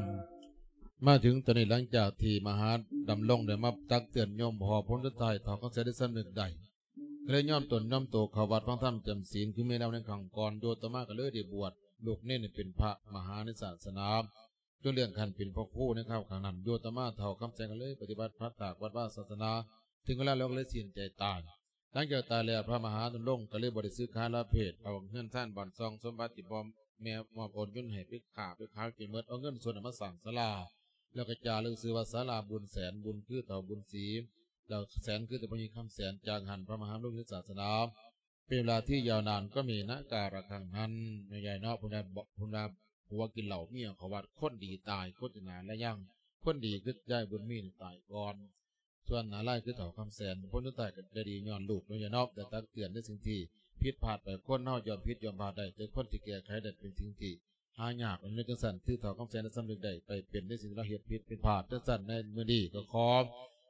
ມາເຖິງຕອນນີ້ ຫຼັງຈາກທີ່ມະຫາດຳລົງໄດ້ມາຕັກເຕືອນໂຍມພໍ່ຜົນສຸດທ້າຍ ເຖົ້າຄຳແສນໄດ້ສຳນຶກໄດ້ ກໍເລີຍຍອມຕົນຍອມໂຕເຂົ້າວັດຟັງທຳຈຳສິນ ຄືມີແນວໃນຄັ້ງກ່ອນ. ໂຍມອາດຕະມາກໍເລີຍໄດ້ບວດລູກເນນໃຫ້ເປັນພະມະຫາໃນສາສະໜາ ຈົນເລື່ອນຂັ້ນເປັນພະຄູໃນຄາວຄັ້ງນັ້ນ. ໂຍມອາດຕະມາເຖົ້າຄຳແສນກໍເລີຍປະຕິບັດພັດພາກວັດວາສາສາສະໜາ ເຖິງເວລາແລ້ວກໍເລີຍສິ້ນໃຈຕາຍ. ຫຼັງຈາກຕາຍແລ້ວ ພະມະຫາດຳລົງກໍເລີຍບໍ່ໄດ້ສຶກສາລາເພດ ເອົາເຮືອນຊານບ້ານຊ່ອງສົມບັດທີ່ພໍ່ແມ່ມອບໂອນຍົນໃຫ້ໄປຄ້າໄປຂາຍຈົນໝົດ ເອົາເງິນສ່ວນນັ້ນມາສ້າງສາລາ ແລ້ວກໍຈາລຶກຊື່ວ່າສາລາບຸນແສນ ບຸນຄືເຖົ້າບຸນສີ ແລ້ວແສນຄືເຈົ້າພໍ່ໃຫຍ່ຄຳແສນ. ຈາກຫັ້ນພະມະຫາດຳລົງຢູ່ສາສະໜາເປັນເວລາທີ່ຍາວນານ ກໍມີນາກາລະຄັ້ງນັ້ນ ແມ່ຍາຍເນາະ ເພິ່ນວ່າ ເພິ່ນວ່າຜົວກິນເຫຼົ້າ ເມຍເຂົ້າວັດ ຄົນດີຕາຍ ຄົນດີນານແລະຍັງ ຄົນດີຄືຍາຍບຸນມີນີ້ຕາຍກ່ອນ ສ່ວນນາລາຍຄືເຖົ້າຄຳແສນ ຜົນສຸດທ້າຍກໍໄດ້ດີຍ້ອນລູກເນາະຍາຍເນາະ ໄດ້ຕັກເຕືອນໃນສິ່ງທີ່ຜິດພາດໄປ. ຄົນເຮົາຍອມຜິດຍອມພາດໄດ້ ແຕ່ຄົນທີ່ແກ້ໄຂໄດ້ເປັນສິ່ງທີ່ ຫາຍາກ. ອັນນີ້ຈັ່ງຊັ້ນ ຖືເຖົ້າຄຳແສນໄດ້ສຳນຶກໄດ້ໄປເປັນໃນສິ່ງທີ່ລາວເຮັດຜິດເປັນພາດ. ຈັ່ງຊັ້ນໃນມື້ນີ້ກໍຂໍ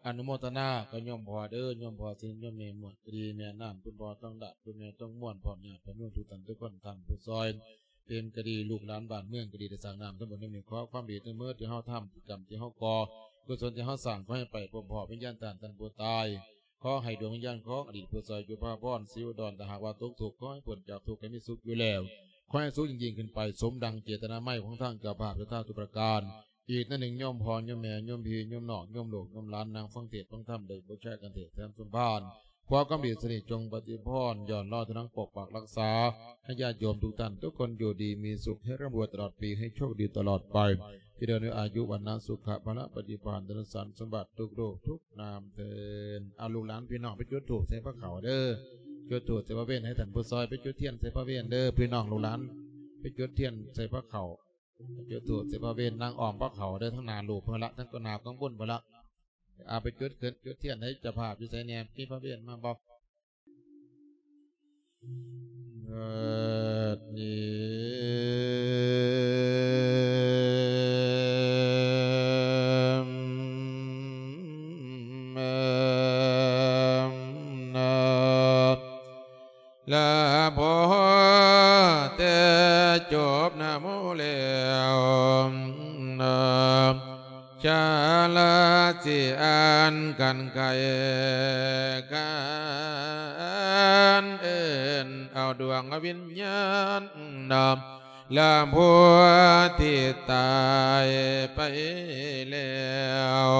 ອະນຸໂມທະນາກັບໂຍມພໍ່ເດີ ໂຍມພໍ່ສິນ ໂຍມແມ່ໝວດກໍດີ ແມ່ນ້ຳ ຄຸນພໍ່ທອງດາດ ຄຸນແມ່ທອງມ່ວນ ພ້ອມຍາດພະໂຍມທຸກທ່ານທຸກຄົນ ທ່ານຜູ້ຊ່ອຍ ເປັນກະດີ ລູກຫຼານບ້ານເມືອງກະດີ ໄດ້ສ້າງນ້ຳທຳບຸນນຳນີ້ ຂໍຄວາມດີທັງໝົດທີ່ເຮົາທຳ ກຳທີ່ເຮົາກໍ່ ກຸສົນທີ່ເຮົາສ້າງ ຂໍໃຫ້ໄປພົບພໍ້ວິນຍານທ່ານ ທ່ານຜູ້ຕາຍ. ຂໍໃຫ້ດວງວິນຍານຂອງອະດີດຜູ້ຊ່ອຍຢູ່ພາພອນ ສີອຸດອນ ຖ້າຫາກວ່າຕົກທຸກ ຂໍໃຫ້ພົ້ນຈາກທຸກ ໃຫ້ມີສຸກຢູ່ແລ້ວ ຂໍໃຫ້ສຸກຍິ່ງໆຂຶ້ນໄປ ສົມດັ່ງເຈດຕະນາໄມຂອງທາງເຈົ້າພາບສັດທາທຸກປະການ. ອີກໜ້ອຍໜຶ່ງ ໂຍມພໍ່ໂຍມແມ່ ໂຍມພີ່ໂຍມນ້ອງ ໂຍມລູກໂຍມຫຼານ ນັ່ງຟັງເທດຟັງທຳ ໄດ້ບູຊາກັນເທດແຖມສົມພານ ຂໍຄວາມດີສະເໜ່ຈງປະຕິພອນ ຍ້ອນລໍເທົ່ານັ້ນ ປົກປັກຮັກສາ ໃຫ້ຍາດໂຍມທຸກທ່ານທຸກຄົນຢູ່ດີມີສຸກ ໃຫ້ຮ່ຳລວຍຕະຫຼອດປີ ໃຫ້ໂຊກດີຕະຫຼອດໄປ ຈະເລີນອາຍຸ ວັນນະ ສຸຂະ ພະລະ ປະຕິພານ ທະນະສັນສົມບັດ ທຸກຮູບທຸກນາມເທີ້ນ. ເອົາ ລູກຫຼານພີ່ນ້ອງ ໄປຈຸດທູບໃສ່ພະເຂົ້າເດີ ຈຸດທູບໃສ່ພະເວນ ໃຫ້ທ່ານຜູ້ຊ່ອຍໄປຈຸດທຽນໃສ່ພະເວນເດີ ພີ່ນ້ອງລູກຫຼານ ໄປຈຸດທຽນໃສ່ພະເຂົ້າ ຈຸດທູບໃສ່ພະເວນ ນັ່ງອ້ອມພະເຂົ້າເດີ ທາງໜ້າຮູບເພິ່ນລະ ທາງຕໍ່ໜ້າຂອງບຸນພຸ້ນລະ. ເອົາ ໄປຈຸດ ຈຸດທຽນໃຫ້ເຈົ້າພາບຢູ່ໃສແດ່ ມີພະເວນມາບໍ່? ເອີ ນີ້ ລະພໍແຕ່ຈົບນະໂມແລ້ວ ຊາລາຊິອ່ານກັນໄກ ການເອີ້ນເອົາດວງວິນຍານ ລະຜູ້ທີ່ຕາຍໄປແລ້ວ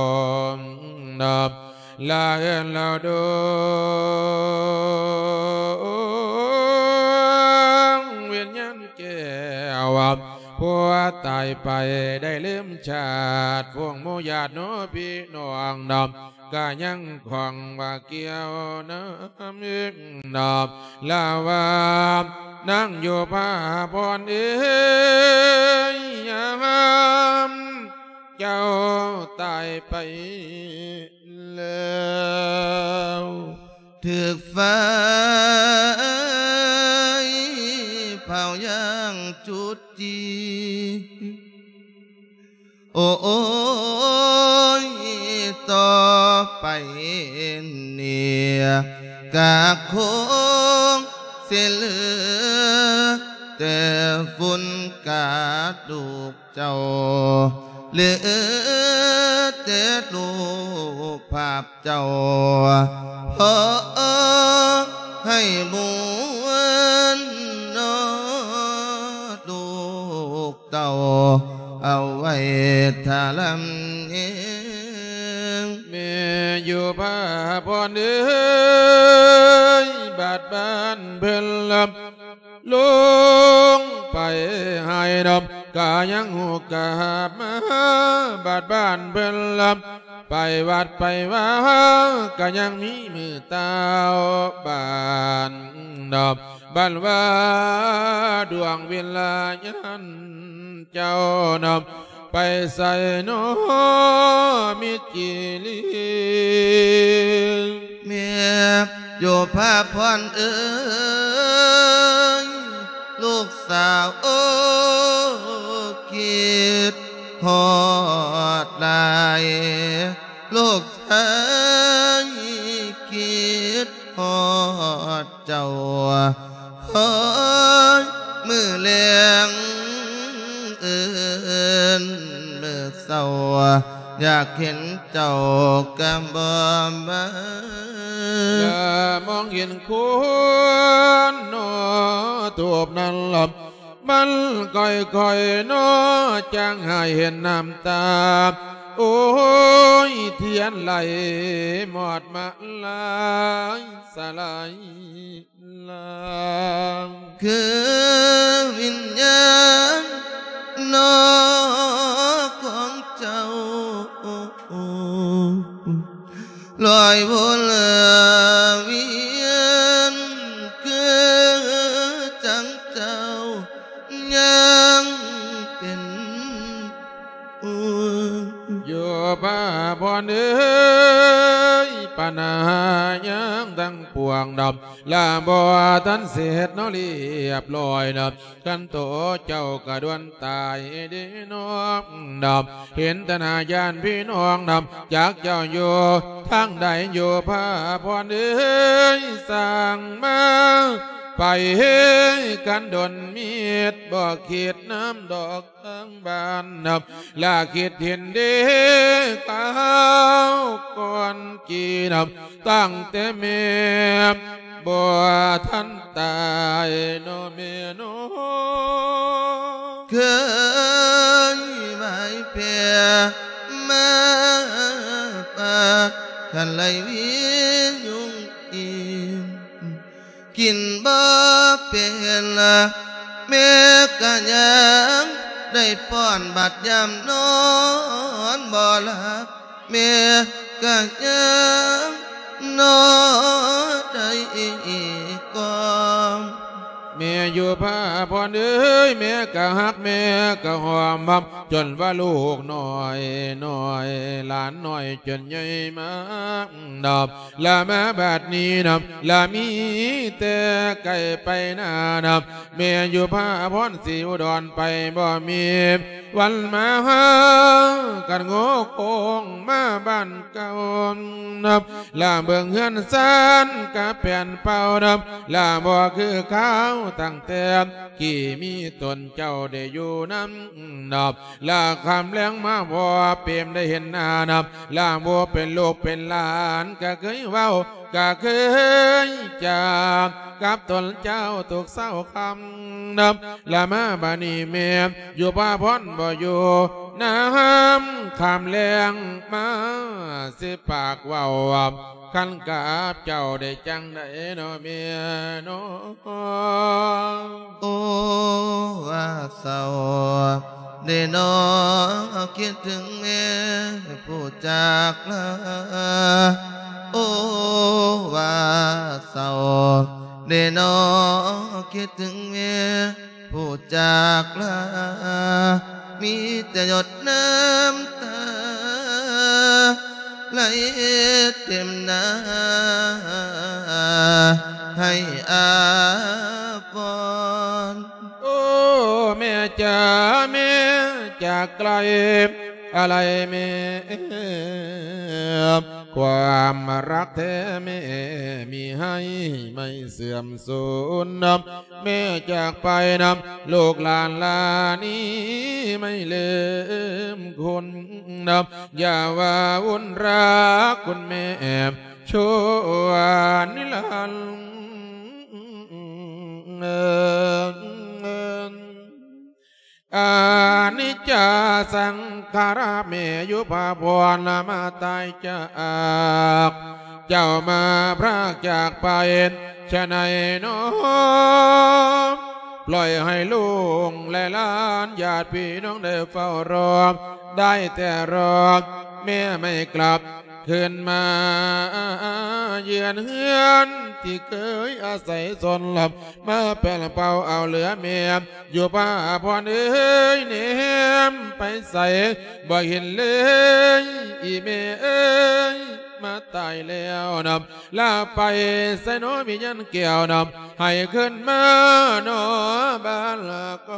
ລະເອີ້ນລະດວງວິນຍານແກ້ວ ຜູ້ຕາຍໄປໄດ້ລືມຊາດ ພວກໝູ່ຍາດໂນພີ່ນ້ອງນຳ ກະຍັງຂ້ອງວ່າກ່ຽວນຳອີກນຳ ລາວານາງຢູ່ພາພອນເອີຍ ຍາມເຈົ້າຕາຍໄປແລ້ວ ຖືກໄຟເຜົາຢ່າງຈຸດຈີ ໂອ້ຍ ຕໍ່ໄປນີ້ກະຄົງຊິເຫຼືອແຕ່ຝຸ່ນກາດລູກເຈົ້າ ເຫຼືອແຕ່ຮູບພາບ ເຈົ້າ ຂໍໃຫ້ມວນເນາະ ລູກເຕົ້າເອົາໄວ້ຖ້າລຳເອງ ແມ່ຢູ່ພາພອນເອີຍ ບາດບ້ານເພິ່ນລຳ ລົງໄປໃຫ້ດອມ ກະຍັງຫູກາບມາ ບາດບ້ານເພິ່ນລຳ ໄປວັດໄປວາ ກະຍັງມີມືຕາວບ້ານດອມ ບັນວ່າດວງວິນຍານເຈົ້ານຳ ໄປໃສເນາະ ມິດຈີລີ ແມ່ຢູ່ພາພອນເອີຍ ລູກສາວ ໂອ້ ຄິດຮອດຫຼາຍ ລູກຊາຍຄິດຮອດ ເຈົ້າ ເຮີຍ ມື້ແລງເອີ້ນມື້ເຊົ້າ ຢາກເຫັນເຈົ້າກະບໍ່ມາ ຢ່າມອງເຫັນຄົນເນາະ ທູບນັ້ນລະ ມັນຄ່ອຍໆເນາະ ຈັ່ງໃຫ້ເຫັນນ້ຳຕາ ໂອ້ຍ ທຽນໄຫຼມອດມາລາຍສະຫຼາຍ ລາງ ຄືວິນຍານເນາະຂອງເຈົ້າ ລອຍວົນວຽນ ຄືຈັ່ງເຈົ້າຍັງເປັນ ຢູ່ພາພອນເອີຍ ບັນຫາຫຍັງທັງປວງດອກ ລະບໍ່ທັນເສັດເນາະລຽບລ້ອຍນະ ຄັນໂຕເຈົ້າກະດ່ວນຕາຍເດ້ນ້ອງນະ ເຫັນຕະໜ້າຢ້ານພີ່ນ້ອງນະ ຈັກເຈົ້າຢູ່ທາງໃດ ຢູ່ພາພອນເອີຍ ສ້າງມາ ໄປກັນດົນມິດ ບໍ່ຄິດນຳດອກທາງບ້ານນຳ ລະຄິດເຫັນເດ້ຄາວກ່ອນກີນຳ ຕັ້ງແຕ່ແມ່ບໍ່ທັນຕາຍເນາະແມ່ເນາະ. ເຄີຍໄຫວ້ແຜ່ມາປາກ ຄັນໄຫຼວິຍຸງອີ່ມ ກິນບໍ່ເປັນລະ ແມ່ກະຍັງໄດ້ປ້ອນ ບັດຍາມນອນບໍ່ຫຼັບ ແມ່ກະຍັງນອນໄດ້ອີກກ່ອນ. ແມ່ຢູ່ພາພອນເອີຍ ແມ່ກະຮັກ ແມ່ກະຫອມ ຈົນວ່າລູກນ້ອຍນ້ອຍ ຫຼານນ້ອຍຈົນໃຫຍ່ມານຳ ລະມາບັດນີ້ນຳ ລະມີແຕ່ໄກໄປນານຳ ແມ່ຢູ່ພາພອນສີອຸດອນ ໄປບໍ່ມີວັນມາຫາກັນ ໂງ່ໂຄ້ງມາບ້ານເກົ່ານຳ ລະເບິ່ງເຮືອນຊານກະແປນເປົ່ານຳ ລະບໍ່ຄືຄາວຕັ້ງແຕ່ກີ້ ມີຕົນເຈົ້າໄດ້ຢູ່ນຳນຳ ລະຄ່ຳແລງມາພໍເປມໄດ້ເຫັນໜ້ານຳ ລະບໍ່ເປັນລູກເປັນຫຼານ ກະເຄີຍເວົ້າ ກະເຄີຍຈາກັບຕົນເຈົ້າທຸກເຊົ້າຄ່ຳນຳ ລະມາບາດນີ້ແມ່ຢູ່ພາພອນບໍ່ຢູ່ນຳ ຄ່ຳແລງມາຊິປາກເວົ້າ ຄັນກັບເຈົ້າໄດ້ຈັ່ງໃດເນາະແມ່ເນາະ. ໂອ້ ວ່າເສົ້າເດເນາະ ຄິດເຖິງແມ່ຜູ້ຈາກລາ ໂອ້ ວ່າເສົ້າເດເນາະ ຄິດເຖິງແມ່ ຜູ້ຈາກລາ ມີແຕ່ຢົດນ້ຳຕາໄຫຼເຕັມໜ້າ ໃຫ້ອາພອນ. ໂອ້ ແມ່ຈ໋າ ແມ່ຈາກໄກ ອາໄລແມ່ ຄວາມຮັກແທ້ແມ່ມີໃຫ້ໄມ່ເສື່ອມສູນນຳ ແມ່ຈາກໄປນຳ ລູກຫຼານລານີ້ໄມ່ລືມຄຸນນຳ ຢ່າວ່າວຸ່ນຮັກຄຸນແມ່ ຊົ່ວນິລັນດ໌. ອະນິດຈາສັງຂາຣະ ແມ່ຢູ່ພາພອນລະມາຕາຍຈາກ ເຈົ້າມາພຣາກຈາກໄປ ຊະໃນໜໍ ປ່ອຍໃຫ້ລູກແລະຫຼານ ຍາດພີ່ນ້ອງໄດ້ເຝົ້າລໍ ໄດ້ແຕ່ລໍແມ່ໄມ່ກັບ ຄືນມາເຍືອນເຮືອນທີ່ເຄີຍອາໄສຊົນ ມາແປນເປົ່າເອົາເຫຼືອແມ່ ຢູ່ພາພອນເອີຍ ແນມໄປໃສບໍ່ເຫັນເລີຍ ອີແມ່ເອີຍ ມາຕາຍແລ້ວນຳ ລາໄປໃສໜໍ ວິນຍານແກ້ວນຳ ໃຫ້ຄືນມາໜໍບ້ານລະກ່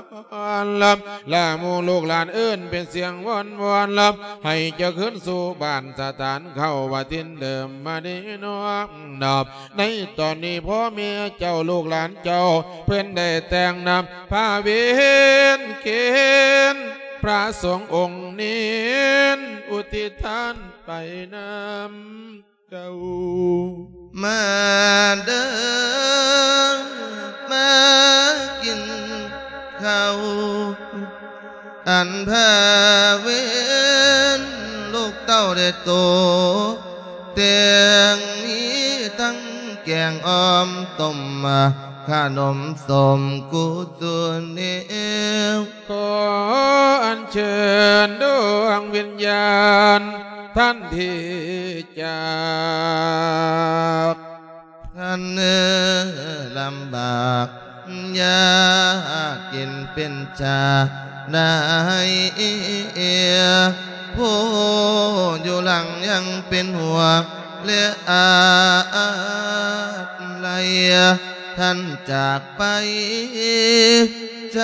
ອນລຳ ລະໝູ່ລູກຫຼານເອີ້ນເປັນສຽງວອນວອນລຳ ໃຫ້ເຈົ້າຄືນສູ່ບ້ານສະຖານເຂົ້າວ່າຖິ່ນເດີມມານີ້ນອກນອບ. ໃນຕອນນີ້ພໍ່ແມ່ເຈົ້າລູກຫຼານເຈົ້າ ເພິ່ນໄດ້ແຕ່ງນຳພາເວັນເຄນ ພະສົງອົງເນນ ອຸທິດທານໄປນຳ ເຈົ້າ ມາເດີ ມາກິນເຂົ້າ ອັນພາເວັນລູກເຕົ້າໄດ້ໂຕແຕ່ງ ມີທັງແກງອ່ອມຕົ້ມ ຂະໜົມສົ້ມກູຈຸນແນວ ຂໍອັນເຊີນດວງວິນຍານທ່ານທີ່ຈາກ ທ່ານເອີ ລຳບາກຍາກເຈັນເປັນຈາກໃດ ຜູ້ຢູ່ຫຼັງຍັງເປັນຫ່ວງ ແລະອາດໄລ ທ່ານຈາກໄປໃຈ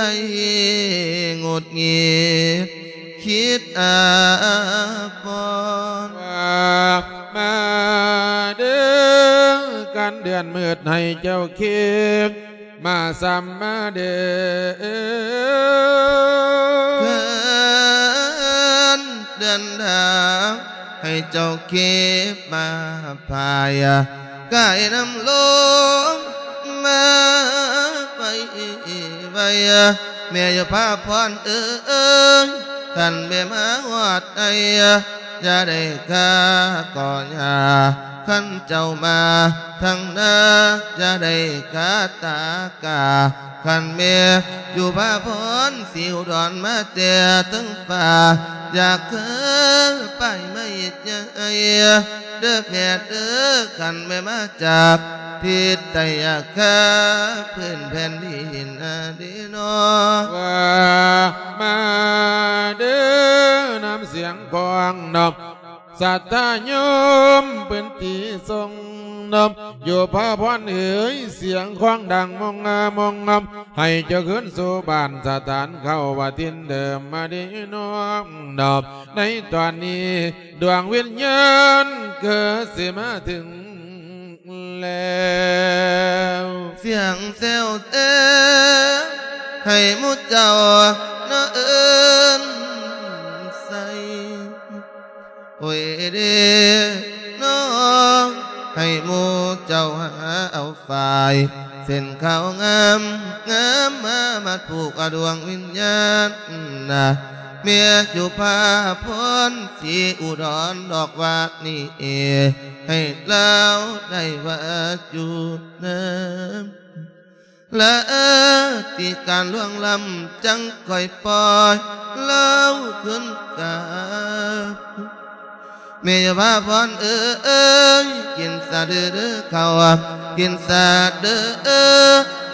ຫງຸດຫງິດ ຄິດອາພອນ ວ່າມາເດີ ນເດືອນມືດໃຫ້ເຈົ້າຄີບມາຊ້ຳມາເດີ ເກີນເດືອນດາວ ໃຫ້ເຈົ້າຄີບມາພາຍ ກາຍນຳລົມມາໄວໄວ ແມ່ຢູ່ພາພອນເອີຍ ຄັນແມ່ມາຮອດໃດ ຢ່າໄດ້ກາກໍຢ່າ ຄັນເຈົ້າມາທາງໜ້າ ຢ່າໄດ້ກາຕາກາ ຄັນແມ່ຢູ່ພາພອນສີອຸດອນມາແຕ່ເທິງຟ້າ ຢາກຄືປ້າຍໄມ້ໃຫຍ່ເດີແມ່ເດີ ຄັນແມ່ມາຈາກທິດໃຕ້ ຢ່າຄາພື້ນແຜ່ນດິນເດີນໍ ວ່າມາເດີນຳສຽງຂອງນອບ ສັດທາໂຍມເປັນທີ່ຊົງນອບ ຢູ່ພາພອນເອີຍ ສຽງຂອງດັງມົງງາມົງງາມ ໃຫ້ເຈົ້າຄືນສູ່ບ້ານສະຖານເກົ່າວ່າຖິ່ນເດີມມາດີນ້ອງນອບ ໃນຕອນນີ້ ດວງວິນຍານເກີດຊິມາເຖິງແລ້ວ ສຽງແຊວແຕ່ໃຫ້ໝູ່ເຈົ້ານະເອີ້ນໃສ່ ໂອ້ຍເດ້ນ້ອງ ໃຫ້ໝູ່ເຈົ້າຫາເອົາຝ້າຍເສັ້ນຂາວງາມງາມ ມາມັດຜູກອະດວງວິນຍານນະ ແມ່ຢູ່ພາພອນສີອຸດອນດອກວ່ານີ້ ໃຫ້ລາວໄດ້ວ່າຢູ່ນຳ ລາຕິການລ່ວງລ້ຳ ຈັ່ງຄ່ອຍປ່ອຍລາວຄືນກັບ ແມ່ຢ່າພາພອນເອີຍ ກິນສາເດີເດີເຂົ້າ ກິນສາເດີເອີ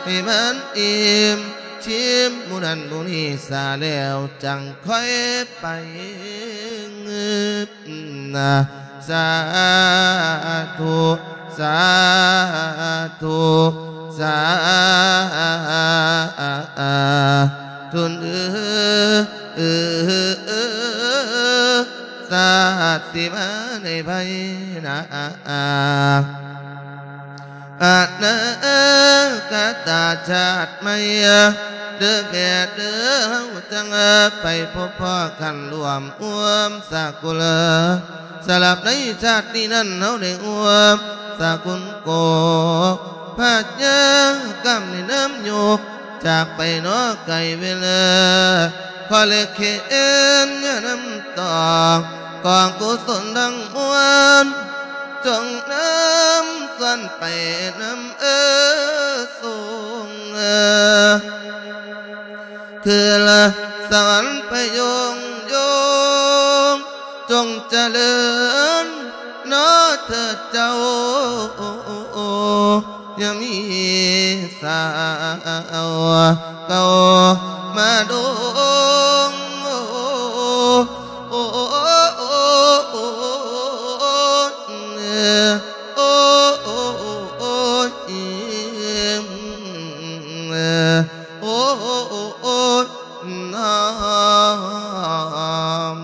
ໃຫ້ມັນອີ່ມ ຊິມໝູ່ນັ້ນໝູ່ນີ້ສາແລ້ວ ຈັ່ງຄ່ອຍໄປງຶບ ສາທຸ ສາທຸ ສາທຸ ເອີ ສາດຊິມາໃນໄພໜ້າ ອະນາຄະຕະຊາດໃໝ່ ເດີແມ່ເດີ ເຮົາຈັ່ງໄປພົບພໍ້ກັນ ຮ່ວມຮ່ວມສາກຸນ ສຳລັບໃນຊາດນີ້ນັ້ນ ເຮົາໄດ້ຮ່ວມສາກຸນໂກ ພະຍາກຳໃນນາມໂຍກ ຈາກໄປເນາະໄກເວລາ ຂໍເລກເຂນຍານຳຕອງ ກອງກຸສົນທັງມວນ ຈົ່ງນຳສ່ວນໄປນຳເອີ ສົ່ງເອີ ຄືລະສະຫວັນໄປໂຍງໂຍງ ຈົ່ງຈະເລີນເນາະເທີດເຈົ້າ ຢ່າມີສາວເກົ່າມາດົງ ໂອ້ ໂອ້ ໂອ້ ໂອ້ ໂອ້ ໂອ້ ໂອ້ ນອມ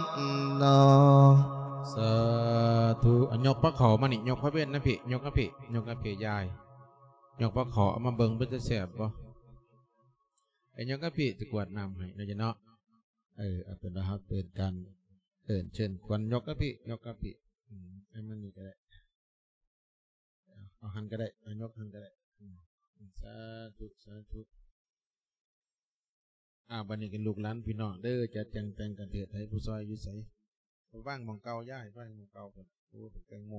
ນອມ ສາທຸ ອະ ຍົກພະເຂົ້າມານີ້ ຍົກພະເວັນນະພີ່ ຍົກມາພີ່ ຍົກມາພີ່ຍາຍ ຍົກພະເຂົ້າເອົາມາເບິ່ງ ເປັນຕາແຊບບໍ່? ເອີ ຍົກມາພີ່ ຈະກວດນ້ຳໃຫ້ເນາະ ເນາະ. ເອີ ເອົາເປັນວ່າເຮົາເປັນການເອີ້ນເຊີນຄວັນ ຍົກມາພີ່ ຍົກມາພີ່ ອືມ ເອົາມານີ້ກໍໄດ້ ເອົາ ເອົາຫັ້ນກໍໄດ້ ເອົາຍົກຫັ້ນກໍໄດ້ ອືມ ສາທຸ ສາທຸ. ອ້າວ ບັດນີ້ກໍລູກຫຼານພີ່ນ້ອງເດີ ຈະແຕ່ງ ແຕ່ງກັນເທດໃຫ້ ຜູ້ຊ່ອຍຢູ່ໃສ? ວາງໝ່ອງເກົ່າ ຍາຍ ວາງໝ່ອງເກົ່າ ໂອ້ ເປັນແຕງໂມ.